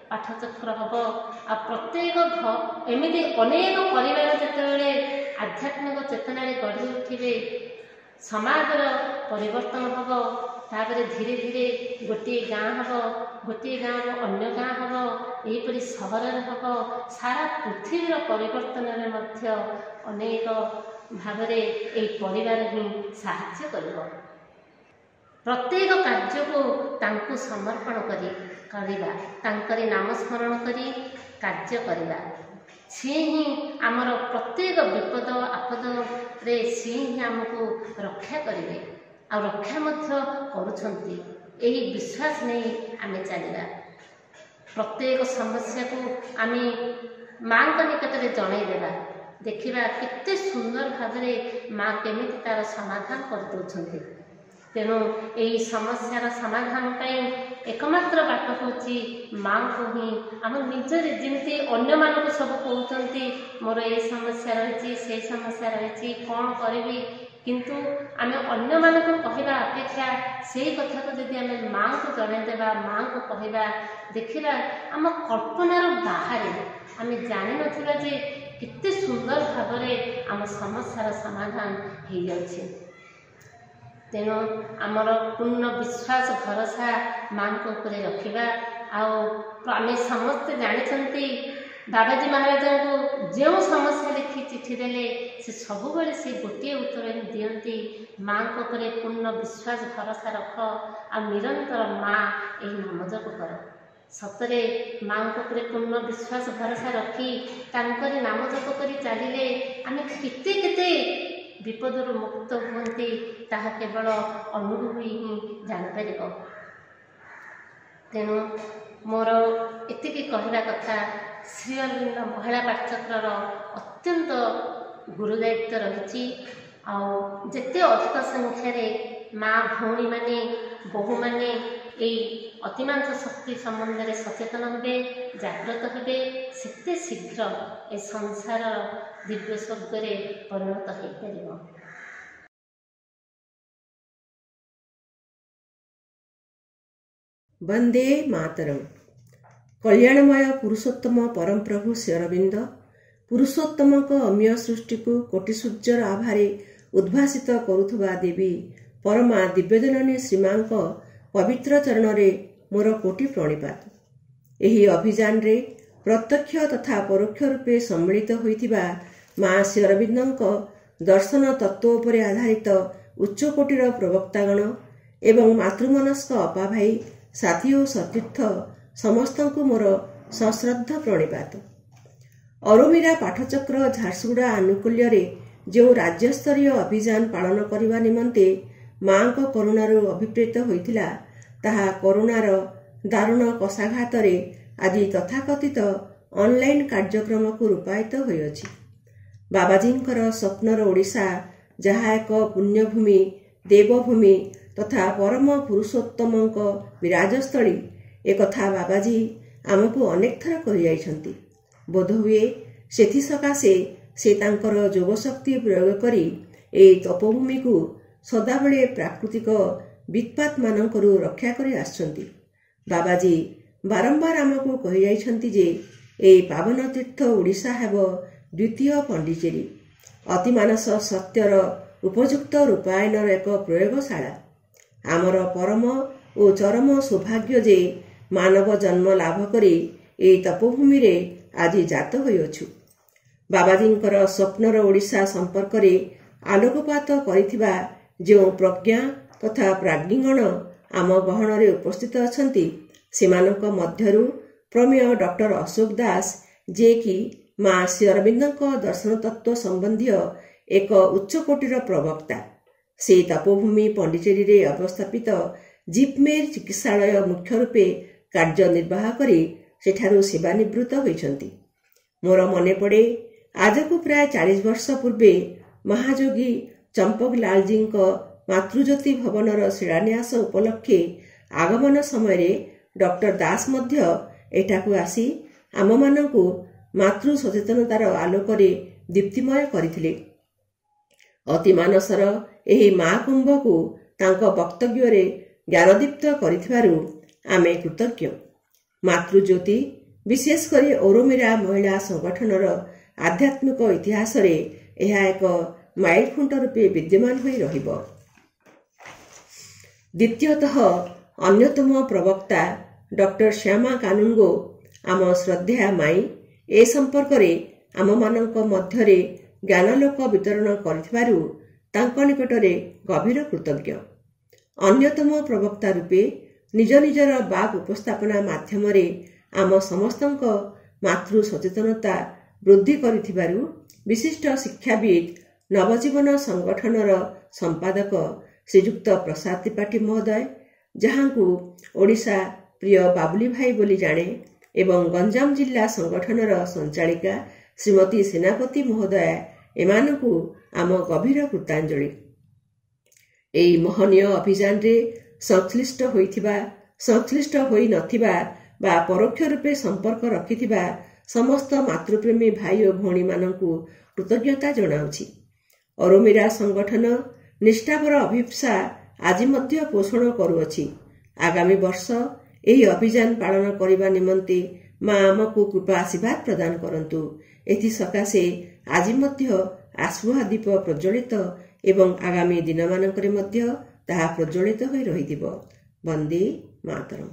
ପାଠଚକ୍ର ହେବ। ଆଉ ପ୍ରତ୍ୟେକ ଏମିତି ଅନେକ ପରିବାର ଯେତେବେଳେ ଆଧ୍ୟାତ୍ମିକ ଚେତନାରେ ଗଢ଼ି ଉଠିବେ, ସମାଜର ପରିବର୍ତ୍ତନ ହେବ। ତାପରେ ଧୀରେ ଧୀରେ ଗୋଟିଏ ଗାଁ ହେବ, ଗୋଟିଏ ଗାଁରୁ ଅନ୍ୟ ଗାଁ ହେବ, ଏହିପରି ସହରରେ ହେବ, ସାରା ପୃଥିବୀର ପରିବର୍ତ୍ତନରେ ମଧ୍ୟ ଅନେକ ଭାବରେ ଏହି ପରିବାର ହିଁ ସାହାଯ୍ୟ କରିବ। ପ୍ରତ୍ୟେକ କାର୍ଯ୍ୟକୁ ତାଙ୍କୁ ସମର୍ପଣ କରି କରିବା, ତାଙ୍କରି ନାମ ସ୍ମରଣ କରି କାର୍ଯ୍ୟ କରିବା। ସିଏ ହିଁ ଆମର ପ୍ରତ୍ୟେକ ବିପଦ ଆପଦରେ ସିଏ ହିଁ ଆମକୁ ରକ୍ଷା କରିବେ, ଆଉ ରକ୍ଷା ମଧ୍ୟ କରୁଛନ୍ତି। ଏହି ବିଶ୍ୱାସ ନେଇ ଆମେ ଚାଲିବା। ପ୍ରତ୍ୟେକ ସମସ୍ୟାକୁ ଆମେ ମାଆଙ୍କ ନିକଟରେ ଜଣାଇଦେବା, ଦେଖିବା କେତେ ସୁନ୍ଦର ଭାବରେ ମା କେମିତି ତାର ସମାଧାନ କରିଦେଉଛନ୍ତି। ତେଣୁ ଏହି ସମସ୍ୟାର ସମାଧାନ ପାଇଁ ଏକମାତ୍ର ବାଟ ହେଉଛି ମାଆଙ୍କୁ ହିଁ ଆମ ନିଜରେ, ଯେମିତି ଅନ୍ୟମାନଙ୍କୁ ସବୁ କହୁଛନ୍ତି ମୋର ଏଇ ସମସ୍ୟା ରହିଛି, ସେଇ ସମସ୍ୟା ରହିଛି, କ'ଣ କରିବି, କିନ୍ତୁ ଆମେ ଅନ୍ୟମାନଙ୍କୁ କହିବା ଅପେକ୍ଷା ସେଇ କଥାକୁ ଯଦି ଆମେ ମାଆଙ୍କୁ ଜଣାଇଦେବା, ମାଆଙ୍କୁ କହିବା, ଦେଖିବା ଆମ କଳ୍ପନାର ବାହାରେ ଆମେ ଜାଣିନଥିବା ଯେ କେତେ ସୁନ୍ଦର ଭାବରେ ଆମ ସମସ୍ୟାର ସମାଧାନ ହେଇଯାଉଛି। ତେଣୁ ଆମର ପୂର୍ଣ୍ଣ ବିଶ୍ୱାସ ଭରସା ମାଆଙ୍କ ଉପରେ ରଖିବା। ଆଉ ଆମେ ସମସ୍ତେ ଜାଣିଛନ୍ତି ବାବାଜୀ ମହାରାଜଙ୍କୁ ଯେଉଁ ସମସ୍ୟା ଲେଖି ଚିଠି ଦେଲେ ସେ ସବୁବେଳେ ସେ ଗୋଟିଏ ଉତ୍ତର ହିଁ ଦିଅନ୍ତି, ମାଆଙ୍କ ଉପରେ ପୂର୍ଣ୍ଣ ବିଶ୍ୱାସ ଭରସା ରଖ ଆଉ ନିରନ୍ତର ମା ଏହି ନାମ ଜପ କର। ସତରେ ମାଆଙ୍କ ଉପରେ ପୂର୍ଣ୍ଣ ବିଶ୍ୱାସ ଭରସା ରଖି ତାଙ୍କରି ନାମ ଜପ କରି ଚାଲିଲେ ଆମେ କେତେ କେତେ ବିପଦରୁ ମୁକ୍ତ ହୁଅନ୍ତି, ତାହା କେବଳ ଅନୁଭବୀ ହିଁ ଜାଣିପାରିବ। ତେଣୁ ମୋର ଏତିକି କହିବା କଥା, ଶ୍ରୀ ଅରବିନ୍ଦ ମହିଳା ପାଠଚକ୍ରର ଅତ୍ୟନ୍ତ ଗୁରୁଦାୟିତ୍ୱ ରହିଛି। ଆଉ ଯେତେ ଅଧିକ ସଂଖ୍ୟାରେ ମା ଭଉଣୀମାନେ, ବୋହୂମାନେ ଏଇ ଅତିମାନସ ଶକ୍ତି ସମ୍ବନ୍ଧରେ ସଚେତନ ହେବେ, ଜାଗ୍ରତ ହେବେ, ସେତେ ଶୀଘ୍ର ଏ ସଂସାର ଦିବ୍ୟ ସ୍ୱର୍ଗରେ ପରିଣତ ହୋଇପାରିବ। ବନ୍ଦେ ମାତରଂ। କଲ୍ୟାଣମୟ ପୁରୁଷୋତ୍ତମ ପରମପ୍ରଭୁ ଶ୍ରୀ ଅରବିନ୍ଦ ପୁରୁଷୋତ୍ତମଙ୍କ ଅମୀୟ ସୃଷ୍ଟିକୁ କୋଟି ସୂର୍ଯ୍ୟର ଆଭାରେ ଉଦ୍ଭାସିତ କରୁଥିବା ଦେବୀ ପରମା ଦିବ୍ୟଜନନୀ ଶ୍ରୀମାଙ୍କ ପବିତ୍ର ଚରଣରେ ମୋର କୋଟି ପ୍ରଣିପାତ। ଏହି ଅଭିଯାନରେ ପ୍ରତ୍ୟକ୍ଷ ତଥା ପରୋକ୍ଷ ରୂପେ ସମ୍ମିଳିତ ହୋଇଥିବା ମା ଶ୍ରୀଅରବିନ୍ଦଙ୍କ ଦର୍ଶନ ତତ୍ତ୍ୱ ଉପରେ ଆଧାରିତ ଉଚ୍ଚକୋଟୀର ପ୍ରବକ୍ତାଗଣ ଏବଂ ମାତୃମନସ୍କ ଅପାଭାଇ, ସାଥୀ ଓ ସତୀର୍ଥ ସମସ୍ତଙ୍କୁ ମୋର ସଶ୍ରଦ୍ଧ ପ୍ରଣିପାତ। ଅରୋମିରା ପାଠଚକ୍ର ଝାରସୁଗୁଡ଼ା ଆନୁକୂଲ୍ୟରେ ଯେଉଁ ରାଜ୍ୟସ୍ତରୀୟ ଅଭିଯାନ ପାଳନ କରିବା ନିମନ୍ତେ ମାଙ୍କ କରୁଣାରୁ ଅଭିପ୍ରେତ ହୋଇଥିଲା, ତାହା କରୁଣାର ଦାରୁଣ କଷାଘାତରେ ଆଜି ତଥାକଥିତ ଅନଲାଇନ୍ କାର୍ଯ୍ୟକ୍ରମକୁ ରୂପାୟିତ ହୋଇଅଛି। ବାବାଜୀଙ୍କର ସ୍ୱପ୍ନର ଓଡ଼ିଶା, ଯାହା ଏକ ପୁଣ୍ୟଭୂମି, ଦେବଭୂମି ତଥା ପରମ ପୁରୁଷୋତ୍ତମଙ୍କ ବିରାଜସ୍ଥଳୀ, ଏକଥା ବାବାଜୀ ଆମକୁ ଅନେକ ଥର କହିଯାଇଛନ୍ତି। ବୋଧହୁଏ ସେଥିସକାଶେ ସେ ତାଙ୍କର ଯୋଗଶକ୍ତି ପ୍ରୟୋଗ କରି ଏହି ତପୋଭୂମିକୁ ସଦାବେଳେ ପ୍ରାକୃତିକ ବିତ୍ପାତମାନଙ୍କରୁ ରକ୍ଷା କରି ଆସିଛନ୍ତି। ବାବାଜୀ ବାରମ୍ବାର ଆମକୁ କହିଯାଇଛନ୍ତି ଯେ ଏହି ପାବନ ତୀର୍ଥ ଓଡ଼ିଶା ହେବ ଦ୍ୱିତୀୟ ପଣ୍ଡିଚେରୀ, ଅତିମାନସ ସତ୍ୟର ଉପଯୁକ୍ତ ରୂପାୟନର ଏକ ପ୍ରୟୋଗଶାଳା। ଆମର ପରମ ଓ ଚରମ ସୌଭାଗ୍ୟ ଯେ ମାନବ ଜନ୍ମ ଲାଭ କରି ଏହି ତପୋଭୂମିରେ ଆଜି ଜାତ ହୋଇଅଛୁ। ବାବାଜୀଙ୍କର ସ୍ୱପ୍ନର ଓଡ଼ିଶା ସମ୍ପର୍କରେ ଆଲୋକପାତ କରିଥିବା ଯେଉଁ ପ୍ରଜ୍ଞା ତଥା ପ୍ରାଜ୍ଞୀଗଣ ଆମ ଗହଣରେ ଉପସ୍ଥିତ ଅଛନ୍ତି, ସେମାନଙ୍କ ମଧ୍ୟରୁ ପ୍ରମେୟ ଡକ୍ଟର ଅଶୋକ ଦାସ, ଯିଏକି ମା ଶ୍ରୀ ଅରବିନ୍ଦଙ୍କ ଦର୍ଶନ ତତ୍ତ୍ୱ ସମ୍ବନ୍ଧୀୟ ଏକ ଉଚ୍ଚକୋଟୀର ପ୍ରବକ୍ତା। ସେ ତପୋଭୂମି ପଣ୍ଡିଚେରୀରେ ଅବସ୍ଥାପିତ ଜିପମେର ଚିକିତ୍ସାଳୟ ମୁଖ୍ୟ ରୂପେ କାର୍ଯ୍ୟ ନିର୍ବାହ କରି ସେଠାରୁ ସେବାନିବୃତ୍ତ ହୋଇଛନ୍ତି। ମୋର ମନେ ପଡ଼େ, ଆଜକୁ ପ୍ରାୟ ଚାଳିଶ ବର୍ଷ ପୂର୍ବେ ମହାଯୋଗୀ ଚମ୍ପକଲାଲଜୀଙ୍କ ମାତୃଜ୍ୟୋତି ଭବନର ଶିଳାନ୍ୟାସ ଉପଲକ୍ଷେ ଆଗମନ ସମୟରେ ଡକ୍ଟର ଦାସ ମଧ୍ୟ ଏଠାକୁ ଆସି ଆମମାନଙ୍କୁ ମାତୃ ସଚେତନତାର ଆଲୋକରେ ଦୀପ୍ତିମୟ କରିଥିଲେ। ଅତିମାନସର ଏହି ମହାକୁମ୍ଭକୁ ତାଙ୍କ ବକ୍ତବ୍ୟରେ ଜ୍ଞାନଦୀପ୍ତ କରିଥିବାରୁ ଆମେ କୃତଜ୍ଞ। ମାତୃଜ୍ୟୋତି, ବିଶେଷ କରି ଔରୋମିରା ମହିଳା ସଂଗଠନର ଆଧ୍ୟାତ୍ମିକ ଇତିହାସରେ ଏହା ଏକ ମାଇଲଖୁଣ୍ଟ ରୂପେ ବିଦ୍ୟମାନ ହୋଇ ରହିବ। ଦ୍ୱିତୀୟତଃ, ଅନ୍ୟତମ ପ୍ରବକ୍ତା ଡକ୍ଟର ଶ୍ୟାମା କାନୁନଗୋ, ଆମ ଶ୍ରଦ୍ଧେୟା ମାଇଁ, ଏ ସମ୍ପର୍କରେ ଆମମାନଙ୍କ ମଧ୍ୟରେ ଜ୍ଞାନାଲୋକ ବିତରଣ କରିଥିବାରୁ ତାଙ୍କ ନିକଟରେ ଗଭୀର କୃତଜ୍ଞ। ଅନ୍ୟତମ ପ୍ରବକ୍ତା ରୂପେ ନିଜ ନିଜର ବାକ୍ ଉପସ୍ଥାପନା ମାଧ୍ୟମରେ ଆମ ସମସ୍ତଙ୍କ ମାତୃ ସଚେତନତା ବୃଦ୍ଧି କରିଥିବାରୁ ବିଶିଷ୍ଟ ଶିକ୍ଷାବିତ୍, ନବଜୀବନ ସଂଗଠନର ସମ୍ପାଦକ ଶ୍ରୀଯୁକ୍ତ ପ୍ରସାଦ ତ୍ରିପାଠୀ ମହୋଦୟ, ଯାହାଙ୍କୁ ଓଡ଼ିଶା ପ୍ରିୟ ବାବୁଲି ଭାଇ ବୋଲି ଜାଣେ, ଏବଂ ଗଞ୍ଜାମ ଜିଲ୍ଲା ସଂଗଠନର ସଞ୍ଚାଳିକା ଶ୍ରୀମତୀ ସେନାପତି ମହୋଦୟା, ଏମାନଙ୍କୁ ଆମ ଗଭୀର କୃତାଞ୍ଜଳି। ଏହି ମହନୀୟ ଅଭିଯାନରେ ସଂଶ୍ଳିଷ୍ଟ ହୋଇଥିବା, ସଂଶ୍ଳିଷ୍ଟ ହୋଇନଥିବା ବା ପରୋକ୍ଷ ରୂପେ ସମ୍ପର୍କ ରଖିଥିବା ସମସ୍ତ ମାତୃପ୍ରେମୀ ଭାଇ ଓ ଭଉଣୀମାନଙ୍କୁ କୃତଜ୍ଞତା ଜଣାଉଛି। ଅରୋମିରା ସଂଗଠନ ନିଷ୍ଠାପର ଅଭିପ୍ସା ଆଜି ମଧ୍ୟ ପୋଷଣ କରୁଅଛି। ଆଗାମୀ ବର୍ଷ ଏହି ଅଭିଯାନ ପାଳନ କରିବା ନିମନ୍ତେ ମା ଆମକୁ କୃପା ଆଶୀର୍ବାଦ ପ୍ରଦାନ କରନ୍ତୁ। ଏଥିସକାଶେ ଆଜି ମଧ୍ୟ ଆସ୍ପୃହା ଦୀପ ପ୍ରଜ୍ୱଳିତ ଏବଂ ଆଗାମୀ ଦିନମାନଙ୍କରେ ମଧ୍ୟ ତାହା ପ୍ରଜ୍ୱଳିତ ହୋଇ ରହିଥିବ। ବନ୍ଦେ ମାତରମ୍।